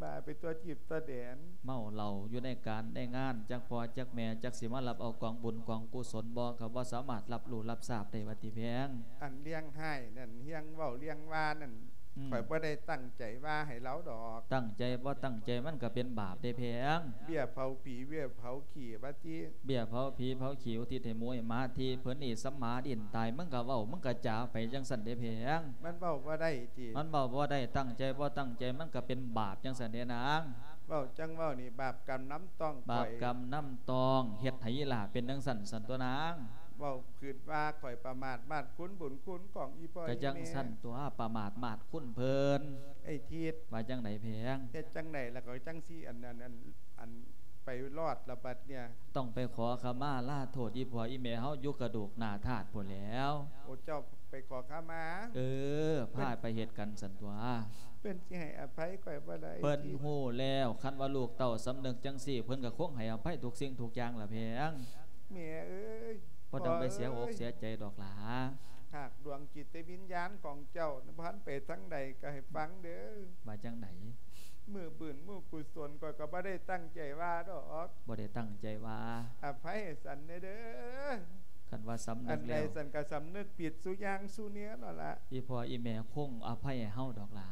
ບາໄປທົ່ວທີບທົ່ວແດນ ເມົາເຫຼົ້າຢູ່ໃນການໃນງານ ຈັກພໍ່ຈັກແມ່ ຈັກຊິມາຮັບເອົາກອງບຸນກອງກຸສົນບໍ່ ກໍບໍ່ສາມາດຮັບຮູ້ຮັບຊາບໄດ້ວ່າຕິແພງ ອັນເລື່ອງຮ້າຍນັ້ນ ເລື່ອງເວົ້າເລື່ອງວ່ານັ້ນ ອືມ ຂ້ອຍບໍ່ໄດ້ຕັ້ງໃຈວ່າໃຫ້ລາວດອກ ຕັ້ງໃຈບໍ່ຕັ້ງໃຈມັນກໍເປັນບາບເດ້ແພງ ເບ້ຍເຜົາຜີເບ້ຍເຜົາຂີ້ວ່າຕິ ເບ້ຍເຜົາຜີເຜົາຂີ້ ອຸທິດໃຫ້ໝູໃຫ້ໝາທີ່ເພິ່ນນີ້ສຳມາດິນຕາຍ ມຶງກໍເວົ້າ ມຶງກໍຈາໄປຈັ່ງຊັ້ນເດ້ແພງ ມັນເວົ້າບໍ່ໄດ້ຕິ ມັນເວົ້າບໍ່ໄດ້ ຕັ້ງໃຈບໍ່ຕັ້ງໃຈ ມັນກໍເປັນບາບຈັ່ງຊັ້ນເດ້ນາງ ເວົ້າຈັ່ງເວົ້ານີ້ ບາບກຳນຳຕ້ອງ ບາບກຳນຳຕ້ອງ ເຮັດໃຫ້ອີ່ຫຼ້າເປັນຈັ່ງຊັ້ນຊັ້ນຕົວນາງ ເວົ້າຄືດວ່າຂ້ອຍປະໝາດມາດຄຸນບຸນຄຸນຂອງອີ່ພໍ່ ກໍຈັ່ງ ອີ່ແມ່ ຊັ້ນຕົວ ປະໝາດມາດຄຸນເພິ່ນ ໄອ້ທິດ ວ່າຈັ່ງໃດແພງ ເຮັດຈັ່ງໃດລະກໍຈັ່ງຊິອັນ ອັນ ອັນ ອັນ ໄປລອດລະບັດເນີ້ຍ ຕ້ອງໄປຂໍຂະມາລາໂທດອີ່ພໍ່ອີ່ແມ່ເຮົາຢູ່ກະດູກໜ້າທາດພຸ້ນແຫຼ້ວ ໂອ້ ເຈົ້າໄປຂໍຂະມາ ເອີ ພາໄປເຮັດກັນຊັ້ນຕົວ ເພິ່ນຊິໃຫ້ອະໄພຂ້ອຍບໍ່ລະ ເພິ່ນຮູ້ແລ້ວ ຄັນວ່າລູກເຕົ້າສຳນຶກຈັ່ງຊີ້ ເພິ່ນກໍຄົງໃຫ້ອະໄພທຸກສິ່ງທຸກຢ່າງລະແພງ ແມ່ເອີຍ ບໍ່ຕ້ອງໄປເສຍອົກເສຍໃຈດອກຫຼ້າ ຫາກດວງຈິດວິນຍານຂອງເຈົ້ານັ້ນ ບໍ່ທັນໄປທາງໃດ ກໍໃຫ້ຟັງເດີ້ ວ່າຈັ່ງໃດ ມື້ບຸນມື້ກຸສົນ ຂ້ອຍກໍບໍ່ໄດ້ຕັ້ງໃຈວ່າດອກ ບໍ່ໄດ້ຕັ້ງໃຈວ່າ ອະໄພໃຫ້ສັນແດ່ເດີ້ ຄັນວ່າສຳນຶກແລ້ວ ອັນໃດສັນກໍສຳນຶກຜິດສູ່ຢ່າງສູ່ແນວນັ້ນລະ ອີ່ພໍ່ອີ່ແມ່ຄົງອະໄພໃຫ້ເຮົາດອກຫຼ້າ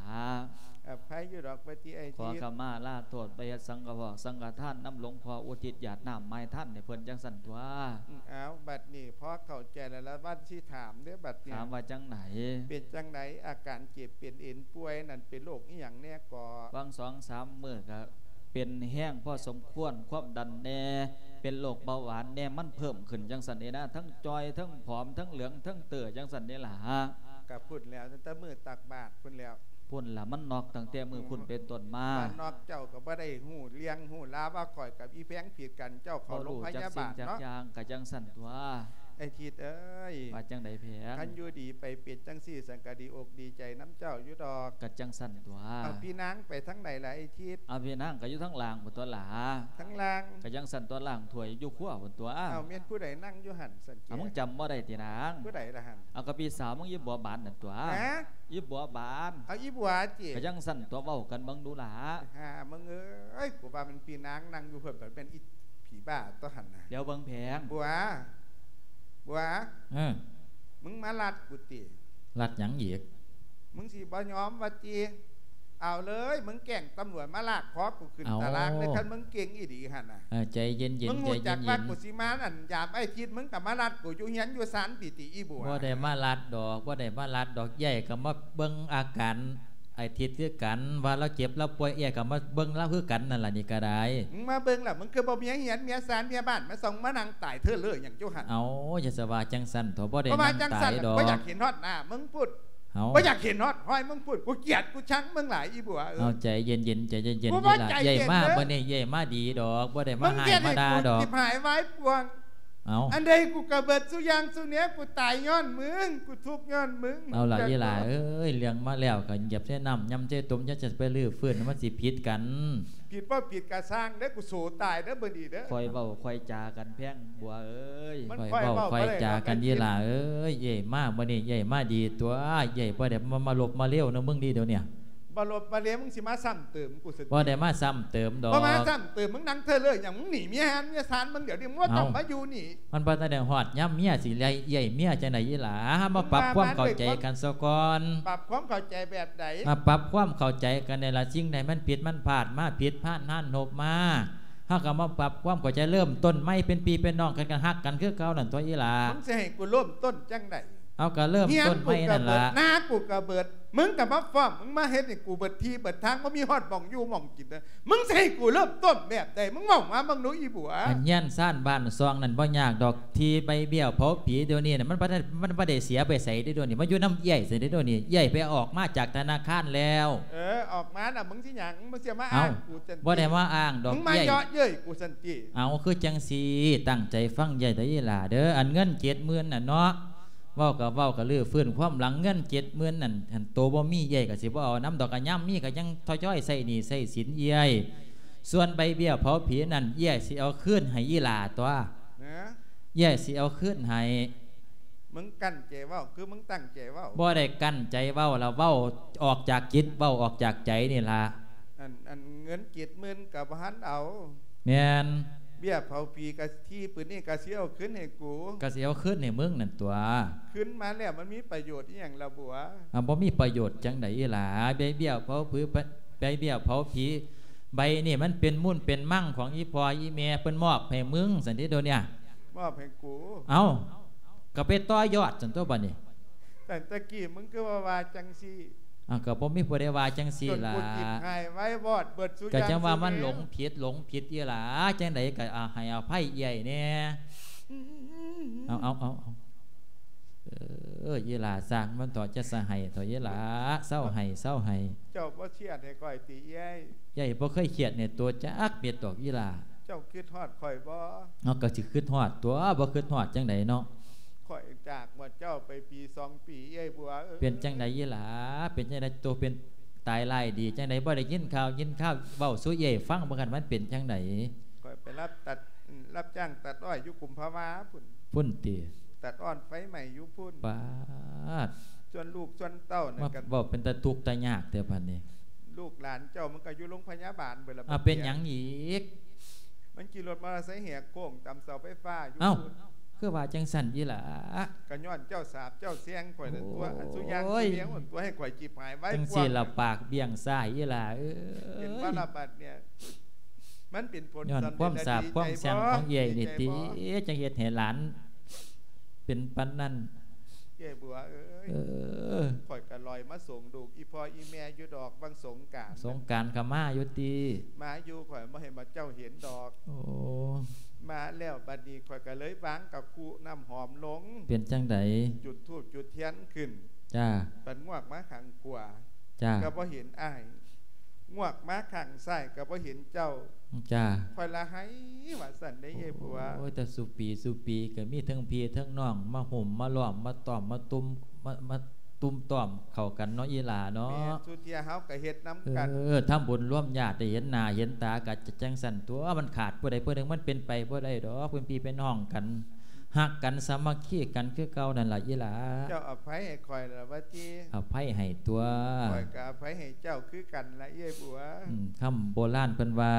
ອະໄພຢູ່ດອກ ວ່າຕິອ້າຍ ຂໍຂະມາລາໂທດ ໄປເຮັດສັງກະພອກສັງກະທານນຳຫຼວງພໍ່ ອຸທິດຢາດນ້ຳໝາຍທານໃຫ້ເພິ່ນຈັ່ງຊັ້ນຕົວະ ອືມ ເອົາ ບັດນີ້ພໍເຂົ້າໃຈແລ້ວລະ ວັນຊິຖາມເດີ້ບັດນີ້ ຖາມວ່າຈັ່ງໃດ ເປັນຈັ່ງໃດ ອາການເຈັບເປັນເອັນປ່ວຍນັ້ນ ເປັນໂລກອີ່ຫຍັງແດ່ກໍ ຫວ່າງສອງສາມມື້ກະເປັນແຮງພໍສົມຄວນ ຄວາມດັນແດ່ ເປັນໂລກເບົາຫວານແດ່ ມັນເພີ່ມຂຶ້ນຈັ່ງຊັ້ນເດນາ ທັງຈ່ອຍ ທັງຜອມ ທັງເຫຼືອງ ທັງເຕີຈັ່ງຊັ້ນເດລະ ກະພຸ້ນແລ້ວ ຕັ້ງແຕ່ມື້ຕັກບາດພຸ້ນແລ້ວ ພຸ້ນລະ ມັນນອກຕັ້ງແຕ່ມື້ພຸ້ນເປັນຕົ້ນມາ ວ່ານອກເຈົ້າກໍບໍ່ໄດ້ຮູ້ເລື່ອງຮູ້ລາວວ່າຂ້ອຍກັບອີ່ແພງຜິດກັນ ເຈົ້າເຂົ້າໂລງພະຍາບານເນາະ ບໍ່ຮູ້ຈັກສິ່ງຈັກຢ່າງ ກະຈັ່ງຊັ້ນຕົວະ ໄອ້ທິດເອີຍ ວ່າຈັ່ງໃດແພງ ຄັນຢູ່ດີໄປເປັນຈັ່ງຊີ້ ສັນກະດີອົກດີໃຈນຳເຈົ້າຢູ່ດອກ ກະຈັ່ງຊັ້ນຕົວະ ເອົາ ພີ່ນາງໄປທາງໃດລະໄອ້ທິດ ເອົາ ພີ່ນາງກະຢູ່ທາງລ່າງພຸ້ນຕົວະຫຼ້າ ທາງລ່າງ ກະຈັ່ງຊັ້ນຕົວະ ລ້າງຖ້ວຍຢູ່ຄົວພຸ້ນຕົວະ ເອົາ ແມ່ນຜູ້ໃດນັ່ງຢູ່ຫັ້ນຊັ້ນ ເອົາ ມຶງຈຳບໍ່ໄດ້ຕິນາງ ຜູ້ໃດລະຫັ້ນ ເອົາ ກະພີ່ສາວມຶງ ອີ່ບົວບານນັ້ນຕົວະ ຮະ ອີ່ບົວບານ ເອົາ ອີ່ບົວຕິ ກະຈັ່ງຊັ້ນຕົວະ ເວົ້າກັນເບິ່ງດູຫຼ້າ ຫາມຶງເອີຍ ກູວ່າແມ່ນພີ່ນາງນັ່ງຢູ່ພຸ້ນ ບັດແມ່ນອີ່ຜີບ້າຕົວຫັ້ນນະ ດຽວເບິ່ງແພງ ບົວ ບົວ ເອີ ມຶງມາລັດກູຕິ ລັດຫຍັງອີກ ມຶງຊິບໍ່ຍອມວ່າຕິ ເອົາເລີຍ ມຶງແຈ້ງຕຳຫຼວດມາລາກຄໍກູຂຶ້ນຕາລາງເລີຍ ເອົ້າ ຄັນມຶງເກັ່ງອີ່ຫຼີຫັ້ນນະ ເອີ ໃຈເຢັນໆ ໃຈເຢັນໆ ມຶງຮູ້ຈັກວ່າກູຊິມາອັນຍາມໄອ້ທິດ ມຶງກໍມາລັດກູຢູ່ເຮືອນຢູ່ຊານຕິຕິອີ່ບົວ ບໍ່ໄດ້ມາລັດດອກ ບໍ່ໄດ້ມາລັດດອກ ເອື້ອຍກໍມາເບິ່ງອາການໄອ້ທິດຄືກັນ ວ່າລາວເຈັບລາວປ່ວຍ ເອື້ອຍກໍມາເບິ່ງລາວຄືກັນນັ້ນລະ ນີ້ກໍໄດ້ ມຶງມາເບິ່ງລະ ມຶງຄືບໍ່ມີເຮືອນເມຍຊານເມຍບ້ານມາສ່ອງມານັ່ງຕາຍເທີເລີຫຍັງຢູ່ຫັ້ນ ເອົ້າ ຢ່າສະວ່າຈັ່ງຊັ້ນເຖາະ ບໍ່ໄດ້ນັ່ງຕາຍດອກ ບໍ່ຢາກເຫັນຮອດໜ້າມຶງພຸ້ນ ເອົາ ບໍ່ຢາກເຫັນຮອດຮອຍມຶງພຸ້ນ ກູກຽດກູຊັງມຶງຫຼາຍ ອີບົວເອີຍ. ເອົາ ໃຈເຢັນໆ ໃຈເຢັນໆ ເອີຍຫຼ້າ. ເອີຍມາ ມື້ນີ້ເອີຍມາດີດອກ ບໍ່ໄດ້ມາຫາມາດ່າດອກ. ມຶງເຮັດໃຫ້ກູຈິບຫາຍວາຍປ່ວງ. ເອົາ ອັນໃດກູກະເບິດສູ່ຢ່າງສູ່ແນວ ກູຕາຍຍ້ອນມຶງ ກູທຸກຍ້ອນມຶງ. ເອົາລະ ອີຫຼ້າເອີຍ ເລື່ອງມາແລ້ວກະຢາບໃສ່ນ້ຳ ຢາບໃສ່ຕົ້ມ ຢ່າຈະໄປຮື້ຟື້ນ ມັນຊິຜິດກັນ. ຜິດບໍ່ຜິດກະຊ່າງເດີ ກູໂສຕາຍເດີມື້ນີ້ເດີ. ຄ່ອຍເວົ້າຄ່ອຍຈາກັນແພງບົວເອີຍ. ຄ່ອຍເວົ້າຄ່ອຍຈາກັນ ອີຫຼ້າເອີຍ. ເອີຍມາມື້ນີ້ເອີຍມາດີຕົວເອີຍ ບໍ່ໄດ້ມາລົບມາເລວນຳມຶງດີດຽວນີ້. ບໍ່ລົບບໍ່ເລວ ມຶງຊິມາຊ້ຳເຕີມກູຊັ້ນ. ບໍ່ໄດ້ມາຊ້ຳເຕີມດອກ. ບໍ່ມາຊ້ຳເຕີມ ມຶງນັ່ງເທີເລີຫຍັງ ມຶງໜີເມຍຮ້ານເມຍຊານ ມຶງດຽວນີ້ ມຶງບໍ່ຕ້ອງມາຢູ່ນີ້. ມັນບໍ່ທັນໄດ້ຮອດຍາມເມຍຊິໄລ່ເອື້ອຍເມຍຈັ່ງໃດ ອີຫຼ້າ. ເຮົາມາປັບຄວາມເຂົ້າໃຈກັນສາກ່ອນ. ປັບຄວາມເຂົ້າໃຈແບບໃດ? ມາປັບຄວາມເຂົ້າໃຈກັນນີ້ລະ. ສິ່ງໃດມັນຜິດມັນພາດມາ ຜິດພານຮ້ານຮົບມາ ເຮົາກໍມາປັບຄວາມເຂົ້າໃຈ ເລີ່ມຕົ້ນໃໝ່ ເປັນພີ່ເປັນນ້ອງກັນ ກໍຮັກກັນຄືເກົ່ານັ້ນຕົວະ ອີຫຼ້າ. ມຶງຊິໃຫ້ກູເລີ່ມຕົ້ນຈັ່ງໃດ? ເອົາ ກໍເລີ່ມຕົ້ນໃໝ່ນັ້ນລະ. ນາກູກະເບິດ ມຶງກໍມາຟ້ອມ ມຶງມາເຮັດໃຫ້ກູເບິດທີ່ເບິດທາງ ບໍ່ມີຮອດໝ່ອງຢູ່ໝ່ອງກິນເດີ. ມຶງຊິໃຫ້ກູເລີ່ມຕົ້ນແບບໃດ? ມຶງເວົ້າມາເບິ່ງດູ ອີບົວ. ອັນເຮືອນຊານບ້ານຊ່ອງນັ້ນບໍ່ຍາກດອກ ທີ່ໃບເບ້ຍເຜົາຜີດຽວນີ້ນະ ມັນບໍ່ໄດ້ ມັນບໍ່ໄດ້ເສຍໄປໃສເດ້ດຽວນີ້ ມາຢູ່ນຳເອື້ອຍຊັ້ນເດ້ດຽວນີ້. ເອື້ອຍໄປອອກມາຈາກທະນາຄານແລ້ວ. ເອີ ອອກມານະ ມຶງຊິຫຍັງ? ມຶງຊິມາອ້າງກູຈັ່ງຊີ້? ບໍ່ໄດ້ມາອ້າງດອກ ມຶງມາເຍາະເຍີ້ຍກູຊັ້ນຕິ? ເອົາ ຄືຈັ່ງຊີ້ ຕັ້ງໃຈຟັງເອື້ອຍເດີ ອີຫຼ້າເດີ. ອັນເງິນເຈັດໝື່ນນັ້ນເນາະ ເວົ້າກໍເວົ້າ ກໍຮື້ຟື້ນຄວາມຫຼັງ ເງິນເຈັດໝື່ນນັ້ນ ຄັນໂຕບໍ່ມີເອື້ອຍກໍຊິບໍ່ເອົານຳດອກ ກະຍາມມີກໍຍັງທະຍອຍໃຊ້ໜີ້ໃຊ້ສິນເອື້ອຍ. ສ່ວນໃບເບ້ຍເຜົາຜີນັ້ນ ເອື້ອຍຊິເອົາຄືນໃຫ້ອີຫຼ້າຕົວະ. ເອື້ອຍຊິເອົາຄືນໃຫ້. ມຶງກັ້ນໃຈເວົ້າ ຄືມຶງຕັ້ງໃຈເວົ້າ? ບໍ່ໄດ້ກັ້ນໃຈເວົ້າລະ ເວົ້າອອກຈາກຈິດ ເວົ້າອອກຈາກໃຈນີ້ລະ. ອັນ ອັນເງິນເຈັດໝື່ນກໍບໍ່ທັນເອົາ. ແມ່ນ. ເບ້ຍເຜົາຜີກະທີ່ປຶ້ນນີ້ກະຊິເອົາຄືນໃຫ້ກູ. ກະຊິເອົາຄືນໃຫ້ມຶງນັ້ນຕົວະ. ຄືນມາແລ້ວມັນມີປະໂຫຍດອີ່ຫຍັງລະບົວ? ອ່າ ບໍ່ມີປະໂຫຍດຈັ່ງໃດອີຫຼ້າ. ໃບເບ້ຍເຜົາຜື ໃບເບ້ຍເຜົາຜີໃບນີ້ ມັນເປັນມູນເປັນມັງຂອງອີ່ພໍ່ອີ່ແມ່ ເພິ່ນມອບໃຫ້ມຶງຊັ້ນເດ້ດຽວນີ້. ມອບໃຫ້ກູ? ເອົ້າ ກໍໄປຕໍ່ຍອດຊັ້ນຕົວະບາດນີ້. ແຕ່ຕະກີ້ມຶງຄືວ່າ ວ່າຈັ່ງຊີ້? ອ້າວ ກໍບໍ່ມີຜູ້ໃດວ່າຈັ່ງຊີ້ລະ. ຈົນກູຈິບຫາຍວາຍວອດເບິດສູ່ຢ່າງສູ່ແນວ. ກໍຈັ່ງວ່າມັນຫຼົງຜິດ ຫຼົງຜິດອີ່ຫຼ້າ ຈັ່ງໃດກໍ ອາ ໃຫ້ອະໄພເອື້ອຍແດ່. ເອົາ ເອົາ ເອົາ ເອີ ອີ່ຫຼ້າ ຊ່າງມັນເຖາະ ຈະສະໄຫ້ເຖາະ ອີ່ຫຼ້າ ເຊົາໄຫ້ ເຊົາໄຫ້. ເຈົ້າບໍ່ຄຽດໃຫ້ຂ້ອຍຕິເອື້ອຍ? ເອື້ອຍບໍ່ເຄີຍຄຽດໃຫ້ໂຕຈັກເມັດດອກ ອີ່ຫຼ້າ. ເຈົ້າຄິດຮອດຂ້ອຍບໍ່? ເຮົາກໍຊິຄິດຮອດຕົວະ ບໍ່ຄິດຮອດຈັ່ງໃດເນາະ. ຂ້ອຍຈາກໝົດເຈົ້າໄປປີສອງປີ ເອື້ອຍບົວເອີຍ. ເປັນຈັ່ງໃດອີ່ຫຼ້າ? ເປັນຈັ່ງໃດ? ໂຕເປັນຕາຍຮ້າຍດີຈັ່ງໃດ? ບໍ່ໄດ້ຍິນຂ່າວຍິນຄາວເວົ້າສູ່ເອື້ອຍຟັງເບິ່ງ ຄັນມັນເປັນຈັ່ງໃດ? ຂ້ອຍໄປຮັບຕັດ ອືມ ຮັບຈ້າງຕັດອ້ອຍຢູ່ກຸມພະວາພຸ້ນ. ພຸ້ນຕິ? ຕັດອ້ອຍໄຟໄໝ້ຢູ່ພຸ້ນ. ປາດ ສ່ວນລູກສ່ວນເຕົ້ານັ້ນ ມາ ກໍເວົ້າເປັນຕາທຸກຕາຍາກແທ້ບາດນີ້. ລູກຫຼານເຈົ້າມັນກໍຢູ່ໂລງພະຍາບານເບິດລະ. ອາ ເປັນຫຍັງອີກ? ມັນຂີ່ລົດມໍເຕີໄຊແຫກໂຄ້ງຕຳເສົາໄຟຟ້າຢູ່ ເອົ້າ ພຸ້ນ. ຄືວ່າຈັ່ງຊັ້ນອີ່ຫຼ້າ? ກໍຍ້ອນເຈົ້າສາບເຈົ້າແຊ່ງຂ້ອຍນັ້ນຕົວະ. ໂອ້ຍ ອັນສຸຢ່າງສຸແນວນັ້ນຕົວະ ໃຫ້ຂ້ອຍຈິບຫາຍໄວກວ່າ. ຈັ່ງຊີ້ລະ ປາກບ້ຽງຊ້າຍອີ່ຫຼ້າເອີຍ. ເຫັນບໍ່ລະບັດນີ້ ມັນເປັນຜົນ ຍ້ອນຄວາມສາບຄວາມແຊ່ງຂອງເອື້ອຍນີ້ຕິ ຈັ່ງເຮັດໃຫ້ຫຼານເປັນປານນັ້ນ. ເອື້ອຍບົວເອີຍ ເອີ ຂ້ອຍກໍລອຍມາສົ່ງລູກອີ່ພໍ່ອີ່ແມ່ຢູ່ດອກ ວັນສົງການ. ສົງການກໍມາຢູ່ຕິ? ມາຢູ່ ຂ້ອຍບໍ່ເຫັນວ່າເຈົ້າເຫັນດອກ. ໂອ້ ມາແລ້ວບັດນີ້ຂ້ອຍກໍເລີຍວາງກະຄຸນ້ຳຫອມລົງ. ເປັນຈັ່ງໃດ? ຈຸດທູບຈຸດທຽນຂຶ້ນ. ຈ້າ. ບັດງວກມາຂ້າງຂວາ. ຈ້າ. ກໍບໍ່ເຫັນອ້າຍ. ງວກມາຂ້າງຊ້າຍກໍບໍ່ເຫັນເຈົ້າ. ຈ້າ. ຂ້ອຍລະໄຫ້ວ່າຊັ້ນເດ້ເອື້ອຍບົວ. ໂອ້ຍ ແຕ່ສູ່ປີສູ່ປີກໍມີເທິງພີ່ເທິງນ້ອງມາຫຸ້ມມາລ້ອມມາຕ້ອມມາຕຸ້ມ ມາ ມາຕຸ້ມຕ້ອມເຂົ້າກັນເນາະ ອີ່ຫຼ້າເນາະ. ແມ່ນ ສູ່ເທື່ອເຮົາກໍເຮັດນຳກັນ. ເອີ ທຳບຸນລວມຍາດໄດ້ເຫັນໜ້າເຫັນຕາກໍຈະຈັ່ງຊັ້ນຕົວະ. ມັນຂາດຜູ້ໃດຜູ້ໜຶ່ງ ມັນເປັນໄປບໍ່ໄດ້ດອກ. ເປັນພີ່ເປັນນ້ອງກັນ ຮັກກັນສາມັກຄີກັນຄືເກົ່ານັ້ນລະ ອີ່ຫຼ້າ. ເຈົ້າອະໄພໃຫ້ຂ້ອຍລະວ່າຕິ? ອະໄພໃຫ້ຕົວະ. ຂ້ອຍກໍອະໄພໃຫ້ເຈົ້າຄືກັນລະ ເອື້ອຍບົວ. ອືມ ຄຳໂບລານເພິ່ນວ່າ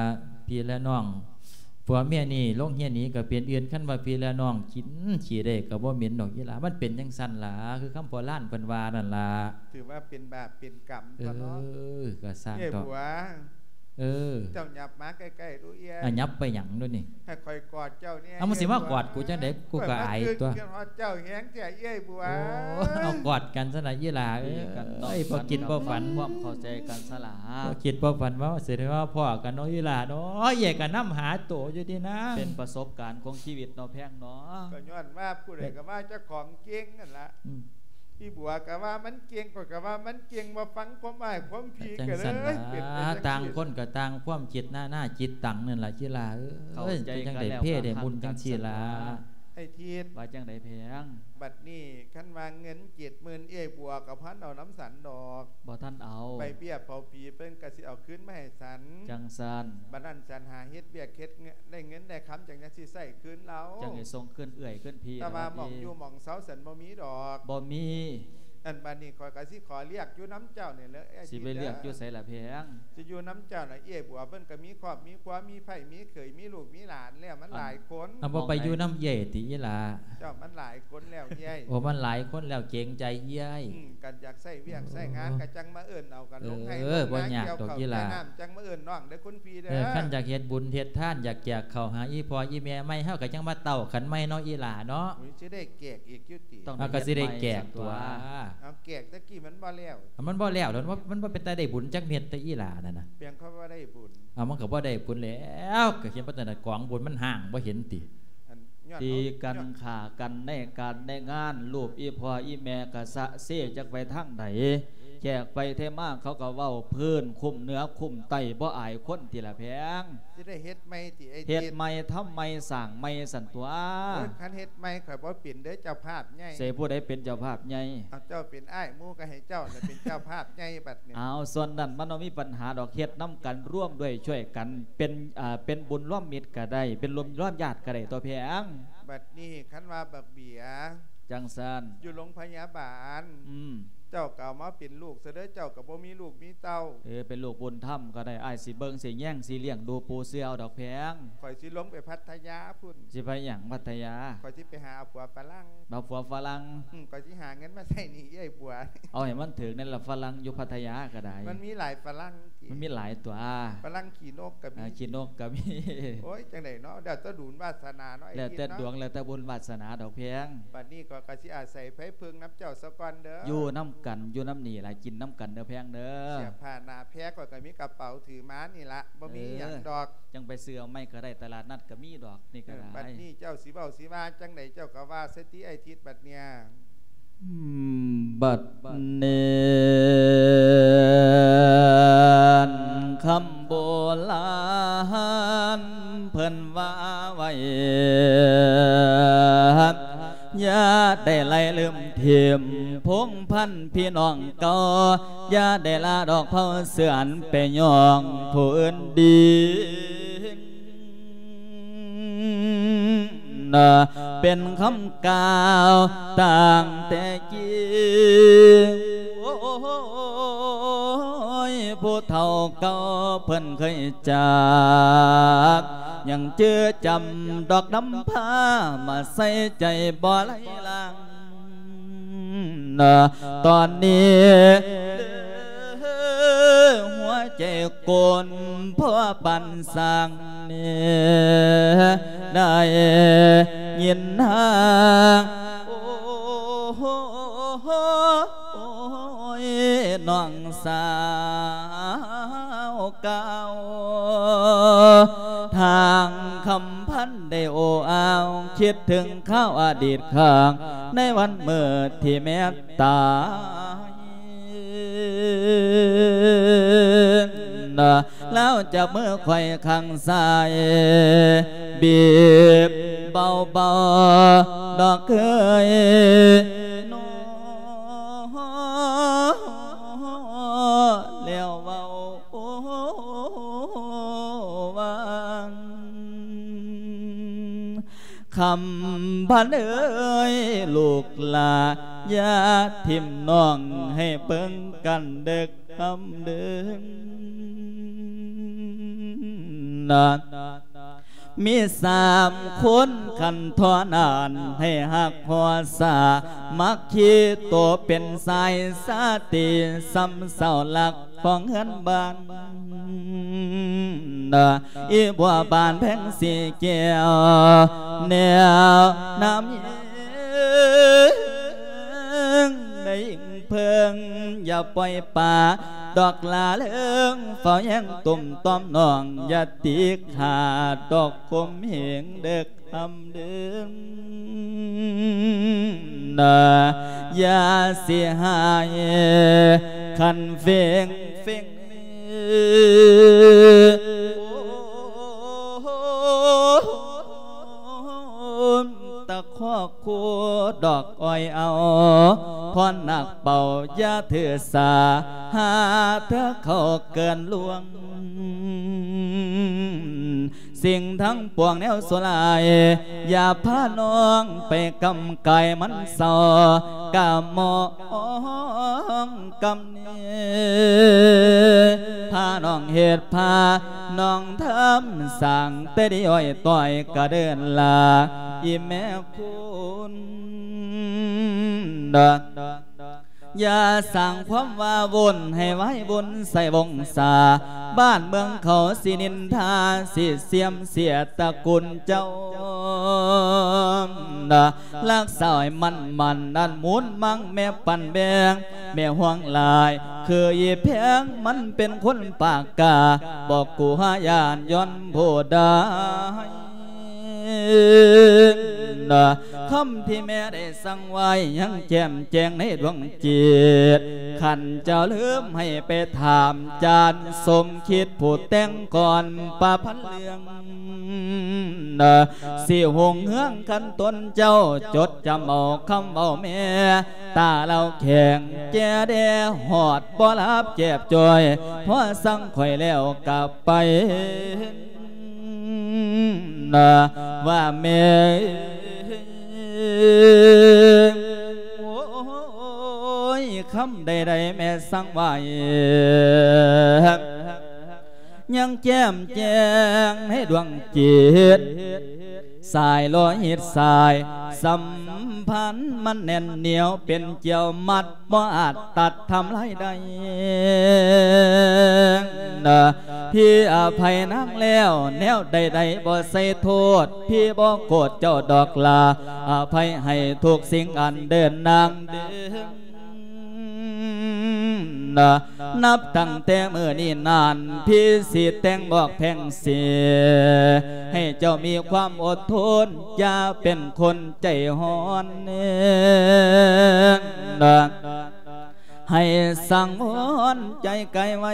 ພີ່ແລະນ້ອງ ຜົວເມຍນີ້ ລົງເຮືອໜີກໍເປັນອື່ນ. ຄັນວ່າພີ່ແລະນ້ອງ ກິນຂີ້ໄດ້ກໍບໍ່ເໝັນດອກ ອີ່ຫຼ້າ. ມັນເປັນຈັ່ງຊັ້ນລະ ຄືຄຳໂບລານເພິ່ນວ່ານັ້ນລະ. ຖືວ່າເປັນບາບເປັນກຳຕົວະເນາະ. ເອີ ກໍຊ່າງເຖາະ ເອື້ອຍບົວ. ເອີ ເຈົ້າຫຍັບມາໃກ້ໆດູເອື້ອຍ. ອາ ຫຍັບໄປຫຍັງດູນີ້? ໃຫ້ຂ້ອຍກອດເຈົ້າແດ່. ເອົາ ມຶງຊິມາກອດກູຈັ່ງໃດ? ກູກໍອາຍຕົວະ. ຂ້ອຍມາຄິດຮອດເຈົ້າແຮງແທ້ເອື້ອຍບົວ. ໂອ້ ເອົາກອດກັນຊະນະ ອີ່ຫຼ້າເອີຍ. ບໍ່ຄິດບໍ່ຝັນ ຄວາມເຂົ້າໃຈກັນຊະລະ. ບໍ່ຄິດບໍ່ຝັນວ່າຊິໄດ້ມາພໍ້ກັນເນາະ ອີ່ຫຼ້າເນາະ. ເອື້ອຍກໍນຳຫາໂຕຢູ່ຕິນາ. ເປັນປະສົບການຂອງຊີວິດເນາະ ແພງເນາະ. ກໍຍ້ອນວ່າຜູ້ໃດກໍວ່າເຈົ້າຂອງເກັ່ງນັ້ນລະ. ອືມ. ອີ່ບົວກໍວ່າມັນເກັ່ງ ຂ້ອຍກໍວ່າມັນເກັ່ງ ບໍ່ຟັງຄວາມອ້າຍຄວາມພີ່ ກໍເລີຍເປັນໄປຈັ່ງຊີ້ ຕ່າງຄົນກໍຕ່າງຄວາມຄິດ ນານາຈິດຕັງນັ້ນລະ ອີ່ຫຼ້າເອີຍ. ເຂົ້າໃຈກັນແລ້ວກໍຮັກກັນຊັ້ນຕົວະ ອ້າຍທິດ ວ່າຈັ່ງໃດແພງ? ບັດນີ້ຄັນວ່າເງິນເຈັດໝື່ນ ເອື້ອຍບົວກໍບໍ່ທັນເອົານຳສັນດອກ ບໍ່ທັນເອົາ ໃບເບ້ຍເຜົາຜີເພິ່ນກໍຊິເອົາຄືນມາໃຫ້ສັນ ຈັ່ງຊັ້ນ ບັດນັ້ນສັນຫາເຮັດວຽກເຮັດ ໄດ້ເງິນໄດ້ຄຳ ຈັ່ງຈັ່ງຊິໃຊ້ຄືນລາວ ຈັ່ງຊິສົ່ງຄືນເອື້ອຍຄືນພີ່ ແຕ່ວ່າໝ່ອງຢູ່ໝ່ອງເຊົາສັນບໍ່ມີດອກ ບໍ່ມີ. ອັນບັດນີ້ຂ້ອຍກໍຊິຂໍລຽກຢູ່ນຳເຈົ້ານີ້ແຫຼະ ອ້າຍທິດເດີ ຊິໄປລຽກຢູ່ໃສລະແພງ? ຊິຢູ່ນຳເຈົ້າລະ ເອື້ອຍບົວເພິ່ນກໍມີຄອບມີຄົວ ມີໃພ້ມີເຂີຍ ມີລູກມີຫຼານແລ້ວ ມັນຫຼາຍຄົນ ອັນ ບໍ່ໄປຢູ່ນຳເອື້ອຍຕິອີ່ຫຼ້າ? ເຈົ້າ ມັນຫຼາຍຄົນແລ້ວເອື້ອຍ ໂອ້ ມັນຫຼາຍຄົນແລ້ວ ເກງໃຈເອື້ອຍ ອືມ ກັນຢາກໃຊ້ວຽກໃຊ້ງານ ໂອ້ ກໍຈັ່ງມາເອີ້ນເອົາກັນລົງໄຮ່ ເອີ ບໍ່ຍາກດອກອີ່ຫຼ້າ ນ້ຳຈັ່ງມາເອີ້ນນ້ອງເດີຄຸນພີ່ເດີ ເອີ ຄັນຢາກເຮັດບຸນເຮັດທານ ຢາກແຈກເຂົ້າຫາອີ່ພໍ່ອີ່ແມ່ໃໝ່ ເຮົາກໍຈັ່ງມາເຕົ້າກັນໃໝ່ເນາະອີ່ຫຼ້າເນາະ ໂອ້ຍ ຊິໄດ້ແຈກອີກຢູ່ຕິ? ເຮົາກໍຊິໄດ້ແຈກຕົວະ ເອົາແຈກແຕ່ກີ້ມັນບໍ່ແລ້ວ ມັນບໍ່ແລ້ວ ມັນບໍ່ ມັນບໍ່ເປັນຕາໄດ້ບຸນຈັກເມັດເດ້ອີ່ຫຼ້ານັ້ນນະ ເປັນຫຍັງຄືບໍ່ໄດ້ບຸນ? ເອົາ ມັນກໍບໍ່ໄດ້ບຸນແລ້ວ ກໍເຫັນວ່າແຕ່ນະກອງບຸນມັນຫ້າງ ບໍ່ເຫັນຕິ? ອັນ ຕີກັນຂ້າກັນໃນການໃນງານ ຮູບອີ່ພໍ່ອີ່ແມ່ກະສະເຊຈັກໄປທາງໃດ ແຂກໄປເທມາເຂົາກໍເວົ້າພື້ນຄຸ້ມເໜືອຄຸ້ມໃຕ້ ບໍ່ອາຍຄົນຕິລະແພງ? ຊິໄດ້ເຮັດໃໝ່ຕິອ້າຍທິດ? ເຮັດໃໝ່ທຳໃໝ່ສ້າງໃໝ່ຊັ້ນຕົວະ. ໂອ້ຍ ຄັນເຮັດໃໝ່ຂ້ອຍບໍ່ເປັນເດີເຈົ້າພາບໃຫຍ່. ໃສຜູ້ໃດເປັນເຈົ້າພາບໃຫຍ່? ເອົາ ເຈົ້າເປັນອ້າຍໝູ່ກໍໃຫ້ເຈົ້າລະເປັນເຈົ້າພາບໃຫຍ່ບັດນີ້. ເອົາ ສ່ວນນັ້ນມັນບໍ່ມີປັນຫາດອກ ເຮັດນຳກັນ ຮ່ວມດ້ວຍຊ່ວຍກັນ ເປັນ ເປັນບຸນລວມມິດກໍໄດ້ ເປັນລົມລວມຍາດກໍໄດ້ຕົວະແພງ. ບັດນີ້ຄັນວ່າບັກເບຍ ຈັ່ງຊັ້ນ ຢູ່ໂລງພະຍາບານ ອືມ ເຈົ້າກໍເອົາມາເປັນລູກຊະເດີ ເຈົ້າກໍບໍ່ມີລູກມີເຕົ້າ. ເອີ ເປັນລູກບຸນທຳກໍໄດ້ ອ້າຍຊິເບິ່ງຊິແຍງຊິລ້ຽງດູປູເສືອເອົາດອກແພງ. ຂ້ອຍຊິລົງໄປພັດທະຍາພຸ້ນ. ຊິໄປຫຍັງພັດທະຍາ? ຂ້ອຍຊິໄປຫາເອົາຜົວຝຣັ່ງ. ເອົາຜົວຝຣັ່ງ? ອືມ ຂ້ອຍຊິຫາເງິນມາໃຊ້ໜີ້ເອື້ອຍບົວ. ເອົາໃຫ້ມັນຖືກແດ່ລະ ຝຣັ່ງຢູ່ພັດທະຍາກໍໄດ້. ມັນມີຫຼາຍຝຣັ່ງ. ມັນມີຫຼາຍຕົວະ ຝຣັ່ງຂີ້ນົກກໍມີ ອ່າ ຂີ້ນົກກໍມີ. ໂອ້ຍ ຈັ່ງໃດເນາະ ແລ້ວແຕ່ບຸນວາດສະໜາເນາະ ແລ້ວແຕ່ດວງ ແລ້ວແຕ່ບຸນວາດສະໜາດອກແພງ. ບັດນີ້ຂ້ອຍກໍຊິອາໄສໄພເພິ່ງນຳເຈົ້າສາກ່ອນເດີ. ຢູ່ນຳກັນ ຢູ່ນຳນີ້ລະ ກິນນຳກັນເດີແພງເດີ. ເສື້ອຜ້າໜ້າແພຂ້ອຍກໍມີກະເປົາຖືມານີ້ລະ ບໍ່ມີຫຍັງດອກ. ຈັ່ງໄປຊື້ເອົາໃໝ່ກໍໄດ້ ຕະຫຼາດນັດກໍມີດອກ ນີ້ກໍໄດ້. ບັດນີ້ເຈົ້າຊິເວົ້າຊິວ່າຈັ່ງໃດ ເຈົ້າກໍວ່າໃສ່ຕິອ້າຍທິດບັດເນີ້ຍ. ບັດນີ້ຄຳໂບລານເພິ່ນວ່າໄວ້ ຢ່າໄດ້ໄຫຼລືມຖິ້ມພົງພັນພີ່ນ້ອງເກົ່າ ຢ່າໄດ້ລາດອກເຜົ່າເຊື້ອໄປຍ້ອງຜູ້ອື່ນດີ. ເປັນຄຳກ່າວຕັ້ງແຕ່ກີ້ ໂອ້ຍ ຜູ້ເຖົ້າເກົ່າເພິ່ນເຄີຍຈາກ ຍັງຈື່ຈຳດອກນຳພາ ມາໃສ່ໃຈບໍ່ໄຫຼລາງ. ຕອນນີ້ຫົວໃຈກົນພໍ່ປານຊ່າງນີ້ ໄດ້ຍິນນາງ ໂອ້ຍ ນ້ອງສາວກ່າວ ທາງຄຳພັນໄດ້ໂອ້ອາວ ຄິດເຖິງຄາວອະດີດຄັ້ງ ໃນວັນມື້ທີ່ແມ່ຕາຍ ລາວຈັບມືຂ້ອຍຂ້າງຊ້າຍ ບີບເບົາໆ ດອກເອີຍ ນ້ອງ ແລ້ວເວົ້າວ່າ ຄຳພັນເອີຍ ລູກຫຼ້າ ຢ່າຖິ້ມນ້ອງ ໃຫ້ເບິ່ງກັນເດີຄຳເດີ ນະ. ມີສາມຄົນຂັ້ນເທົ່ານັ້ນ ໃຫ້ຮັກຮົກສາມັກຄີ ໂຕເປັນສາຍສາຕີ ຊຳເຊົາລັກຂອງເຮືອນບ້ານ ອີບົວບານແພງສີແກ້ວ ແນວນຳຍິງ ໄດ້ຍິງເພິ່ງ ຢ່າປ່ອຍປະ ດອກຫຼ້າເລິງ ເຝົ້າແຍງຕຸ້ມຕ້ອມນ້ອງ ຢ່າຕີຂາດດອກຂົ່ມເຫງເດີກຄຳເດີ. ນະ ຢ່າຊິຫາຍຄັນເຟງເຟງ ໂອ້ ຕະຄອກຄູ່ດອກອ້ອຍເອົາ ພອນນັກເປົ່າຢ່າຖືສາ ຫາເທື່ອເຂົາເກີນລ່ວງ ສິ່ງທັງປວງແນວຊົ່ວຮ້າຍ ຢ່າພານ້ອງໄປກຳກາຍມັນເສົ້າ ກະມອງກຳ ນີ້ ພານ້ອງເຮັດ ພານ້ອງທຳສ້າງ ແຕ່ດີອ້ອຍຕ້ອຍກະເດີນລາ ອີແມ່ຄຸນ ຢ່າສ້າງຄວາມວ້າວຸ່ນ ໃຫ້ວາຍວຸ່ນໃສ່ວົງສາ ບ້ານເມືອງເຂົາຊິນິນທາ ຊິເສື່ອມເສຍຕະກຸນເຈົ້າ ນະ ຮັກສາໃຫ້ໝັ້ນໆ ອັນມູນມັງແມ່ປັ້ນແບງ ແມ່ຫ່ວງຫຼາຍ ຄືອີແພງມັນເປັນຄົນປາກກາ ບໍ່ກົວຢ້ານຍ້ອນຜູ້ໃດ ນະ ຄຳທີ່ແມ່ໄດ້ສັ່ງໄວ້ ຍັງແຈ່ມແຈ້ງໃນດວງຈິດ ຄັນເຈົ້າລືມໃຫ້ໄປຖາມ ຈານສົມຄິດຜູ້ແຕ່ງກ່ອນປະພັນເລື່ອງ ນະ ຊິຮຸ່ງເຮືອງຄັນຕົນເຈົ້າ ຈົດຈຳເອົາຄຳເວົ້າແມ່ ຕາເລົ່າແຂງແຈແດ່ ຮອດບໍ່ຫຼັບແຈບຈ່ອຍ ພໍສັ່ງຂ້ອຍແລ້ວກະໄປ ນະ ວ່າແມ່ ໂອ້ຍ ຄຳໃດໆ ແມ່ສັ່ງໄວ້ ຍັງແຈ່ມແຈ້ງໃນດວງຈິດ ສາຍໂລຫິດສາຍສຳພັນມັນແໜ້ນໜຽວເປັນກ່ຽວມັດ ບໍ່ອາດຕັດທຳລາຍໄດ້ ນະ ພີ່ອະໄພນາງແລ້ວ ແນວໃດໆບໍ່ໃສ່ໂທດ ພີ່ບໍ່ໂກດເຈົ້າດອກລາ ອະໄພໃຫ້ທຸກສິ່ງອັນເດີນນາງເດີນ ນະ ນັບຕັ້ງແຕ່ມື້ນີ້ນານ ພີ່ຊິແຕ່ງບອກແພງເສຍ ໃຫ້ເຈົ້າມີຄວາມອົດທົນ ຢ່າເປັນຄົນໃຈຮ້ອນ ນະ ໃຫ້ສັງວອນໃຈກາຍໄວ້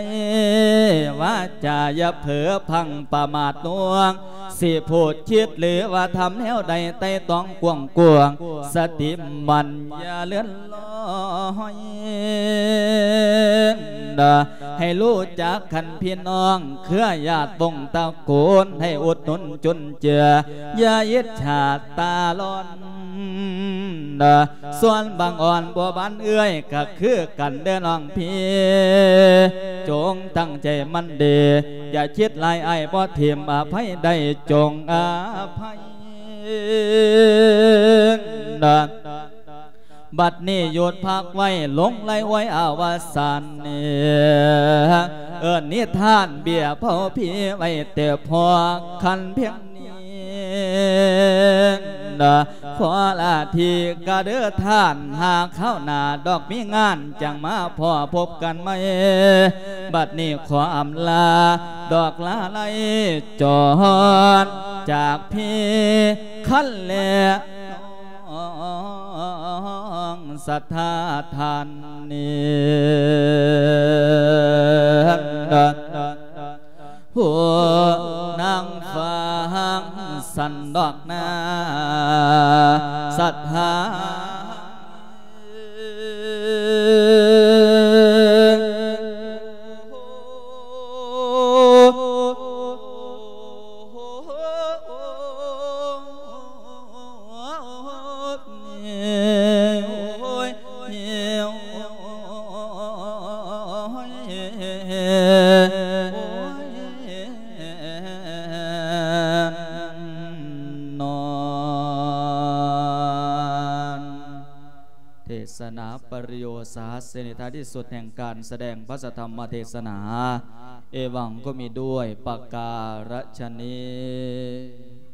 ວາຈາຢ່າເຜີພັງປະໝາດລວງ ຊິພູດຄິດຫຼືວ່າທຳແນວໃດໄຕ່ຕອງກວ້າງໆ ສະຕິໝັ້ນຢ່າເລື່ອນລອຍ ນະ ໃຫ້ຮູ້ຈັກຄັນພີ່ນ້ອງ ເຄືອຍາດວົງຕະໂກນ ໃຫ້ອຸດໜູນຈຸນເຈືອ ຢ່າອິດສາຕາຮ້ອນ ນະ ສ່ວນບັງອ່ອນບົວບານເອື້ອຍ ກະຄືກັນເດີນ້ອງພີ່ ຈົ່ງຕັ້ງໃຈໝັ້ນດີ ຢ່າຄິດຫຼາຍ ອ້າຍບໍ່ຖິ້ມ ອະໄພໄດ້ຈົ່ງອະໄພ ນະ ບັດນີ້ຢຸດພັກໄວ້ ຫຼົງໄຫຼໄວອະວະສານນີ້ ເອີ້ນນິທານເບ້ຍເຜົາຜີໄວ້ແຕ່ພໍ ຄັນພຽງນີ້ ນະ ຂໍລາທີກະເດີທ່ານ ຫາຄາວໜ້າດອກມີງານ ຈັ່ງມາພໍ້ພົບກັນໃໝ່ ບັດນີ້ຂໍອຳລາ ດອກລາໄລຈອນ ຈາກພີ່ຄັນແລ ນ້ອງສັດທາທ່ານນີ້ ຜູ້ນາງຟັງສັນດອກນາສັດທາ ນອນ ເທດສະໜາປະລິໂຍດສະຫັດສະນິ ທ້າຍທີ່ສຸດແຫ່ງການສະແດງພະສະທຳມະເທດສະໜາ ເອວັງກໍມີດ້ວຍປະກາລະຊະນີ້.